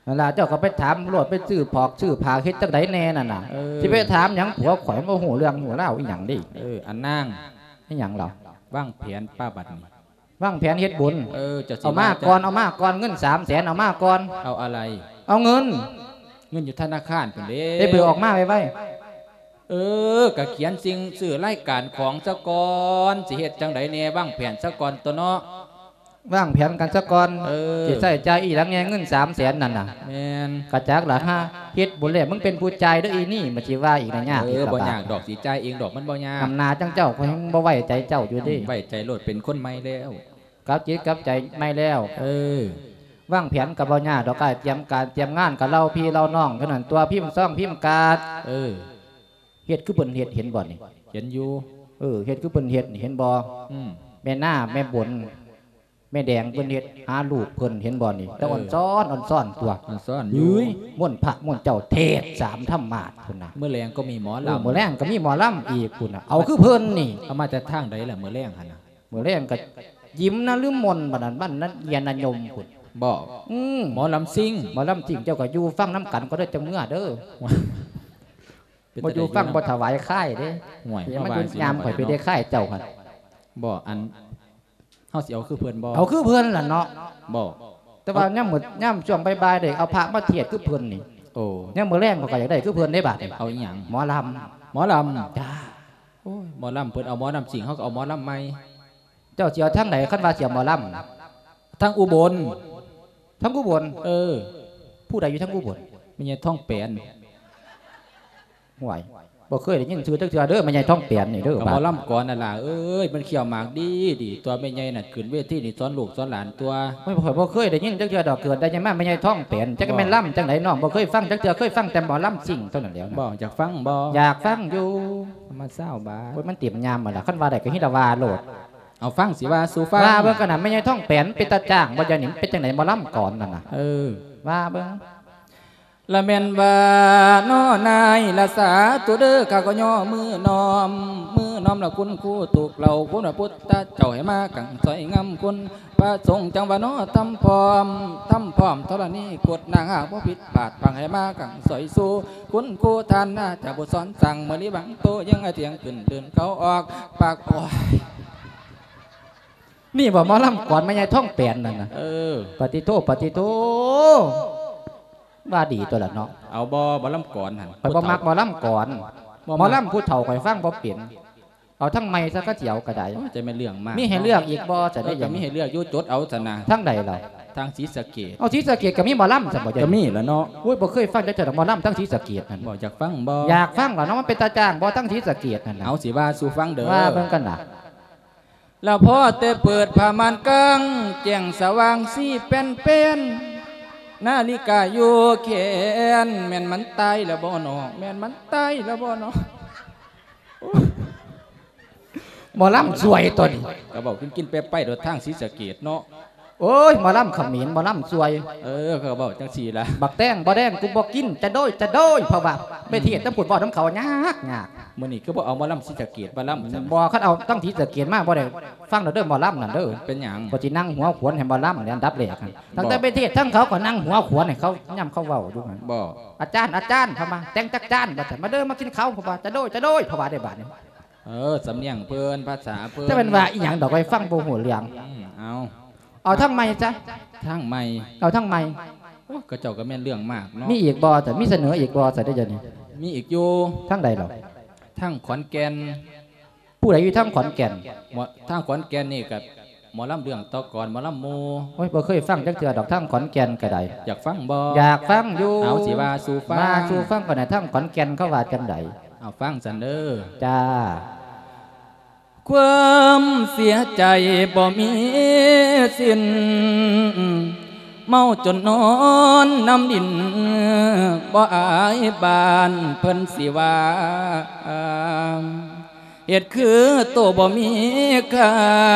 ນັ້ນລະ ເຈົ້າກໍໄປຖາມໂລດ ໄປຊື້ຜອກຊື້ຜ້າເຮັດຈັ່ງໃດແດ່ນັ້ນນະ ເອີ ຊິໄປຖາມຫຍັງ ຜົວຂ້ອຍບໍ່ຮູ້ເລື່ອງຮູ້ລາວອີ່ຫຍັງເດ້ ເອີ ອັນນາງ ອີ່ຫຍັງລະ ວາງແຜນປະບັດນີ້ ວາງແຜນເຮັດບຸນ ເອີ ເຈົ້າຊິ ເອົາມາກ່ອນ ເອົາມາກ່ອນ ເງິນສາມແສນ ເອົາມາກ່ອນ ເອົາອະໄລ ເອົາເງິນ ເງິນຢູ່ທະນາຄານພຸ້ນເດ້ ໄປເບີກອອກມາໄວໆ ເອີ ກະຂຽນສິ່ງຊື້ລາຍການຂອງຊະກ່ອນ ຊິເຮັດຈັ່ງໃດແດ່ ວາງແຜນຊະກ່ອນຕົວະເນາະ ວາງແຜນກັນຊະກ່ອນ ເອີ ຊິໃຊ້ຈ່າຍອີ່ຫຍັງແດ່ ເງິນສາມແສນນັ້ນນະ ແມ່ນ ກະຈັກລະ ຫາເຮັດບຸນແລ້ວ ມຶງເປັນຜູ້ຈ່າຍເດີ້ອີ່ນີ້ ມັນຊິວ່າອີກນະ ຍາກ ເອີ ອີກລະ ບໍ່ຍາກດອກ ຊິຈ່າຍເອງດອກ ມັນບໍ່ຍາກ ອຳນາດຈັ່ງເຈົ້າ ຂ້ອຍຍັງບໍ່ໄວ້ໃຈເຈົ້າຢູ່ເດ້ ອືມ ໄວ້ໃຈໂລດ ເປັນຄົນໃໝ່ແລ້ວ ກັບຈິດກັບໃຈໃໝ່ແລ້ວ ເອີ ວາງແຜນກໍບໍ່ຍາກດອກ ກາຍຕຽມການຕຽມງານກໍເລົ່າພີ່ເລົ່ານ້ອງເທົ່ານັ້ນຕົວະ ພິມຊອງພິມກາດ ເອີ ເຮັດຄືເພິ່ນເຮັດ ເຫັນບໍ່ນີ້ ເຫັນຢູ່ ເອີ ເຮັດຄືເພິ່ນເຮັດນີ້ ເຫັນບໍ່ ອືມ ແມ່ນາ ແມ່ບົນ ແມ່ແດງເພິ່ນເຮັດຫາລູກເພິ່ນ ເຫັນບໍ່ນີ້ ແຕ່ ເອີ ອ່ອນຊ້ອນ ອ່ອນຊ້ອນຕົວະ ອ່ອນຊ້ອນຢູ່ ເຮີ້ຍ ມົນພະມົນເຈົ້າເທດສາມທຳມາດພຸ້ນນະ ມື້ແລງກໍມີໝໍລຳ ເອີ ມື້ແລງກໍມີໝໍລຳອີກພຸ້ນນະ ເອົາຄືເພິ່ນນີ້ ເອົາມາແຕ່ທາງໃດລະມື້ແລງຫັ້ນນະ ມື້ແລງກໍຍິມນະລືມມົນ ບັດນັ້ນ ບ້ານນະເຢຍນະຍົມພຸ້ນ ບໍ່ ອືມ ໝໍລຳຊິງ ໝໍລຳຊິງ ເຈົ້າກໍຢູ່ຟັງນຳກັນກໍໄດ້ ຈັ່ງເມືອເດີ ບໍ່ຢູ່ຟັງບໍ່ຖວາຍຄາຍເດ້ ຫ້ວຍ ມັນຢູ່ຍາມຂ້ອຍໄປໄດ້ຄາຍເຈົ້າຫັ້ນ ບໍ່ ອັນ ເຮົາຊິເອົາຄືເພິ່ນບໍ່ ເອົາຄືເພິ່ນລະເນາະ ບໍ່ ແຕ່ວ່າຍາມມື້ ຍາມຊ່ວງບ່າຍໆ ໄດ້ເອົາພະມາເທດຄືເພິ່ນນີ້ ໂອ້ ຍາມມື້ແລງຂ້ອຍກໍຢາກໄດ້ຄືເພິ່ນເດ້ບາດນີ້ ເອົາອີ່ຫຍັງ ໝໍລຳ ໝໍລຳ ຈ້າ ໂອ້ຍ ໝໍລຳ ເພິ່ນເອົາໝໍລຳຊິງ ເຮົາກໍເອົາໝໍລຳໃໝ່ ເຈົ້າຊິເອົາທາງໃດ ຄັນວ່າຊິເອົາໝໍລຳ ທາງອຸບົນ ທາງອຸບົນ ເອີ ຜູ້ໃດຢູ່ທາງອຸບົນ ແມ່ໃຫຍ່ທອງແປນ ຫ້ວຍ ບໍ່ເຄີຍໄດ້ຍິນຊື່ຈັກເທື່ອເດີ ແມ່ໃຫຍ່ທອງແປນນີ້ເດີ ກໍໝໍລຳກ່ອນນັ້ນລະເອີຍ ມັນຂ້ຽວໝາກດີດີ ຕົວະແມ່ໃຫຍ່ນັ້ນຂຶ້ນເວທີນີ້ສອນລູກສອນຫຼານຕົວະ ໂອ້ຍ ຂ້ອຍບໍ່ເຄີຍໄດ້ຍິນຈັກເທື່ອດອກ ເກີດໄດ້ຫຍັງມາແມ່ໃຫຍ່ທອງແປນ ຈັກແມ່ນລຳຈັ່ງໃດ ນ້ອງບໍ່ເຄີຍຟັງຈັກເທື່ອ ເຄີຍຟັງແຕ່ໝໍລຳຊິງເທົ່ານັ້ນແລ້ວນະ ບໍ່ ຢາກຟັງບໍ່ ຢາກຟັງຢູ່ ມາຊາວບາດ ໂອ້ຍ ມັນເຕັມຍາມໝົດລະ ຄັນວ່າໄດ້ກໍຮີລະວ່າໂລດ ເອົາຟັງຊິວ່າສູ່ຟັງ ວ່າເບິ່ງກັນນະ ແມ່ໃຫຍ່ທອງແປນເປັນຕາຈ້າງບໍ່ ດຽວນີ້ເປັນຈັ່ງໃດ ໝໍລຳກ່ອນນັ້ນນະ ເອີ ວ່າເບິ່ງ ລະແມ່ນວ່ານ້ອນາຍລະສາທຸເດີ ຂ້າກໍຍໍມືນ້ອມ ມືນ້ອມລະຄຸນຄູຕຸກເຫຼົ່າ ຄຸນພະພຸດທະເຈົ້າໃຫ້ມາກັງຊ່ອຍງາມຄຸນ ພະສົງຈັ່ງວ່ານ້ອທຳພ້ອມ ທຳພ້ອມທໍລະນີກົດນາງຫາກບໍ່ຜິດພາດພັງ ໃຫ້ມາກັງຊ່ອຍສູ່ຄຸນຄູທ່ານນາຈາຜູ້ສອນສັ່ງ ເມື່ອລີບັງໂຕຍັງອາທຽງຂຶ້ນເດີນເຂົ້າອອກປາກ ໂອ້ຍ ນີ້ບໍ່ໝໍລຳກ່ອນແມ່ໃຫຍ່ທອງແປນນັ້ນນະ ເອີ ປະຕິໂທ ປະຕິໂທ ວ່າດີຕົວະລະເນາະ ເອົາບໍ່ ໝໍລຳກ່ອນຫັ້ນ ຂ້ອຍບໍ່ມັກໝໍລຳກ່ອນ ໝໍລຳຜູ້ເຖົ້າຂ້ອຍຟັງບໍ່ເປັນ ເອົາທາງໃໝ່ຊະ ຄັນຊິເອົາກໍໄດ້ ໂອ້ຍ ຈະແມ່ນເລື່ອງມາກ ມີໃຫ້ເລືອກອີກບໍ່ ຈະໄດ້ ເອີ ກໍມີໃຫ້ເລືອກຢູ່ ຈົດເອົາຊັ້ນນະ ທາງໃດລະ ທາງສີສະເກດ ເອົາສີສະເກດກໍມີໝໍລຳຊັ້ນບໍ່ ກໍມີລະເນາະ ໂອ້ຍ ບໍ່ເຄີຍຟັງຈັກເທື່ອດອກ ໝໍລຳທາງສີສະເກດນັ້ນ ບໍ່ ຢາກຟັງບໍ່ ຢາກຟັງລະເນາະ ມັນເປັນຕາຈ້າງບໍ່ ທາງສີສະເກດນັ້ນນະ ເອົາ ຊິວ່າສູ່ຟັງເດີ ວ່າເບິ່ງກັນນະ ລະພໍແຕ່ເປີດຜ້າມ່ານກາງ ແຈ້ງສະຫວ່າງສີແປ້ນໆ ນາລິກາຢູ່ແຂນ ແມ່ນມັນຕາຍລະບໍ່ນໍ ແມ່ນມັນຕາຍລະບໍ່ນໍ ໝໍລຳຊ່ວຍຕົວນີ້ ກໍເວົ້າກິນໆ ໄປໆ ໂດດທາງສີສະເກດເນາະ ໂອ້ຍ ໝໍລຳຂະເໝນ ໝໍລຳຊ່ວຍ ເອີ ເຂົາກໍເວົ້າຈັ່ງຊີ້ລະ ບັກແຕງບໍ່ແດງກູບໍ່ກິນ ຈະໂດຍ ຈະໂດຍ ເພາະວ່າໄປເທດທາງພຸ້ນເວົ້ານຳເຂົາຍາກໆ ມື້ນີ້ຄືບໍ່ເອົາໝໍລຳສີສະເກດມາລຳຊັ້ນ ບໍ່ ຄັນເອົາທາງສີສະເກດມາບໍ່ໄດ້ຟັງດອກເດີ ໝໍລຳນັ້ນເດີ ເປັນຫຍັງ ຂ້ອຍຊິນັ່ງຫົວຂວັນໃຫ້ໝໍລຳນີ້ອັນດັບແລກ ຕັ້ງແຕ່ໄປເທດທາງເຂົາກໍນັ່ງຫົວຂວັນໃຫ້ເຂົາ ຍາມເຂົາເວົ້າຢູ່ຫັ້ນ ບໍ່ ອາຈານ ອາຈານ ເຂົາມາ ແຕ່ງຈັກຈານ ວ່າຊັ້ນ ມາເດີ ມາກິນເຂົ້າ ເຂົາວ່າ ຈະໂດຍ ຈະໂດຍ ເຂົາວ່າໄດ້ບາດນີ້ ເອີ ສຳນຽງເພິ່ນ ພາສາເພິ່ນ ຈະແມ່ນວ່າອີ່ຫຍັງດອກ ຂ້ອຍຟັງບໍ່ຮູ້ເລື່ອງ ອືມ ເອົາ ເອົາທາງໃໝ່ຊະ ທາງໃໝ່ ເອົາທາງໃໝ່ ໂອ້ ຂະເຈົ້າກໍແມ່ນເລື່ອງມາກເນາະ ມີອີກບໍ່ ຈະມີສະເໜີອີກບໍ່ ຊະເດີ ດຽວນີ້ ມີອີກຢູ່ ທາງໃດລະ ທາງຂອນແກ່ນ ຜູ້ໃດຢູ່ທາງຂອນແກ່ນ ໝໍ ທາງຂອນແກ່ນນີ້ກໍໝໍລຳເລື່ອງຕໍ່ກ່ອນ ໝໍລຳໝູ່ ໂອ້ຍ ບໍ່ເຄີຍຟັງຈັກເທື່ອດອກ ທາງຂອນແກ່ນກໍໄດ້ ຢາກຟັງບໍ່ ຢາກຟັງຢູ່ ເອົາ ຊິວ່າສູ່ຟັງ ວ່າສູ່ຟັງກ່ອນນະ ທາງຂອນແກ່ນເຂົາວ່າຈັ່ງໃດ ເອົາ ຟັງຊັ້ນເດີ ຈ້າ ຄວາມເສຍໃຈບໍ່ມີສິ້ນ ເມົາຈົນນອນນຳດິນ ບໍ່ອາຍບ້ານເພິ່ນຊິວ່າ ເຮັດຄືໂຕບໍ່ມີຄ່າ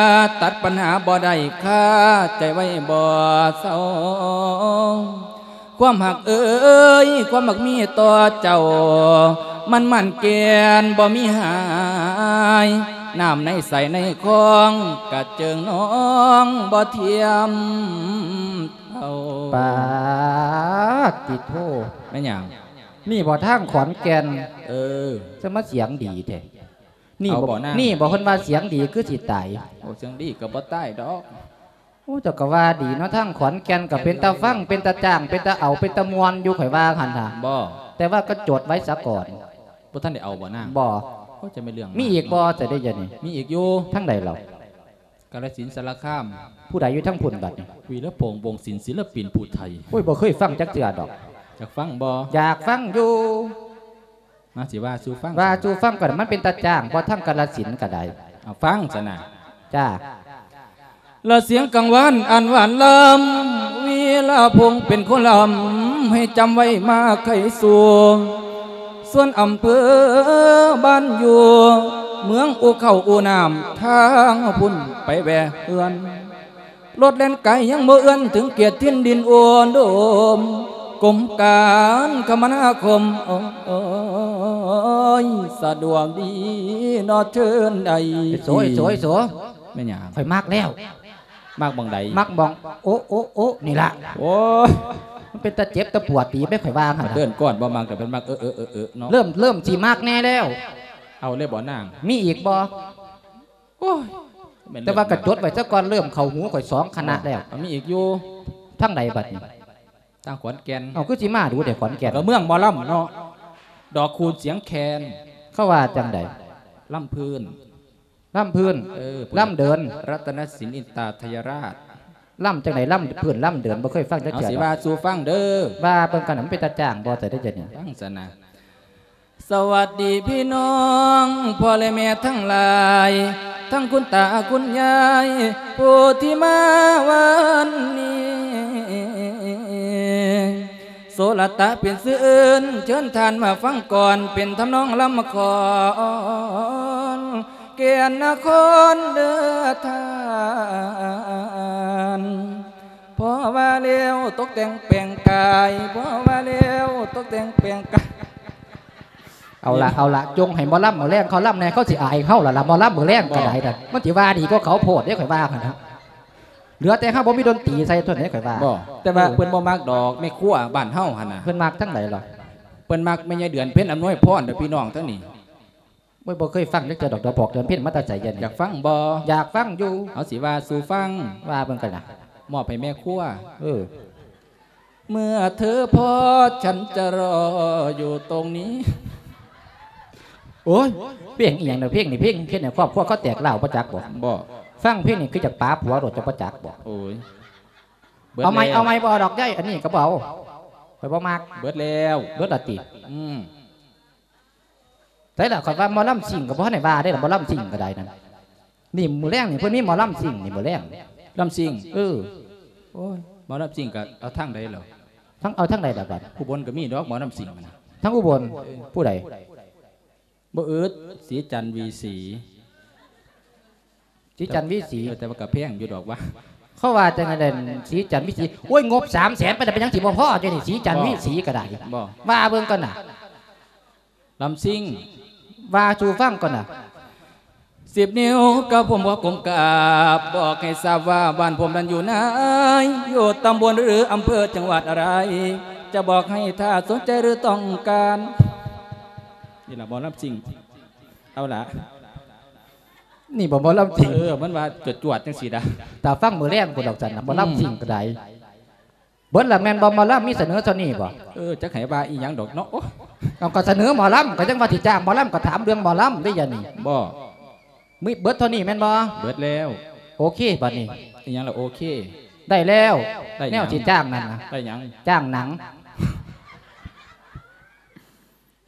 ຕັດບັນຫາບໍ່ໄດ້ ຄາໃຈໄວ້ບໍ່ເຊົາ. ຄວາມຮັກເອີຍ ຄວາມມັກມີຕໍ່ເຈົ້າ ມັນໝັ້ນແກ່ນບໍ່ມີຫາຍ ນ້ຳໃນໃສໃນຄອງ ກະເຈິງນອງບໍ່ທຽມເທົ່າ. ປາດຕິໂທ ແມ່ນຫຍັງ? ນີ້ບໍ່ທາງຂອນແກ່ນ? ເອີ ຈະມາສຽງດີແທ້. ນີ້ ເອົາບໍ່ ບໍ່ນາງ? ນີ້ບໍ່ ເພິ່ນວ່າສຽງດີຄືຊິຕາຍ. ໂອ້ ສຽງດີກໍບໍ່ຕາຍດອກ. ໂອ້ ເຈົ້າກໍວ່າດີເນາະ ທາງຂອນແກ່ນກໍເປັນຕາຟັງ ເປັນຕາຈ້າງ ເປັນຕາເອົາ ເປັນຕາມ່ວນຢູ່ ຂ້ອຍວ່າຫັ້ນນະ. ບໍ່ ແຕ່ວ່າກໍຈົດໄວ້ສາກ່ອນ. ບໍ່ທັນໄດ້ເອົາບໍ່ນາງ? ບໍ່. ໂອ້ ຈະແມ່ນເລື່ອງ ມີອີກບໍ່ ຈະໄດ້ ດຽວນີ້? ມີອີກຢູ່. ທາງໃດລາວ? ກາລະສິນ ສາລະຄາມ. ຜູ້ໃດຢູ່ທາງພຸ້ນບັດນີ້? ວີລະພົງ ວົງສິນ ສິນລະປິນຜູ້ໄທ. ໂອ້ຍ ບໍ່ເຄີຍຟັງຈັກເທື່ອດອກ. ຢາກຟັງບໍ່? ຢາກຟັງຢູ່. ມາຊິວ່າສູ່ຟັງ. ວ່າສູ່ຟັງກໍໄດ້ ມັນເປັນຕາຈ້າງບໍ່ ທາງກາລະສິນກໍໄດ້. ເອົາ ຟັງຊັ້ນນະ. ຈ້າ. ລະສຽງກັງວານອັນຫວານລຳ ວີລະພົງເປັນຄົນລຳ ໃຫ້ຈຳໄວ້ມາໄຂສູ່ ສ່ວນອຳເພີບ້ານຢູ່ ເມືອງອູເຂົ້າອູນ້ຳ ທາງພຸ້ນໄປແວ່ເຮືອນ ລົດແລ່ນໄກຍັງບໍ່ເອື້ອນ ເຖິງເຂດຖິ່ນດິນອຸດົມ ກົມການຄະມະນາຄົມ ໂອ້ຍ ສະດວກດີເນາະ ເຊີນໄດ້. ໂສຍ ໂສຍ ໂສຍ. ແມ່ນຫຍັງ? ຂ້ອຍມັກແລ້ວ. ມັກໝ່ອງໃດ? ມັກໝ່ອງ ໂອ ໂອ ໂອ ນີ້ລະ. ໂອ້ຍ ມັນເປັນຕາເຈັບຕາປວດດີແມ່ ຂ້ອຍວ່າຫັ້ນນະ. ເດີນກ່ອນບໍ່ມັກ ແຕ່ເພິ່ນມັກ ເອີ ເອີ ເອີ ເອີ ເນາະ. ເລີ່ມ ເລີ່ມຊິມັກແນ່ແລ້ວ. ເອົາເລີຍບໍ່ນາງ? ມີອີກບໍ່? ໂອ້ຍ ແຕ່ວ່າກໍຈົດໄວ້ຊະກ່ອນ ເລີ່ມເຂົ້າຫູຂ້ອຍສອງຄະນະແລ້ວ. ເອົ້າ ມີອີກຢູ່. ທາງໃດບັດນີ້? ທາງຂອນແກ່ນ. ເອົ້າ ຄືຊິມາດູແທ້ຂອນແກ່ນ? ກໍເມືອງໝໍລຳເນາະ ດອກຄູນສຽງແຄນ. ເຂົາວ່າຈັ່ງໃດ? ລຳພື້ນ. ລຳພື້ນ. ເອີ ລຳເດີນ. ລັດຕະນະສິນອິນຕາໄທຍະລາດ. ລຳຈັ່ງໃດ? ລຳພື້ນລຳເດີນ ບໍ່ເຄີຍຟັງຈັກເທື່ອ. ເອົາ ຊິວ່າສູ່ຟັງເດີ. ວ່າເບິ່ງກັນນະ ມັນເປັນຕາຈ້າງບໍ່ ແຕ່ໄດ້ຈະນີ້? ຟັງຊັ້ນນະ. ສະຫວັດດີພີ່ນ້ອງ ພໍ່ແລະແມ່ທັງຫຼາຍ ທັງຄຸນຕາຄຸນຍາຍ ຜູ້ທີ່ມາວັນນີ້ ໂສລະຕະເປັນຊື່ອື່ນ ເຊີນທ່ານມາຟັງກ່ອນ ເປັນທຳນອງລຳຂອນ ແກ່ນນະຄອນເດີທ່ານ. ພໍວ່າແລ້ວຕົກແຕ່ງແປງກາຍ ພໍວ່າແລ້ວຕົກແຕ່ງແປງກາຍ. ເອົາລະ ເອົາລະ ຈົ່ງໃຫ້ໝໍລຳມື້ແລງເຂົາລຳແດ່ ເຂົາຊິອາຍເຮົາລະລະ ໝໍລຳມື້ແລງກໍໄດ້ນະ. ມັນຊິວ່າດີກວ່າເຂົາໂພດເດ້ ຂ້ອຍວ່າຫັ້ນນະ. ເຫຼືອແຕ່ເຮົາບໍ່ມີດົນຕີໃສ່ເທົ່ານັ້ນເດ້ ຂ້ອຍວ່າ. ບໍ່ ແຕ່ວ່າ ເອີ ເພິ່ນບໍ່ມັກດອກ ແມ່ຄົວບ້ານເຮົາຫັ້ນນະ. ເພິ່ນມັກທາງໃດລະ? ເພິ່ນມັກແມ່ໃຫຍ່ເດືອນເພັນອຳນວຍພອນເດີພີ່ນ້ອງທັງນີ້. ໂອ້ຍ ບໍ່ເຄີຍຟັງຈັກເທື່ອດອກ ດອກບອກເດືອນເພັນມາແຕ່ໃສ ດຽວນີ້? ຢາກຟັງບໍ່? ຢາກຟັງຢູ່. ເອົາ ຊິວ່າສູ່ຟັງ. ວ່າເບິ່ງກັນນະ. ມອບໃຫ້ແມ່ຄົວ. ເອີ. ເມື່ອເທີພອດ ສັນຈະລໍຢູ່ຕົງນີ້. ໂອ້ຍ ເພງອີ່ຫຍັງນະ ເພງນີ້ ເພງເຮັດໃຫ້ຄອບຄົວເຂົາແຕກຮ້າວ ບໍ່ຈັກບໍ່? ບໍ່. ຟັງເພງນີ້ຄືຈະປາຜົວໂລດ ເຈົ້າບໍ່ຈັກບໍ່? ໂອ້ຍ ເບິດແລ້ວ. ເອົາໃໝ່ ເອົາໃໝ່ ບໍ່ເອົາດອກຍາຍ ອັນນີ້ກໍບໍ່ເອົາ ຂ້ອຍບໍ່ມັກ. ເບິດແລ້ວ. ເບິດລະຕິ? ອືມ. ໃສລະ ຂ້ອຍວ່າໝໍລຳຊິງກໍບໍ່ທັນໄດ້ວ່າເດ້ລະ ໝໍລຳຊິງກໍໄດ້ນັ້ນ. ນີ້ມື້ແລງນີ້ເພິ່ນມີໝໍລຳຊິງນີ້ມື້ແລງ. ລຳຊິງ? ເອີ. ໂອ້ຍ ໝໍລຳຊິງກໍເອົາທາງໃດລະ? ທາງ ເອົາທາງໃດລະບັດ? ອຸບົນກໍມີດອກໝໍລຳຊິງນະ. ທາງອຸບົນ? ເອີ. ຜູ້ໃດ? ບໍ່ອຶດ ສີຈັນ ວີສີ. ສີຈັນ ວີສີ. ເອີ ແຕ່ວ່າກໍແພງຢູ່ດອກວ່າ. ເຂົາວ່າຈັ່ງໃດ ສີຈັນ ວີສີ. ໂອ້ຍ ງົບສາມແສນໄປແລ້ວ ເປັນຫຍັງຊິບໍ່ພໍຢູ່ນີ້ ສີຈັນ ວີສີກໍໄດ້. ບໍ່. ວ່າເບິ່ງກ່ອນນະ. ລຳຊິງ. ວ່າສູ່ຟັງກ່ອນນະ. ສິບນິ້ວກັບຜົມຂໍກົ້ມກາບ ບອກໃຫ້ຊາບວ່າ ບ້ານຜົມນັ້ນຢູ່ໃນ ຢູ່ຕຳບົນ ຫຼື ອຳເພີ ຈັງຫວັດອະໄລ ຈະບອກໃຫ້ ຖ້າສົນໃຈ ຫຼື ຕ້ອງການ. ນີ້ລະໝໍລຳຊິງ. ເອົາລະ. ນີ້ບໍ່ໝໍລຳຊິງ? ເອີ ມັນວ່າຈວດໆ ຈັ່ງຊີ້ດາ. ຖ້າຟັງມື້ແລງພຸ້ນດອກຊັ້ນນະ ໝໍລຳຊິງກໍໄດ້. ອືມ. ເບິດລະແມ່ນບໍ່? ໝໍລຳມີສະເໜີເທົ່ານີ້ບໍ່? ເອີ ຈັກໃຫ້ວ່າອີ່ຫຍັງດອກເນາະ. ໂອ້ຍ ເອົາ ກໍສະເໜີໝໍລຳ ກໍຍັງວ່າຊິຈ້າງໝໍລຳ ກໍຖາມເລື່ອງໝໍລຳເດ້ ດຽວນີ້. ບໍ່. ມີເບິດເທົ່ານີ້ແມ່ນບໍ່? ເບິດແລ້ວ. ໂອເຄ ບັດນີ້. ອີ່ຫຍັງລະໂອເຄ? ໄດ້ແລ້ວ. ໄດ້ຫຍັງ? ແນວຊິຈ້າງນັ້ນນະ. ໄດ້ຫຍັງ? ຈ້າງໜັງ.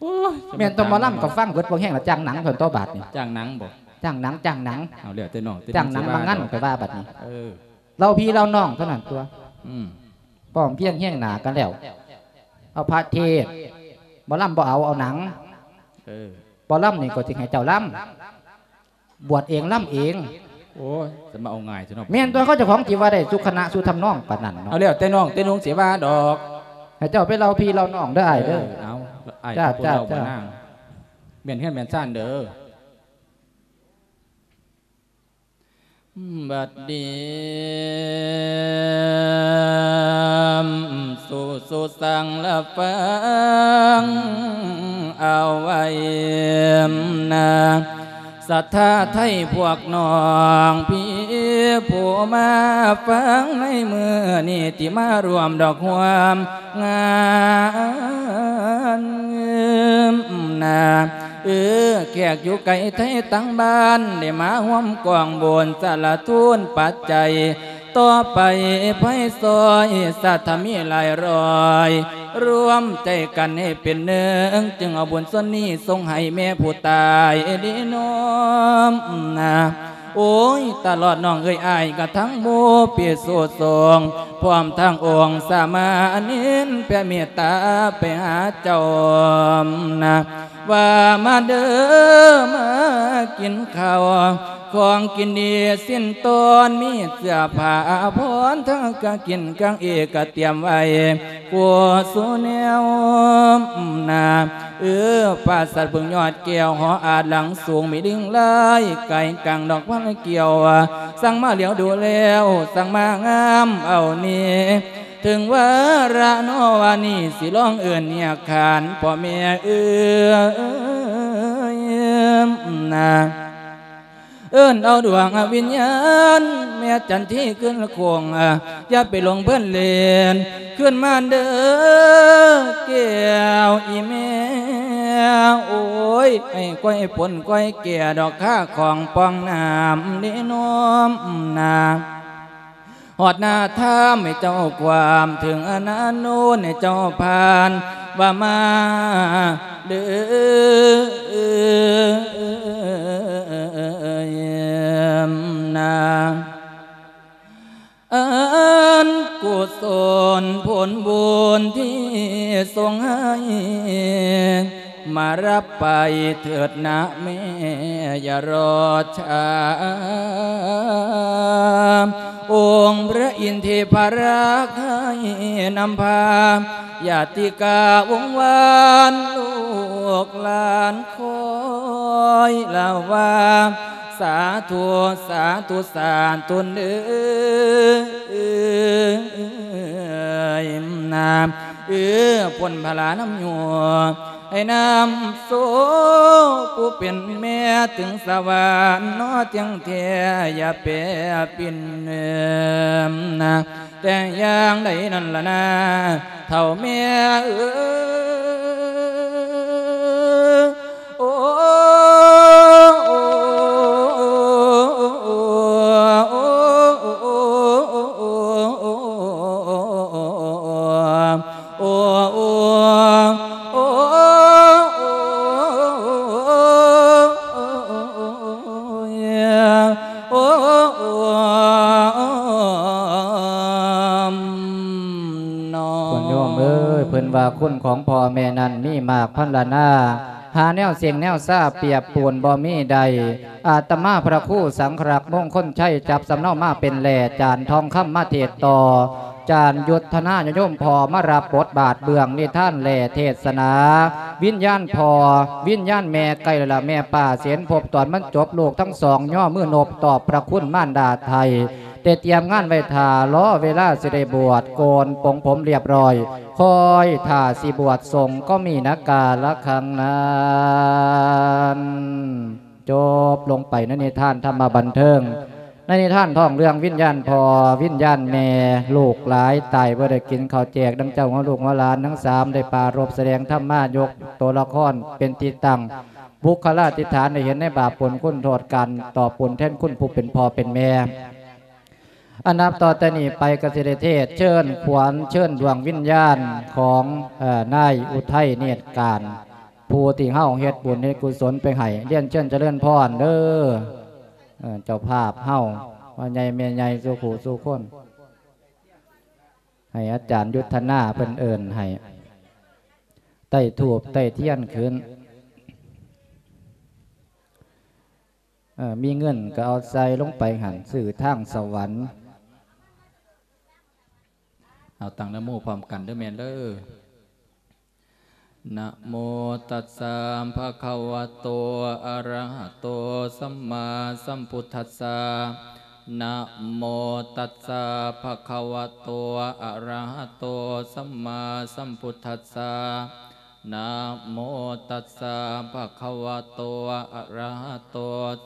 ໂອ້ຍ ແມ່ນແຕ່ໝໍລຳກໍຟັງເບິດບໍ່ແຮງລະ ຈ້າງໜັງເພິ່ນຕໍ່ບາດນີ້. ຈ້າງໜັງບໍ່? ຈ້າງໜັງ ຈ້າງໜັງ ເອົາແລ້ວແຕ່ນ້ອງ ແຕ່ນ້ອງ ຈ້າງໜັງ ຊິວ່າ ມາງານ ດອກ ຂ້ອຍວ່າບັດນີ້ ເອີ ເຫຼົ່າພີ່ເຫຼົ່ານ້ອງເທົ່ານັ້ນຕົວະ ອືມ ພ້ອມພຽງຮຽງໜ້າກັນແລ້ວ ເອົາພະເທດ ໝໍລຳບໍ່ເອົາ ເອົາໜັງ ເອີ ໝໍລຳນີ້ກໍຊິໃຫ້ເຈົ້າລຳ ບວດເອງລຳເອງ ໂອ້ຍ ຈະມາເອົາງ່າຍແທ້ເນາະ ແມ່ນຕົວະ ເຂົາເຈົ້າຂອງຊິວ່າໄດ້ສຸຂະນະສຸທຳນອງປານນັ້ນເນາະ ເອົາແລ້ວແຕ່ນ້ອງແຕ່ນຸ່ງຊິວ່າດອກ ໃຫ້ເຈົ້າໄປເລົ່າພີ່ເລົ່ານ້ອງເດີອ້າຍເດີ ເອີ ເອົາ ອ້າຍ ຈ້າ ເຈົ້າ ເຈົ້າ ເຈົ້າ ແມ່ນເຮືອນແມ່ນຊານເດີ. ບັດນີ້ ສຸ ສຸສັງລະຟັງເອົາໄວ້ນາ ສັດທາໄທພວກນ້ອງພີ່ ຜູ້ມາຟັງໃນມື້ນີ້ ທີ່ມາຮ່ວມດອກຮ່ວມງານນາ ເອີ ແຂກຢູ່ໄກໄທຕ່າງບ້ານ ໄດ້ມາຮ່ວມກອງບຸນສາລະທູນປັດໄຈ ຕໍ່ໄປໃຜຊ່ອຍ ສັດທາມີຫຼາຍຮ້ອຍ ລວມໃຈກັນໃຫ້ເປັນໜຶ່ງ ຈຶ່ງເອົາບຸນສ່ວນນີ້ສົ່ງໃຫ້ແມ່ຜູ້ຕາຍດີນ້ອມນາ ໂອ້ຍ ຕະຫຼອດນ້ອງເອີຍອ້າຍ ກະທັງໝູ່ພິສຸສົງ ພ້ອມທັງອົງສາມະເນນ ແຜ່ເມດຕາໄປຫາເຈົ້ານາ ວ່າມາເດີ ມາກິນເຂົ້າ ຂອງກິນດີສິ້ນຕອນ ມີເສື້ອຜ້າອາພອນ ທັງກາງກິນກາງເອກະຕຽມໄວ້ ຜູ້ສູ່ແນວນາ ເອີ ປາສາດເບິ່ງຍອດແກ້ວ ຫໍອາດຫຼັງສູງ ມີດິງລາຍ ກາຍກາງດອກພັນກຽວ ສັ່ງມາຫຼຽວດູແລ້ວ ສັ່ງມາງາມເອົານີ້ ເຖິງວາລະນໍວ່ານີ້ ຊິລອງເອີ້ນຮຽກຂານພໍ່ແມ່ເອີຍນາ ເອີ້ນເອົາດວງວິນຍານແມ່ຈັນທີຄືນຄົງ ຢ່າໄປຫຼົງເພີນເລີນ ຄືນມາເດີແກ້ວອີແມ່ ໂອ້ຍ ໃຫ້ກວຍປົນກວຍແກ່ ດອກຄາຂອງປ່ອງນ້ຳເດນ້ອມນາ ຮອດໜ້າຖ້ຳໃຫ້ເຈົ້າກວາມ ເຖິງອະນາໂນນໃຫ້ເຈົ້າຜ່ານ ວ່າມາເດີນາ ອັນກຸສົນຜົນບຸນທີ່ສົ່ງໃຫ້ ມາຮັບໄປເທີດນະແມ່ ຢ່າລໍຊ້າ ອົງພະອິນເທພະລັກໃຫ້ນຳພາ ຍາດຕິກາວົງວານ ລູກຫຼານຄອຍລາວາ ສາທຸ ສາທຸ ສາທຸເອີຍນາ ເອີ ພົ້ນພະລານຳຍົວ ໃຫ້ນຳໂຊຜູ້ເປັນແມ່ ເຖິງສະຫວັນເນາະ ຈັ່ງແທ້ຢ່າແປປິ່ນເອີມນາ ແຕ່ຢ່າງໃດນັ້ນລະນາ ເຖົ້າແມ່ເອີຍ ໂອ ໂຍມເອີຍ ເພິ່ນວ່າຄຸນຂອງພໍ່ແມ່ນັ້ນມີມາກພັນລະນາ ຫາແນວເສັງແນວຊາປຽບປູນບໍ່ມີໄດ້ ອາດຕະມາພະຄູສັງຄະລັກ ມົງຄົນໄຊ ຈັບສຳເນົາມາເປັນແຫຼ ຈານທອງຄຳມາເທດຕໍ່ ຈານຍຸດທະນາຍາໂຍມພໍ່ມາຮັບບົດບາດເບື້ອງນິທານແລເທດສະໜາ ວິນຍານພໍ່ ວິນຍານແມ່ ໃກ້ແລ້ວລະແມ່ປ້າ ເສນພົບຕອນມັນຈົບ ລູກທັງສອງຍໍມືນົບຕອບພະຄຸນມານດາໄທ ໄດ້ຕຽມງານໄວ້ຖ້າ ລໍເວລາຊິໄດ້ບວດ ໂກນປົງຜົມລຽບຮ້ອຍ ຄອຍຖ້າຊິບວດສົງ ກໍມີນະກາລະຄັງນັ້ນ. ຈົບລົງໄປໃນນິທານທຳມະບັນເທີງ ໃນນິທານທ້ອງເລື່ອງວິນຍານພໍ່ ວິນຍານແມ່ ລູກຫຼາຍຕາຍບໍ່ໄດ້ກິນເຂົ້າແຈກ ດັ່ງເຈົ້າຫົວລູກຫົວຫຼານທັງສາມໄດ້ປາລົບສະແດງທຳມາ ຍົກໂຕລະຄອນເປັນທີ່ຕັ້ງ ບຸກຄະລາທິຖານ ໄດ້ເຫັນໃນບາບຜົນຄຸນໂທດ ການຕອບບຸນແທນຄຸນຜູ້ເປັນພໍ່ເປັນແມ່. ອັນນັບຕໍ່ແຕ່ນີ້ໄປກໍຊິໄດ້ເທດເຊີນຂວັນເຊີນດວງວິນຍານຂອງ ເອີ ນາຍອຸໄທເນດການ ຜູ້ທີ່ເຮົາເຮັດບຸນເຮັດກຸສົນໄປໃຫ້ ລຽນເຊີນຈະເລີນພອນເດີ ເອີ ເຈົ້າພາບເຮົາ ພໍ່ໃຫຍ່ແມ່ໃຫຍ່ສູ່ຜູ້ສູ່ຄົນ ໃຫ້ອາຈານຍຸດທະນາເພິ່ນເອີ້ນໃຫ້ ໄຕ້ທູບໄຕ້ທຽນຂຶ້ນ ເອີ ມີເງິນກໍເອົາໃສ່ລົງໄປຫັ້ນ ຊື້ທາງສະຫວັນ. ເອົາຕັ້ງນະໂມພ້ອມກັນເດີແມ່ເດີ. ນະໂມຕັດສະ ພະຄະວະໂຕ ອະຣະຫະໂຕ ສຳມາສຳພຸດທັດສະ. ນະໂມຕັດສະ ພະຄະວະໂຕ ອະຣະຫະໂຕ ສຳມາສຳພຸດທັດສະ. ນະໂມຕັດສະ ພະຄະວະໂຕ ອະຣະຫະໂຕ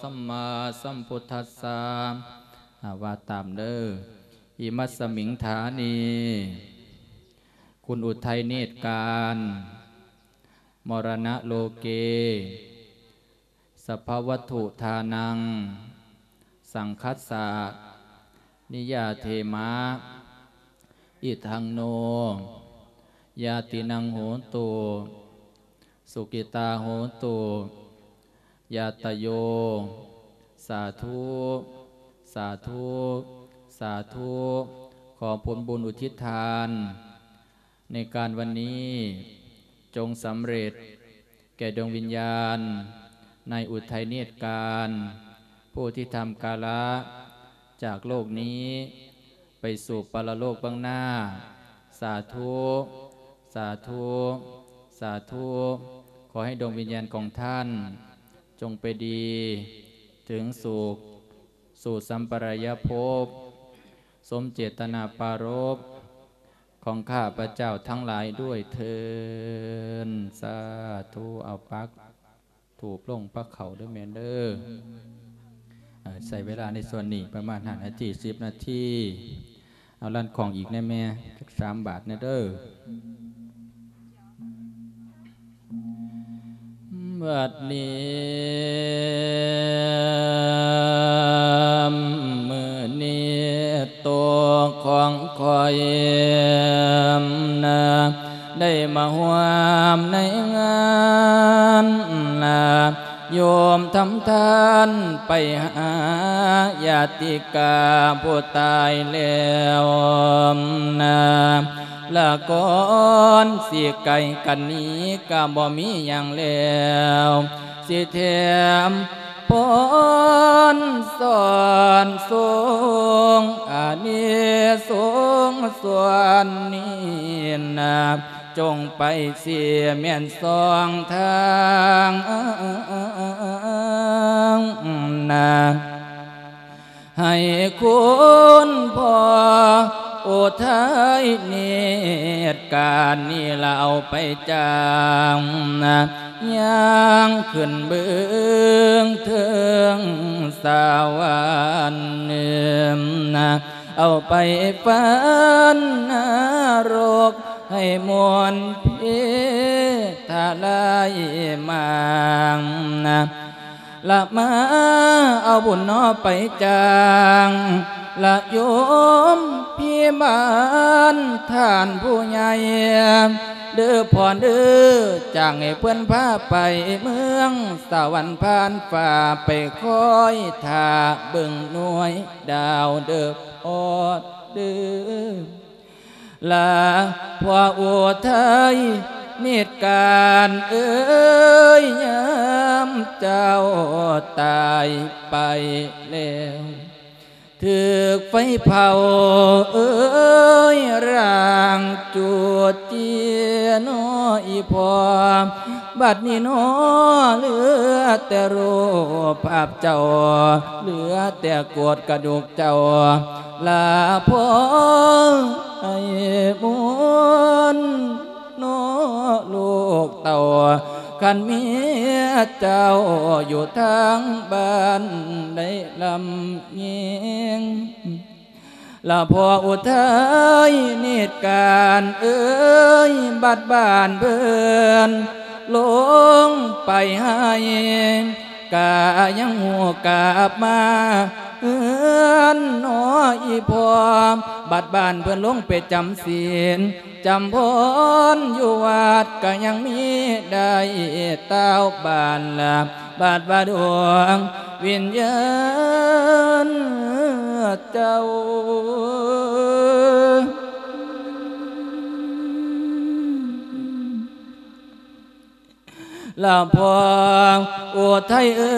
ສຳມາສຳພຸດທັດສະ. ອາ ວ່າຕາມເດີ. ອິມັດສະມິງຖານີ ຄຸນອຸໄທເນດການ ມະລະນະໂລເກ ສັບພະວັດຖຸທານັງ ສັງຄັດສະ ນິຍາເທມະ ອິທັງໂນ ຍາຕິນັງໂຫຕຸ ສຸກິຕາໂຫຕຸ ຍາດຕະໂຍ ສາທຸ ສາທຸ ສາທຸ. ຂໍຜົນບຸນອຸທິດທານໃນການວັນນີ້ ຈົ່ງສຳເລັດແກ່ດວງວິນຍານໃນອຸໄທເນດການ ຜູ້ທີ່ທຳກາລະຈາກໂລກນີ້ ໄປສູ່ປະລະໂລກເບື້ອງໜ້າ. ສາທຸ ສາທຸ ສາທຸ. ຂໍໃຫ້ດວງວິນຍານຂອງທ່ານ ຈົ່ງໄປດີເຖິງສຸກ ສູ່ສຳປະລາຍະພົບ ສົມເຈດຕະນາປາລົບຂອງຂ້າພະເຈົ້າທັງຫຼາຍດ້ວຍເທີ້ນ. ສາທຸ. ເອົາປັກ ທູບລົງພະເຂົ້າເດີແມ່ເດີ. ເອີ ໃຊ້ເວລາໃນສ່ວນນີ້ປະມານຫ້ານາທີ ສິບນາທີ. ເອົາລັນຂອງອີກແດ່ແມ່ ຈັກສາມບາດແດ່ເດີ. ບັດນີ້ ມື້ນີ້ໂຕຂອງຂ້ອຍນະ ໄດ້ມາຮ່ວມໃນງານນະ ໂຍມທຳທານໄປຫາຍາຕິກາຜູ້ຕາຍແລ້ວນະ ລະກ່ອນຊິໄກກັນນີ້ກະບໍ່ມີຫຍັງແລ້ວ ຊິແຖມ ພອນສອນສູງ ອານິສົງສ່ວນນີ້ນະ ຈົ່ງໄປຊິແມ່ນສອງທາງນະ ໃຫ້ຄຸນພໍ່ອຸໄທເນດການນີ້ລະເອົາໄປຈ້າງນະ ຍ່າງຂຶ້ນເບື້ອງເທິງສະຫວັນນະ ເອົາໄປຝັນນະລົກໃຫ້ມົນເພທະລາຍມາງນະ ລະມາເອົາບຸນໜໍໄປຈ້າງ ລະໂຍມພີ່ບ້ານທ່ານຜູ້ໃຫຍ່ ເດີພໍ່ເດີ ຈ້າງໃຫ້ເພິ່ນພາໄປເມືອງສະຫວັນຜ່ານຟ້າ ໄປຄອຍຖ້າເບິ່ງໜ່ວຍດາວເດີພໍ່ເດີ. ລາພໍ່ອຸໄທເນດການເອີຍ ຍາມເຈົ້າຕາຍໄປແລ້ວ ຖືກໄຟເຜົາເອີຍ ຮ່າງຈູດເຈຍໜໍອີ່ພໍ່ ບັດນີ້ໜໍເຫຼືອແຕ່ຮູບພາບເຈົ້າ ເຫຼືອແຕ່ໂກດກະດູກເຈົ້າ ລາພໍ່ໃຫ້ບຸນເນາະລູກເຕົ້າ ຄັນເມຍເຈົ້າຢູ່ທາງບ້ານໄດ້ລຳຍິງ ລາພໍ່ອຸໄທເນດການເອີຍ ບັດບ້ານເພິ່ນລົງໄປໃຫ້ ກະຍັງຮູ້ກັບມາ ນນໍອີ່ພໍ່ ບັດບ້ານເພິ່ນລົງໄປຈຳສິນ ຈຳພົນຢູ່ວັດກະຍັງມີໄດ້ຕ່າວບ້ານລະ ບາດວ່າດວງວິນຍານເຈົ້າ ລະພໍ່ອຸໄທເອີ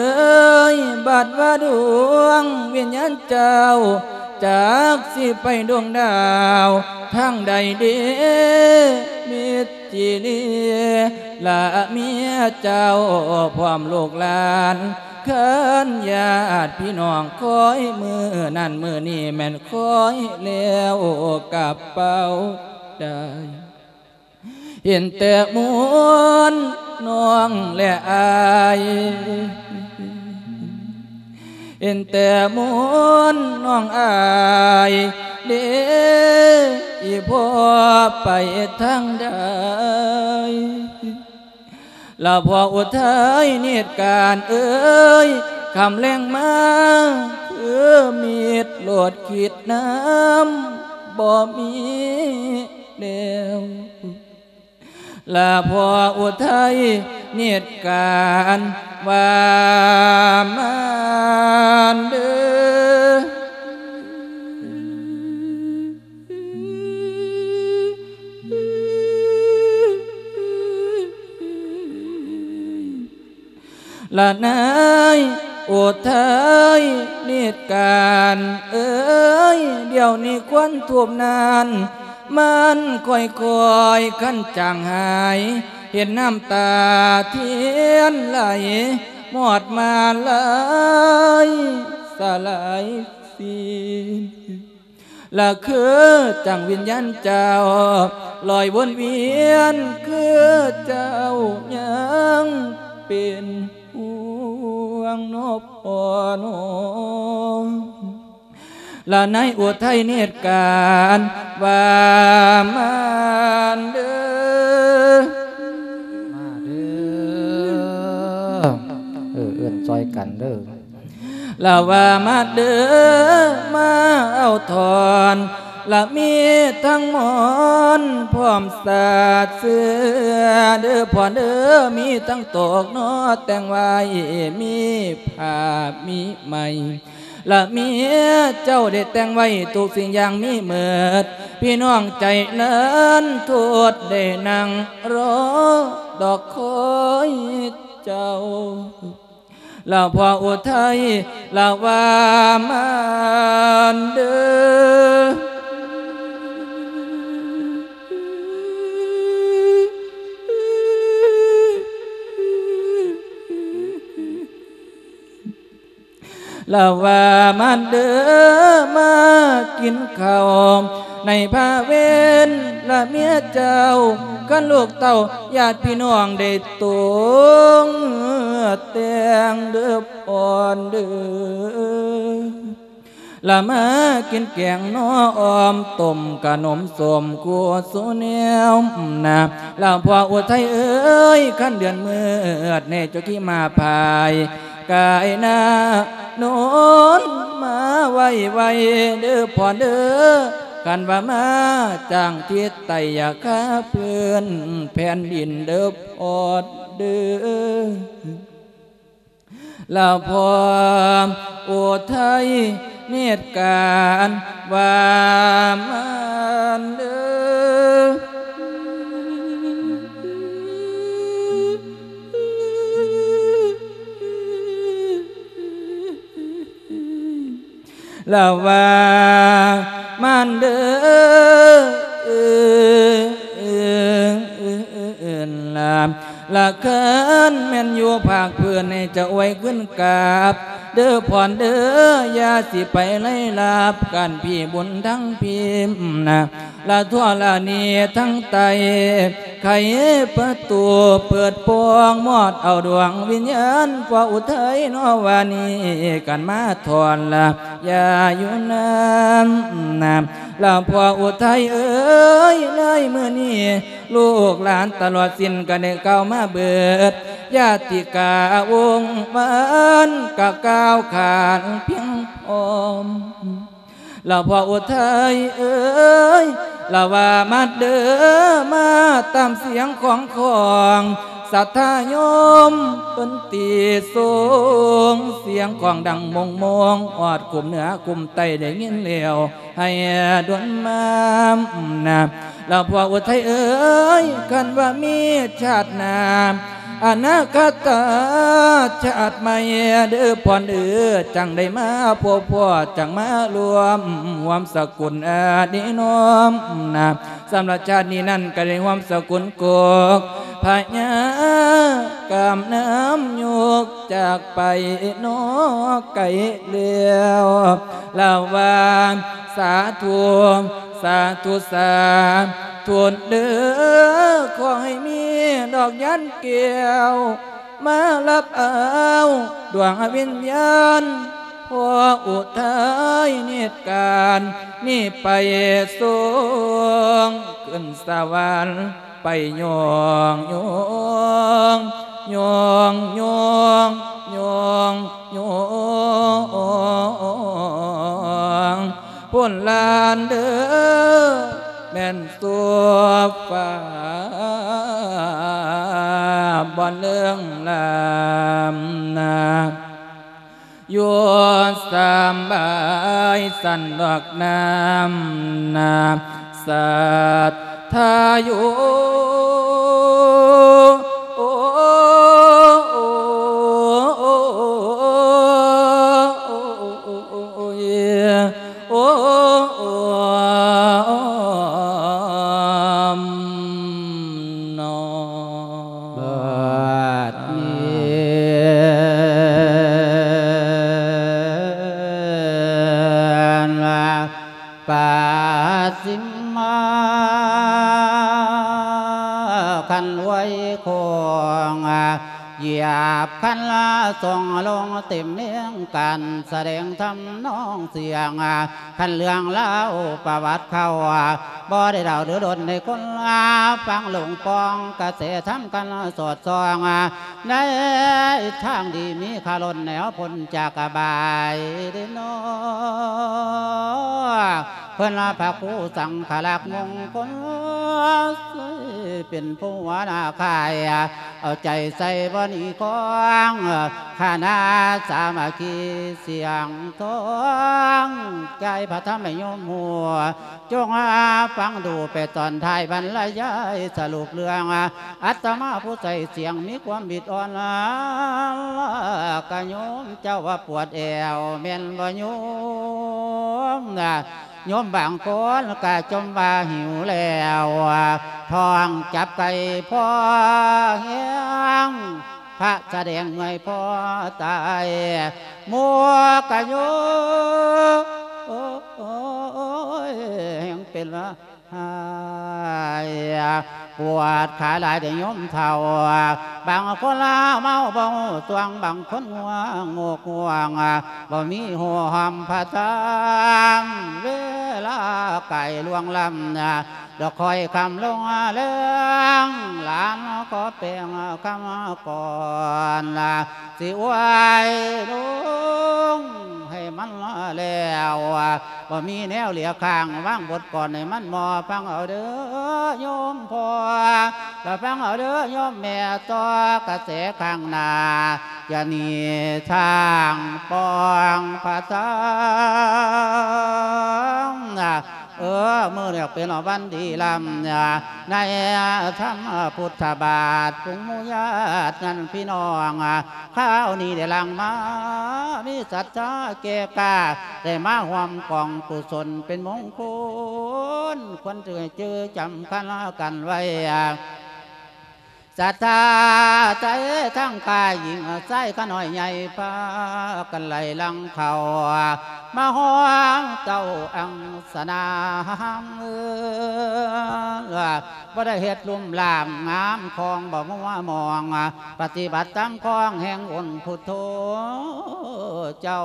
ຍ ບາດວ່າດວງວິນຍານເຈົ້າ ຈັກຊິໄປດວງດາວທາງໃດເດ ມິດຈີລີ ລະເມຍເຈົ້າ ພ້ອມລູກຫຼານ ຄັນຍາດພີ່ນ້ອງ ຄອຍມື້ນັ້ນມື້ນີ້ ແມ່ນຄອຍແລ້ວກະເປົ່າໄດ້. ເຫັນແຕ່ມົນນ້ອງແລະອາຍ ເຫັນແຕ່ມົນນ້ອງອາຍເດ ອີ່ພໍ່ໄປທາງໃດ ລະພໍ່ອຸໄທນິດການເອີຍ ຄ່ຳແລງມາຄືມິດໂລດຄິດນຳບໍ່ມີແລ້ວ. ລະພໍ່ອຸໄທນິດການວ່າມານເດີ ລະນາຍອຸໄທນິດການເອີຍ ດຽວນີ້ຄວັນທູບນັ້ນ ມັນຄ່ອຍໆຄັນຈາງຫາຍ ເຫັນນ້ຳຕາທຽນໄຫຼ ມອດມາໄຫຼສະຫຼາຍສິ້ນ ລະຄືຈັ່ງວິນຍານເຈົ້າ ລອຍວົນວຽນ ຄືເຈົ້າຍັງເປັນຫ່ວງນໍພໍ່ນ້ອງ ລະນາຍອຸໄທນິດການວ່າມາເດີ ມາເດີ ເອີ ເອີ້ນຊ່ອຍກັນເດີ ລະວ່າມາເດີ ມາເອົາຖອນ ລະມີທັງໝອນພ້ອມສາດເສື້ອເດີພໍ່ເດີ ມີທັງໂຕກນໍແຕ່ງໄວ້ ມີຜ້າມີໄໝ ລະເມຍເຈົ້າໄດ້ແຕ່ງໄວ້ທຸກສິ່ງຢ່າງມີເໝິດ ພີ່ນ້ອງໃຈລັນທົດໄດ້ນັ່ງລໍດອກຄອຍເຈົ້າ ລະພໍ່ອຸໄທລະວ່າມານເດີ ລະວ່າມານເດີ ມາກິນເຂົ້າໃນພາເວັນ ລະເມຍເຈົ້າ ຄັນລູກເຕົ້າຍາດພີ່ນ້ອງໄດ້ຕົງແຕ່ງເດີ ອ່ອນເດີ ລະມາກິນແກງໜໍ່ອອມຕົ້ມ ກະໜົມສົ້ມຄູ່ສູ່ແນວນາ ລະພໍ່ອຸໄທເອີຍ ຄັນເດືອນມືດແນ່ ເຈົ້າຂີ່ມ້າພາຍກາຍໜ້ານົນມາໄວໆເດີພໍ່ເດີ ຄັນວ່າມາຈາງທິດໃຕ້ ຢ່າຄາພື້ນແຜ່ນດິນເດີພໍ່ເດີ. ລະພໍ່ອຸໄທເນດການວ່າມານເດີ ລະວ່າມານເດີ ລະ ລະຄັນແມ່ນຢູ່ພາກພື້ນໃຫ້ເຈົ້າໄວ້ຂຶ້ນກາບ ເດີພອນເດີ ຢ່າຊິໄປໄລ່ລາບກັນ ພີ້ບຸນທັງພີ້ນະ ລະທົ່ວລະໜີທັງໃຕ້ ໄຂປະຕູເປີດປ່ອງ ມອດເອົາດວງວິນຍານ ພໍ່ອຸໄທນໍວ່ານີ້ກັນມາທ່ອນລະ ຢ່າຢູ່ນານນະ ລະພໍ່ອຸໄທເອີຍ ໃນມື້ນີ້ ລູກຫຼານຕະຫຼອດສິ້ນກະໄດ້ກ່າວມາເບີດ ຍາຕິກາວົງວານກະກ່າວຂານພຽງ ອ້ອມ ລະພໍ່ອຸໄທເອີຍ ລະວ່າມາເດີ ມາຕາມສຽງຂອງຂອງ ສັດທາໂຍມເພິ່ນຕິສົງ ສຽງຂອງດັງໂມງໂມງ ຮອດຄຸ້ມເໜືອຄຸ້ມໃຕ້ໄດ້ຍິນແລ້ວ ໃຫ້ດ່ວນມານະ ລະພໍ່ອຸໄທເອີຍ ຄັນວ່າມີຊາດໜ້າ ອະນາຄະຕະຊາດໃໝ່ເດີພອນເອີ ຈັ່ງໄດ້ມາພົບພໍ້ ຈັ່ງມາລວມຮ່ວມສະກຸນອະດີນ້ອມນະ ສຳລັບຊາດນີ້ນັ້ນກໍໄດ້ຮ່ວມສະກຸນກົກພະຍາ ກຳນຳຍົກຈາກໄປນອກໄກແລ້ວ ລະວ່າ ສາທຸ ສາທຸ ສາທຸເດີ ຂໍໃຫ້ມີດອກຍານແກ້ວ ມາຮັບເອົາດວງວິນຍານ ພໍ່ອຸໄທນິດການນີ້ໄປສົ່ງຂຶ້ນສະຫວັນ ໄປຍ້ອງ ຍ້ອງ ຍ້ອງ ຍ້ອງ ຍ້ອງ ຍ້ອງ ພຸ້ນລານເດີ ແມ່ນສູ່ຟ້າ ບ່ອນເລື່ອງລາມນາ ຢູ່ສຳບາຍສັນດອກນ້ຳນາ ສັດທາຢູ່ ໂອ້ຍ ໂອ້ມ ເນາະ ບັດນີ້ ປາຊິມມາ ຄັນອວຍຄອງ ຢຽບຄັນລະສອງລົງເຕັມເນງ ການສະແດງທຳນອງສຽງ ຄັນເລື່ອງລາວປະຫວັດເກົ່າ ບໍ່ໄດ້ເດົາຫຼືດົນໃຫ້ຄົນຟັງ ຫຼົງປ່ອງກະແສທຳກັນສອດສ່ອງ ໃນທາງດີມີຄາລົນແນວພົ້ນຈາກອະບາຍເດເນາະ ເພິ່ນພະຄູສັງຄະລັກມຸງຄຸນ ເປັນຜູ້ຫົວໜ້າຄ້າຍ ເອົາໃຈໃສ່ບໍ່ໜີຂອງ ຄະນະສາມັກຄີສຽງທອງ ໃຈພະທຳໃຫ້ໂຍມຮູ້ ຈົ່ງຟັງດູໄປຕອນທ້າຍບັນລະຍາຍສະຫຼຸບເລື່ອງ ອາດຕະມາຜູ້ໃຊ້ສຽງມີຄວາມບິດອ່ອນ ກະໂຍມເຈົ້າວ່າປວດແອວແມ່ນບໍ່ໂຍມ? ໂຍມບາງຄົນກະຈົ່ມວ່າຫິວແລ້ວ ທ້ອງຈັບໄກ່ພໍແຮງ ພະສະແດງເມື່ອຍພໍຕາຍ ໝູ່ກະໂຍມ ໂອ້ຍ ແຮ່ງເປັນວ່າ ຫາຍ ປວດຂາຫຼາຍເດ້ໂຍມເຖົ້າ ບາງຄົນລາເມົາບໍ່ຮູ້ຕົວງ ບາງຄົນງ່ວງງູກງ່ວງ ບໍ່ມີຮູ້ຮ່ອມພະທຳ ເວລາໃກ້ລ່ວງລ້ຳ ດອກຄອຍຄ່ຳລົງແລງ ຫຼານຂໍແປງຄຳກ່ອນ ຊິອວຍລົງໃຫ້ມັນແລ້ວ ບໍ່ມີແນວເຫຼືອຄ້າງ ວາງບົດກ່ອນໃຫ້ມັນໝໍ້ ຟັງເອົາເດີໂຍມພໍ່ ລະຟັງເອົາເດີໂຍມແມ່ ຕໍ່ກະແສຂ້າງໜ້າ ຢ່າໜີທາງປ່ອງພະທຳ ເອີ ມື້ນີ້ເປັນວັນດີລ້ຳ ໃນທຳພຸດທະບາດ ຝູງໝູ່ຍາດນັ້ນພີ່ນ້ອງ ຄາວນີ້ໄດ້ຫຼັ່ງມາ ມີສັດທາແກ່ກ້າ ໄດ້ມາຮ່ວມກອງກຸສົນເປັນມົງຄຸນ ຄວນຈື່ຈື່ຈຳຄັນກັນໄວ້ ສັດທາໃຈທັງກາຍຍິງຊາຍ ຂະນ້ອຍໃຫຍ່ພາກັນໄຫຼຫຼັງເຂົ້າ ມາຮອດເຈົ້າອັງສະນາ ບໍ່ໄດ້ເຮັດລຸ່ມລ່າງງາມຂອງບໍ່ມົວມອງ ປະຕິບັດຕາມຂອງແຫ່ງອົງພຸດໂທເຈົ້າ.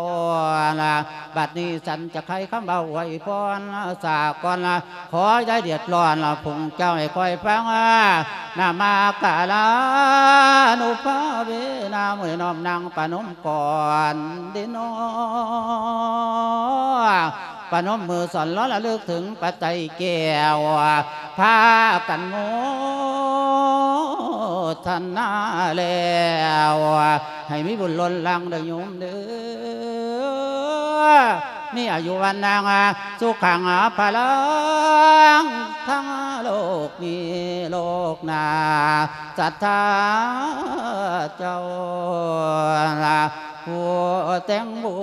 ບັດນີ້ສັນຈະໄຂຄຳເວົ້າອວຍພອນສາກ່ອນ ຂໍຢ່າເດືອດຮ້ອນ ຜູ້ເຈົ້າໃຫ້ຄອຍຟັງ ນະມາກາລານຸພາເວນາ ມື້ນ້ອມນັ່ງປະນົມກ່ອນເດເນາະ ປະນົມມືສອນລະລຶກເຖິງປັດໄຈແກ້ວ ພາກັນໂມທະນາແລ້ວ ໃຫ້ມີບຸນລົ້ນຫຼັງເດີໂຍມເດີ ມີອາຍຸວັນນະສຸຂັງພະລັງ ທັງໂລກນີ້ໂລກໜ້າ ສັດທາເຈົ້າ ຜູ້ແຕ່ງບຸ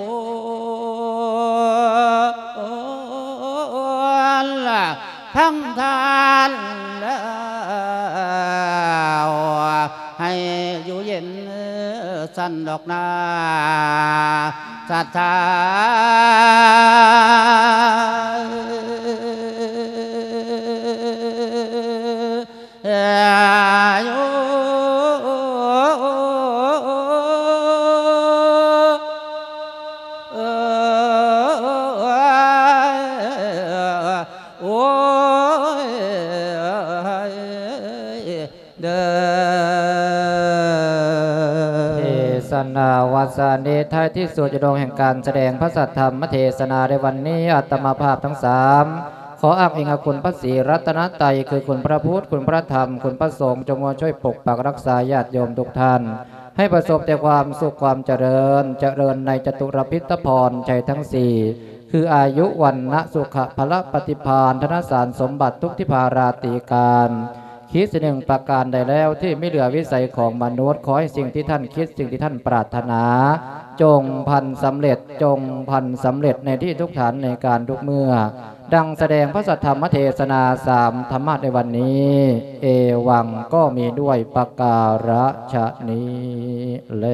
ນ ທັງທ່ານແລ້ວ ໃຫ້ຢູ່ເຢັນສັນດອກນາ ສັດທາ ໂອ້ຍ ເດີ ເທສະນາວັດສະນີ້ ທ້າຍທີ່ສຸດ ຢູ່ດອງແຫ່ງການສະແດງພະສັດທຳມະເທສະນາໃນວັນນີ້ ອາດຕະມາພາບທັງສາມ ຂໍອ້າງອີງອາຄຸນພະສີລັດຕະນະໄຕ ຄືຄຸນພະພຸດ ຄຸນພະທຳ ຄຸນພະສົງ ຈົ່ງມາຊ່ວຍປົກປັກຮັກສາຍາດໂຍມທຸກທ່ານ ໃຫ້ປະສົບແຕ່ຄວາມສຸກຄວາມຈະເລີນ, ຈະເລີນໃນຈະຕຸລະພິດຕະພອນໄຊທັງສີ່ ຄືອາຍຸ ວັນນະ ສຸຂະ ພະລະ ປະຕິພານ ທະນະສານສົມບັດທຸກທິພາລາຕີການ ຄິດສິ່ງໜຶ່ງປະການໃດແລ້ວທີ່ມີເຫຼືອວິໄສຂອງມະນຸດ, ຂໍໃຫ້ສິ່ງທີ່ທ່ານຄິດ, ສິ່ງທີ່ທ່ານປາດຖະໜາ ຈົ່ງພັນສຳເລັດ, ຈົ່ງພັນສຳເລັດໃນທີ່ທຸກທ່ານໃນການທຸກເມື່ອ. ດັ່ງສະແດງພະສັດທຳມະເທສະນາສາມທຳມະໃນວັນນີ້ ເອວັງ ກໍມີດ້ວຍປະກາລະຊະນີ້ແລ.